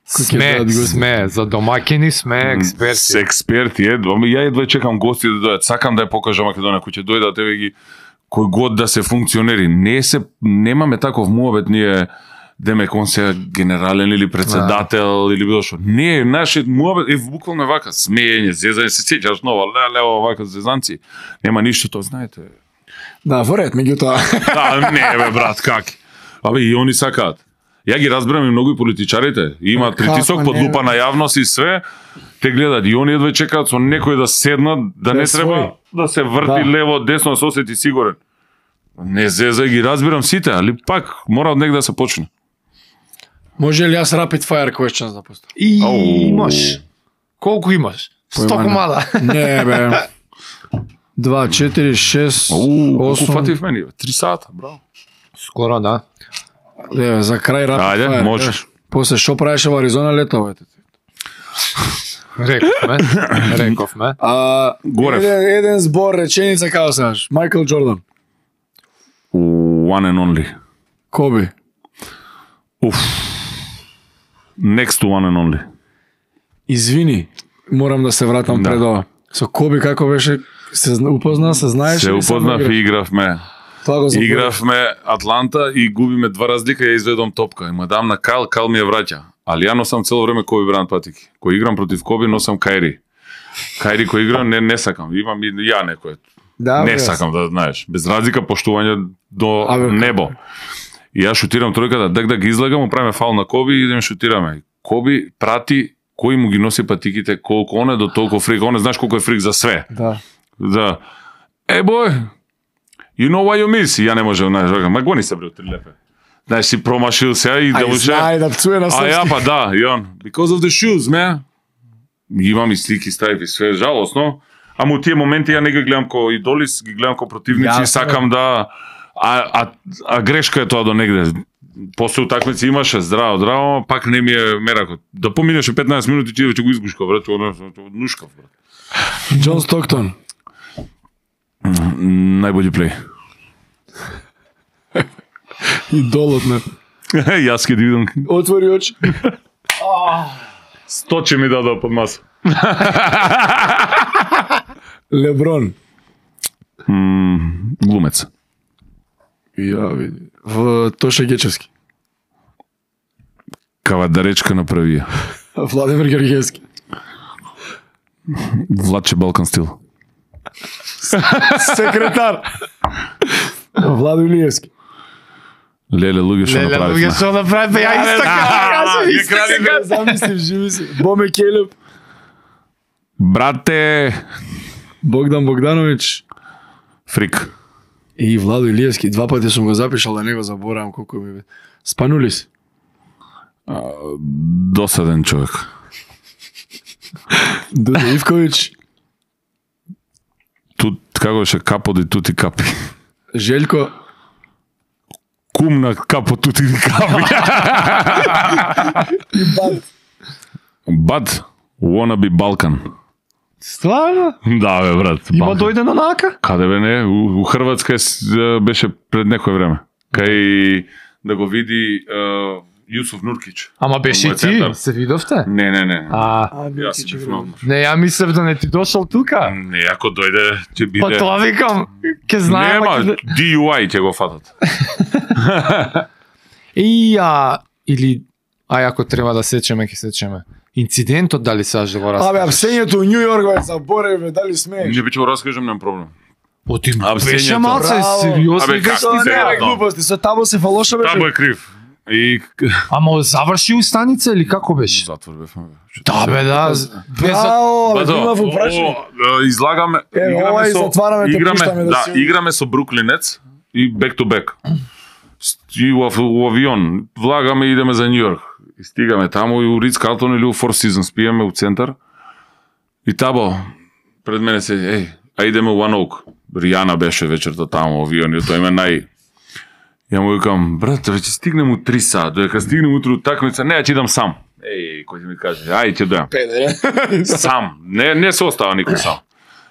Speaker 3: Сме,
Speaker 2: дадат гости.
Speaker 3: сме, за домакини сме
Speaker 1: С
Speaker 3: експерти.
Speaker 1: експерти, едва. Ама ја едва чекам гости да дојдат. Сакам да ја покажам Македонија, кој ќе дојдат еве ги кој год да се функционери. Не се немаме таков муабет ние демек он се генерален или председател или било што. Не, нашиот муабет е буквално вака, смеење, зезање, се сеќаш нова, леле, вака зезанци. Нема ништо тоа, знаете.
Speaker 2: Да, во ред, меѓутоа.
Speaker 1: Да, не бе брат, как? Абе и они сакаат. Ја ги разбирам и многу и политичарите. Имаат притисок
Speaker 2: Како
Speaker 1: под
Speaker 2: не,
Speaker 1: лупа
Speaker 2: бе?
Speaker 1: на јавност и све. Те гледат и они едва чекаат со некој да седнат, да
Speaker 2: Да
Speaker 1: не
Speaker 2: е
Speaker 1: треба
Speaker 2: свој.
Speaker 1: да се врти
Speaker 2: Да.
Speaker 1: лево, десно, да се осети сигурен. Не зеза, ги разбирам сите, али пак мора од негде да се почне.
Speaker 2: Може ли јас rapid fire questions да поставам?
Speaker 3: И
Speaker 1: Ау.
Speaker 3: имаш. Колку имаш? Сто
Speaker 2: Појма не.
Speaker 3: комада.
Speaker 2: Не, бе. Два, четири, шест,
Speaker 1: Уу, колку
Speaker 2: осум.
Speaker 1: фатив мене? Три сата, браво.
Speaker 3: Скоро, да.
Speaker 2: Е, за крај rapid
Speaker 1: Ајде,
Speaker 2: fire.
Speaker 1: можеш.
Speaker 2: е. После шо правеше во Аризона лето, бе?
Speaker 3: Рековме. Рековме.
Speaker 2: А,
Speaker 1: Горев.
Speaker 2: еден, еден збор, реченица како саш. Майкл Джордан.
Speaker 1: One and only.
Speaker 2: Коби.
Speaker 1: Уф. Next to one and only.
Speaker 2: Извини, морам да се вратам
Speaker 1: Да.
Speaker 2: пред ова. Со Коби како беше, се зна- упозна, се знаеш?
Speaker 1: Се
Speaker 2: или само
Speaker 1: упознав
Speaker 2: играш?
Speaker 1: и игравме.
Speaker 2: Тоа го заборав.
Speaker 1: Игравме Атланта и губиме два разлика, ја изведом топка. И му дам на Кайл, Кайл ми ја враќа. Али ја носам цело време Коби Бранд патики. Кој играм против Коби, носам Кајри. Кајри кој играм, не, не сакам. Имам и ја некој.
Speaker 2: Да,
Speaker 1: Не
Speaker 2: бе,
Speaker 1: сакам да знаеш. Без разлика поштување до
Speaker 2: Абе,
Speaker 1: небо. И ја шутирам тројката, дак да ги излагам, му правиме фаул на Коби и идем шутираме. Коби прати кој му ги носи патиките, колку он е до толку фрик. Он е, знаеш колку е фрик за све.
Speaker 2: Да.
Speaker 1: Да. Е, бој, you know why you miss? И ја не можам, знаеш, рекам, ма гони се бре од три лепе. Знаеш, си промашил се и да
Speaker 2: Ај,
Speaker 1: му ше...
Speaker 2: знае да пцуе на
Speaker 1: А
Speaker 2: српски.
Speaker 1: ја па да, и он, because of the shoes, man. Имам и слики, стави и све, жалосно. Ама у тие моменти ја не ги гледам ко идолис, ги гледам ко противници и
Speaker 2: Јасно.
Speaker 1: сакам да... А, а, а грешка е тоа до негде. После утакмици имаше здраво, здраво, ама пак не ми е меракот. Да поминеше петнаесет минути, ти веќе го изгушкав, брат, нушкав, брат.
Speaker 2: Џон Стоктон.
Speaker 1: Најбољи плей.
Speaker 2: Идолот на.
Speaker 1: Јас ке да видам.
Speaker 2: Отвори очи.
Speaker 1: Сто че ми дадо под маса.
Speaker 2: Леброн.
Speaker 1: М, глумец.
Speaker 2: Ја види. В Тоша Гечевски.
Speaker 1: Кавадаречка направи ја.
Speaker 2: Владимир Георгиевски.
Speaker 1: Владче Балкан стил.
Speaker 2: Секретар. Владо Илиевски.
Speaker 1: Леле, луѓе што
Speaker 3: Леле,
Speaker 1: направивме.
Speaker 3: луѓе што направивме, ја исто кажа,
Speaker 1: ја
Speaker 3: исто
Speaker 1: кради
Speaker 3: кажа.
Speaker 2: Замислив, живи си. Боме Келеб.
Speaker 1: Брате,
Speaker 2: Богдан Богданович.
Speaker 1: фрик.
Speaker 2: И Владо Илиевски. Два пати сум го запишал, да не го заборавам колку ми бе. Спанулис.
Speaker 1: Досаден човек.
Speaker 2: Дуде Ивкович.
Speaker 1: Тут како беше капо и тути капи.
Speaker 2: Желко.
Speaker 1: Кум на капо тути капи.
Speaker 2: И Бад.
Speaker 1: Бад, wanna be Балкан.
Speaker 3: Стварно?
Speaker 1: Да, бе, брат.
Speaker 3: Има
Speaker 1: Балкан.
Speaker 3: дојде на нака?
Speaker 1: Каде бе не? У, у Хрватска е с- беше пред некое време. Кај да го види uh, Јусуф Нуркич.
Speaker 3: Ама беше и
Speaker 1: Мојот
Speaker 3: ти,
Speaker 1: центар.
Speaker 3: се видовте?
Speaker 1: Не, не, не.
Speaker 3: А,
Speaker 2: А,
Speaker 1: Јас си бив на одмор.
Speaker 3: не, ја мислев да не ти дошол тука.
Speaker 1: Не, ако дојде, ќе биде...
Speaker 3: Па тоа викам, ке знаем.
Speaker 1: Нема,
Speaker 3: ќе-
Speaker 1: ди ю ај ќе го фатат.
Speaker 3: И а, или, ај ако треба да сечеме, ќе сечеме. Инцидентот дали саш да го
Speaker 2: Абе,
Speaker 3: раскажеш?
Speaker 2: апсењето у Нью Йорк, бе, заборави, бе, дали смееш?
Speaker 1: Не би ќе го раскажам, немам проблем.
Speaker 3: О, ти
Speaker 1: Апсењето.
Speaker 3: беше малце
Speaker 2: Браво.
Speaker 3: сериозно.
Speaker 1: Абе, как
Speaker 2: Тоа
Speaker 1: ти
Speaker 2: не
Speaker 1: се
Speaker 2: е
Speaker 1: тоа?
Speaker 2: глупости, со тамо се фалоша беше.
Speaker 1: Табо е крив. И
Speaker 3: Ама заврши у станица или како беше?
Speaker 1: затвор бевме. бе.
Speaker 3: Да бе, да. Без...
Speaker 2: Браво, бе,
Speaker 1: Бато,
Speaker 2: има во прашање.
Speaker 1: о, да, излагаме,
Speaker 2: Е,
Speaker 1: играме
Speaker 2: ова и
Speaker 1: со,
Speaker 2: затвараме, те
Speaker 1: играме,
Speaker 2: пуштаме да
Speaker 1: да,
Speaker 2: си-
Speaker 1: играме со Бруклинец и back to back. И у, ав- у авион, влагаме и идеме за Нью Йорк. И стигаме таму и у Ридс Картон или у Four Seasons, пиеме у центар. И табо, пред мене се, еј, а идеме у One Oak. Ријана беше вечерта таму, авион, и тоа име нај... Ја му викам, брат, веќе стигнем у три сат, додека стигнем утре у такмица, не, ја ќе идам сам. Еј, кој ќе ми каже, ај, ќе дојам.
Speaker 2: Педер.
Speaker 1: Сам, не не се остава никој сам.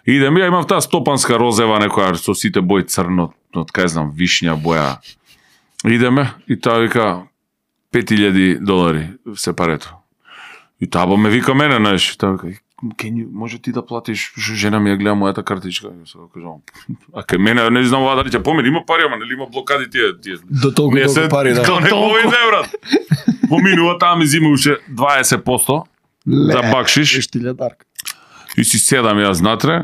Speaker 1: Идем, ја имам таа стопанска розева некоја со сите бои црно, од кај знам, вишња боја. Идеме и таа вика пет илјади долари сепарето. И таа ме вика мене, знаеш, таа вика can you, може ти да платиш, жена ми ја гледа мојата картичка. Јас кажам, а кај мене не знам ваа дали ќе помени, има пари, ама нели има блокади тие, тие.
Speaker 2: До толку
Speaker 1: Не
Speaker 2: толку
Speaker 1: се-
Speaker 2: пари, да.
Speaker 1: Као не повеќе, брат. Поминува таа ми зима уште дваесет проценти за бакшиш.
Speaker 2: Еш ти лјадарка.
Speaker 1: И си седам јас натре,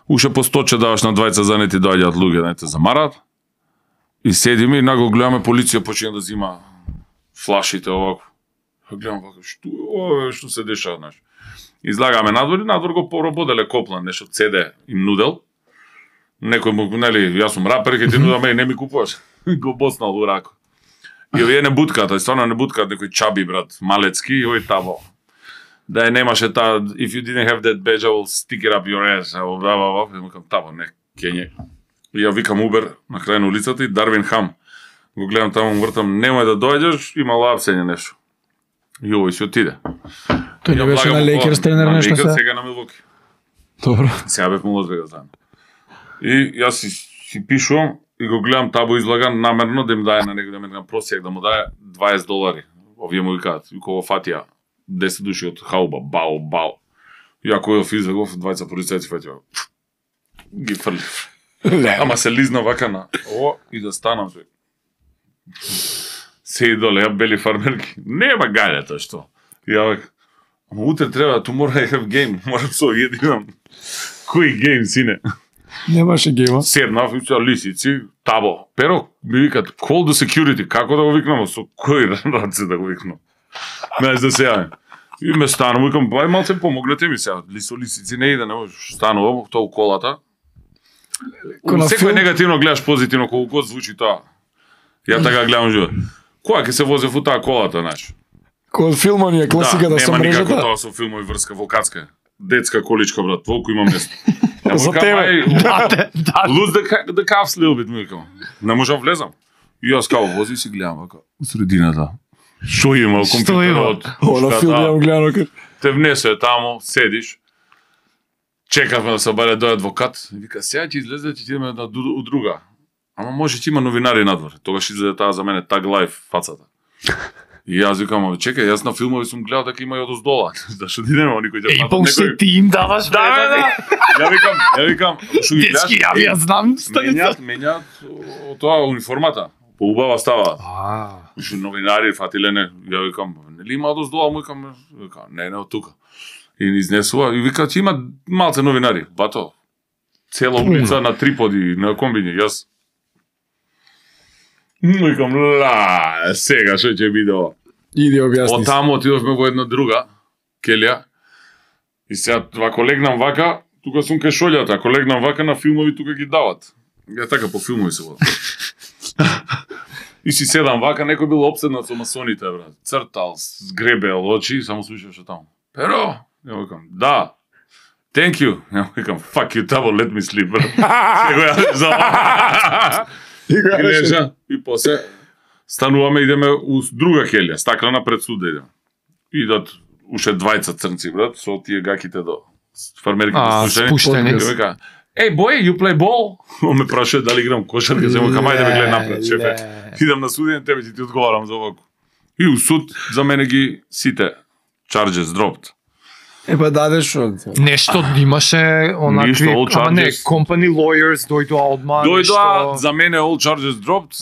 Speaker 1: уште по сто че даваш на двајца за нети доаѓаат луѓе да не те замарат. И седиме и наго гледаме полиција почина да зима флашите овако. Гледам вака, што ова што се дешава, знаеш. Излагаме надвор и надвор го поработеле коплан, нешто цеде им нудел. Некој му, нели, јас сум рапер, ќе ти нудам, еј, не ми купуваш. Го боснал у рако. И овие не бутката, и стварно не буткат некој чаби, брат, малецки, и ој табо. Да е немаше таа, if you didn't have that badge, I will stick it up your ass. А бла бла бла, и му кажам табо, не, кење. И ја викам Убер на крај на улицата и Дарвин Хам. Го гледам таму, му вртам, немој да доаѓаш, има лапсење нешто. И овој си отиде.
Speaker 2: Тој не беше на Лейкерс тренер
Speaker 1: на
Speaker 2: нешто
Speaker 1: Лейкерс,
Speaker 2: се.
Speaker 1: сега на Милвоки.
Speaker 2: Добро.
Speaker 1: Сега бев му Лас-Вегас заедно. И јас си, си пишувам и го гледам табо излаган намерно да им даде на некој да ме просјак да му даде дваесет долари. Овие му викаат, викова фатија, десет души од хауба, бао, бао. И ако ја физбегов, двајца полицајци фатија. Ги фрли. Ама се лизна вака на о и да станам се. Се и доле, ја бели фармерки. Нема гајле тоа што. И ја вака, ама утре треба, tomorrow I have game. Морам со овие да имам. Кој гейм, сине?
Speaker 2: Немаше гейма.
Speaker 1: Седнав и со лисици, табо. Pero ми викат, call the security. Како да го викнам? Со кој раце да го викнам? Знаеш да се јавим. И ме станам, викам, бај малце помогнете ми сега. Лисо лисици не иде, не можеш. Станувам, тоа у колата.
Speaker 2: Ко на
Speaker 1: Секој
Speaker 2: филм?
Speaker 1: негативно гледаш позитивно, колку год звучи тоа. Ја така гледам живот. Која ќе се возев у таа колата, знаеш?
Speaker 2: Кој од филма ни е класиката
Speaker 1: да,
Speaker 2: со
Speaker 1: нема никако
Speaker 2: мрежата.
Speaker 1: тоа со филмови врска, волкатска. Детска количка, брат, волку има место. Ја му
Speaker 2: За
Speaker 1: викам,
Speaker 2: тебе.
Speaker 1: ај,
Speaker 3: Да, да.
Speaker 1: Lose the, ca- the cuffs little bit, ми викам. Не можам влезам. И јас као вози си гледам вака, у средината. Што има
Speaker 3: Што има?
Speaker 1: компјутерот?
Speaker 2: О, на филм јам гледано кај.
Speaker 1: Те внесе таму, седиш. Чекавме да се обаде дој адвокат. И вика, сега ќе излезе, ќе идеме на ду- у друга. Ама може ќе има новинари надвор. Тогаш излезе таа за мене Tag Life фацата. И јас викам, "Ама, чекај, јас на филмови сум гледал дека има и од оздола. Зашто ти нема никој ќе
Speaker 3: Ей,
Speaker 1: фата
Speaker 3: па уште ти им даваш
Speaker 1: Да, бе, да. Ја викам, ја викам, што ги гледаш?
Speaker 3: Дечки, ја ја знам станица.
Speaker 1: Менјат, менјат о, тоа униформата. Поубава става.
Speaker 3: А,
Speaker 1: Уште новинари фатиле не. Ја викам, нели има од оздола, му викам, вика, не, не од тука. И ни изнесува и вика, че има малце новинари. Бато, цела улица на триподи, на комбини, јас. Викам, ла, сега што ќе биде ова?
Speaker 2: Иди објасни.
Speaker 1: Од таму отидовме во една друга келја. И сега вако легнам вака, тука сум кај шолјата, ако легнам вака на филмови тука ги дават. Ја така по филмови се водам. И си седам вака, некој бил обседнат со масоните, брат. Цртал, згребел очи, само слушаше таму. Pero, ја викам, да. Thank you. Ја викам, fuck you, tabo, let me sleep, брат. Сега ја за
Speaker 2: И
Speaker 1: И
Speaker 2: кажеш,
Speaker 1: лежа, и после стануваме, идеме у друга келја, стаклена пред суда идеме. Идат уште двајца црнци, брат, со тие гаките до фармерките
Speaker 3: а
Speaker 1: спуштени.
Speaker 3: спуштени.
Speaker 1: И вика, "Ей, boy, you play ball?" Он ме прашува дали играм кошарка, се му кам ајде ме гледај напред, шефе. Идам на суден, тебе ќе ти одговарам за овако. И у суд за мене ги сите charges dropped.
Speaker 2: Е па дадеш шо.
Speaker 3: Нешто имаше онакви,
Speaker 1: Ништо, all
Speaker 3: ама не,
Speaker 1: charges.
Speaker 3: company lawyers дојдоа одма.
Speaker 1: Дојдоа
Speaker 3: нешто-
Speaker 1: за мене all charges dropped,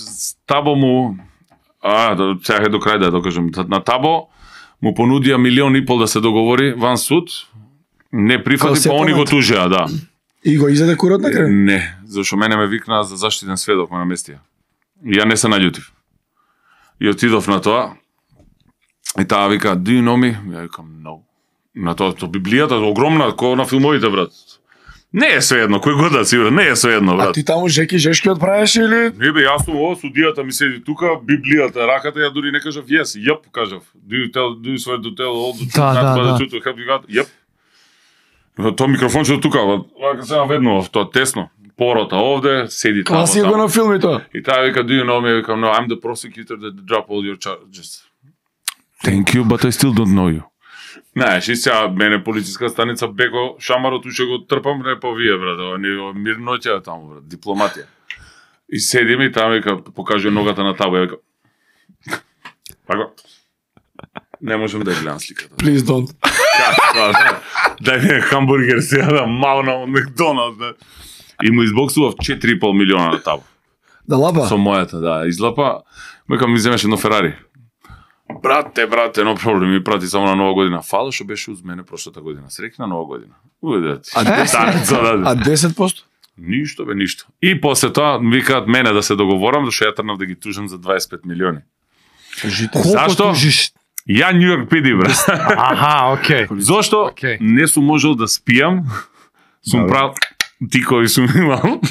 Speaker 1: Табо му а, да сега до крај да докажам, на Табо му понудија милион и пол да се договори ван суд, не
Speaker 2: Као
Speaker 1: прифати,
Speaker 2: се
Speaker 1: па они го
Speaker 2: понат.
Speaker 1: тужеа, да.
Speaker 2: И го изеде курот на крај.
Speaker 1: Не, зашто мене ме викнаа за заштитен сведок ме наместија. И ја не се наљутив. И отидов на тоа. И таа вика, "Do you know me?" Ја викам, "No." На тоа, то Библијата огромна, ко на филмовите, брат. Не е своедно, кој god да си, брат, не е своедно,
Speaker 2: А
Speaker 1: брат.
Speaker 2: ти таму жеки жешки отправиш или?
Speaker 1: Не бе, јас сум ово, судијата ми седи тука, Библијата, раката, ја дури не кажав yes, јеп, кажав. Do you tell, do you swear to tell all the truth,
Speaker 3: Да,
Speaker 1: not
Speaker 3: да,
Speaker 1: but the
Speaker 3: да.
Speaker 1: truth to help you God? Јеп. Тоа микрофончето тука, вака се наведно, тоа тесно. Порота овде, седи таму.
Speaker 2: Класика
Speaker 1: таму.
Speaker 2: на филми тоа.
Speaker 1: И таа вика, "Do you know me?" Викам, "No, I'm the prosecutor that drop all your charges." Thank you, but I still don't know you. Знаеш, и сега мене полициска станица Беко шамарот уште го трпам, не по вие, брат, ова ни мирноќа таму, брат, дипломатија. И седиме и таму вика, покажува ногата на Табо, ја вика. Така. Не можам да ја гледам сликата.
Speaker 2: Please don't.
Speaker 1: Каква, да. Дај ми хамбургер сега да мална од Макдоналдс, да. И му избоксував четири и пол милиона на табо.
Speaker 2: Да лапа?
Speaker 1: Со мојата, да. Излапа, мека ми земеш едно Ферари. Брате, брате, но проблем ми прати само на Нова година. Фала што беше уз мене прошлата година. Среќна Нова година. Ујде ти.
Speaker 2: А десет? А десет посто?
Speaker 1: Ништо бе, ништо. И после тоа викаат мене да се договорам, зашто ја трнав да ги тужам за дваесет и пет милиони.
Speaker 2: Кажите.
Speaker 1: Зашто?
Speaker 3: Тужиш?
Speaker 1: Ја Нью Йорк пи ди, брат.
Speaker 3: Аха, окей.
Speaker 1: Зошто
Speaker 3: Окей.
Speaker 1: не сум можел да спијам, сум правил тикови сум имал.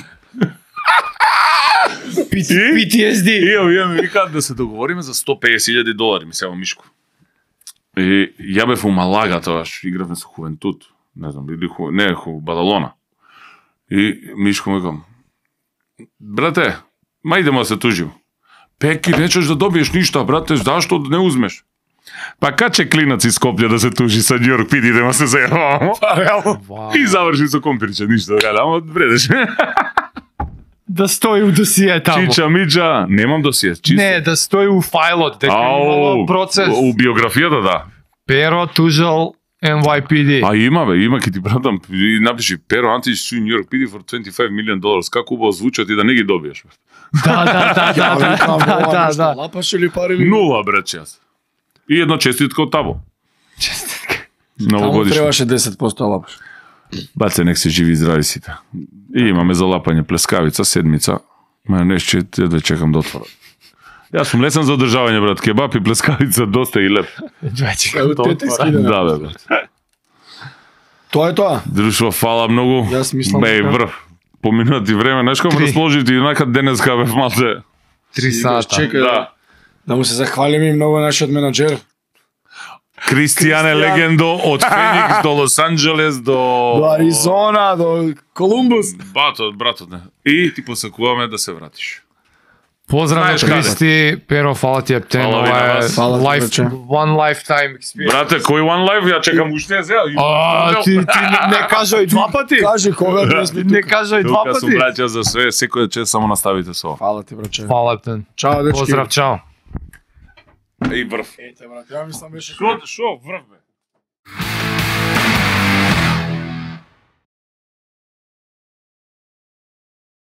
Speaker 3: Пи Ти Ес Ди.
Speaker 1: И овие ми викаат да се договориме за сто песет илјади долари, ми сева Мишко. И ја бев у Малага тоаш, игравме со Хувентут, не знам, или ху, не, ху, Бадалона. И Мишко ми викам, брате, ма идемо да се тужим. Пеки, нечеш да добиеш ништо, брате, зашто не узмеш? Па каче клинац из Скопје да се тужи со Нью Йорк пи ди, да се зајавамо. И заврши со компирче, ништо, ама вредеш.
Speaker 3: Да стои у досие таму.
Speaker 1: Чича, Миджа, немам досие, чисто.
Speaker 3: Не, да стои у фајлот, дека имало процес.
Speaker 1: У биографијата, да.
Speaker 3: Перо тужал Ен Вај Пи Ди.
Speaker 1: А има бе, има, ки ти пратам, и напиши Pero Antić sue New York пи ди for twenty-five million dollars. Како убаво звучат и да не ги добиеш.
Speaker 3: Да, да, да, да, да, да, да, да.
Speaker 2: Лапаш или пари или?
Speaker 1: Нула, брат, час. И едно честитка од табо.
Speaker 3: Честитка.
Speaker 2: Таму
Speaker 1: Новогодишно.
Speaker 2: требаше десет посто лапаш.
Speaker 1: Баце, нек се живи и здрави сите. И имаме за лапање плескавица, седмица. Ма нешто да чекам да отворат. Јас сум лесен за одржавање, брат. Кебап и плескавица доста и леп.
Speaker 2: Ево тетиски да.
Speaker 1: Да, бе, брат.
Speaker 2: Тоа е тоа.
Speaker 1: Друштво, фала многу.
Speaker 2: Јас мислам
Speaker 1: Бе,
Speaker 2: дека-
Speaker 1: врв. Поминати време, знаеш како ме
Speaker 3: Три.
Speaker 1: расположите и нака денеска бев малце.
Speaker 3: Три сата.
Speaker 2: Чекај да. Да му се захвалиме и многу нашиот менаџер.
Speaker 1: Кристијане
Speaker 2: Кристијан.
Speaker 1: легендо од Феникс до Лос Анџелес до
Speaker 2: До Аризона, до Колумбус.
Speaker 1: Батот, братот не. И ти посакуваме да се вратиш.
Speaker 3: Поздрав
Speaker 1: Знаеш
Speaker 3: од
Speaker 1: каде?
Speaker 3: Кристи, Перо, фала ти ептен,
Speaker 1: Фала ви на
Speaker 3: ова е
Speaker 1: вас.
Speaker 2: Фала ти,
Speaker 3: life,
Speaker 2: браче.
Speaker 3: one lifetime experience.
Speaker 1: Брате, кој One Life? Ја чекам уште сега.
Speaker 3: А, ти, ти не, не кажа и два пати?
Speaker 2: Кажи кога да сме
Speaker 3: Не
Speaker 2: тука.
Speaker 3: кажа и два
Speaker 1: Тука сум
Speaker 3: пати?
Speaker 1: браќа за све, секој чест само наставите со ова.
Speaker 2: Фала ти, браче.
Speaker 3: Фала ептен.
Speaker 2: Чао, дечки.
Speaker 3: Поздрав, чао.
Speaker 1: И врв.
Speaker 2: Ете, брат, ја мислам беше...
Speaker 1: Шо, шо, врв бе?